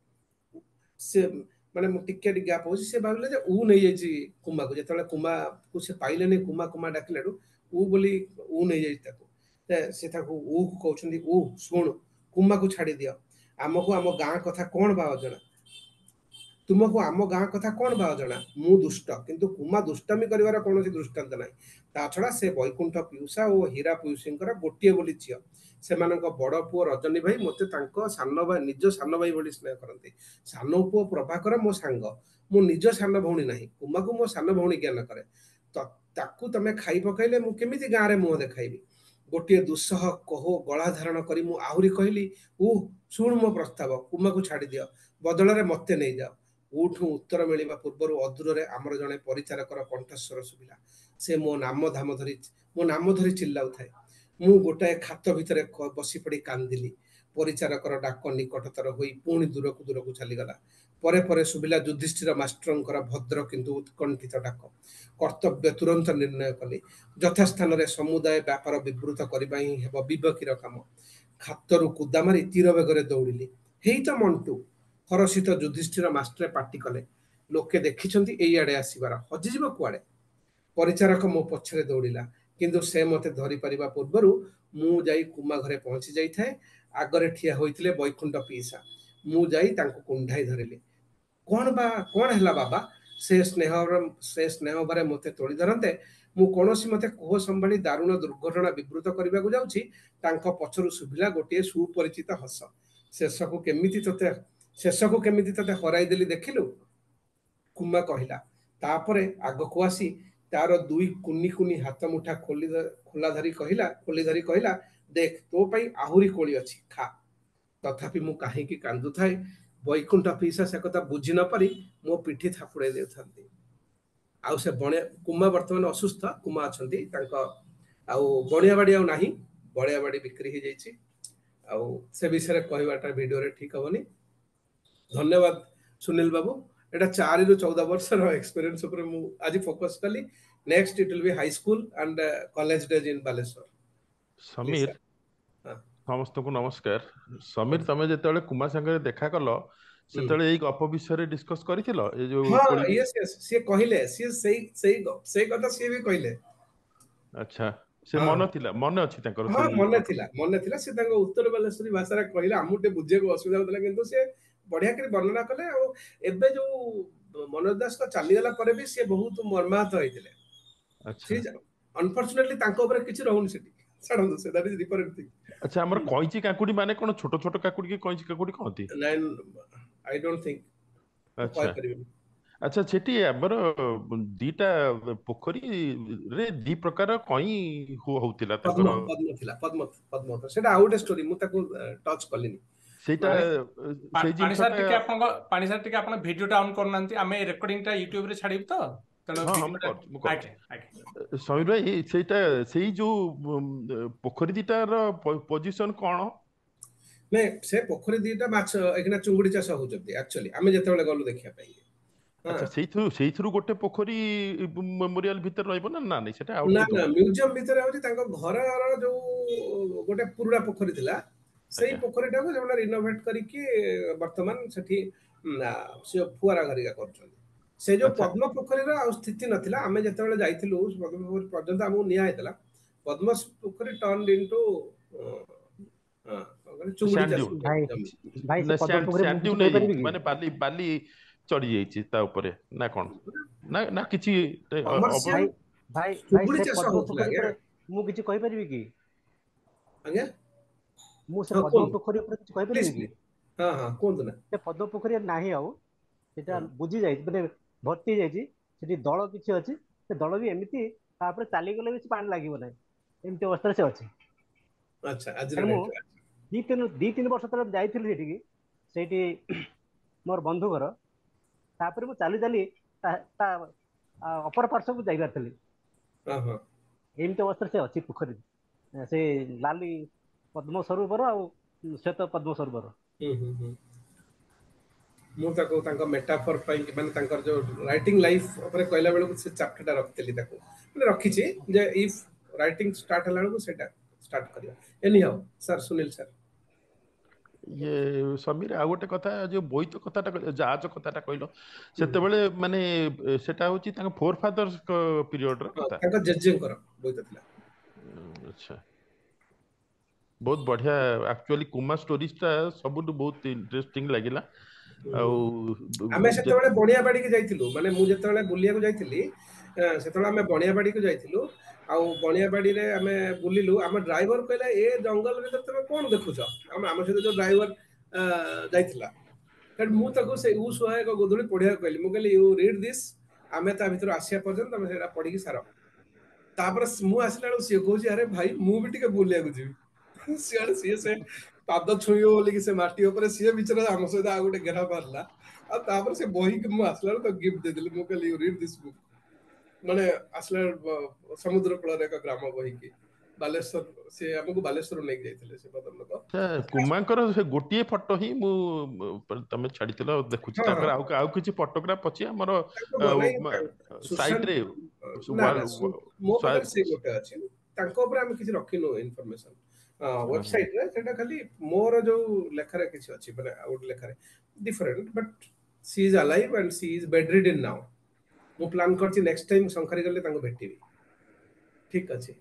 ସେ ମାନେ ମୁଁ ଟିକେ ଟିକେ ଗ୍ୟାପ୍ ହଉଛି। ସେ ଭାବିଲେ ଯେ ଉ ନେଇଯାଇଛି କୁମାକୁ। ଯେତେବେଳେ କୁମାକୁ ସେ ପାଇଲେନି, କୁମା କୁମା ଡାକିଲାଠୁ ଉ ବୋଲି ଉ ନେଇଯାଇଛି ତାକୁ। ସେ ତାକୁ ଉ କହୁଛନ୍ତି, ଉ ଶୁଣୁ, କୁମାକୁ ଛାଡି ଦିଅ। ଆମକୁ ଆମ ଗାଁ କଥା କଣ ବା ଅଜଣା? ତୁମକୁ ଆମ ଗାଁ କଥା କଣ ବା ଅଜଣା? ମୁଁ ଦୁଷ୍ଟ, କିନ୍ତୁ କୁମା ଦୁଷ୍ଟାମି କରିବାର କୌଣସି ଦୃଷ୍ଟାନ୍ତ ନାହିଁ। ତା ଛଡା ସେ ବୈକୁଣ୍ଠ ପିଉସା ଓ ହୀରା ପିଉସୀଙ୍କର ଗୋଟିଏ ବୋଲି ଝିଅ। ସେମାନଙ୍କ ବଡ ପୁଅ ରଜନୀ ଭାଇ ମୋତେ ତାଙ୍କ ସାନ ଭାଇ, ନିଜ ସାନ ଭାଇ ଭଳି ସ୍ନେହ କରନ୍ତି। ସାନ ପୁଅ ପ୍ରଭାକର ମୋ ସାଙ୍ଗ। ମୁଁ ନିଜ ସାନ ଭଉଣୀ ନାହିଁ, କୁମାକୁ ମୋ ସାନ ଭଉଣୀ ଜ୍ଞାନ କରେ। ତାକୁ ତମେ ଖାଇ ପକାଇଲେ ମୁଁ କେମିତି ଗାଁରେ ମୁହଁ ଦେଖାଇବି? ଗୋଟିଏ ଦୁଃସହ କହ ଗଳା ଧାରଣ କରି ମୁଁ ଆହୁରି କହିଲି, ଉ ଶୁଣୁ ମୋ ପ୍ରସ୍ତାବ, କୁମାକୁ ଛାଡିଦିଅ, ବଦଳରେ ମତେ ନେଇଯାଅ। ଉଠୁ ଉତ୍ତର ମିଳିବା ପୂର୍ବରୁ ଅଦୂରରେ ଆମର ଜଣେ ପରିଚାରକର କଣ୍ଠସ୍ୱର ଶୁଭିଲା। ସେ ମୋ ନାମ ଧାମ ଧରି ମୋ ନାମ ଧରି ଚିଲ୍ଲାଉଥାଏ। ମୁଁ ଗୋଟାଏ ଖାତ ଭିତରେ ବସି ପଡି କାନ୍ଦିଲି। ପରିଚାରକର ଡାକ ନିକଟତର ହୋଇ ପୁଣି ଦୂରକୁ ଦୂରକୁ ଚାଲିଗଲା। ପରେ ପରେ ଶୁଭିଲା ଯୁଧିଷ୍ଠିର ମାଷ୍ଟରଙ୍କର ଭଦ୍ର କିନ୍ତୁ ଉତ୍କଣ୍ଠିତ ଡାକ। କର୍ତ୍ତବ୍ୟ ତୁରନ୍ତ ନିର୍ଣ୍ଣୟ କଲି। ଯଥାସ୍ଥାନରେ ସମୁଦାୟ ବ୍ୟାପାର ବିବୃତ କରିବା ହିଁ ହେବ ବିବେକୀର କାମ। ଖାତରୁ କୁଦା ମାରି ତୀର ବେଗରେ ଦୌଡ଼ିଲି। ହେଇ ତ ମଣ୍ଟୁ! ହରଷିତ ଯୁଧିଷ୍ଠିର ମାଷ୍ଟରେ ପାଟି କଲେ, ଲୋକେ ଦେଖିଛନ୍ତି ଏଇଆଡେ ଆସିବାର, ହଜିଯିବ କୁଆଡେ? ପରିଚାରକ ମୋ ପଛରେ ଦୌଡ଼ିଲା, କିନ୍ତୁ ସେ ମତେ ଧରିପାରିବା ପୂର୍ବରୁ ମୁଁ ଯାଇ କୁମା ଘରେ ପହଞ୍ଚି ଯାଇଥାଏ। ଆଗରେ ଠିଆ ହୋଇଥିଲେ ବୈକୁଣ୍ଠ ପିଇସା। ମୁଁ ଯାଇ ତାଙ୍କୁ କୁଣ୍ଢାଇ ଧରିଲି। କଣ ବା କଣ ହେଲା ବାବା? ସେ ସ୍ନେହ ସେ ସ୍ନେହ ଭରେ ମୋତେ ତୋଳି ଧରନ୍ତେ ମୁଁ କୌଣସି ମତେ କୋହ ସମ୍ଭାଳି ଦାରୁଣ ଦୁର୍ଘଟଣା ବିବୃତ କରିବାକୁ ଯାଉଛି, ତାଙ୍କ ପଛରୁ ଶୁଭିଲା ଗୋଟିଏ ସୁପରିଚିତ ହସ। ଶେଷକୁ କେମିତି ତୋତେ ଶେଷକୁ କେମିତି ତୋତେ ହରାଇଦେଲି ଦେଖିଲୁ, କୁମା କହିଲା। ତାପରେ ଆଗକୁ ଆସି ତାର ଦୁଇ କୁନି କୁନି ହାତ ମୁଠା ଖୋଲି ଖୋଲା ଧରି କହିଲା ଖୋଲି ଧରି କହିଲା, ଦେଖ ତୋ ପାଇଁ ଆହୁରି କୋଳି ଅଛି, ଖା। ତଥାପି ମୁଁ କାହିଁକି କାନ୍ଦୁଥାଏ ବୈକୁଣ୍ଠ ପିଇସା ସେ କଥା ବୁଝି ନ ପାରି ମୋ ପିଠି ଥାପୁଡ଼େଇ ଦେଉଥାନ୍ତି। ଆଉ ସେ ବଣିଆ କୁମା ବର୍ତ୍ତମାନ ଅସୁସ୍ଥ, କୁମା ଅଛନ୍ତି ତାଙ୍କ ଆଉ ବଣିଆ ବାଡି ଆଉ ନାହିଁ, ବଣିଆ ବାଡି ବିକ୍ରି ହେଇଯାଇଛି। ଆଉ ସେ ବିଷୟରେ କହିବାଟା ଭିଡିଓରେ ଠିକ ହବନି। ଧନ୍ୟବାଦ ସୁନୀଲ ବାବୁ। ଏଇଟା ଚାରିରୁ ଚଉଦ ବର୍ଷର ଏକ୍ସପିରିଏନ୍ସ ଉପରେ ମୁଁ ଆଜି ଫୋକସ କଲି। Next it will be high school and college days in Baleswar. Samir, ସମସ୍ତଙ୍କୁ ନମସ୍କାର। ସମୀର, ତମେ ଯେତେବେଳେ କୁମା ସାଙ୍ଗରେ ଦେଖା କଲ ସେତେବେଳେ ଏଇ ଗପ ବିଷୟରେ ଡିସ୍କସ କରିଥିଲ? ଏ ଯୋଉ ହଁ, ୟେସ୍ ୟେସ୍, ସିଏ କହିଲେ, ସିଏ ସେଇ ସେଇ ସେଇ କଥା ସିଏ ବି କହିଲେ। ଆଚ୍ଛା, ସେ ମନ ଥିଲା, ମନେ ଅଛି ତାଙ୍କର? ହଁ, ମନେ ଥିଲା, ମନେ ଥିଲା। ସେ ତାଙ୍କ ଉତ୍ତର ବାଲେଶ୍ୱରୀ ଭାଷାରେ କହିଲେ, ଆମକୁ ଟିକେ ବୁଝିବାକୁ ଅସୁବିଧା ହଉଥିଲା, କିନ୍ତୁ ସେ ବଢିଆ କରି ବର୍ଣ୍ଣନା କଲେ। ଆଉ ଏବେ ଯୋଉ ମନୋଜ ଦାସଙ୍କ ଚାଲିଗଲା ପରେ ବି ସିଏ ବହୁତ ମର୍ମାହତ ହେଇଥିଲେ। ଅନଫର୍ଚୁନେଟଲି ତାଙ୍କ ଉପରେ କିଛି ରହୁନି ସେଠି, ଛାଡ଼ନ୍ତୁ ସେ, that is different thing. ଆଚ୍ଛା, ଆମର କଇଁଚି କାକୁଡି ମାନେ କଣ ଛୋଟ ଛୋଟ କାକୁଡି କି କଇଁଚି କାକୁଡି କହନ୍ତି? ନାଇଁ, I don't think. ଆଚ୍ଛା ଆଚ୍ଛା, ସେଠି ଆମର ଦିଟା ପୋଖରୀରେ ଦି ପ୍ରକାର କଇଁ ହଉଥିଲା ତାଙ୍କର। ପଦ୍ମ ଥିଲା, ପଦ୍ମ ପଦ୍ମ ସେଟା ଆଉ ଗୋଟେ ଷ୍ଟୋରି, ମୁଁ ତାକୁ ଟଚ୍ କଲିନି। ସେଇଟା ସେଇ ପାଣି ସାର୍ ଟିକେ ଆପଣଙ୍କ ପାଣି ସାର୍ ଟିକେ ଆପଣ ଭିଡିଓଟା ଅନ୍ କରୁନାହାନ୍ତି, ଆମେ ରେକର୍ଡିଂ ଟା ୟୁଟ୍ୟୁବ ରେ ଛାଡିବୁ ତ। ସମୀର ଭାଇ, ସେଇଟା ସେଇ ଯୋଉ ପୋଖରୀ ଦିଟାର ପୋଜିସନ କଣ? ନାଇଁ, ସେ ପୋଖରୀ ଦିଟା ମାଛ ଏଇଖିନା ଚୁଙ୍ଗୁଡି ଚାଷ ହଉଛନ୍ତି। ଆକ୍ଚୁଆଲି ଆମେ ଯେତେବେଳେ ଗଲୁ ଦେଖିବା ପାଇଁ। ଆଚ୍ଛା, ସେଇଥିରୁ ସେଇଥିରୁ ଗୋଟେ ପୋଖରୀ ମେମୋରିଆଲ ଭିତରେ ରହିବ ନା? ନା ନାଇଁ, ସେଟା ନା ନା ମ୍ୟୁଜିୟମ ଭିତରେ ହଉଛି। ତାଙ୍କ ଘରର ଯୋଉ ଗୋଟେ ପୁରୁଣା ପୋଖରୀ ଥିଲା, ସେଇ ପୋଖରୀଟାକୁ ସେମାନେ ରିନୋଭେଟ କରିକି ବର୍ତ୍ତମାନ ସେଠି ସେ ଫୁଆରା ଘରିକା କରୁଛନ୍ତି। ସେ ଯୋଉ ପଦ୍ମ ପୋଖରୀର ଆଉ ସ୍ଥିତି ନଥିଲା। ଆମେ ଯେତେବେଳେ ଯାଇଥିଲୁ ପଦ୍ମ ପୋଖରୀ ପର୍ଯ୍ୟନ୍ତ ଆମକୁ ନିଆ ହେଇଥିଲା। ପଦ୍ମ ପୋଖରୀ ଟର୍ନ ଇନଟୁ ଚୁଙ୍ଗୁଡି ଚାଷ। ମାନେ ବାଲି ବାଲି ଚଢି ଯାଇଛି ତା ଉପରେ ନା କଣ? ନା ନା କିଛି ଭାଇ, ଚୁଙ୍ଗୁଡି ଚାଷ ହଉଥିଲା। ମୁଁ କିଛି କହିପାରିବି କି ଆଜ୍ଞା? ମୁଁ ସେ ପଦ୍ମ ପୋଖରୀ ଉପରେ କିଛି କହିପାରିବି କି? ହଁ ହଁ, କୁହନ୍ତୁ ନା। ସେ ପଦ୍ମ ପୋଖରୀ ନାହିଁ ଆଉ, ସେଟା ବୁଝି ଯାଇଛି, ମାନେ ଭର୍ତ୍ତି ହେଇଯାଇଛି। ସେଠି ଦଳ କିଛି ଅଛି, ସେ ଦଳ ବି ଏମିତି ତାପରେ ଚାଲିଗଲେ ବି ପାଣି ଲାଗିବ ନାହିଁ, ଏମିତି ଅବସ୍ଥାରେ ସେ ଅଛି। ଆଚ୍ଛା, ମୁଁ ଦି ତିନି ଦି ତିନି ବର୍ଷ ତଳେ ଯାଇଥିଲି ସେଠିକି, ସେଇଠି ମୋର ବନ୍ଧୁ ଘର। ତାପରେ ମୁଁ ଚାଲି ଚାଲି ତା ଅପର ପାର୍ଶ୍ୱକୁ ଯାଇପାରିଥିଲି। ଏମିତି ଅବସ୍ଥାରେ ସେ ଅଛି ପୋଖରୀ, ସେ ଲାଲି ପଦ୍ମ ସରୋବର ଆଉ ଶ୍ୱେତ ପଦ୍ମ ସରୋବର। ହୁଁ ହୁଁ ହୁଁ ମୁଁ ତାକୁ ତାଙ୍କ ମେଟାଫର ପାଇଁ, ମାନେ ତାଙ୍କର ଯୋଉ ରାଇଟିଂ ଲାଇଫ ଉପରେ କହିଲା ବେଳକୁ ସେ ଚାପ୍ଟରଟା ରଖିଥିଲି, ତାକୁ ମାନେ ରଖିଛି ଯେ if writing start ହେଲା ବେଳକୁ ସେଇଟା ଷ୍ଟାର୍ଟ କରିବା। ଏନି ହାଉ ସାର୍, ସୁନୀଲ ସାର୍। ଇଏ ସମୀର, ଆଉ ଗୋଟେ କଥା, ଯୋଉ ବୋଇତ କଥାଟା କହିଲ, ଜାହାଜ କଥାଟା କହିଲ, ସେତେବେଳେ ମାନେ ସେଟା ହଉଛି ତାଙ୍କ ଫୋର ଫାଦର୍ସ ପିରିୟଡର କଥା। ତାଙ୍କ ଜେଜେଙ୍କର ବୋଇତ ଥିଲା। ଆଚ୍ଛା, ବହୁତ ବଢିଆ। ଆକ୍ଚୁଆଲି କୁମା ଷ୍ଟୋରିଜ ଟା ସବୁଠୁ ବହୁତ ଇଣ୍ଟରେଷ୍ଟିଂ ଲାଗିଲା। ଆଉ ଆମେ ସେତେବେଳେ ବଣିଆବାଡିକି ଯାଇଥିଲୁ, ମାନେ ମୁଁ ଯେତେବେଳେ ବୁଲିବାକୁ ଯାଇଥିଲି ସେତେବେଳେ ଆମେ ବଣିଆବାଡିକୁ ଯାଇଥିଲୁ। ଆଉ ବଣିଆବାଡିରେ ଆମେ ବୁଲିଲୁ। ଆମ ଡ୍ରାଇଭର କହିଲା, ଏ ଜଙ୍ଗଲ ଭିତରେ ତମେ କଣ ଦେଖୁଛ? ଆମ ଆମ ସହିତ ଯୋଉ ଡ୍ରାଇଭର ଯାଇଥିଲା, ମୁଁ ତାକୁ ସେ ଉ ସହାୟକ ଗୋଧୂଳି ପଢିବାକୁ କହିଲି। ମୁଁ କହିଲି, you read this, ଆମେ ତା ଭିତରୁ ଆସିବା ପର୍ଯ୍ୟନ୍ତ ତମେ ସେଇଟା ପଢିକି ସାର। ତାପରେ ମୁଁ ଆସିଲା ବେଳକୁ ସିଏ କହୁଛି, ଆରେ ଭାଇ, ମୁଁ ବି ଟିକେ ବୁଲିବାକୁ ଯିବି ସିଆଡେ। ସିଏ ସେ ପାଦ ଛୁଇଁବ ବୋଲିକି ସେ ମାଟି ଉପରେ ସିଏ ବିଚରା ଆମ ସହିତ ଆଉ ଗୋଟେ ଗେରା ମାରିଲା। ଆଉ ତାପରେ ସେ ବହିକି ମୁଁ ଆସିଲା ବେଳକୁ ତାକୁ ଗିଫ୍ଟ ଦେଇଦେଲି। ମୁଁ କହିଲି, you read this book. ମାନେ ଆସିଲା ସମୁଦ୍ର କୂଳରେ ଏକ ଗ୍ରାମ ବହିକି ବାଲେଶ୍ୱର, ସେ ଆମକୁ ବାଲେଶ୍ୱର ନେଇକି ଯାଇଥିଲେ ସେ ଭଦ୍ରଲୋକ। କୁମାଙ୍କର ସେ ଗୋଟିଏ ଫଟୋ ହିଁ ମୁଁ ତମେ ଛାଡିଥିଲ ଦେଖୁଛି, ତାଙ୍କର ଆଉ ଆଉ କିଛି ଫଟୋଗ୍ରାଫ ଅଛି ଆମର ସାଇଟରେ? ମୋ ପାଖରେ ସେ ଗୋଟେ ଅଛି, ତାଙ୍କ ଉପରେ ଆମେ କିଛି ରଖିନୁ ଇନଫରମେସନ ୱେବସାଇଟରେ। ସେଟା ଖାଲି ମୋର ଯୋଉ ଲେଖାରେ କିଛି ଅଛି, ମାନେ ଆଉ ଗୋଟେ ଲେଖାରେ different, but she is alive and she is bedridden now. ମୁଁ ପ୍ଲାନ୍ କରିଛି ନେକ୍ସଟ ଟାଇମ ଶଙ୍ଖାରି ଗଲେ ତାଙ୍କୁ ଭେଟିବି। ଠିକ ଅଛି।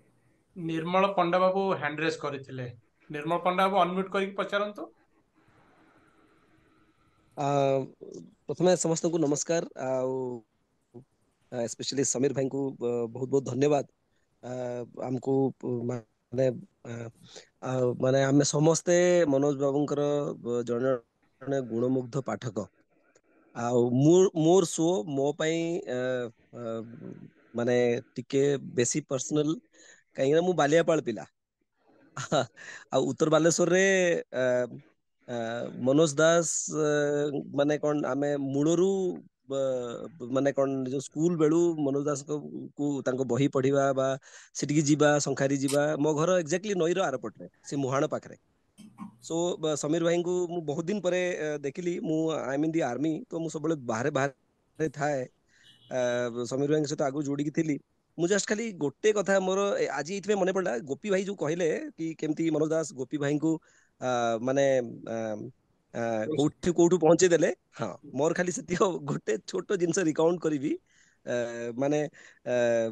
ନିର୍ମଳ ପଣ୍ଡା ବାବୁ ହ୍ୟାଣ୍ଡ ରେଜ୍ କରିଥିଲେ। ନିର୍ମଳ ପଣ୍ଡା ବାବୁ, ଅନମ୍ୟୁଟ କରିକି ପଚାରନ୍ତୁ। ପ୍ରଥମେ ସମସ୍ତଙ୍କୁ ନମସ୍କାର, ଆଉ ସ୍ପେଶାଲି ସମୀର ଭାଇଙ୍କୁ ବହୁତ ବହୁତ ଧନ୍ୟବାଦ। ଆମକୁ ମାନେ ମାନେ ଆମେ ସମସ୍ତେ ମନୋଜ ବାବୁଙ୍କର ଜଣେ ଜଣେ ଗୁଣମୁଗ୍ଧ ପାଠକ, ଆଉ ମୋର ସୋ ମୋ ପାଇଁ ମାନେ ଟିକେ ବେଶୀ ପର୍ସନାଲ, କାହିଁକିନା ମୁଁ ବାଲିଆପାଳ ପିଲା, ଆଉ ଉତ୍ତର ବାଲେଶ୍ୱରରେ ମନୋଜ ଦାସ ମାନେ କଣ ଆମେ ମୂଳରୁ ମାନେ କଣ ଯୋଉ ସ୍କୁଲ ବେଳୁ ମନୋଜ ଦାସଙ୍କୁ ତାଙ୍କ ବହି ପଢିବା ବା ସେଠିକି ଯିବା, ଶଙ୍ଖାରି ଯିବା। ମୋ ଘର ଏକ୍ଜାକ୍ଟଲି ନଈର ଆରପଟରେ, ସେ ମୁହାଣ ପାଖରେ। ସୋ ସମୀର ଭାଇଙ୍କୁ ମୁଁ ବହୁତ ଦିନ ପରେ ଦେଖିଲି। ମୁଁ I mean the army, ତ ମୁଁ ସବୁବେଳେ ବାହାରେ ବାହାରେ ଥାଏ। ସମୀର ଭାଇଙ୍କ ସହିତ ଆଗରୁ ଯୋଡ଼ିକି ଥିଲି। ମୁଁ ଜଷ୍ଟ ଖାଲି ଗୋଟେ କଥା ମୋର ଆଜି ଏଇଥିପାଇଁ ମନେ ପଡିଲା, ଗୋପୀ ଭାଇ ଯୋଉ କହିଲେ କି କେମିତି ମନୋଜ ଦାସ ଗୋପୀ ଭାଇଙ୍କୁ ମାନେ କୋଉଠି କୋଉଠୁ ପହଞ୍ଚେଇ ଦେଲେ। ହଁ, ମୋର ଖାଲି ସେତିକି ଗୋଟେ ଛୋଟ ଜିନିଷ ରିକାଉଣ୍ଟ କରିବି। ମାନେ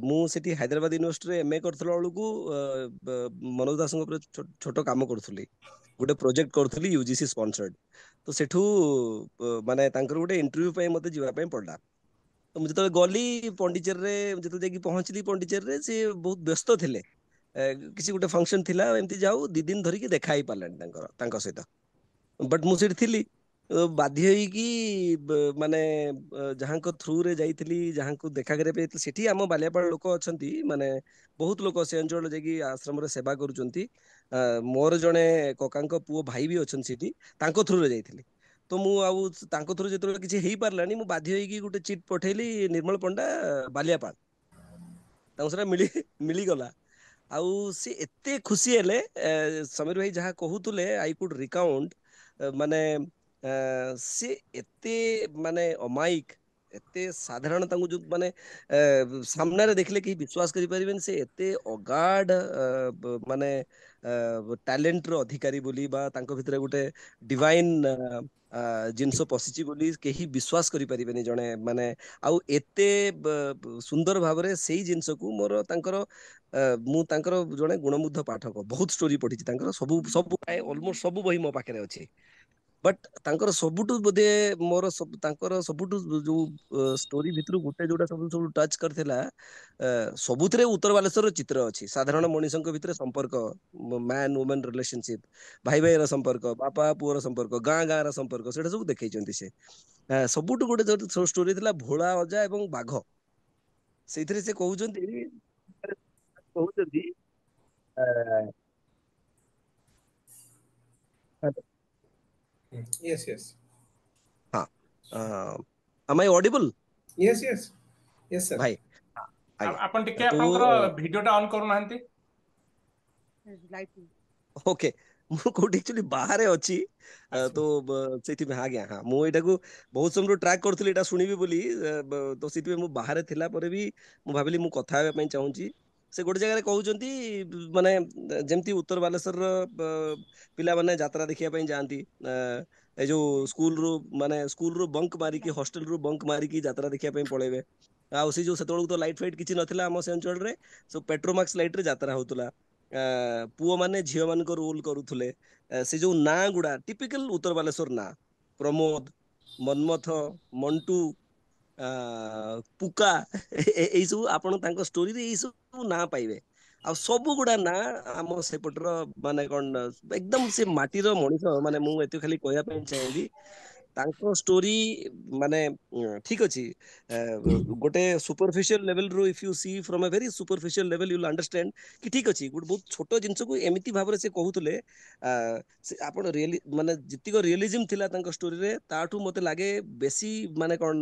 ମୁଁ ସେଠି ହାଇଦ୍ରାବାଦ ୟୁନିଭର୍ସିଟିରେ ଏମ ଏ କରୁଥିଲା ବେଳକୁ ମନୋଜ ଦାସଙ୍କ ଉପରେ ଛୋଟ କାମ କରୁଥିଲି, ଗୋଟେ ପ୍ରୋଜେକ୍ଟ କରୁଥିଲି ୟୁଜିସି ସ୍ପନ୍ସର୍ଡ। ତ ସେଠୁ ମାନେ ତାଙ୍କର ଗୋଟେ ଇଣ୍ଟରଭ୍ୟୁ ପାଇଁ ମତେ ଯିବା ପାଇଁ ପଡିଲା। ତ ମୁଁ ଯେତେବେଳେ ଗଲି ପଣ୍ଡିଚେରୀରେ, ଯେତେବେଳେ ଯାଇକି ପହଞ୍ଚିଲି ପଣ୍ଡିଚେରୀରେ, ସେ ବହୁତ ବ୍ୟସ୍ତ ଥିଲେ, କିଛି ଗୋଟେ ଫଙ୍କସନ ଥିଲା ଏମିତି। ଯାଉ ଦି ଦିନ ଧରିକି ଦେଖା ହେଇପାରିଲାନି ତାଙ୍କର ତାଙ୍କ ସହିତ। ବଟ୍ ମୁଁ ସେଠି ଥିଲି, ବାଧ୍ୟ ହେଇକି ମାନେ ଯାହାଙ୍କ ଥ୍ରୁରେ ଯାଇଥିଲି, ଯାହାଙ୍କୁ ଦେଖା କରିବା ପାଇଁ ଯାଇଥିଲି, ସେଠି ଆମ ବାଲିଆପାଳ ଲୋକ ଅଛନ୍ତି, ମାନେ ବହୁତ ଲୋକ ସେ ଅଞ୍ଚଳରେ ଯାଇକି ଆଶ୍ରମରେ ସେବା କରୁଛନ୍ତି। ମୋର ଜଣେ କକାଙ୍କ ପୁଅ ଭାଇ ବି ଅଛନ୍ତି ସେଠି, ତାଙ୍କ ଥ୍ରୁରେ ଯାଇଥିଲି। ତ ମୁଁ ଆଉ ତାଙ୍କ ଥ୍ରୁ ଯେତେବେଳେ କିଛି ହେଇପାରିଲାନି, ମୁଁ ବାଧ୍ୟ ହେଇକି ଗୋଟେ ଚିଟ୍ ପଠେଇଲି, ନିର୍ମଳ ପଣ୍ଡା ବାଲିଆପାଳ। ତାଙ୍କୁ ସେଟା ମିଳି ମିଳିଗଲା ଆଉ ସେ ଏତେ ଖୁସି ହେଲେ। ସମୀର ଭାଇ ଯାହା କହୁଥିଲେ, I could ରିକାଉଣ୍ଟ, ମାନେ ସେ ଏତେ ମାନେ ଅମାୟିକ, ଏତେ ସାଧାରଣ, ତାଙ୍କୁ ଯୋଉ ମାନେ ସାମ୍ନାରେ ଦେଖିଲେ କେହି ବିଶ୍ୱାସ କରିପାରିବେନି ସେ ଏତେ ଅଗାଢ ମାନେ ଟ୍ୟାଲେଣ୍ଟର ଅଧିକାରୀ ବୋଲି, ବା ତାଙ୍କ ଭିତରେ ଗୋଟେ ଡିଭାଇନ ଜିନିଷ ପଶିଛି ବୋଲି କେହି ବିଶ୍ୱାସ କରିପାରିବେନି ଜଣେ ମାନେ। ଆଉ ଏତେ ସୁନ୍ଦର ଭାବରେ ସେଇ ଜିନିଷକୁ ମୋର ତାଙ୍କର, ମୁଁ ତାଙ୍କର ଜଣେ ଗୁଣମୁଗ୍ଧ ପାଠକ, ବହୁତ ଷ୍ଟୋରି ପଢିଛି ତାଙ୍କର, ସବୁ ସବୁ ପ୍ରାୟ ଅଲମୋଷ୍ଟ ସବୁ ବହି ମୋ ପାଖରେ ଅଛି। ବଟ୍ ତାଙ୍କର ସବୁଠୁ ବୋଧେ ମୋର ତାଙ୍କର ସବୁଠୁ ଯୋଉ ଷ୍ଟୋରି ଭିତରୁ ଗୋଟେ ଯୋଉଟା ସବୁ ସବୁ ଟଚ୍ କରିଥିଲା, ସବୁଥିରେ ଉତ୍ତର ବାଲେଶ୍ୱରର ଚିତ୍ର ଅଛି, ସାଧାରଣ ମଣିଷଙ୍କ ଭିତରେ ସମ୍ପର୍କ, ମ୍ୟାନ ଓମେନ ରିଲେସନସିପ, ଭାଇ ଭାଇର ସମ୍ପର୍କ, ବାପା ପୁଅର ସମ୍ପର୍କ, ଗାଁ ଗାଁର ସମ୍ପର୍କ, ସେଇଟା ସବୁ ଦେଖେଇଛନ୍ତି ସେ। ସବୁଠୁ ଗୋଟେ ଯୋଉ ଷ୍ଟୋରି ଥିଲା ଭୋଳା ଅଜା ଏବଂ ବାଘ, ସେଇଥିରେ ସେ କହୁଛନ୍ତି କହୁଛନ୍ତି Yes, yes. ହଁ, am I audible? Yes, yes. Yes, sir. ଭାଇ, ଆଜ୍ଞା। ଆପଣ ଟିକେ ତ ଆପଣଙ୍କର ଭିଡିଓଟା ଅନ୍ କରୁନାହାନ୍ତି। ଓକେ, ମୁଁ କୋଉଠି ଆକ୍ଚୁଆଲି ବାହାରେ ଅଛି ତ ସେଇଥିପାଇଁ ଆଜ୍ଞା। ହଁ, ମୁଁ ଏଇଟାକୁ ବହୁତ ସମୟରୁ ଟ୍ରାକ୍ କରୁଥିଲି ଏଇଟା ଶୁଣିବି ବୋଲି, ତ ସେଥିପାଇଁ ମୁଁ ବାହାରେ ଥିଲା ପରେ ବି ମୁଁ ଭାବିଲି ମୁଁ କଥା ହେବା ପାଇଁ ଚାହୁଁଛି। ସେ ଗୋଟେ ଜାଗାରେ କହୁଛନ୍ତି ମାନେ ଯେମିତି ଉତ୍ତର ବାଲେଶ୍ୱରର ପିଲାମାନେ ଯାତ୍ରା ଦେଖିବା ପାଇଁ ଯାଆନ୍ତି, ଏ ଯୋଉ ସ୍କୁଲରୁ ମାନେ ସ୍କୁଲରୁ ବଙ୍କ ମାରିକି, ହଷ୍ଟେଲରୁ ବଙ୍କ ମାରିକି ଯାତ୍ରା ଦେଖିବା ପାଇଁ ପଳେଇବେ। ଆଉ ସେ ଯୋଉ ସେତେବେଳକୁ ତ ଲାଇଟ୍ ଫାଇଟ୍ କିଛି ନଥିଲା ଆମ ସେ ଅଞ୍ଚଳରେ, ସବୁ ପେଟ୍ରୋମାକ୍ସ ଲାଇଟରେ ଯାତ୍ରା ହଉଥିଲା। ପୁଅମାନେ ଝିଅମାନଙ୍କ ରୋଲ କରୁଥିଲେ। ସେ ଯୋଉ ନାଁ ଗୁଡା ଟିପିକାଲ ଉତ୍ତର ବାଲେଶ୍ୱର ନାଁ, ପ୍ରମୋଦ, ମନ୍ମଥ, ମଣ୍ଟୁ, ପୁକା, ଏଇ ସବୁ ଆପଣ ତାଙ୍କ ଷ୍ଟୋରିରେ ଏଇ ସବୁ ନାଁ ପାଇବେ। ଆଉ ସବୁ ଗୁଡା ନାଁ ଆମ ସେପଟର ମାନେ କଣ ଏକଦମ ସେ ମାଟିର ମଣିଷ। ମାନେ ମୁଁ ଏତେ ଖାଲି କହିବା ପାଇଁ ଚାହିଁବି ତାଙ୍କ ଷ୍ଟୋରି ମାନେ ଠିକ ଅଛି, ଗୋଟେ ସୁପରଫିସିଆଲ ଲେଭେଲ ରୁ if you see from a very superficial level you will understand କି ଠିକ ଅଛି, ଗୋଟେ ବହୁତ ଛୋଟ ଜିନିଷକୁ ଏମିତି ଭାବରେ ସେ କହୁଥିଲେ। ଆପଣ ରିଏଲି ମାନେ ଯେତିକ ରିଏଲିଜିମ ଥିଲା ତାଙ୍କ ଷ୍ଟୋରିରେ, ତାଠୁ ମତେ ଲାଗେ ବେଶୀ ମାନେ କଣ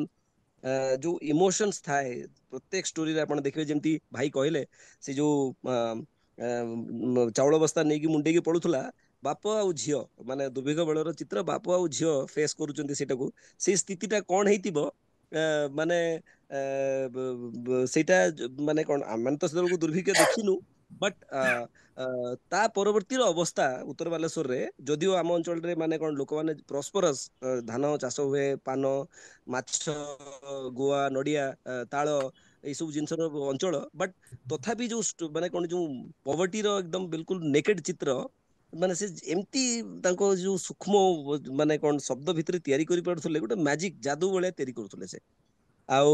ଯୋଉ ଇମୋସନ୍ସ ଥାଏ ପ୍ରତ୍ୟେକ ଷ୍ଟୋରିରେ ଆପଣ ଦେଖିବେ। ଯେମିତି ଭାଇ କହିଲେ ସେ ଯୋଉ ଚାଉଳ ବସ୍ତା ନେଇକି ମୁଣ୍ଡେଇକି ପଳୁଥିଲା, ବାପ ଆଉ ଝିଅ, ମାନେ ଦୁର୍ଭିକ୍ଷ ବେଳର ଚିତ୍ର, ବାପ ଆଉ ଝିଅ ଫେସ୍ କରୁଛନ୍ତି ସେଇଟାକୁ, ସେଇ ସ୍ଥିତିଟା କଣ ହେଇଥିବ ମାନେ ସେଇଟା ମାନେ କଣ ଆମେ ତ ସେତେବେଳକୁ ଦୁର୍ଭିକ୍ଷ ଦେଖିନୁ, ବଟ୍ ତା ପରବର୍ତ୍ତୀର ଅବସ୍ଥା ଉତ୍ତର ବାଲେଶ୍ୱରରେ, ଯଦିଓ ଆମ ଅଞ୍ଚଳରେ ମାନେ କଣ ଲୋକମାନେ ପ୍ରସ୍ପରସ୍, ଧାନ ଚାଷ ହୁଏ, ପାନ, ମାଛ, ଗୁଆ, ନଡିଆ, ତାଳ, ଏଇ ସବୁ ଜିନିଷର ଅଞ୍ଚଳ, ବଟ୍ ତଥାପି ଯୋଉ ମାନେ କଣ ଯୋଉ ପଭର୍ଟିର ଏକଦମ ବିଲକୁଲ ନେକେଡ ଚିତ୍ର, ମାନେ ସେ ଏମିତି ତାଙ୍କ ଯୋଉ ସୂକ୍ଷ୍ମ ମାନେ କଣ ଶବ୍ଦ ଭିତରେ ତିଆରି କରିପାରୁଥିଲେ, ଗୋଟେ ମ୍ୟାଜିକ ଯାଦୁ ଭଳିଆ ତିଆରି କରୁଥିଲେ ସେ। ଆଉ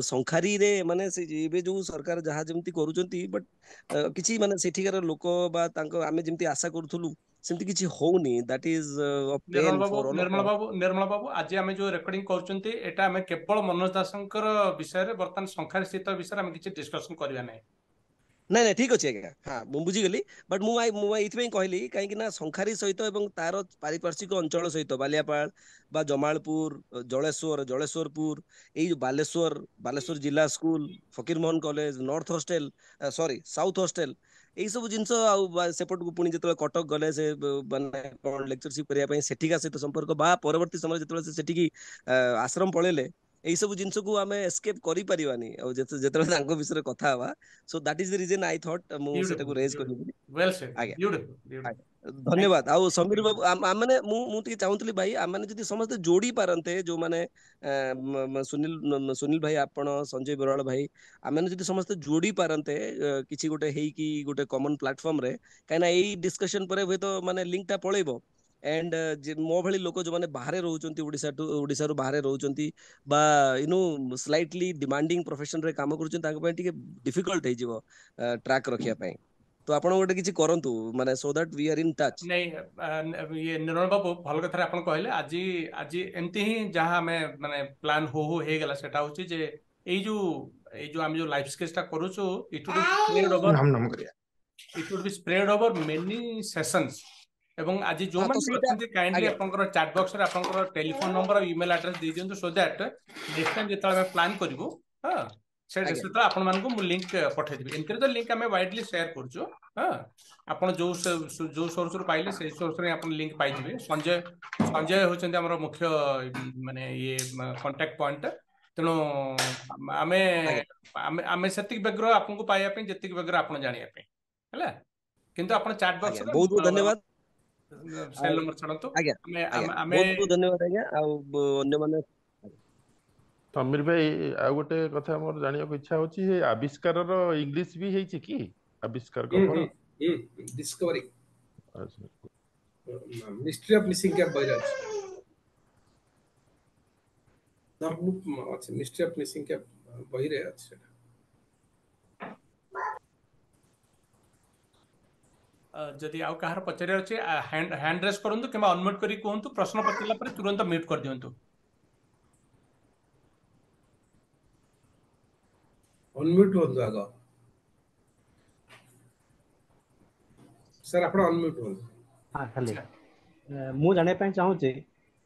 ଶଙ୍ଖାରୀରେ ମାନେ ସେ ଏବେ ଯୋଉ ସରକାର ଯାହା ଯେମିତି କରୁଛନ୍ତି, ବଟ୍ କିଛି ମାନେ ସେଠିକାର ଲୋକ ବା ତାଙ୍କ ଆମେ ଯେମିତି ଆଶା କରୁଥିଲୁ ସେମିତି କିଛି ହଉନି। That is Nirmal babu, Nirmal ବାବୁ, ନିର୍ମଳ ବାବୁ, ଆଜି ଆମେ ଯୋଉ ରେକର୍ଡିଂ କରୁଛନ୍ତି ଏଟା ଆମେ କେବଳ ମନୋଜ ଦାସଙ୍କର ବିଷୟରେ, ବର୍ତ୍ତମାନ ଶଙ୍ଖାରୀ ସ୍ଥିତ ବିଷୟରେ ଆମେ କିଛି ଡିସ୍କସନ କରିବା ନାହିଁ। ନାଇଁ ନାଇଁ ଠିକ ଅଛି ଆଜ୍ଞା, ହଁ ମୁଁ ବୁଝିଗଲି। ବଟ୍ ମୁଁ ମୁଁ ଏଇଥିପାଇଁ କହିଲି କାହିଁକି ନା ଶଙ୍ଖାରୀ ସହିତ ଏବଂ ତାର ପାରିପାର୍ଶ୍ୱିକ ଅଞ୍ଚଳ ସହିତ ବାଲିଆପାଳ ବା ଜମାଳପୁର, ଜଳେଶ୍ୱର, ଜଳେଶ୍ୱରପୁର, ଏଇ ଯୋଉ ବାଲେଶ୍ୱର, ବାଲେଶ୍ୱର ଜିଲ୍ଲା school, Fakirmohan college, north hostel, sorry south hostel, ଏଇ ସବୁ ଜିନିଷ। ଆଉ ସେପଟକୁ ପୁଣି ଯେତେବେଳେ କଟକ ଗଲେ ସେ ମାନେ କଣ ଲେକ୍ଚରସିପ କରିବା ପାଇଁ, ସେଠିକା ସହିତ ସମ୍ପର୍କ ବା ପରବର୍ତ୍ତୀ ସମୟରେ ଯେତେବେଳେ ସେ ସେଠିକି ଆଶ୍ରମ ପଳେଇଲେ, ଏଇ ସବୁ ଜିନିଷକୁ ଆମେ ଏସ୍କେପ କରିପାରିବାନି। ଆଉ ଯେତେବେଳେ ତାଙ୍କ ବିଷୟରେ କଥା ହବା, so that is the reason I thought ମୁଁ ସେଟାକୁ ରେଜ୍ କରିବି। ଆଜ୍ଞା ଧନ୍ୟବାଦ। ଆଉ ସମୀର ବାବୁ, ମାନେ ମୁଁ ମୁଁ ଟିକେ ଚାହୁଁଥିଲି ଭାଇ, ଆମମାନେ ଯଦି ସମସ୍ତେ ଯୋଡି ପାରନ୍ତେ, ଯୋଉମାନେ ସୁନୀଲ ସୁନୀଲ ଭାଇ, ଆପଣ, ସଞ୍ଜୟ ବରାଳ ଭାଇ, ଆମେମାନେ ଯଦି ସମସ୍ତେ ଯୋଡି ପାରନ୍ତେ କିଛି ଗୋଟେ ହେଇକି ଗୋଟେ କମନ ପ୍ଲାଟଫର୍ମରେ, କାହିଁକିନା ଏଇ ଡିସ୍କସନ ପରେ ହୁଏତ ମାନେ ଲିଙ୍କଟା ପଳେଇବ। ଏଣ୍ଡ ମୋ ଭଳି ଲୋକ ଯୋଉମାନେ ବାହାରେ ରହୁଛନ୍ତି, ଓଡ଼ିଶାଠୁ ଓଡ଼ିଶାରୁ ବାହାରେ ରହୁଛନ୍ତି ବା you know slightly demanding ପ୍ରଫେସନରେ କାମ କରୁଛନ୍ତି, ତାଙ୍କ ପାଇଁ ଟିକେ ଡିଫିକଲ୍ଟ ହେଇଯିବ ଟ୍ରାକ୍ ରଖିବା ପାଇଁ। ତ ଆପଣ ଗୋଟେ କିଛି କରନ୍ତୁ ମାନେ so that we are in touch. ନାଇଁ ଇଏ ନିର୍ମଳ ବାବୁ ଭଲ କଥାରେ ଆପଣ କହିଲେ। ଆଜି ଆଜି ଏମିତି ହିଁ ଯାହା ଆମେ ମାନେ ପ୍ଲାନ୍ ହଉ ହଉ ହେଇଗଲା, ସେଟା ହଉଛି ଯେ ଏଇ ଯୋଉ ଏଇ ଯୋଉ ଆମେ ଯୋଉ ଲାଇଫ ସ୍କେଚଟା କରୁଛୁ, it would spread over it would be spread over many sessions. ଏବଂ ଆଜି ଯୋଉମାନେ ଅଛନ୍ତି କାଇଣ୍ଡଲି ଆପଣଙ୍କର ଚାଟ୍ ବକ୍ସରେ ଆପଣଙ୍କର ଟେଲିଫୋନ ନମ୍ବର ଆଉ ଇମେଲ ଆଡ୍ରେସ ଦେଇ ଦିଅନ୍ତୁ, ସୋ that next time ଯେତେବେଳେ ଆମେ ପ୍ଲାନ୍ କରିବୁ, ହଁ ସେତେବେଳେ ଆପଣମାନଙ୍କୁ ମୁଁ ଲିଙ୍କ ପଠେଇଦେବି। ଏମିତିରେ ତ ଲିଙ୍କ ଆମେ ୱାଇଡଲି ସେୟାର କରୁଛୁ। ହଁ ଆପଣ ଯୋଉ ଯୋଉ ସୋର୍ସରୁ ପାଇଲେ ସେଇ ସୋର୍ସରେ ଆପଣ ଲିଙ୍କ ପାଇଯିବେ। ସଞ୍ଜୟ ସଞ୍ଜୟ ହେଉଛନ୍ତି ଆମର ମୁଖ୍ୟ ମାନେ ଇଏ କଣ୍ଟାକ୍ଟ ପଏଣ୍ଟ। ତେଣୁ ଆମେ ଆମେ ଆମେ ସେତିକି ବ୍ୟଗ୍ର ଆପଣଙ୍କୁ ପାଇବା ପାଇଁ ଯେତିକି ବ୍ୟଗ୍ର ଆପଣ ଜାଣିବା ପାଇଁ ହେଲା। କିନ୍ତୁ ଆପଣ ଚାଟ୍ ବକ୍ସରେ ବହୁତ ବହୁତ ଧନ୍ୟବାଦ। ସେଲ୍ ନମ୍ବର ଛାଡ଼ନ୍ତୁ। ଆଜ୍ଞା ଆମେ ବହୁତ ବହୁତ ଧନ୍ୟବାଦ ଆଜ୍ଞା। ଆଉ ଅନ୍ୟମାନେ ସମୀର ଭାଇ, ଆଉ ଗୋଟେ କଥା ମୋର ଜାଣିବାକୁ ଇଚ୍ଛା ହଉଛି, ଆବିଷ୍କାରର ଇଂଲିଶ ବି ହେଇଛି କି? ଆବିଷ୍କାର କଣ discovery, mystery of missing cap ବହିରେ ଅଛି, ଅଛି ମିଷ୍ଟ୍ରି ଅଫ ମିସିଂ କ୍ୟାପ୍ ବହିରେ ଅଛି ସେଟା। ଯଦି ଆଉ କାହାର ପଚାରିବାର ଅଛି ହ୍ୟାଣ୍ଡ ରେସ୍ କରନ୍ତୁ କିମ୍ବା ଅନମ୍ୟୁଟ୍ କରି କୁହନ୍ତୁ। ପ୍ରଶ୍ନ ପଚାରିଲା ପରେ ତୁରନ୍ତ ମ୍ୟୁଟ୍ କରିଦିଅନ୍ତୁ। ଅନମ୍ୟୁଟ୍ ହୁଅନ୍ତୁ ଆଗ ସାର୍, ଆପଣ ଅନମ୍ୟୁଟ୍ ହୁଅନ୍ତୁ। ହଁ ଖାଲି ମୁଁ ଜାଣିବା ପାଇଁ ଚାହୁଁଛି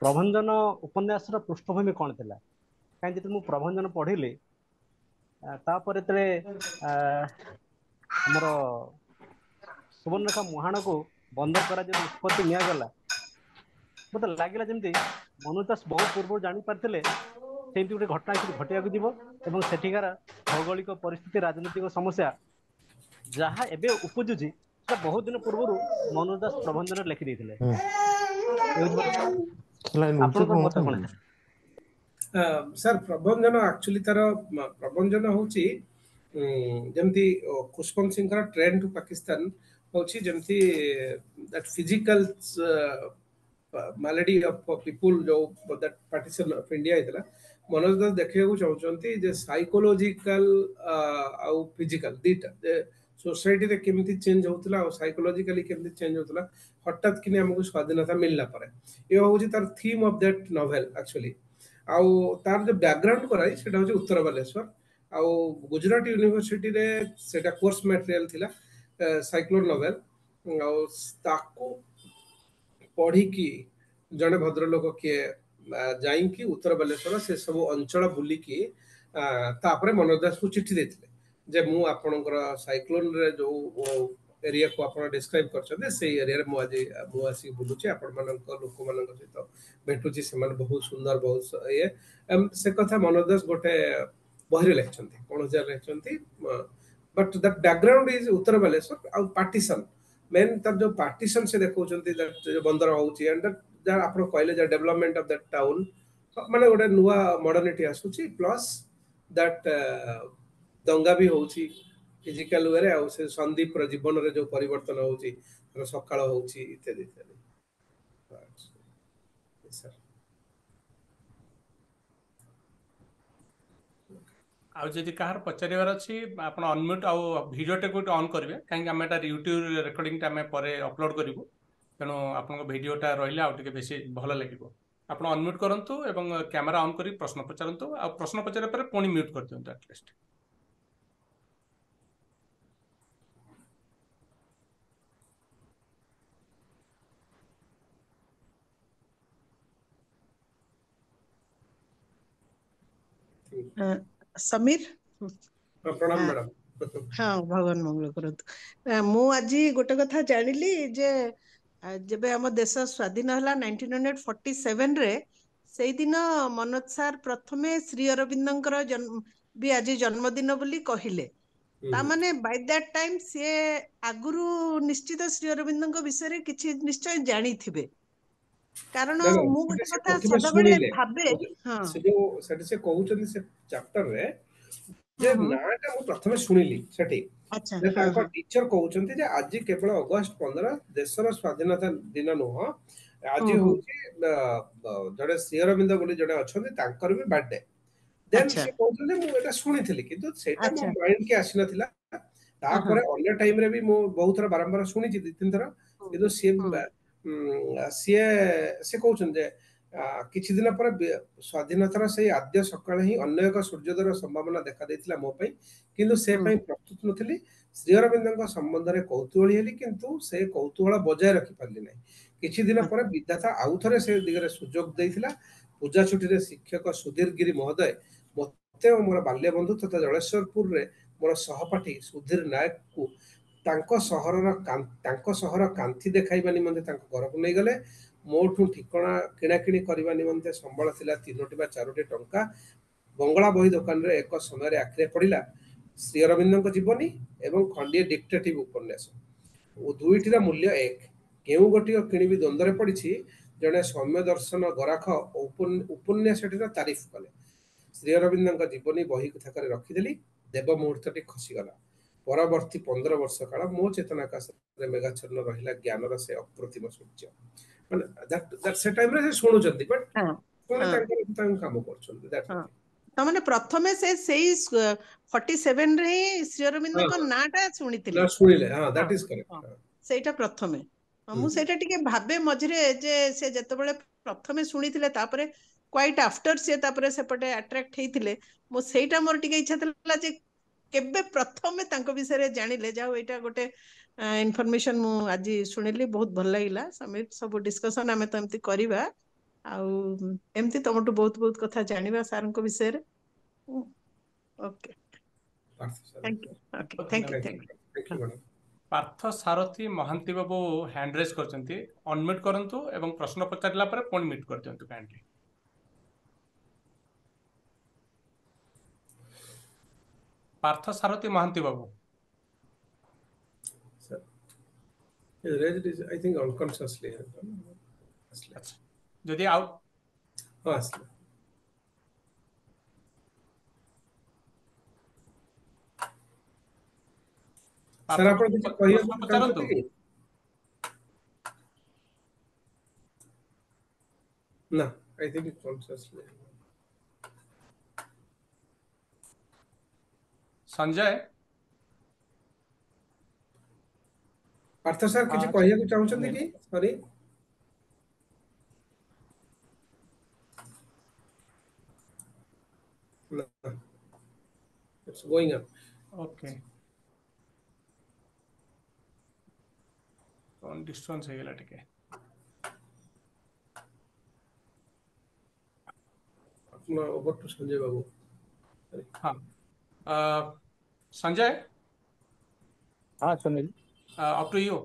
ପ୍ରଭଞ୍ଜନ ଉପନ୍ୟାସର ପୃଷ୍ଠଭୂମି କଣ ଥିଲା? କାହିଁକି ଯେତେବେଳେ ମୁଁ ପ୍ରଭଞ୍ଜନ ପଢିଲି ତାପରେ ଯେତେବେଳେ ଆମର ସୁବର୍ଣ୍ଣରେଖା ମୁହାଣକୁ ବନ୍ଦର କରାଯିବା ନିଷ୍ପତ୍ତି ନିଆଗଲା, ମତେ ଲାଗିଲା ଯେମିତି ମନୋଜ ଦାସ ବହୁତ ପୂର୍ବରୁ ଜାଣିପାରିଥିଲେ ସେମିତି ଗୋଟେ ଘଟଣା ସେଠି ଘଟିବାକୁ ଯିବ ଏବଂ ସେଠିକାର ଭୌଗୋଳିକ ପରିସ୍ଥିତି, ରାଜନୈତିକ ସମସ୍ୟା ଯାହା ଏବେ ଉପୁଜୁଛି ସେଟା ବହୁତ ଦିନ ପୂର୍ବରୁ ମନୋଜ ଦାସ ପ୍ରବନ୍ଧନରେ ଲେଖି ଦେଇଥିଲେ। ଆପଣଙ୍କ ମତ କଣ? ସାର୍, ପ୍ରଭଞ୍ଜନ ଆକ୍ଚୁଆଲି ତାର ପ୍ରଭଞ୍ଜନ ହଉଛି ଯେମିତି ଖୁଶବନ୍ତ ସିଂଙ୍କର ଟ୍ରେନ୍ ଟୁ ପାକିସ୍ତାନ ହଉଛି ଯେମିତି that physical malady of people ଯୋଉ that partition of India ହେଇଥିଲା, ମନୋଜ ଦାସ ଦେଖିବାକୁ ଚାହୁଁଛନ୍ତି ଯେ ସାଇକୋଲୋଜିକାଲ ଆଉ ଫିଜିକାଲ ଦିଟା, ଯେ ସୋସାଇଟିରେ କେମିତି ଚେଞ୍ଜ ହଉଥିଲା ଆଉ ସାଇକୋଲୋଜିକାଲି କେମିତି ଚେଞ୍ଜ ହଉଥିଲା ହଠାତ୍ କିନି ଆମକୁ ସ୍ୱାଧୀନତା ମିଳିଲା ପରେ। ଏ ହଉଛି ତାର theme of that novel actually. ଆଉ ତାର ଯୋଉ ବ୍ୟାକଗ୍ରାଉଣ୍ଡ କରାଇ ସେଟା ହଉଛି ଉତ୍ତର ବାଲେଶ୍ୱର ଆଉ ଗୁଜୁରାଟ ୟୁନିଭର୍ସିଟିରେ ସେଟା କୋର୍ସ ମ୍ୟାଟେରିଆଲ ଥିଲା ସାଇକ୍ଲୋନ ନଭେଲ। ଆଉ ତାକୁ ପଢିକି ଜଣେ ଭଦ୍ରଲୋକ କିଏ ଯାଇକି ଉତ୍ତର ବାଲେଶ୍ୱର ସେ ସବୁ ଅଞ୍ଚଳ ବୁଲିକି ତାପରେ ମନୋଜ ଦାସକୁ ଚିଠି ଦେଇଥିଲେ ଯେ ମୁଁ ଆପଣଙ୍କର ସାଇକ୍ଲୋନରେ ଯୋଉ ଏରିଆକୁ ଆପଣ ଡିସ୍କ୍ରାଇବ କରିଛନ୍ତି ସେଇ ଏରିଆରେ ମୁଁ ଆଜି ମୁଁ ଆସିକି ବୁଲୁଛି, ଆପଣମାନଙ୍କ ଲୋକମାନଙ୍କ ସହିତ ଭେଟୁଛି, ସେମାନେ ବହୁତ ସୁନ୍ଦର, ବହୁତ ଇଏ। ସେ କଥା ମନୋଜ ଦାସ ଗୋଟେ ବହିରେ ଲେଖିଛନ୍ତି, କୌଣସି ଜାଗାରେ ଲେଖିଛନ୍ତି। ବଟ୍ that background is ଉତ୍ତର ବାଲେଶ୍ୱର ଆଉ ପାର୍ଟିସନ ମେନ୍ ତାର ଯୋଉ ପାର୍ଟିସନ ସେ ଦେଖାଉଛନ୍ତି, ଯୋଉ ବନ୍ଦର ହଉଛି ଆଣ୍ଡ ଯାହା ଆପଣ କହିଲେ ଯେ ଡେଭଲପମେଣ୍ଟ ଅଫ that town, ମାନେ ଗୋଟେ ନୂଆ ମଡର୍ଣ୍ଣିଟି ଆସୁଛି, ପ୍ଲସ୍ that ଦଙ୍ଗା ବି ହଉଛି ଫିଜିକାଲ ୱେରେ, ଆଉ ସେ ସନ୍ଦୀପର ଜୀବନରେ ଯୋଉ ପରିବର୍ତ୍ତନ ହଉଛି, ତାର ସକାଳ ହଉଛି ଇତ୍ୟାଦି ଇତ୍ୟାଦି। ଆଉ ଯଦି କାହାର ପଚାରିବାର ଅଛି ଆପଣ ଅନମ୍ୟୁଟ୍ ଆଉ ଭିଡ଼ିଓଟାକୁ ଅନ୍ କରିବେ, କାହିଁକି ଆମେ ଏଟା ୟୁଟ୍ୟୁବ ରେକର୍ଡିଂଟା ଆମେ ପରେ ଅପଲୋଡ୍ କରିବୁ, ତେଣୁ ଆପଣଙ୍କ ଭିଡ଼ିଓଟା ରହିଲେ ଆଉ ଟିକେ ବେଶୀ ଭଲ ଲାଗିବ। ଆପଣ ଅନମ୍ୟୁଟ୍ କରନ୍ତୁ ଏବଂ କ୍ୟାମେରା ଅନ୍ କରି ପ୍ରଶ୍ନ ପଚାରନ୍ତୁ, ଆଉ ପ୍ରଶ୍ନ ପଚାରିବା ପରେ ପୁଣି ମ୍ୟୁଟ୍ କରିଦିଅନ୍ତୁ ଆଟଲିଷ୍ଟ। ସମୀର, ପ୍ରଣାମ ମ୍ୟାଡାମ। ହଁ, ଭଗବାନ ମଙ୍ଗଳ କରନ୍ତୁ। ମୁଁ ଆଜି ଗୋଟେ କଥା ଜାଣିଲି ଯେ ଯେବେ ଆମ ଦେଶ ସ୍ୱାଧୀନ ହେଲା ନାଇନଟିନ୍ ହଣ୍ଡ୍ରେଡ ଫର୍ଟି ସେଭେନରେ, ସେଇଦିନ ମନୋଜ ସାର୍ ପ୍ରଥମେ ଶ୍ରୀ ଅରବିନ୍ଦଙ୍କର ବି ଆଜି ଜନ୍ମଦିନ ବୋଲି କହିଲେ। ତାମାନେ ବାଇ that time ସିଏ ଆଗରୁ ନିଶ୍ଚିତ ଶ୍ରୀ ଅରବିନ୍ଦଙ୍କ ବିଷୟରେ କିଛି ନିଶ୍ଚୟ ଜାଣିଥିବେ। କାରଣ ମୁଁ ଗୋଟେ କଥା ସଦାବେଳେ ଭାବେ, ସେ ଯୋଉ ସେଠି ସେ କହୁଛନ୍ତି ସେ ଚାପ୍ଟରରେ ଯେ ନାଁଟା ମୁଁ ପ୍ରଥମେ ଶୁଣିଲି ସେଠି, ତାଙ୍କ ଟିଚର କହୁଛନ୍ତି ଯେ ଆଜି କେବଳ ଅଗଷ୍ଟ ପନ୍ଦର ଦେଶର ସ୍ୱାଧୀନତା ଦିନ ନୁହଁ, ଆଜି ହଉଛି ଜଣେ ଶ୍ରୀ ଅରବିନ୍ଦ ବୋଲି ଜଣେ ଅଛନ୍ତି ତାଙ୍କର ବି ବାର୍ଥଡେ। ଦେନ୍ ସେ କହୁଛନ୍ତି ମୁଁ ଏଇଟା ଶୁଣିଥିଲି କିନ୍ତୁ ସେଇଟା ମୋ ମାଇଣ୍ଡ କି ଆସିନଥିଲା। ତାପରେ ଅନ୍ୟ ଟାଇମରେ ବି ମୁଁ ବହୁତ ଥର ବାରମ୍ବାର ଶୁଣିଛି, ଦି ତିନି ଥର, କିନ୍ତୁ ସିଏ ସିଏ ସେ କହୁଛନ୍ତି ଯେ କିଛି ଦିନ ପରେ ସ୍ୱାଧୀନତାର ସେଇ ଆଦ୍ୟ ସକାଳେ ହିଁ ଅନ୍ୟ ଏକ ସୂର୍ଯ୍ୟୋଦୟର ସମ୍ଭାବନା ଦେଖା ଦେଇଥିଲା ମୋ ପାଇଁ, କିନ୍ତୁ ସେ ପାଇଁ ପ୍ରସ୍ତୁତ ନଥିଲି। ଶ୍ରୀ ଅରବିନ୍ଦଙ୍କ ସମ୍ବନ୍ଧରେ କୌତୁହଳୀ ହେଲି, କିନ୍ତୁ ସେ କୌତୁହଳ ବଜାୟ ରଖିପାରିଲି ନାହିଁ। କିଛି ଦିନ ପରେ ବିଧାତା ଆଉ ଥରେ ସେ ଦିଗରେ ସୁଯୋଗ ଦେଇଥିଲା। ପୂଜା ଛୁଟିରେ ଶିକ୍ଷକ ସୁଧୀର ଗିରି ମହୋଦୟ ମୋତେ ଓ ମୋର ବାଲ୍ୟବନ୍ଧୁ ତଥା ଜଳେଶ୍ୱରପୁରରେ ମୋର ସହପାଠୀ ସୁଧୀର ନାୟକକୁ ତାଙ୍କ ସହରର ତାଙ୍କ ସହର କାନ୍ଥି ଦେଖାଇବା ନିମନ୍ତେ ତାଙ୍କ ଘରକୁ ନେଇଗଲେ। ମୋଠୁ ଠିକଣା କିଣାକିଣି କରିବା ନିମନ୍ତେ ସମ୍ବଳ ଥିଲା ତିନୋଟି ବା ଚାରୋଟି ଟଙ୍କା। ବଙ୍ଗଳା ବହି ଦୋକାନରେ ଏକ ସମୟରେ ଆଖିରେ ପଡ଼ିଲା ଶ୍ରୀ ଅରବିନ୍ଦଙ୍କ ଜୀବନୀ ଏବଂ ଖଣ୍ଡିଏ ଡିକ୍ଟେଟିଭ ଉପନ୍ୟାସ। ଦୁଇଟିର ମୂଲ୍ୟ ଏକ। କେଉଁ ଗୋଟିଏ କିଣିବି ଦ୍ୱନ୍ଦ୍ୱରେ ପଡ଼ିଛି। ଜଣେ ସୌମ୍ୟ ଦର୍ଶନ ଗରାଖ ଉପନ୍ୟାସଟିର ତାରିଫ କଲେ। ଶ୍ରୀ ଅରବିନ୍ଦଙ୍କ ଜୀବନୀ ବହି ଥାକରେ ରଖିଦେଲି। ଦେବ ମୁହୂର୍ତ୍ତଟି ଖସିଗଲା। ପରବର୍ତ୍ତୀ ପନ୍ଦର ବର୍ଷ କାଳ ମୋ ଚେତନାକାଶରେ ମେଘାଚ୍ଛନ୍ନ ରହିଲା ଜ୍ଞାନର ସେ ଅପ୍ରତିମ ସୂର୍ଯ୍ୟ। ମାନେ ସେ ଟାଇମରେ ସେ ଶୁଣୁଛନ୍ତି, ବଟ୍ ପୁଣି ତାଙ୍କର ତାଙ୍କ କାମ କରୁଛନ୍ତି। ତାମାନେ ପ୍ରଥମେ ସେ ସେଇ ଫର୍ଟି ସେଭେନ ରେ ହିଁ ଶ୍ରୀ ଅରବିନ୍ଦଙ୍କ ନାଁଟା ଶୁଣିଥିଲେ। ଶୁଣିଲେ, ହଁ, that is correct. ସେଇଟା ପ୍ରଥମେ। ମୁଁ ସେଇଟା ଟିକେ ଭାବେ ମଝିରେ ଯେ ସେ ଯେତେବେଳେ ପ୍ରଥମେ ଶୁଣିଥିଲେ ତାପରେ କ୍ୱାଇଟ୍ ଆଫ୍ଟର ସିଏ ତାପରେ ସେପଟେ ଆଟ୍ରାକ୍ଟ ହେଇଥିଲେ। ମୁଁ ସେଇଟା ମୋର ଟିକେ ଇଚ୍ଛା ଥିଲା ଯେ କେବେ ପ୍ରଥମେ ତାଙ୍କ ବିଷୟରେ ଜାଣିଲେ। ଯାଉ ଏଇଟା ଗୋଟେ ଇନଫର୍ମେସନ ମୁଁ ଆଜି ଶୁଣିଲି, ବହୁତ ଭଲ ଲାଗିଲା। ସମୀର, ସବୁ ଡିସ୍କସନ ଆମେ ତ ଏମିତି କରିବା ଆଉ ଏମିତି ତମଠୁ ବହୁତ ବହୁତ କଥା ଜାଣିବା ସାରଙ୍କ ବିଷୟରେ। Okay, Partha Sarathi. Thank you. Okay, thank you, thank thank you you. Thank you madam. Partha Sarathi Mohanty babu hand raise କରିଛନ୍ତି, ଅନମ୍ୟୁଟ୍ କରନ୍ତୁ ଏବଂ ପ୍ରଶ୍ନ ପଚାରିଲା ପରେ ପୁଣି ମ୍ୟୁଟ୍ କରିଦିଅନ୍ତୁ kindly. Partha Sarathi Mohanty babu. Sir, he raised his, I think unconsciously ଆସିଲେ। ଆଚ୍ଛା, ଯଦି ଆଉ ହଁ, ଆସିଲେ। ପାର୍ଥ ସାର୍, ଆପଣ କିଛି ପ୍ରଶ୍ନ କହିବାକୁ ପଚାରନ୍ତୁ। ଚାହୁଁଛନ୍ତି କି ନା? I think consciously. Sanjay. Partha sir, କିଛି ହଁ କହିବାକୁ ଚାହୁଁଛନ୍ତି ସୁନୀଲ କି? ସରି ନା, it's going on. Okay, କଣ ଡିଷ୍ଟାନ୍ସ ହେଇଗଲା ଟିକେ। ଆପଣ ଓଭର ଟୁ ସଞ୍ଜୟ ବାବୁ। ହଁ, ଅ, ସଞ୍ଜୟ। ହଁ Sunil. Up to you.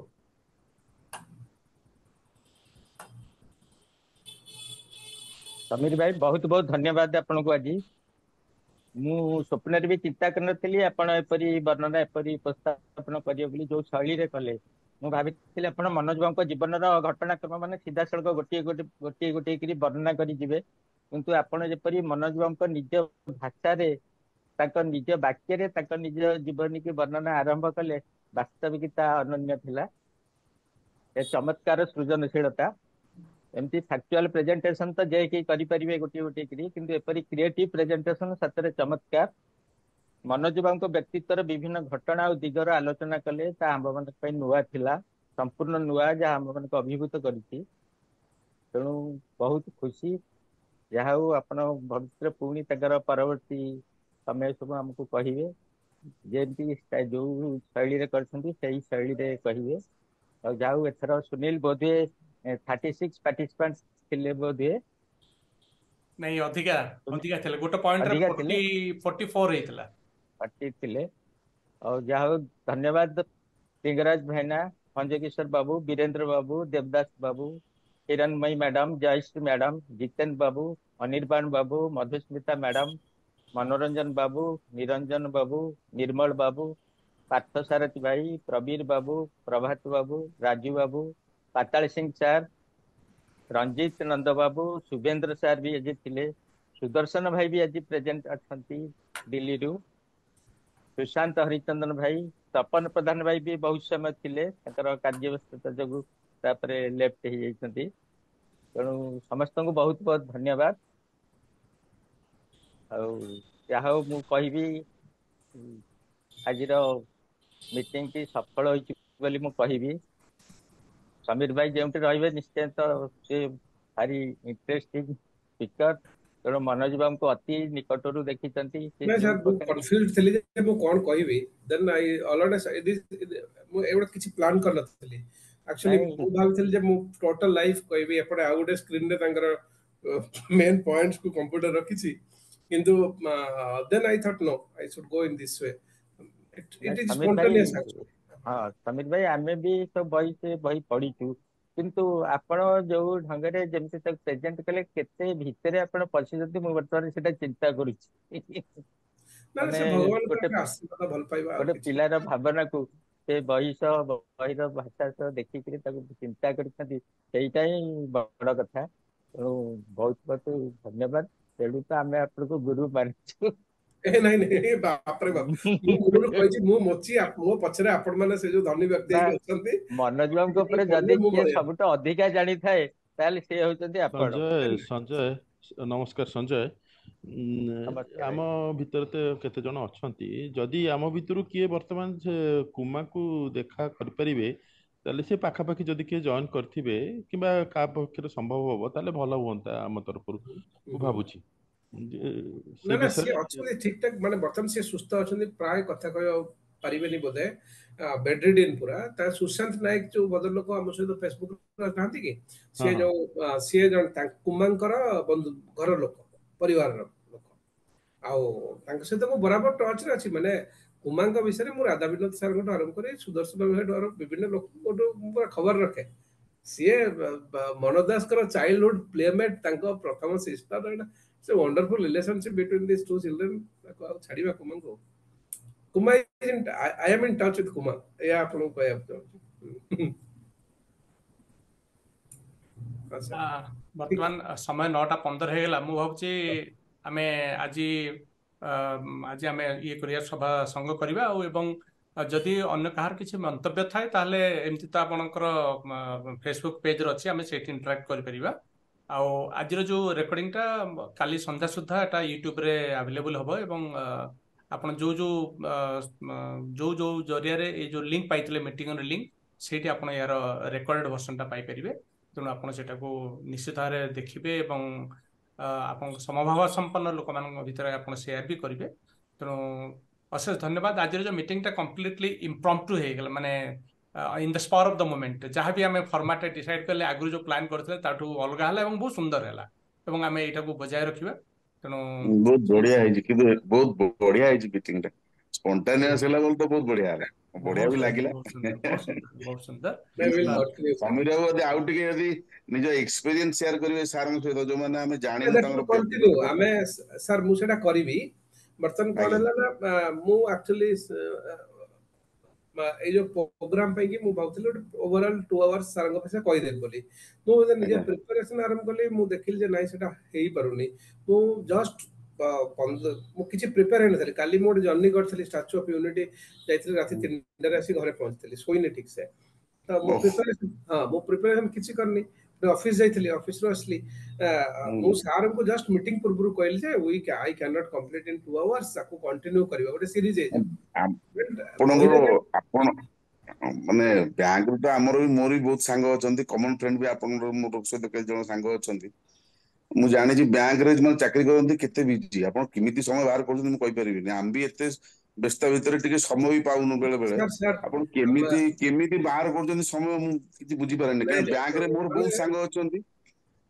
Samir ଭାଇ, ବହୁତ ବହୁତ ଧନ୍ୟବାଦ ଆପଣଙ୍କୁ। ଆଜି ମୁଁ ସ୍ୱପ୍ନରେ ବି ଚିନ୍ତା କରିନଥିଲି ଆପଣ ଏପରି ବର୍ଣ୍ଣନା, ଏପରି ଉପସ୍ଥାପନ କରିବେ ବୋଲି, ଯୋଉ ଶୈଳୀରେ କଲେ। ମୁଁ ଭାବିଥିଲି ଆପଣ ମନୋଜ ବାବୁଙ୍କ ଜୀବନର ଘଟଣାକ୍ରମ ମାନେ ସିଧାସଳଖ ଗୋଟିଏ ଗୋଟିଏ ଗୋଟିଏ ଗୋଟିଏ କରି ବର୍ଣ୍ଣନା କରି ଯିବେ, କିନ୍ତୁ ଆପଣ ଯେପରି ମନୋଜ ବାବୁଙ୍କ ନିଜ ଭାଷାରେ, ତାଙ୍କ ନିଜ ବାକ୍ୟରେ ତାଙ୍କ ନିଜ ଜୀବନୀକି ବର୍ଣ୍ଣନା ଆରମ୍ଭ କଲେ, ବାସ୍ତବିକ ତା ଅନନ୍ୟ ଥିଲା। ଏ ଚମତ୍କାର ସୃଜନଶୀଳତା। ଏମିତି ଫ୍ୟାକ୍ଚୁଆଲ ପ୍ରେଜେଣ୍ଟେସନ ତ ଯେ କେହି କରିପାରିବେ ଗୋଟିଏ ଗୋଟିଏ କରି, କିନ୍ତୁ ଏପରି କ୍ରିଏଟିଭ ପ୍ରେଜେଣ୍ଟେସନ ସତରେ ଚମତ୍କାର। ମନୋଜ ବାବୁଙ୍କ ବ୍ୟକ୍ତିତ୍ୱର ବିଭିନ୍ନ ଘଟଣା ଆଉ ଦିଗର ଆଲୋଚନା କଲେ, ତା ଆମ୍ଭମାନଙ୍କ ପାଇଁ ନୂଆ ଥିଲା, ସମ୍ପୂର୍ଣ୍ଣ ନୂଆ, ଯାହା ଆମ୍ଭମାନଙ୍କୁ ଅଭିଭୂତ କରିଛି। ତେଣୁ ବହୁତ ଖୁସି। ଯାହା ହଉ, ଆପଣ ଭବିଷ୍ୟତରେ ପୁଣି ତାଙ୍କର ପରବର୍ତ୍ତୀ ସମୟ ସବୁ ଆମକୁ କହିବେ, ଯେମିତି ଯୋଉ ଶୈଳୀରେ କରିଛନ୍ତି ସେଇ ଶୈଳୀରେ କହିବେ। ଆଉ ଯାହା ହଉ, ଏଥର ସୁନୀଲ ବୋଧହୁଏ ଥାର୍ଟି ସିକ୍ସ ପାର୍ଟିସିପାଣ୍ଟ ଥିଲେ ବୋଧହୁଏ। ନାଇଁ, ଅଧିକା ଅଧିକା ଥିଲେ। ଗୋଟେ ପଏଣ୍ଟରେ ଅଧିକା ଥିଲେ। ଫୋର୍ଟି ଫୋର୍ଟି ଫୋର ହେଇଥିଲା। ପାର୍ଟି ଥିଲେ। ଆଉ ଯାହା ହଉ, ଧନ୍ୟବାଦ ଲିଙ୍ଗରାଜ ଭାଇନା, ଭଞ୍ଜକିଶୋର ବାବୁ, ବୀରେନ୍ଦ୍ର ବାବୁ, ଦେବଦାସ ବାବୁ, ହିରଣ୍ମୟୀ ମ୍ୟାଡାମ, ଜୟଶ୍ରୀ ମ୍ୟାଡାମ, ଜିତେନ ବାବୁ, ଅନିର୍ବାଣ ବାବୁ, ମଧୁସ୍ମିତା ମ୍ୟାଡାମ, ମନୋରଞ୍ଜନ ବାବୁ, ନିରଞ୍ଜନ ବାବୁ, ନିର୍ମଳ ବାବୁ, ପାର୍ଥ ସାରଥୀ ଭାଇ, ପ୍ରବୀର ବାବୁ, ପ୍ରଭାତ ବାବୁ, ରାଜୁ ବାବୁ, ପାତାଳ ସିଂ ସାର୍, ରଞ୍ଜିତ ନନ୍ଦ ବାବୁ, ଶୁଭେନ୍ଦ୍ର ସାର୍ ବି ଆଜି ଥିଲେ, ସୁଦର୍ଶନ ଭାଇ ବି ଆଜି ପ୍ରେଜେଣ୍ଟ ଅଛନ୍ତି ଦିଲ୍ଲୀରୁ, ସୁଶାନ୍ତ ହରିଚନ୍ଦନ ଭାଇ, ତପନ ପ୍ରଧାନ ଭାଇ ବି ବହୁତ ସମୟ ଥିଲେ, ତାଙ୍କର କାର୍ଯ୍ୟ ବ୍ୟସ୍ତତା ଯୋଗୁ ତାପରେ ଲେଫ୍ଟ ହେଇଯାଇଛନ୍ତି। ତେଣୁ ସମସ୍ତଙ୍କୁ ବହୁତ ବହୁତ ଧନ୍ୟବାଦ। ଆଉ ଯାହା ହଉ, ମୁଁ କହିବି ଉଁ, ଆଜିର ମିଟିଂ ଟି ସଫଳ ହୋଇଛି ବୋଲି ମୁଁ କହିବି। ସମୀର ଭାଇ ଯେଉଁଠି ରହିବେ ନିଶ୍ଚୟ ତ ସେ ଭାରି ଇଣ୍ଟରେଷ୍ଟିଂ ସ୍ପିକର, ତେଣୁ ମନୋଜ ବାବୁଙ୍କୁ ଅତି ନିକଟରୁ ଦେଖିଛନ୍ତି ସେ ନାଇଁ ଯୋଉ ସାର୍, ମୁଁ ପ୍ରକାର କନଫ୍ୟୁଜ ଥିଲି ଯେ ମୁଁ କଣ କହିବି। ଦେନ୍ I already ମୁଁ ଏଗୁଡ଼ା କିଛି ପ୍ଲାନ୍ କରିନଥିଲି ଆକ୍ଚୁଆଲି। ନାଇଁ ମୁଁ ଭାବିଥିଲି ଯେ ମୁଁ ଟୋଟାଲ ଲାଇଫ କହିବି, ଏପଟେ ଆଉ ଗୋଟେ ସ୍କ୍ରିନରେ ତାଙ୍କର ମେନ୍ ପଏଣ୍ଟସ କୁ କମ୍ପ୍ୟୁଟର ରଖିଛି, କିନ୍ତୁ then I thought, no, I should go in this way. ନାଇଁ it is Samir ଭାଇ ସ୍ପଣ୍ଟାନିୟସ୍ ଆକ୍ଚୁଆଲି। ହଁ ସମୀର ଭାଇ, ଆମେ ବି ସବୁ ବହି ସେ ବହି ପଢିଛୁ, କିନ୍ତୁ ଆପଣ ଯୋଉ ଢଙ୍ଗରେ ଯେମିତି ତାକୁ ପ୍ରେଜେଣ୍ଟ କଲେ, କେତେ ଭିତରେ ଆପଣ ପଶିଛନ୍ତି, ମୁଁ ବର୍ତ୍ତମାନ ସେଟା ଚିନ୍ତା କରୁଛି। ନା ନା, ମାନେ ସେ ଭଗବାନଙ୍କର ଗୋଟେ ଗୋଟେ ଆଶୀର୍ବାଦ, ଭଲ ପାଇବା ଆଉ ଗୋଟେ କିଛି। ପିଲାର ଭାବନାକୁ ସେ ବହି ସହ, ବହିର ଭାଷା ସହ ଦେଖିକିରି ତାକୁ ଚିନ୍ତା କରିଛନ୍ତି, ସେଇଟା ହିଁ ବଡ କଥା। ତେଣୁ ବହୁତ ବହୁତ ଧନ୍ୟବାଦ। ତେଣୁ ତ ଆମେ ଆପଣଙ୍କୁ ଗୁରୁ ମାନୁଛୁ। ଏ ନାଇଁ ନାଇଁ, ବାପରେ ବାପ, ମୁଁ ମୂଳରୁ କହିଛି, ମୁଁ ମୋଚି, ମୋ ପଛରେ ଆପଣ ମାନେ ସେ ଯୋଉ ଧନୀ ବ୍ୟକ୍ତି ନା ହେଇକି ଅଛନ୍ତି ମନୋଜ ବାବୁଙ୍କ ଉପରେ ପଢିଲେ ଯଦି ମୁଁ କିଏ ବଳିଆ ସବୁଠୁ ଅଧିକା ଜାଣିଥାଏ, ତାହେଲେ ସେ ହଉଛନ୍ତି ଆପଣ। ସଞ୍ଜୟ, ସଞ୍ଜୟ, ନମସ୍କାର ସଞ୍ଜୟ। ଉଁ, ନମସ୍କାର ଆମ ଭାଇ। ଭିତରେ ତ କେତେ ଜଣ ଅଛନ୍ତି, ଯଦି ଆମ ଭିତରୁ କିଏ ବର୍ତ୍ତମାନ ସେ କୁମାକୁ ଦେଖା କରିପାରିବେ, ତାହେଲେ ସେ ପାଖାପାଖି ଯଦି କିଏ ଜଏନ୍ କରିଥିବେ କିମ୍ବା କାହା ପକ୍ଷରେ ସମ୍ଭବ ହବ, ତାହେଲେ ଭଲ ହୁଅନ୍ତା ଆମ ତରଫରୁ, ମୁଁ ଭାବୁଛି ଯେ ସେ ନା ନା, ସିଏ ବିଷୟରେ। ଅଛନ୍ତି ଠିକ ଠାକ, ମାନେ ବର୍ତ୍ତମାନ ସିଏ ସୁସ୍ଥ ଅଛନ୍ତି ପ୍ରାୟ। କଥା କହିବା ପାରିବେନି ବୋଧେ, ବେଡ୍ ରିଡିନ୍ ପୁରା। ତା ସୁଶାନ୍ତ ନାୟକ ଯୋଉ ଭଦ୍ରଲୋକ ଆମ ସହିତ ଫେସବୁକ୍ ନାହାନ୍ତି କି, ହଁ ସିଏ ହଁ ଯୋଉ ଆ, ସିଏ ଜଣେ ତାଙ୍କ କୁମାଙ୍କର ବନ୍ଧୁ, ଘର ଲୋକ, ପରିବାରର ଲୋକ, ଆଉ ତାଙ୍କ ସହିତ ମୁଁ ବରାବର ଟଚରେ ଅଛି। ମାନେ କୁମାଙ୍କ ବିଷୟରେ ମୁଁ ରାଧା ବିନୋଦ ସାର୍ଙ୍କଠୁ ଆରମ୍ଭ କରି ସୁଦର୍ଶନ ଭାଇଠୁ ଆରମ୍ଭ ବିଭିନ୍ନ ଲୋକଙ୍କଠୁ ମୁଁ ପୁରା ଖବର ରଖେ। ସିଏ ମନୋଜ ଦାସଙ୍କର ଚାଇଲ୍ଡହୁଡ୍ ପ୍ଲେମେଟ୍, ତାଙ୍କ ପ୍ରଥମ ସିଷ୍ଟର। ଏଇଟା ସେ wonderful relationship between this two children. ତାକୁ ଆଉ ଛାଡ଼ିବା କୁମାଙ୍କୁ। Kuma, I am in touch with Kuma, ଏଇଆ ଆପଣଙ୍କୁ କହିବାକୁ ଚାହୁଁଛି। ବର୍ତ୍ତମାନ ସମୟ ନଅଟା ପନ୍ଦର ହେଇଗଲା। ମୁଁ ଭାବୁଛି ଆମେ ଆଜି ଆଜି ଆମେ ଇଏ କରିବା, ସଭା ସଙ୍ଗ କରିବା। ଆଉ ଏବଂ ଯଦି ଅନ୍ୟ କାହାର କିଛି ମନ୍ତବ୍ୟ ଥାଏ, ତାହେଲେ ଏମିତି ତ ଆପଣଙ୍କର ଫେସବୁକ୍ ପେଜରେ ଅଛି, ଆମେ ସେଇଠି ଇଣ୍ଟରାକ୍ଟ କରିପାରିବା। ଆଉ ଆଜିର ଯୋଉ ରେକର୍ଡିଂଟା କାଲି ସନ୍ଧ୍ୟା ସୁଦ୍ଧା ଏଟା ୟୁଟ୍ୟୁବରେ ଆଭେଲେବୁଲ ହବ ଏବଂ ଆପଣ ଯୋଉ ଯୋଉ ଯୋଉ ଯୋଉ ଜରିଆରେ ଏଇ ଯୋଉ ଲିଙ୍କ ପାଇଥିଲେ, ମିଟିଂର ଲିଙ୍କ, ସେଇଠି ଆପଣ ଏହାର ରେକର୍ଡେଡ ଭର୍ସନଟା ପାଇପାରିବେ। ତେଣୁ ଆପଣ ସେଟାକୁ ନିଶ୍ଚିତ ଭାବରେ ଦେଖିବେ ଏବଂ ଆପଣଙ୍କ ସମଭାବ ସମ୍ପନ୍ନ ଲୋକମାନଙ୍କ ଭିତରେ ଆପଣ ସେୟାର ବି କରିବେ। ତେଣୁ ଅଶେଷ ଧନ୍ୟବାଦ। ଆଜିର ଯୋଉ ମିଟିଂଟା କମ୍ପ୍ଲିଟଲି ଇମ୍ପ୍ରମ୍ପଟୁ ହେଇଗଲା, ମାନେ in the spur of the moment ଯାହା ବି ଆମେ ଫର୍ମାଟ ଡିସାଇଡ୍ କଲେ, ଆଗରୁ ଯୋଉ ପ୍ଲାନ୍ କରିଥିଲେ ତାଠୁ ଅଲଗା ହେଲା ଏବଂ ବହୁତ ସୁନ୍ଦର ହେଲା ଏବଂ ଆମେ ଏଇଟାକୁ ବଜାୟ ରଖିବା। ତେଣୁ ବହୁତ ବଢିଆ ହେଇଛି, କିନ୍ତୁ ବହୁତ ବଢିଆ ହେଇଛି ମିଟିଂ ଟା। ସ୍ପଣ୍ଟାନିୟସ ହେଲା ବୋଲି ତ ବହୁତ ବଢିଆ ହେଲା, ବଢିଆ ବି ଲାଗିଲା। ବହୁତ ସୁନ୍ଦର। ସମୀର ବାବୁ ଯଦି ଆଉ ଟିକେ ଯଦି ନିଜ ଏକ୍ସପିରିଏନ୍ସ ସେୟାର କରିବେ ସାରଙ୍କ ସହିତ, ଯୋଉମାନେ ଆମେ ଜାଣିନୁ ତାଙ୍କର। କଣ୍ଟିନ୍ୟୁ ଆମେ ସାର୍, ମୁଁ ସେଇଟା କରିବି। ବର୍ତ୍ତମାନ କଣ ହେଲା ନା, ମୁଁ ଆକ୍ଚୁଆଲି ଏଇ ଯୋଉ ପ୍ରୋଗ୍ରାମ ପାଇଁକି ମୁଁ ଭାବୁଥିଲି ଗୋଟେ ଓଭରଅଲ୍ ଟୁ ଆୱାର୍ସ ସାରଙ୍କ ପାଖରେ କହିଦେବି ବୋଲି। ମୁଁ ନିଜ ପ୍ରିପାରେସନ ଆରମ୍ଭ କଲି, ମୁଁ ଦେଖିଲି ଯେ ନାଇଁ, ସେଟା ହେଇପାରୁନି। ମୁଁ ଜଷ୍ଟ ମୁଁ କିଛି ପ୍ରିପେୟାର ହେଇନଥିଲି। କାଲି ମୁଁ ଗୋଟେ ଜର୍ଣ୍ଣି କରିଥିଲି, ଷ୍ଟାଚୁ ଅଫ ୟୁନିଟି ଯାଇଥିଲି, ରାତି ତିନିଟାରେ ଆସି ଘରେ ପହଞ୍ଚିଥିଲି, ଶୋଇନି ଠିକ ସେ। ତ ମୁଁ ପ୍ରିପାରେସନ, ହଁ, ମୁଁ ପ୍ରିପାରେସନ କିଛି କରିନି। ଅଫିସ ଯାଇଥିଲି, ଅଫିସରୁ ଆସିଲି। ମୁଁ ସାରଙ୍କୁ ଜଷ୍ଟ ମିଟିଂ ପୂର୍ବରୁ କହିଲି ଯେ we I can not complete in two hours, ତାକୁ କଣ୍ଟିନ୍ୟୁ କରିବା, ଗୋଟେ ସିରିଜ ହେଇଯିବ। ଆପଣଙ୍କର ଆପଣ ମାନେ ବ୍ୟାଙ୍କରୁ ତ ଆମର ବି ମୋର ବି ବହୁତ ସାଙ୍ଗ ଅଛନ୍ତି, କମନ ଫ୍ରେଣ୍ଡ ବି ଆପଣଙ୍କର ମୋର ସହିତ କେତେ ଜଣ ସାଙ୍ଗ ଅଛନ୍ତି। ମୁଁ ଜାଣିଛି ବ୍ୟାଙ୍କରେ ମାନେ ଚାକିରି କରନ୍ତି, କେତେ ବିଜି। ଆପଣ କେମିତି ସମୟ ବାହାର କରୁଛନ୍ତି ମୁଁ କହିପାରିବିନି। ଆମେ ବି ଏତେ ବ୍ୟସ୍ତ ଭିତରେ ଟିକେ ସମୟ ବି ପାଉନୁ ବେଳେ ବେଳେ। ଆପଣ କେମିତି କେମିତି ବାହାର କରୁଛନ୍ତି ସମୟ, ମୁଁ କିଛି ବୁଝିପାରେନି। କାରଣ ବ୍ୟାଙ୍କରେ ମୋର ବହୁତ ସାଙ୍ଗ ଅଛନ୍ତି,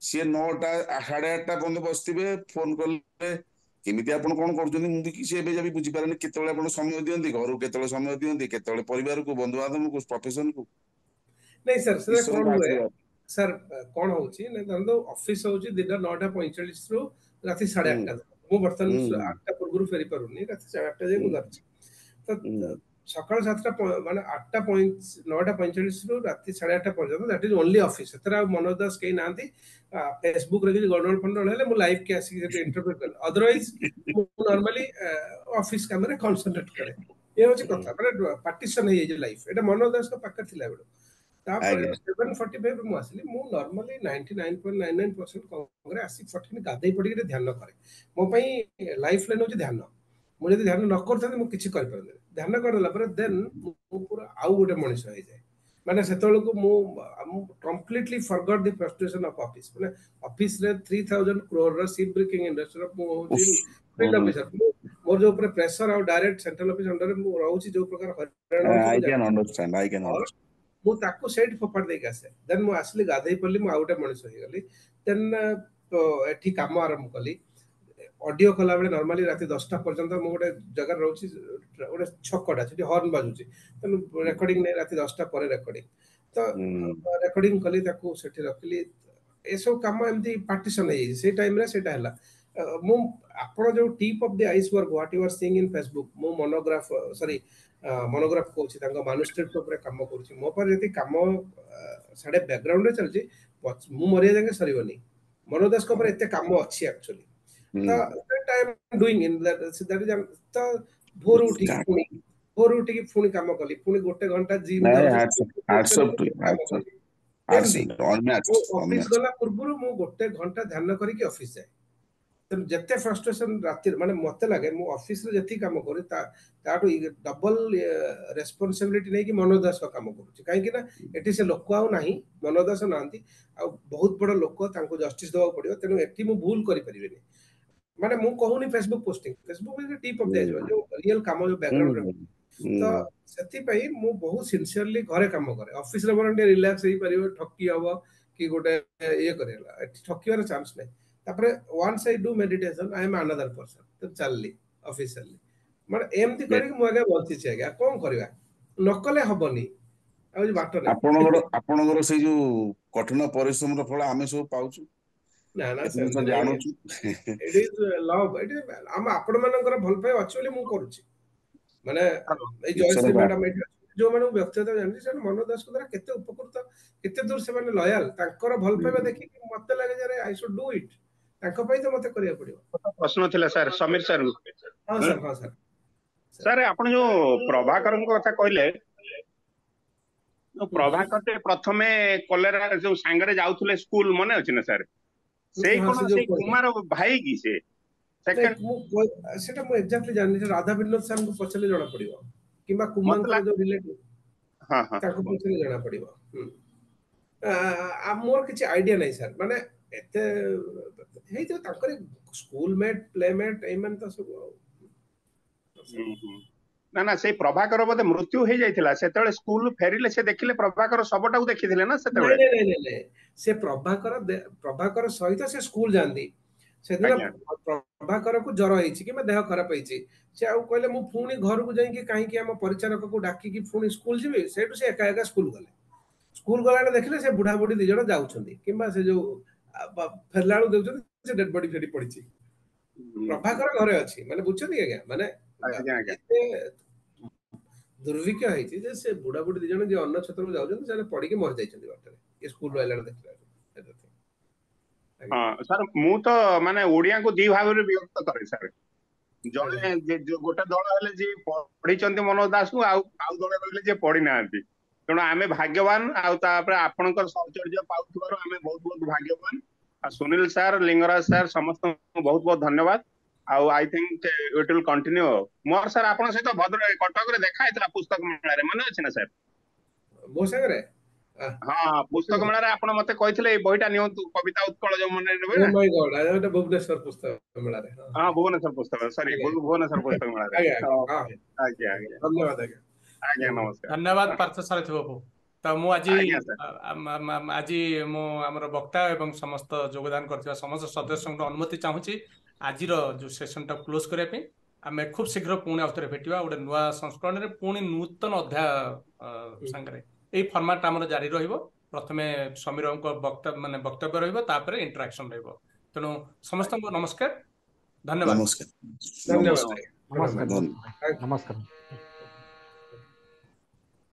ସିଏ ନଅଟା ସାଢେ ଆଠଟା ପର୍ଯ୍ୟନ୍ତ ବସିଥିବେ। ଫୋନ କଲେ କେମିତି ଆପଣ କଣ କରୁଛନ୍ତି, ମୁଁ ବି କିଛି ଏବେ ଯାଏ ବୁଝିପାରେନି। କେତେବେଳେ ଆପଣ ସମୟ ଦିଅନ୍ତି ଘରକୁ, କେତେବେଳେ ସମୟ ଦିଅନ୍ତି, କେତେବେଳେ ପରିବାରକୁ, ବନ୍ଧୁବାନ୍ଧବକୁ, ପ୍ରଫେସନକୁ? ନାଇଁ ସାର୍, ସେଟା କଣ ହୁଏ ସାର୍, କଣ ହଉଛି ନା, ଧରନ୍ତୁ ଅଫିସ ହଉଛି ଦିନ ନଅଟା ପଇଁଚାଳିଶରୁ ରାତି ସାଢେ ଆଠଟା। ମୁଁ ବର୍ତ୍ତମାନ ଆଠଟା ପୂର୍ବରୁ ଫେରି ପାରୁନି, ରାତି ସାଢେ ଆଠଟା ଯାଏ ମୁଁ ଧରିଛି। ତ ସକାଳ ସାତଟା, ମାନେ ଆଠଟା, ନଅଟା ପଇଁଚାଳିଶରୁ ରାତି ସାଢେ ଆଠଟା ପର୍ଯ୍ୟନ୍ତ that is only office. ସେଥିରେ ଆଉ ମନୋଜ ଦାସ କେହି ନାହାନ୍ତି। ଫେସବୁକରେ କିଛି ଗଣ୍ଡଗୋଳ ଫଣ୍ଡଗୋଳ ହେଲେ ମୁଁ ଲାଇଭ୍ କି ଆସିକି ସେଠି ଇଣ୍ଟରଫିୟର କରେ, ଅଦରୱାଇଜ ମୁଁ ନର୍ମାଲି ଅଫିସ କାମରେ କନସେନ୍ଟ୍ରେଟ୍ କରେ। ଏ ହଉଛି କଥା, ମାନେ ପାର୍ଟିସନ ହେଇଯାଇଛି ଲାଇଫ। ଏଇଟା ମନୋଜ ଦାସଙ୍କ ପାଖରେ ଥିଲା ବେଳୁ। ତାପରେ ସେଭେନ ଫର୍ଟି ଫାଇଭ ମୁଁ ଆସିଲି। ମୁଁ normally ninety nine point nine nine percent କରେ, ଆସି ଫଟିନି ଗାଧେଇ ପଡ଼ିକି ଧ୍ୟାନ କରେ। ମୋ ପାଇଁ ଲାଇଫ ଲାଇନ୍ ହଉଛି ଧ୍ୟାନ। ମୁଁ ଯଦି ଧ୍ୟାନ ନ କରିଥାନ୍ତି, ମୁଁ କିଛି କରିପାରନ୍ତିନି। ଧ୍ୟାନ କରିଦେଲା ପରେ ଦେନ୍ ମୁଁ ପୁରା ଆଉ ଗୋଟେ ମଣିଷ ହେଇଯାଏ। ମାନେ ସେତେବେଳକୁ ମୁଁ ମୁଁ completely forgot the frustration of office. ମାନେ ଅଫିସରେ ଥ୍ରୀ ଥାଉଜେଣ୍ଡ କ୍ରୋରର ସିପ୍ ବ୍ରେକିଂ ଇଣ୍ଡଷ୍ଟ୍ରିର ମୁଁ ହଉଛି ଫିଲ୍ଡ ଅଫିସର। ମୋର ଯୋଉ ଉପରେ ପ୍ରେସର ଆଉ ଡାଇରେକ୍ଟ ସେଣ୍ଟ୍ରାଲ ଅଫିସ ଅଣ୍ଡରରେ ମୁଁ ରହୁଛି, ଯୋଉ ପ୍ରକାର ହଇରାଣ, ମୁଁ ତାକୁ ସେଇଠି ଫୋପାଡ଼ି ଦେଇକି ଆସେ। ଦେନ୍ ମୁଁ ଆସିଲି, ଗାଧେଇ ପଡିଲି, ମୁଁ ଆଉ ଗୋଟେ ମଣିଷ ହେଇଗଲି। ଦେନ୍ ଏଠି କାମ ଆରମ୍ଭ କଲି। ଅଡିଓ କଲାବେଳେ ନର୍ମାଲି ରାତି ଦଶଟା ପର୍ଯ୍ୟନ୍ତ। ମୁଁ ଗୋଟେ ଜାଗାରେ ରହୁଛି, ଗୋଟେ ଛକଟା, ସେଠି ହର୍ନ ବାଜୁଛି, ତେଣୁ ରେକର୍ଡିଂ ନାହିଁ, ରାତି ଦଶଟା ପରେ ରେକର୍ଡିଂ। ତ ରେକର୍ଡିଂ କଲି, ତାକୁ ସେଠି ରଖିଲି। ଏସବୁ କାମ ଏମିତି ପାର୍ଟିସନ ହେଇଯାଇଛି। ସେଇ ଟାଇମରେ ସେଇଟା ହେଲା। ମୁଁ ଆପଣ ଯୋଉ tip of the iceberg what you are seeing in Facebook, ମୁଁ ମନୋଗ୍ରାଫ, ସରି, ମନୋଗ୍ରାଫ କହୁଛି, ତାଙ୍କ ମାନୁସ୍କ୍ରିପ୍ଟ ଉପରେ କାମ କରୁଛି। ମୋ ପାଖରେ ଯେତିକି କାମ ସାଡେ ବ୍ୟାକଗ୍ରାଉଣ୍ଡରେ ଚାଲିଛି, ମୁଁ ମରିବା ଯାକେ ସରିବନି। ମନୋଜ ଦାସଙ୍କ ଉପରେ ଏତେ କାମ ଅଛି ଆକ୍ଚୁଆଲି। ତ I am doing in that ତ ଭୋରୁ ଉଠିକି ପୁଣି ଭୋରୁ ଉଠିକି ପୁଣି କାମ କଲି, ପୁଣି ଗୋଟେ ଘଣ୍ଟା ଜିମ୍। ଅଫିସ ଗଲା ପୂର୍ବରୁ ମୁଁ ଗୋଟେ ଘଣ୍ଟା ଧ୍ୟାନ କରିକି ଅଫିସ ଯାଏ। ତେଣୁ ଯେତେ ଫ୍ରଷ୍ଟ୍ରେସନ ରାତିରେ, ମାନେ ମତେ ଲାଗେ ମୁଁ ଅଫିସରେ ଯେତିକି କାମ କରେ, ତା ତାଠୁ ଡବଲ ରେସ୍ପନ୍ସିବିଲିଟି ନେଇକି ମନୋଜ ଦାସଙ୍କ କାମ କରୁଛି। କାହିଁକି ନା ଏଠି ସେ ଲୋକ ଆଉ ନାହିଁ, ମନୋଜ ଦାସ ନାହାନ୍ତି ଆଉ, ବହୁତ ବଡ ଲୋକ, ତାଙ୍କୁ ଜଷ୍ଟିସ ଦେବାକୁ ପଡିବ। ତେଣୁ ଏଠି ମୁଁ ଭୁଲ କରିପାରିବିନି। ମାନେ ମୁଁ କହୁନି Facebook posting, Facebook tip of ଦିଆଯିବ, ଯୋଉ ରିଏଲ କାମ ଯୋଉ ବ୍ୟାକଗ୍ରାଉଣ୍ଡରେ। ତ ସେଥିପାଇଁ ମୁଁ ବହୁତ ସିନସିୟରଲି ଘରେ କାମ କରେ। ଅଫିସରେ ବରଂ ଟିକେ ରିଲାକ୍ସ ହେଇପାରିବ, ଠକି ହବ କି ଗୋଟେ ଇଏ କରିହେଲା, ଏଠି ଠକିବାର ଚାନ୍ସ ନାହିଁ। ତାପରେ once I do meditation, I am another person. ତ ଚାଲିଲି, ଅଫିସ ଚାଲିଲି। ମାନେ ଏମିତି କରିକି ମୁଁ ଆଜ୍ଞା ବଞ୍ଚିଛି ଆଜ୍ଞା। କଣ କରିବା, ନ କଲେ ହବନି, ଆଉ କିଛି ବାଟ ନାହିଁ। ଆପଣଙ୍କର ଆପଣଙ୍କର ସେଇ ଯୋଉ କଠିନ ପରିଶ୍ରମର ଫଳ ଆମେ ସବୁ ପାଉଛୁ। ନା ନା, ଏତେ ଜିନିଷ ସେମିତି ନାହିଁ। ଜାଣୁଛୁ। It is love. ଏଠି ଆମ ଆପଣ ମାନଙ୍କର ଭଲ ପାଇବା ଅଛି ବୋଲି ମୁଁ କରୁଛି। ମାନେ ଏଇ ଜୟଶ୍ରୀ ଈଶ୍ୱରଙ୍କ ମ୍ୟାଡାମ ଏଇଠି ଅଛନ୍ତି, ଯୋଉମାନଙ୍କୁ ବ୍ୟକ୍ତିଗତ ଜାଣିଛି, ସେମାନେ ମନୋଜ ଦାସଙ୍କ ଦ୍ୱାରା କେତେ ଉପକୃତ, କେତେ ଦୂର ସେମାନେ ଲୟାଲ, ତାଙ୍କର ଭଲ ପାଇବା ଦେଖିକି ମତେ ଲାଗେ ଯେ I should do it. ତାଙ୍କ ପାଇଁ ତ ମତେ କରିବାକୁ ପଡିବ। ପ୍ରଶ୍ନ ଥିଲା ସାର୍, ସମୀର ସାର୍। ହଁ ସାର୍, ହଁ ସାର୍। ସାର୍, ଆପଣ ଯୋଉ ପ୍ରଭାକରଙ୍କ କଥା କହିଲେ, ଯୋଉ ପ୍ରଭାକର ପ୍ରଥମେ କଲେରା ଯୋଉ ସାଙ୍ଗରେ ଯାଉଥିଲେ ସ୍କୁଲ, ମନେ ଅଛି ନା ସାର୍? ସେଇ ହଁ, କଣ ସେ ଯୋଉ ସେଇ କହିଲେ। କୁମାର ଭାଇ କି ସେ ସେକେଣ୍ଡ? ମୁଁ ସେଟା ମୁଁ ଏକ୍ଜାକ୍ଟଲି ଜାଣିନି, ସେ ରାଧା ବିନୋଦ ସାର୍ଙ୍କୁ ପଚାରିଲେ ଜଣା ପଡିବ, କିମ୍ବା ମତେ କୁମାଙ୍କର ଯୋଉ ରିଲେଟିଭ ହଁ ହଁ ତାଙ୍କୁ ପଚାରିଲେ ଜଣା ପଡିବ। ହୁଁ, ଆ ମୋର କିଛି ଆଇଡିଆ ନାହିଁ ସାର୍। ମାନେ ଏତେ ହେଇଥିବ ତାଙ୍କରି ସ୍କୁଲ ମେଟ୍, ପ୍ଲେମେଟ୍ ଏଇମାନେ ତ ସବୁ ଆଉ। ହୁଁ ହୁଁ ନା ନା, ସେଇ ପ୍ରଭାକର ବୋଧେ ମୃତ୍ୟୁ ହେଇଯାଇଥିଲା ସେତେବେଳେ। ସ୍କୁଲ ଫେରିଲେ ସେ ଦେଖିଲେ, ପ୍ରଭାକର ଶବଟାକୁ ଦେଖିଥିଲେ ନା ନାଇଁ ସେତେବେଳେ? ନାଇଁ ନାଇଁ ନାଇଁ ନାଇଁ ସେ ପ୍ରଭାକର ଦେ- ପ୍ରଭାକର ସହିତ ସେ ସ୍କୁଲ ଯାଆନ୍ତି। ସେଦିନ ଆଜ୍ଞା ପ୍ରଭାକରକୁ ଜ୍ୱର ହେଇଛି କିମ୍ବା ଦେହ ଖରାପ ହେଇଛି, ସେ ଆଉ କହିଲେ ମୁଁ ପୁଣି ଘରକୁ ଯାଇକି କାହିଁକି ଆମ ପରିଚାରକକୁ ଡାକିକି ପୁଣି ସ୍କୁଲ ଯିବି। ସେଇଠୁ ସେ ଏକା ଏକା ସ୍କୁଲ ଗଲେ। ସ୍କୁଲ ଗଲାବେଳେ ଦେଖିଲେ ସେ ବୁଢା ବୁଢୀ ଦି ଜଣ ଯାଉଛନ୍ତି, କିମ୍ବା ସେ ଯୋଉ ଆ, ବ- ଫେରିଲା ବେଳକୁ ଦେଖୁଛନ୍ତି ସେ ଡେଡ ବଡି ସେଠି ପଡିଛି। ହୁଁ, ପ୍ରଭାକର ଘରେ ଅଛି। ମାନେ ବୁଝୁଛନ୍ତି ଆଜ୍ଞା, ମାନେ ଆଜ୍ଞା ଆଜ୍ଞା ଏତେ ଦୁର୍ଭିକ୍ଷ ହେଇଛି ଯେ ସେ ବୁଢା ବୁଢୀ ଦି ଜଣ ଯିଏ ଅନ୍ନ ଛତ୍ରକୁ ଯାଉଛନ୍ତି, ସେମାନେ ପଡିକି ମରି ଯାଇଛନ୍ତି ବାଟରେ, ଏ ସ୍କୁଲ ଆଇଲା ବେଳେ ଦେଖିଲା ବେଳକୁ। ଆଜ୍ଞା। ହଁ ସାର୍, ମୁଁ ତ ମାନେ ଓଡିଆଙ୍କୁ ଦି ଭାଗରେ ବିଭକ୍ତ କରେ ସାର୍। ଜଣେ ଆଜ୍ଞା ଯେ- ଯୋଉ ଗୋଟେ ଦଳ ହେଲେ ଯିଏ ପଢିଛନ୍ତି ମନୋଜ ଦାସଙ୍କୁ, ଆଉ ଆଉ ଦଳ ରହିଲେ ଯିଏ ପଢି ନାହାନ୍ତି। ତେଣୁ ଆମେ ଭାଗ୍ୟବାନ, ଆଉ ତାପରେ ଆପଣଙ୍କର ସାହଚର୍ଯ୍ୟ ପାଉଥିବାରୁ ଆମେ ବହୁତ ବହୁତ ଭାଗ୍ୟବାନ। ଆଉ ସୁନୀଲ ସାର୍, ଲିଙ୍ଗରାଜ ସାର୍, ସମସ୍ତଙ୍କୁ ବହୁତ ବହୁତ ଧନ୍ୟବାଦ। ଆଉ I think it will continue. ମୋର ସାର୍ ଆପଣଙ୍କ ସହିତ ଭଦ୍ରକ କଟକରେ ଦେଖା ହେଇଥିଲା ପୁସ୍ତକ ମେଳାରେ, ମନେ ଅଛି ନା ସାର୍? ମୋ ସାଙ୍ଗରେ ଆ, ହଁ, ପୁସ୍ତକ ମେଳାରେ ଆପଣ ମତେ କହିଥିଲେ ଏଇ ବହିଟା ନିଅନ୍ତୁ, କବିତା ଉତ୍କଳ ଯୋଉ ମନେ ନେବେ ଓ ନା। ମାଇ ଗଡ୍, ଏଇଟା ଭୁବନେଶ୍ୱର ପୁସ୍ତକ ମେଳାରେ? ହଁ। ହଁ, ଭୁବନେଶ୍ୱର ପୁସ୍ତକ, ସରି, ଆଜ୍ଞା ଭୁବନେଶ୍ୱର ପୁସ୍ତକ ମେଳାରେ। ଆଜ୍ଞା ଆଜ୍ଞା ହଁ, ହଁ ଆଜ୍ଞା ଆଜ୍ଞା ଧନ୍ୟବାଦ ଆଜ୍ଞା। ଆଜ୍ଞା, ନମସ୍କାର। ଧନ୍ୟବାଦ ପାର୍ଥ ସାରଥୀ ବାବୁ। ତ ମୁଁ ଆଜି ଆଜ୍ଞା ସାର୍। ଆ- ଆ- ଆ- ଆଜି ମୁଁ ଆମର ବକ୍ତା ଏବଂ ସମସ୍ତ ଯୋଗଦାନ କରିଥିବା ସମସ୍ତ ସଦସ୍ୟଙ୍କ ଅନୁମତି ଚାହୁଁଛି ଆଜିର ଯୋଉ ସେସନଟା କ୍ଲୋଜ କରିବା ପାଇଁ। ଆମେ ଖୁବ ଶୀଘ୍ର ପୁଣି ଆଉଥରେ ଭେଟିବା ଗୋଟେ ନୂଆ ସଂସ୍କରଣରେ, ପୁଣି ନୂତନ ଅଧ୍ୟାୟ ଅ, ସାଙ୍ଗରେ। ଏଇ ଫର୍ମାଟ ଆମର ଜାରି ରହିବ। ପ୍ରଥମେ ସମୀରଙ୍କ ବକ୍ତ ମାନେ ବକ୍ତବ୍ୟ ରହିବ, ତାପରେ ଇଣ୍ଟରାକ୍ସନ ରହିବ। ତେଣୁ ସମସ୍ତଙ୍କୁ ନମସ୍କାର, ଧନ୍ୟବାଦ। ନମସ୍କାର। ଧନ୍ୟବାଦ ନମସ୍କାର। ଆଜ୍ଞା, ପ୍ରଣାମ। ନମସ୍କାର। ଧନ୍ୟବାଦ। Thank you. ନମସ୍କାର।